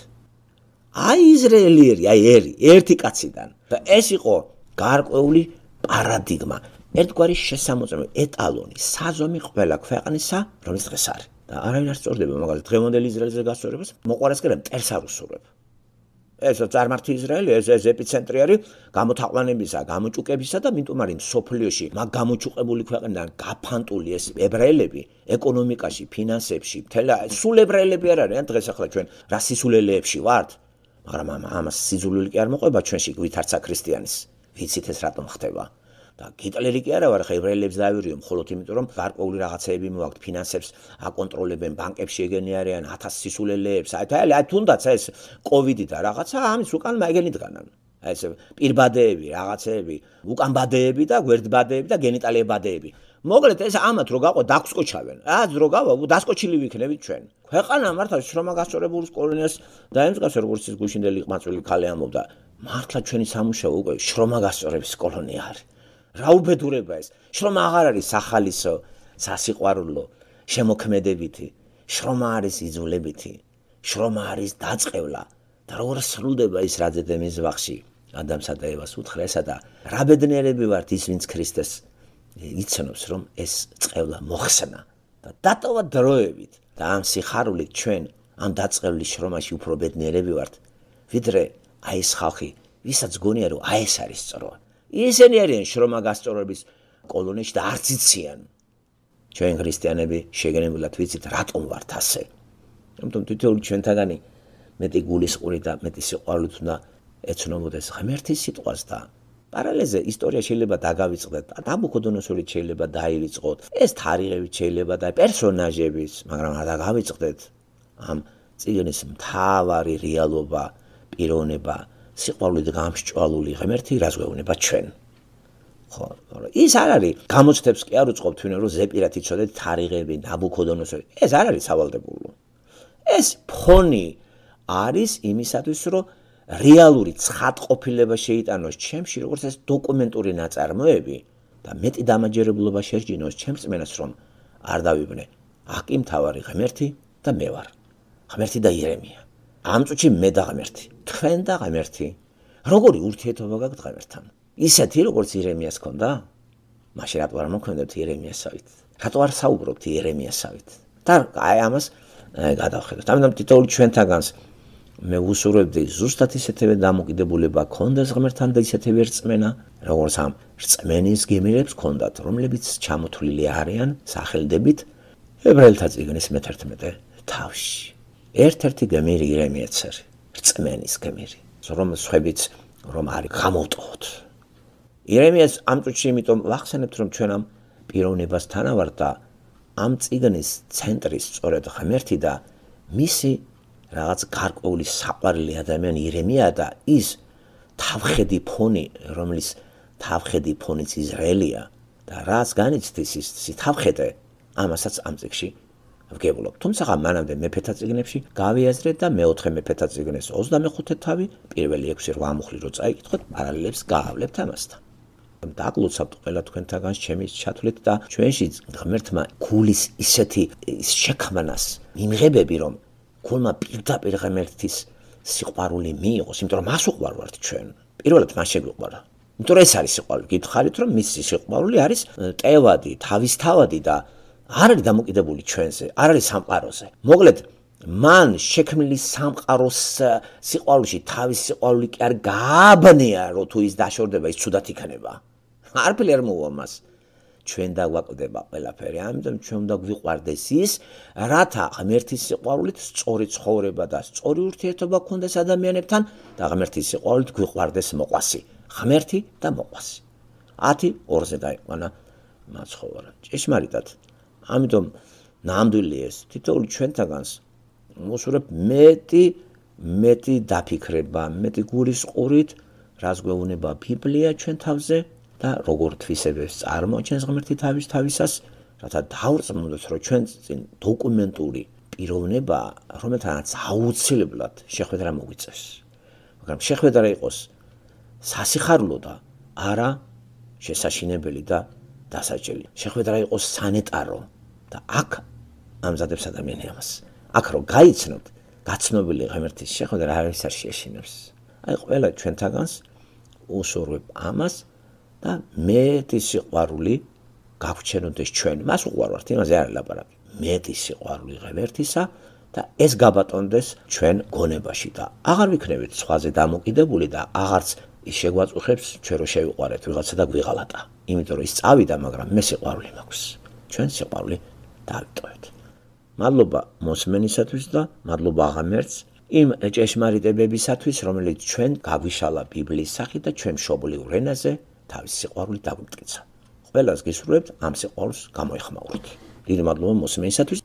აი ისრაელიერი, აი ერი, ერთი კაციდან. და ეს იყო გარკვეული პარადიგმა, ერთგვარი შესამოწმებელი ეტალონი, საზომი ყველა ქვეყნისა, რომელიც დღეს არის. და არავინ არ სწორდება მაგალითად დღევანდელი ისრაელზე გასწორებას, მოყვარეს კი რა მტერს არ უსურვებ. ეს წარმართი ისრაელი, ეს ეს ეპიცენტრი არის გამოთაყვანებისა, გამოჭუკებისა და მიტომ არის სოფლიოში მაგ გამოჭუყებული ქვეყნიდან გაფანტული ეს ებრაელები ეკონომიკაში, ფინანსებში, მთელი სულ ებრაელები არ არიან დღეს ახლა ჩვენ რა სისულელეებში ვართ, მაგრამ ამას სიძულვილი კი არ მოყვება ჩვენში ვითარცა ქრისტიანის. ვიცით ეს რატომ ხდება? და გიტლერი კი არა ვარ, ხა ებრაელებს დაავირიო მხოლოდ იმიტომ რომ გარკვეული რაღაცეები მოაქვთ, ფინანსებს აკონტროლებენ, ბანკებში ეგენი არიან, ათას სისულელეებს. აი აი თუნდაც ეს კოვიდი და რაღაცა ამის უკან მაგენი დგანან. აი ეს პირბადეები, რაღაცეები, უკან ბადეები და გვერდბადეები და გენიტალიებადეები. მოკლედ ეს ამათ რო გაყო დაგსკოჩავენ. რაც რო გავა, დასკოჩილი ვიქნებით ჩვენ. ქვეყანა მართლა შრომა გასწორებულის კოლონიას დაემსგავსა როგორც ის გუშინდელი ყმაწვილი ქალი ამობდა. მართლა ჩვენი სამუშაო უკვე შრომა გასწორების კოლონია არის. რა უბედურება ეს? შრომა აღარ არის სახალისო, სასიყვარულო, შემოქმედებითი. შრომა არის იძულებითი. შრომა არის დაწყევლა. და როგორ სრულდება ის რadzედემის ვახში ადამსა და ევას უთხრესა და რა ბედნიერები ვართ ის ვინც ქრისტეს იცნობს რომ ეს წყევლა მოხსნა და დატოვა დროებით და ამ სიხარულით ჩვენ ამ დაწყევლის შრომაში უფრო ბედნიერები ვართ ვიდრე აი ეს ხალხი ვისაც გონია რომ აი ეს არის სწორვა ისინი არიან შრომა გასწორების კოლონიაში და არც იციან ჩვენ ქრისტიანები შეგენებულად ვიცით რატომ ვართ ასე. ამიტომ თითოეული ჩვენთაგანი მეტი გულისყური და მეტი სიყვარულით უნდა ეცნობოდეს ღმერთის სიტყვას და პარალელზე ისტორია შეიძლება დაგავიწყდეთ, ნაბუქოდონოსორი შეიძლება დაივიწყოთ, ეს თარიღებით შეიძლება და პერსონაჟების, მაგრამ არ დაგავიწყდეთ ამ წიგნის მთავარი რეალობა, პიროვნება, სიყვარულით გამსჭვალული ღმერთი, რაც გვეუბნება ჩვენ. ხო, ის არ არის გამოცდებს კი არ უწყობთ ვინმე რომ ზეპირად იცოდეთ თარიღები, ნაბუქოდონოსორი. ეს არ არის სავალდებულო. ეს ფონი არის იმისათვის, რომ რეალური ცხადყოფილება შეიტანოს ჩემში, როგორც ეს დოკუმენტური ნაწარმოები და მეტი დამაჯერებლობა შეჯინოს ჩემს წმენას, რომ არ დავიბნე. აკი მთავარი ღმერთი და მე ვარ. ღმერთი და იერემია. ამ წუთში მე და ღმერთი, თქვენ და ღმერთი. როგორი ურთიერთობა გაქვთ ღმერთთან? ისეთი როგორც იერემიას ჰქონდა? მაშინ რატო არ მოქმედებთ იერემიასავით? რატო არ საუბრობთ იერემიასავით? და აი ამას გადავხედოთ. ამიტომ თითოეული ჩვენთაგანს მე ვუსურვებდი ზუსტად ისეთივე დამოკიდებულება ქონდეს ღმერთთან და ისეთივე რწმენა, როგორც ამ რწმენის გემირებს ქონდათ, რომლებიც ჩამოთვლილი არიან სახელდებით ებრაელთა წიგნის მეთერთმეტე თავში. ერთ-ერთი გემირი იერემიაც არის, რწმენის გემირი, რომ სხვებიც რომ არის გამოვტყოთ. იერემიას ამ წუთში იმიტომ ვახსენებთ, რომ ჩვენ ამ პიროვნებასთან ვართ და ამ წიგნის ცენტრის სწორედ ღმერთი და მისი რაღაც გარკვეული საყვარელი ადამიანი იერემია და ის თავხედი ფონი, რომლის თავხედი ფონიც ისრაელია და რაც განიცდის ის თავხედე, ამასაც ამ წიგში ვგებულობ. თუმცა მანამდე მეფეთა წიგნებში გავიაზრეთ და მეოთხე მეფეთა წიგნის ოცდამეხუთე თავი, პირველი ექვსი რვა მუხლი რო წაიკითხოთ, პარალელებს გაავლებთ ამასთან. დაგლოცავთ ყველა თქვენთაგანს ჩემი ჩათვლით და ჩვენში ღმერთმა გულის ისეთი შექმნას მიმღებები, რომ გულმა პირდაპირ ღმერთის სიყვარული მიიღოს, იმიტომ რომ მას უყვარვართ ჩვენ. პირველად მას შეგვიყვარა. იმიტომ რომ ეს არის სიყვარული. გითხარით რომ მისი სიყვარული არის ტევადი, თავისთავადი და არ არის დამოკიდებული ჩვენზე, არ არის სამყაროზე. მოკლედ, მან შექმნილი სამყაროს სიყვარულში თავის სიყვარული კი არ გააბნია, რომ თუ ის დაშორდება, ის ცუდად იქნება. არაფერი არ მოუვა მას. ჩვენ დაგვაკვდება ყველაფერი, ამიტომ ჩვენ უნდა გვიყვარდეს ის, რათა ღმერთის სიყვარულით სწორი ცხოვრება და სწორი ურთიერთობა გქონდეს ადამიანებთან და ღმერთის სიყვარულით გვიყვარდეს მოყვასი. ღმერთი და მოყვასი. ათი ორზე დაიყვანა მაცხოვარა. ჭეშმარიტად. ამიტომ ნამდვილი ეს თითოეული ჩვენთაგანს მოსურებ მეტი მეტი დაფიქრება, მეტი გულისყურით, რაც გვეუბნება ბიბლია ჩვენ თავზე და როგორ თვისებებს წარმოაჩენს ღმერთი თავის თავისას, რათა დავრწმუნოთ, რომ ჩვენ წინ დოკუმენტური პიროვნება, რომელთანაც აუცილებლად შეხვედრა მოგვიწევს. მაგრამ შეხვედრა იყოს სასიხარულო და არა შესაშინებელი და დასაჭერი. შეხვედრა იყოს სანეტარო და აქ ამზადებს ადამიანი ამას. აქ რო გაიცნობთ, გაცნობილი ღმერთის შეხვედრა არავის არ შეეშინებს. აი ყველა ჩვენთაგანს უსურვებ ამას და მეტი სიყვარული გაგვჩენოდეს ჩვენ. მას უყვარვართ, იმაზე არ ლაპარაკი. მეტი სიყვარული ღმერთისა და ეს გაბატონდეს ჩვენ გონებაში და აღარ ვიქნებით სხვაზე დამოკიდებული და აღარც ის შეგვაწუხებს ჩვენ რო შევიყვარეთ ვიღაცა და გვიღალატა. იმიტომ რომ ის წავიდა, მაგრამ მე სიყვარული მაქვს. ჩვენ სიყვარული დავიტოვეთ. მადლობა მოსმენისათვის და მადლობა ღმერთს იმ ჭეშმარიტებებისათვის, რომელიც ჩვენ გაგვიშალა ბიბლიის სახით და ჩვენ მშობლიურ ენაზე თავის სიყვარული დაგვიმტკიცა. ყველას გისურვებთ ამ სიყვარულს გამოეხმაუროთ. დიდი მადლობა მოსმენისათვის.